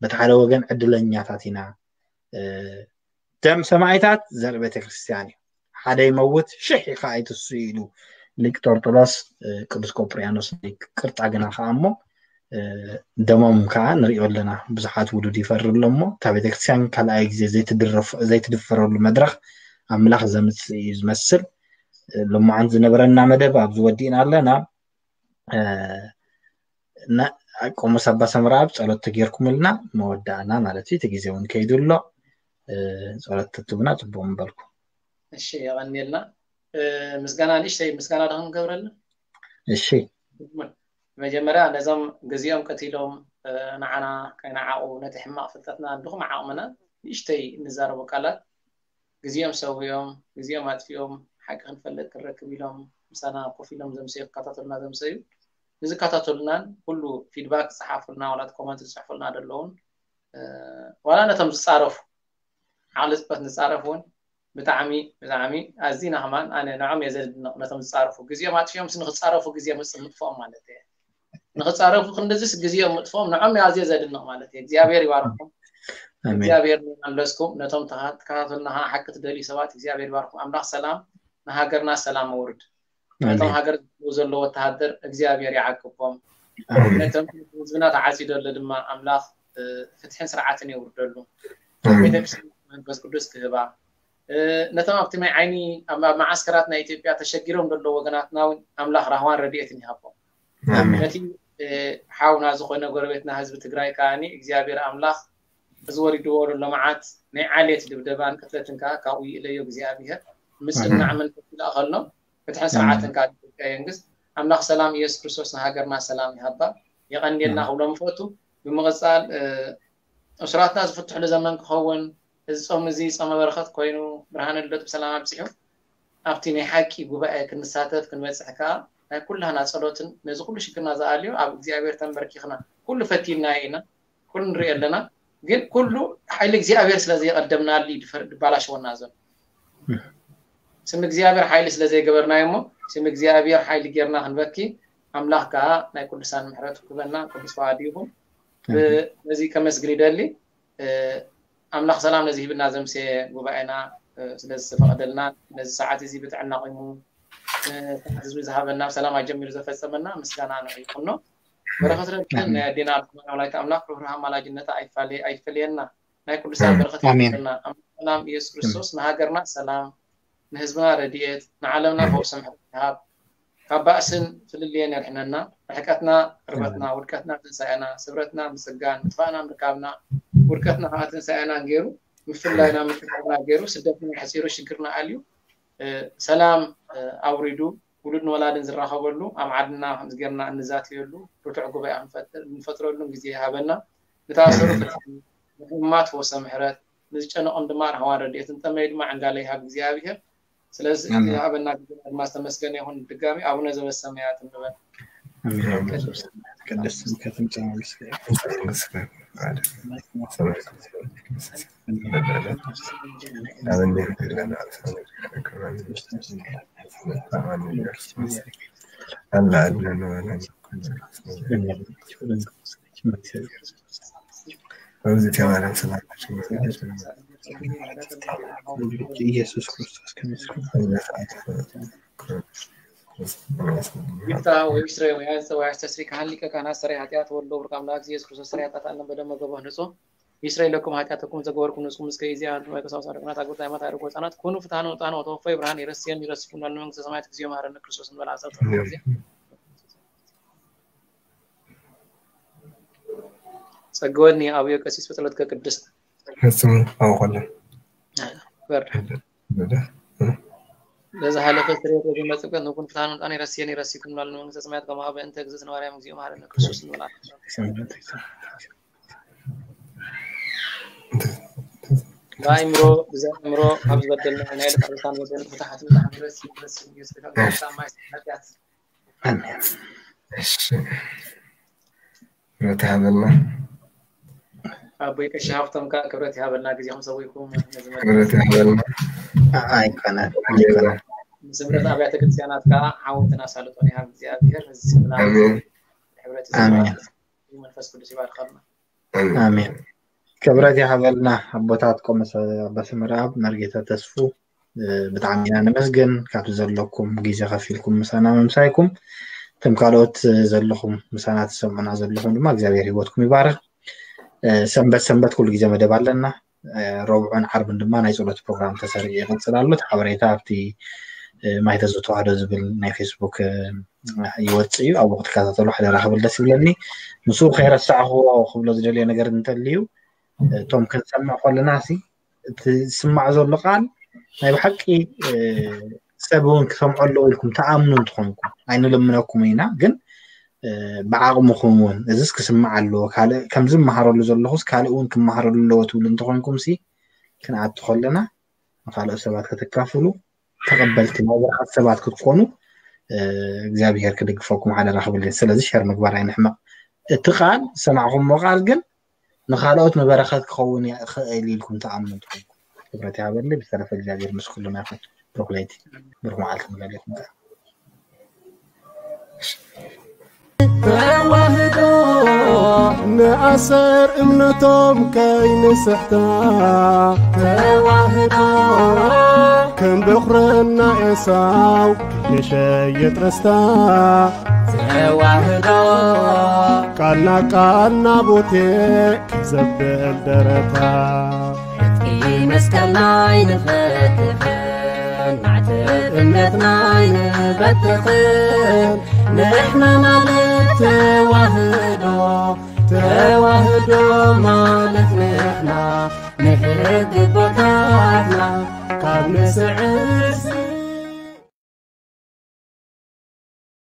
በቲ ሓደ ወገን ዕድለኛታት ኢና። ደም ሰማዕታት ዘርኢ ቤተክርስትያን እዩ። ሓደ ይመውት ሽሕ ከዓ ይትስኡ ኢሉ ሊቅ ጦርጦሎስ። ቅዱስ ቆጵርያኖስ ናይ ቅርጣ ግና ከዓ እሞ፣ ደሞም ከዓ ንሪኦ ኣለና። ብዙሓት ውሉድ ይፈሪ ኣሎ እሞ፣ እታ ቤተክርስትያን ካልኣይ ግዜ ዘይትድረፍ ዘይትድፈረሉ መድረኽ ኣምላኽ ዘምፅእ እዩ ዝመስል። ሎማዓንቲ ዝነበረና መደብ ኣብዚ ወዲእና ኣለና። ቆሞስ ኣባ ሰምረኣብ ጸሎት ተጌርኩምልና መወዳእና ማለት እዩ። እቲ ግዜ እውን ከይዱ ኣሎ። ጸሎት ተትብና ጽቡቕ ምበልኩ። እሺ፣ የቐንየልና። ምስጋና ንእሽተይ ምስጋና ዶ ክንገብረልና? እሺ። መጀመርያ ነዞም ግዜኦም ቀቲሎም ንዓና ከይነዓቑ፣ ነቲ ሕማቕ ፍልጠትና ድኹም ዓቕምና ንእሽተይ እንዛረቦ ቃላት ግዜኦም ሰዊኦም፣ ግዜኦም ኣጥፊኦም፣ ሓቂ ክንፈልጥ ክንረክብ ኢሎም ምሳና ኮፍ ኢሎም ዘምሰዩ፣ ክከታተሉና ዘምሰዩ፣ ንዝከታተሉናን ኩሉ ፊድባክ ዝጸሓፉልና ዋላ ኮመንት ዝጽሕፉልና ዘለውን ዋላ ነቶም ዝጻረፉ ዓቕሊ ጽበት ንጻረፍ እውን ብጣዕሚ ብጣዕሚ ኣዚና ከማን ኣነ ንዖም እየ ዘድንቕ። ነቶም ዝጻረፉ ግዜኦም ኣጥፊኦም ንክጻረፉ ግዜ ምጥፍኦም ማለት እየ። ንክጻረፉ ክንድዝስ ግዜኦም ምጥፍኦም ንዖም ኣዝየ ዘድንቕ ማለት እየ። እግዚኣብሔር ይባርኩም። እግዚኣብሔር ይመለስኩም። ነቶም ተኸታተልና ከዓ ሓቂ ትደልዩ ሰባት እግዚኣብሔር ይባርኩም። ኣምላኽ ሰላም ንሃገርና ሰላም ኣውርድ። ነቶም ሃገር ዘለዎ ወተሃደር እግዚኣብሔር ይዓቅቦም። ነቶም ህዝብና ተዓጺዶ ኣሎ ድማ ኣምላኽ ፍትሕን ስርዓትን የውርደሉ። ቤተክርስትያን መንፈስ ቅዱስ ክህባ ነቶም ኣብቲ ናይ ዓይኒ ኣብ መዓስከራት ናይ ኢትዮጵያ ተሸጊሮም ዘለዉ ወገናትና እውን ኣምላኽ ራህዋን ረድኤትን ይሃቦም። ነቲ ሓውና ዝኾነ ጎረቤትና ህዝቢ ትግራይ ከዓኒ እግዚኣብሔር ኣምላኽ እዚ ወሪድዎ ዘሎ መዓት ናይ ዓሌት ድብደባን ቅትለትን ከዓ ካብኡ ይእለዮ እግዚኣብሔር። ምጽናዕ መንፈስ ይልኣኸሎም። ፍትሕን ስርዓትን ከዓ ኢትዮጵያ የንግስ። ኣምላኽ ሰላም ኢየሱስ ክርስቶስ ንሃገርና ሰላም ይሃባ። የቐንየልና ክብሎም እፈቱ። ብምቕጻል እሱራትና ዝፍትሕሉ ዘመን ክኸውን፣ እዚ ጾም እዚ ጾመ በረኸት ኮይኑ ብርሃነ ልደቱ ብሰላም ኣብጺሑ ኣብቲ ናይ ሓቂ ጉባኤ ክንሳተፍ ክንበጽሕ ከኣ ናይ ኩላህና ጸሎትን ነዚ ኩሉ ሽግርና ዝኣልዮ ኣብ እግዚኣብሔር ተንበርኪኽና ኩሉ ፈቲንናዮ ኢና፣ ኩሉ ንርኢ ኣለና። ግን ኩሉ ሓይሊ እግዚኣብሔር ስለ ዘይቐደምናሉ እዩ ድፈር- ድባላሸወና ዘሎ። ስም እግዚኣብሔር ሓይሊ ስለ ዘይገበርናዮ እሞ ስም እግዚኣብሔር ሓይሊ ጌርና ክንበኪ ኣምላኽ ከኣ ናይ ቅዱሳን ምሕረቱ ክበና ቅዱስ ፈቓዱ ይኹን። ነዚ ከመስግን ይደሊ። ኣምላኽ ሰላም ነዚ ሂብና ዘምስየ ጉባኤና ስለ ዝተፈቐደልና ነዚ ሰዓት እዚ ብጥዕና ቂሙ ሰዓት ህዝቢ ዝሃበና ብሰላም ኣጀሚሩ ዘፈጸመና ምስጋና ንዕኡ ይኹኖ። በረኸት ረድኤት ናይ ኣዴና ኣርሴማ ወላዲተ ኣምላኽ ርህራሄ ኣማላጅነታ ኣይፋለ- ኣይፈለየና። ናይ ቅዱሳን በረኸት ይፈለየና። ኣምላኽ ሰላም ኢየሱስ ክርስቶስ ንሃገርና ሰላም ንህዝብና ረድኤት ንዓለምና ፈውሲ ምሕረት ይሃብ። ካብ ባእስን ፍልልየን የድሕነና። ርሕቀትና ቅርበትና፣ ውድቀትና ትንሳኤና፣ ስብረትና ምስጋን፣ ምጥፋእና ምርካብና፣ ውድቀትና ከዓ ትንሳኤና ገይሩ፣ ምፍላይና ምቅርራብና ገይሩ፣ ስደትና ኣሕፂሩ፣ ሽግርና ኣልዩ፣ ሰላም ኣውሪዱ፣ ውሉድን ወላድን ዝራኸበሉ፣ ኣብ ዓድና ከምዚ ጌርና እንዛተየሉ ርቱዕ ጉባኤ ክንፈጥር- እንፈጥረሉን ግዜ ይሃበና። ንተኣሰሩ ፍትሒ፣ ንሕሙማት ፈውሰ ምሕረት፣ ንዝጨነቖም ድማ ራህዋን ረድኤትን ጠመዩ ድማ ዕንጋለ ይሃብ እግዚኣብሔር። ስለዚ ዝሃበና ግዜ ድማ ዝተመስገነ ይኹን። ድጋሚ ኣቡነ ዘበሰማያት እንበል። ቅድስት ስምከ ትምጻእ መንግስትከ። ኢየሱስ ክርስቶስ ከመስኩ ይፍታ ወይስረ ወያስተስሪ ካህን ሊቀ ካህናት ሰራይ ኃጢአት ወልዶ ብሩክ አምላክ ኢየሱስ ክርስቶስ ሰራይ ኃጢአት ዓለም በደመ ገቦ ንጹ ይስረይ ለኩም ኃጢአተኩም ዘገበርኩም ንስኩም እስከ ይዜ አንቱም ወይቀሳውስ አረቅናት አጉር ዳይማት አድርጎ ህጻናት ኩኑ ፍትሐነ ውጣነ ወተወፈይ ብርሃን ይረስየን ይረስኩም ላሉ መንግስተ ሰማያት እግዚኦ መሐረነ ክርስቶስ እንበል አሰብ ጊዜ ጸግወኒ ኣብዮ ቀሲስ ብጸሎትከ ቅድስት። ፈጽሙ ኣውቆለን በር በዛ ሓለፈ ስርየት ዝመጽእ ንኩን ፍትሃን ምጣን ይረስየን ይረሲኩም ላሉ መንግስተ ሰማያት ከማኸ በእንተ እግዝእትነ ማርያም እግዚኦ መሐረነ ክርስቶስ ንበላ። ብኣእምሮ ብዛ ኣእምሮ ካብ ዝበደልና ናይ ልቃ ልሳን ወደን ፍታሓት ምጣን ይረስየን ይረስየን ኢየሱስ ክርስቶስ ማይ ሓጢኣት እሺ። ክብረት ይሃበልና። ኣቦይ ቀሺ ሃብቶም ከዓ ክብረት ይሃበልና ግዜኹም ሰዊእኩም ነዚ መድረኽ ክብረት ይሃበልና። ኣይኮነን ጌና ንስምረት ኣብያተ ክርስቲያናት ከዓ ዓወትን ኣሳልጦን ይሃብ እግዚኣብሔር። እዚ ስምና ኣሜን። ሕብረት ኣሜን። መንፈስ ቅዱስ ይባርከልና። ኣሜን። ኣሜን። ክብረት ይሃበልና ኣቦታት ቆመስ ኣባ ስምረኣብ መርጌታ ተስፉ ብጣዕሚ ኢና ነመስግን ካብቲ ዘለኩም ግዜ ከፊልኩም ምሳና ምምሳይኩም። እቶም ካልኦት ዘለኹም ምሳና ትሰምዑና ዘለኹም ድማ እግዚኣብሔር ህይወትኩም ይባርክ። ሰንበት ሰንበት ኩሉ ግዜ መደብ ኣለና። ረብዑን ዓርብን ድማ ናይ ፀሎት ፕሮግራም ተሰሪዑ ይቕፅል ኣሎ። እቲ ሓበሬታ ኣብቲ ማይተዝተዋህዶ ዝብል ናይ ፌስቡክ ይወፅእ እዩ። ኣብኡ ክትከታተሉ ሓደራ ክብል ደስ ይብለኒ። ምስኡ ከይረሳዕኽዎ ክብሎ ዝደልዮ ነገር እንተልዩ እቶም ክንሰምዕ ከለና ሲ እቲ ዝስማዕ ዘሎ ቃል ናይ ብሓቂ ሰብ እውን ክሰምዖ ኣለዎ ኢልኩም ተኣምኑ እንትኾንኩም ኣይንልምነኩም ኢና፣ ግን ብዓቕምኹም እውን እዚስ ክስማዕ ኣለዎ፣ ካልእ ከምዚ መሃረሉ ዘለኹስ ካልእ እውን ክመሃረሉ ኣለዎ ትብሉ እንተኾንኩም ሲ ክንኣቱ ከለና ንካልኦት ሰባት ከተካፍሉ ተቐበልቲ ናይ በረኸት ሰባት ክትኮኑ እግዚኣብሔር ክድግፈኩም ሓደራ ክብል እየ። ስለዚ ሸር ምግባር ኣይንሕመቕ። እቲ ቃል ዝሰማዕኹምዎ ቃል ግን ንካልኦት ንበረኸት ክኸውን ይኽእል ኢልኩም ትኣምኑ እንትኾንኩም ክብረት ይሃበኒ። ብዝተረፈ እግዚኣብሔር ምስ ኩልና ይኹን። ብሩኽ ለይቲ ብሩኽ መዓልቲ ንበለኩም። ተዋህዶ ንኣሰር እምነቶም ከይንስሕታ ተዋህዶ ከም በኹረና ኤሳው ከይንሸየጥ ርስታ ተዋህዶ ቃልና ቃልና ቦቴ ክዘብል ደረታ ዕጥቂ መስቀልና ኣይንፈትሕን ማዕተብ እምነትና ኣይንበትኽን ንሕና ማለት ተዋህዶ ተዋህዶ ማለት ንሕና ንሕቢ ቦታትና ካብ ንስዕር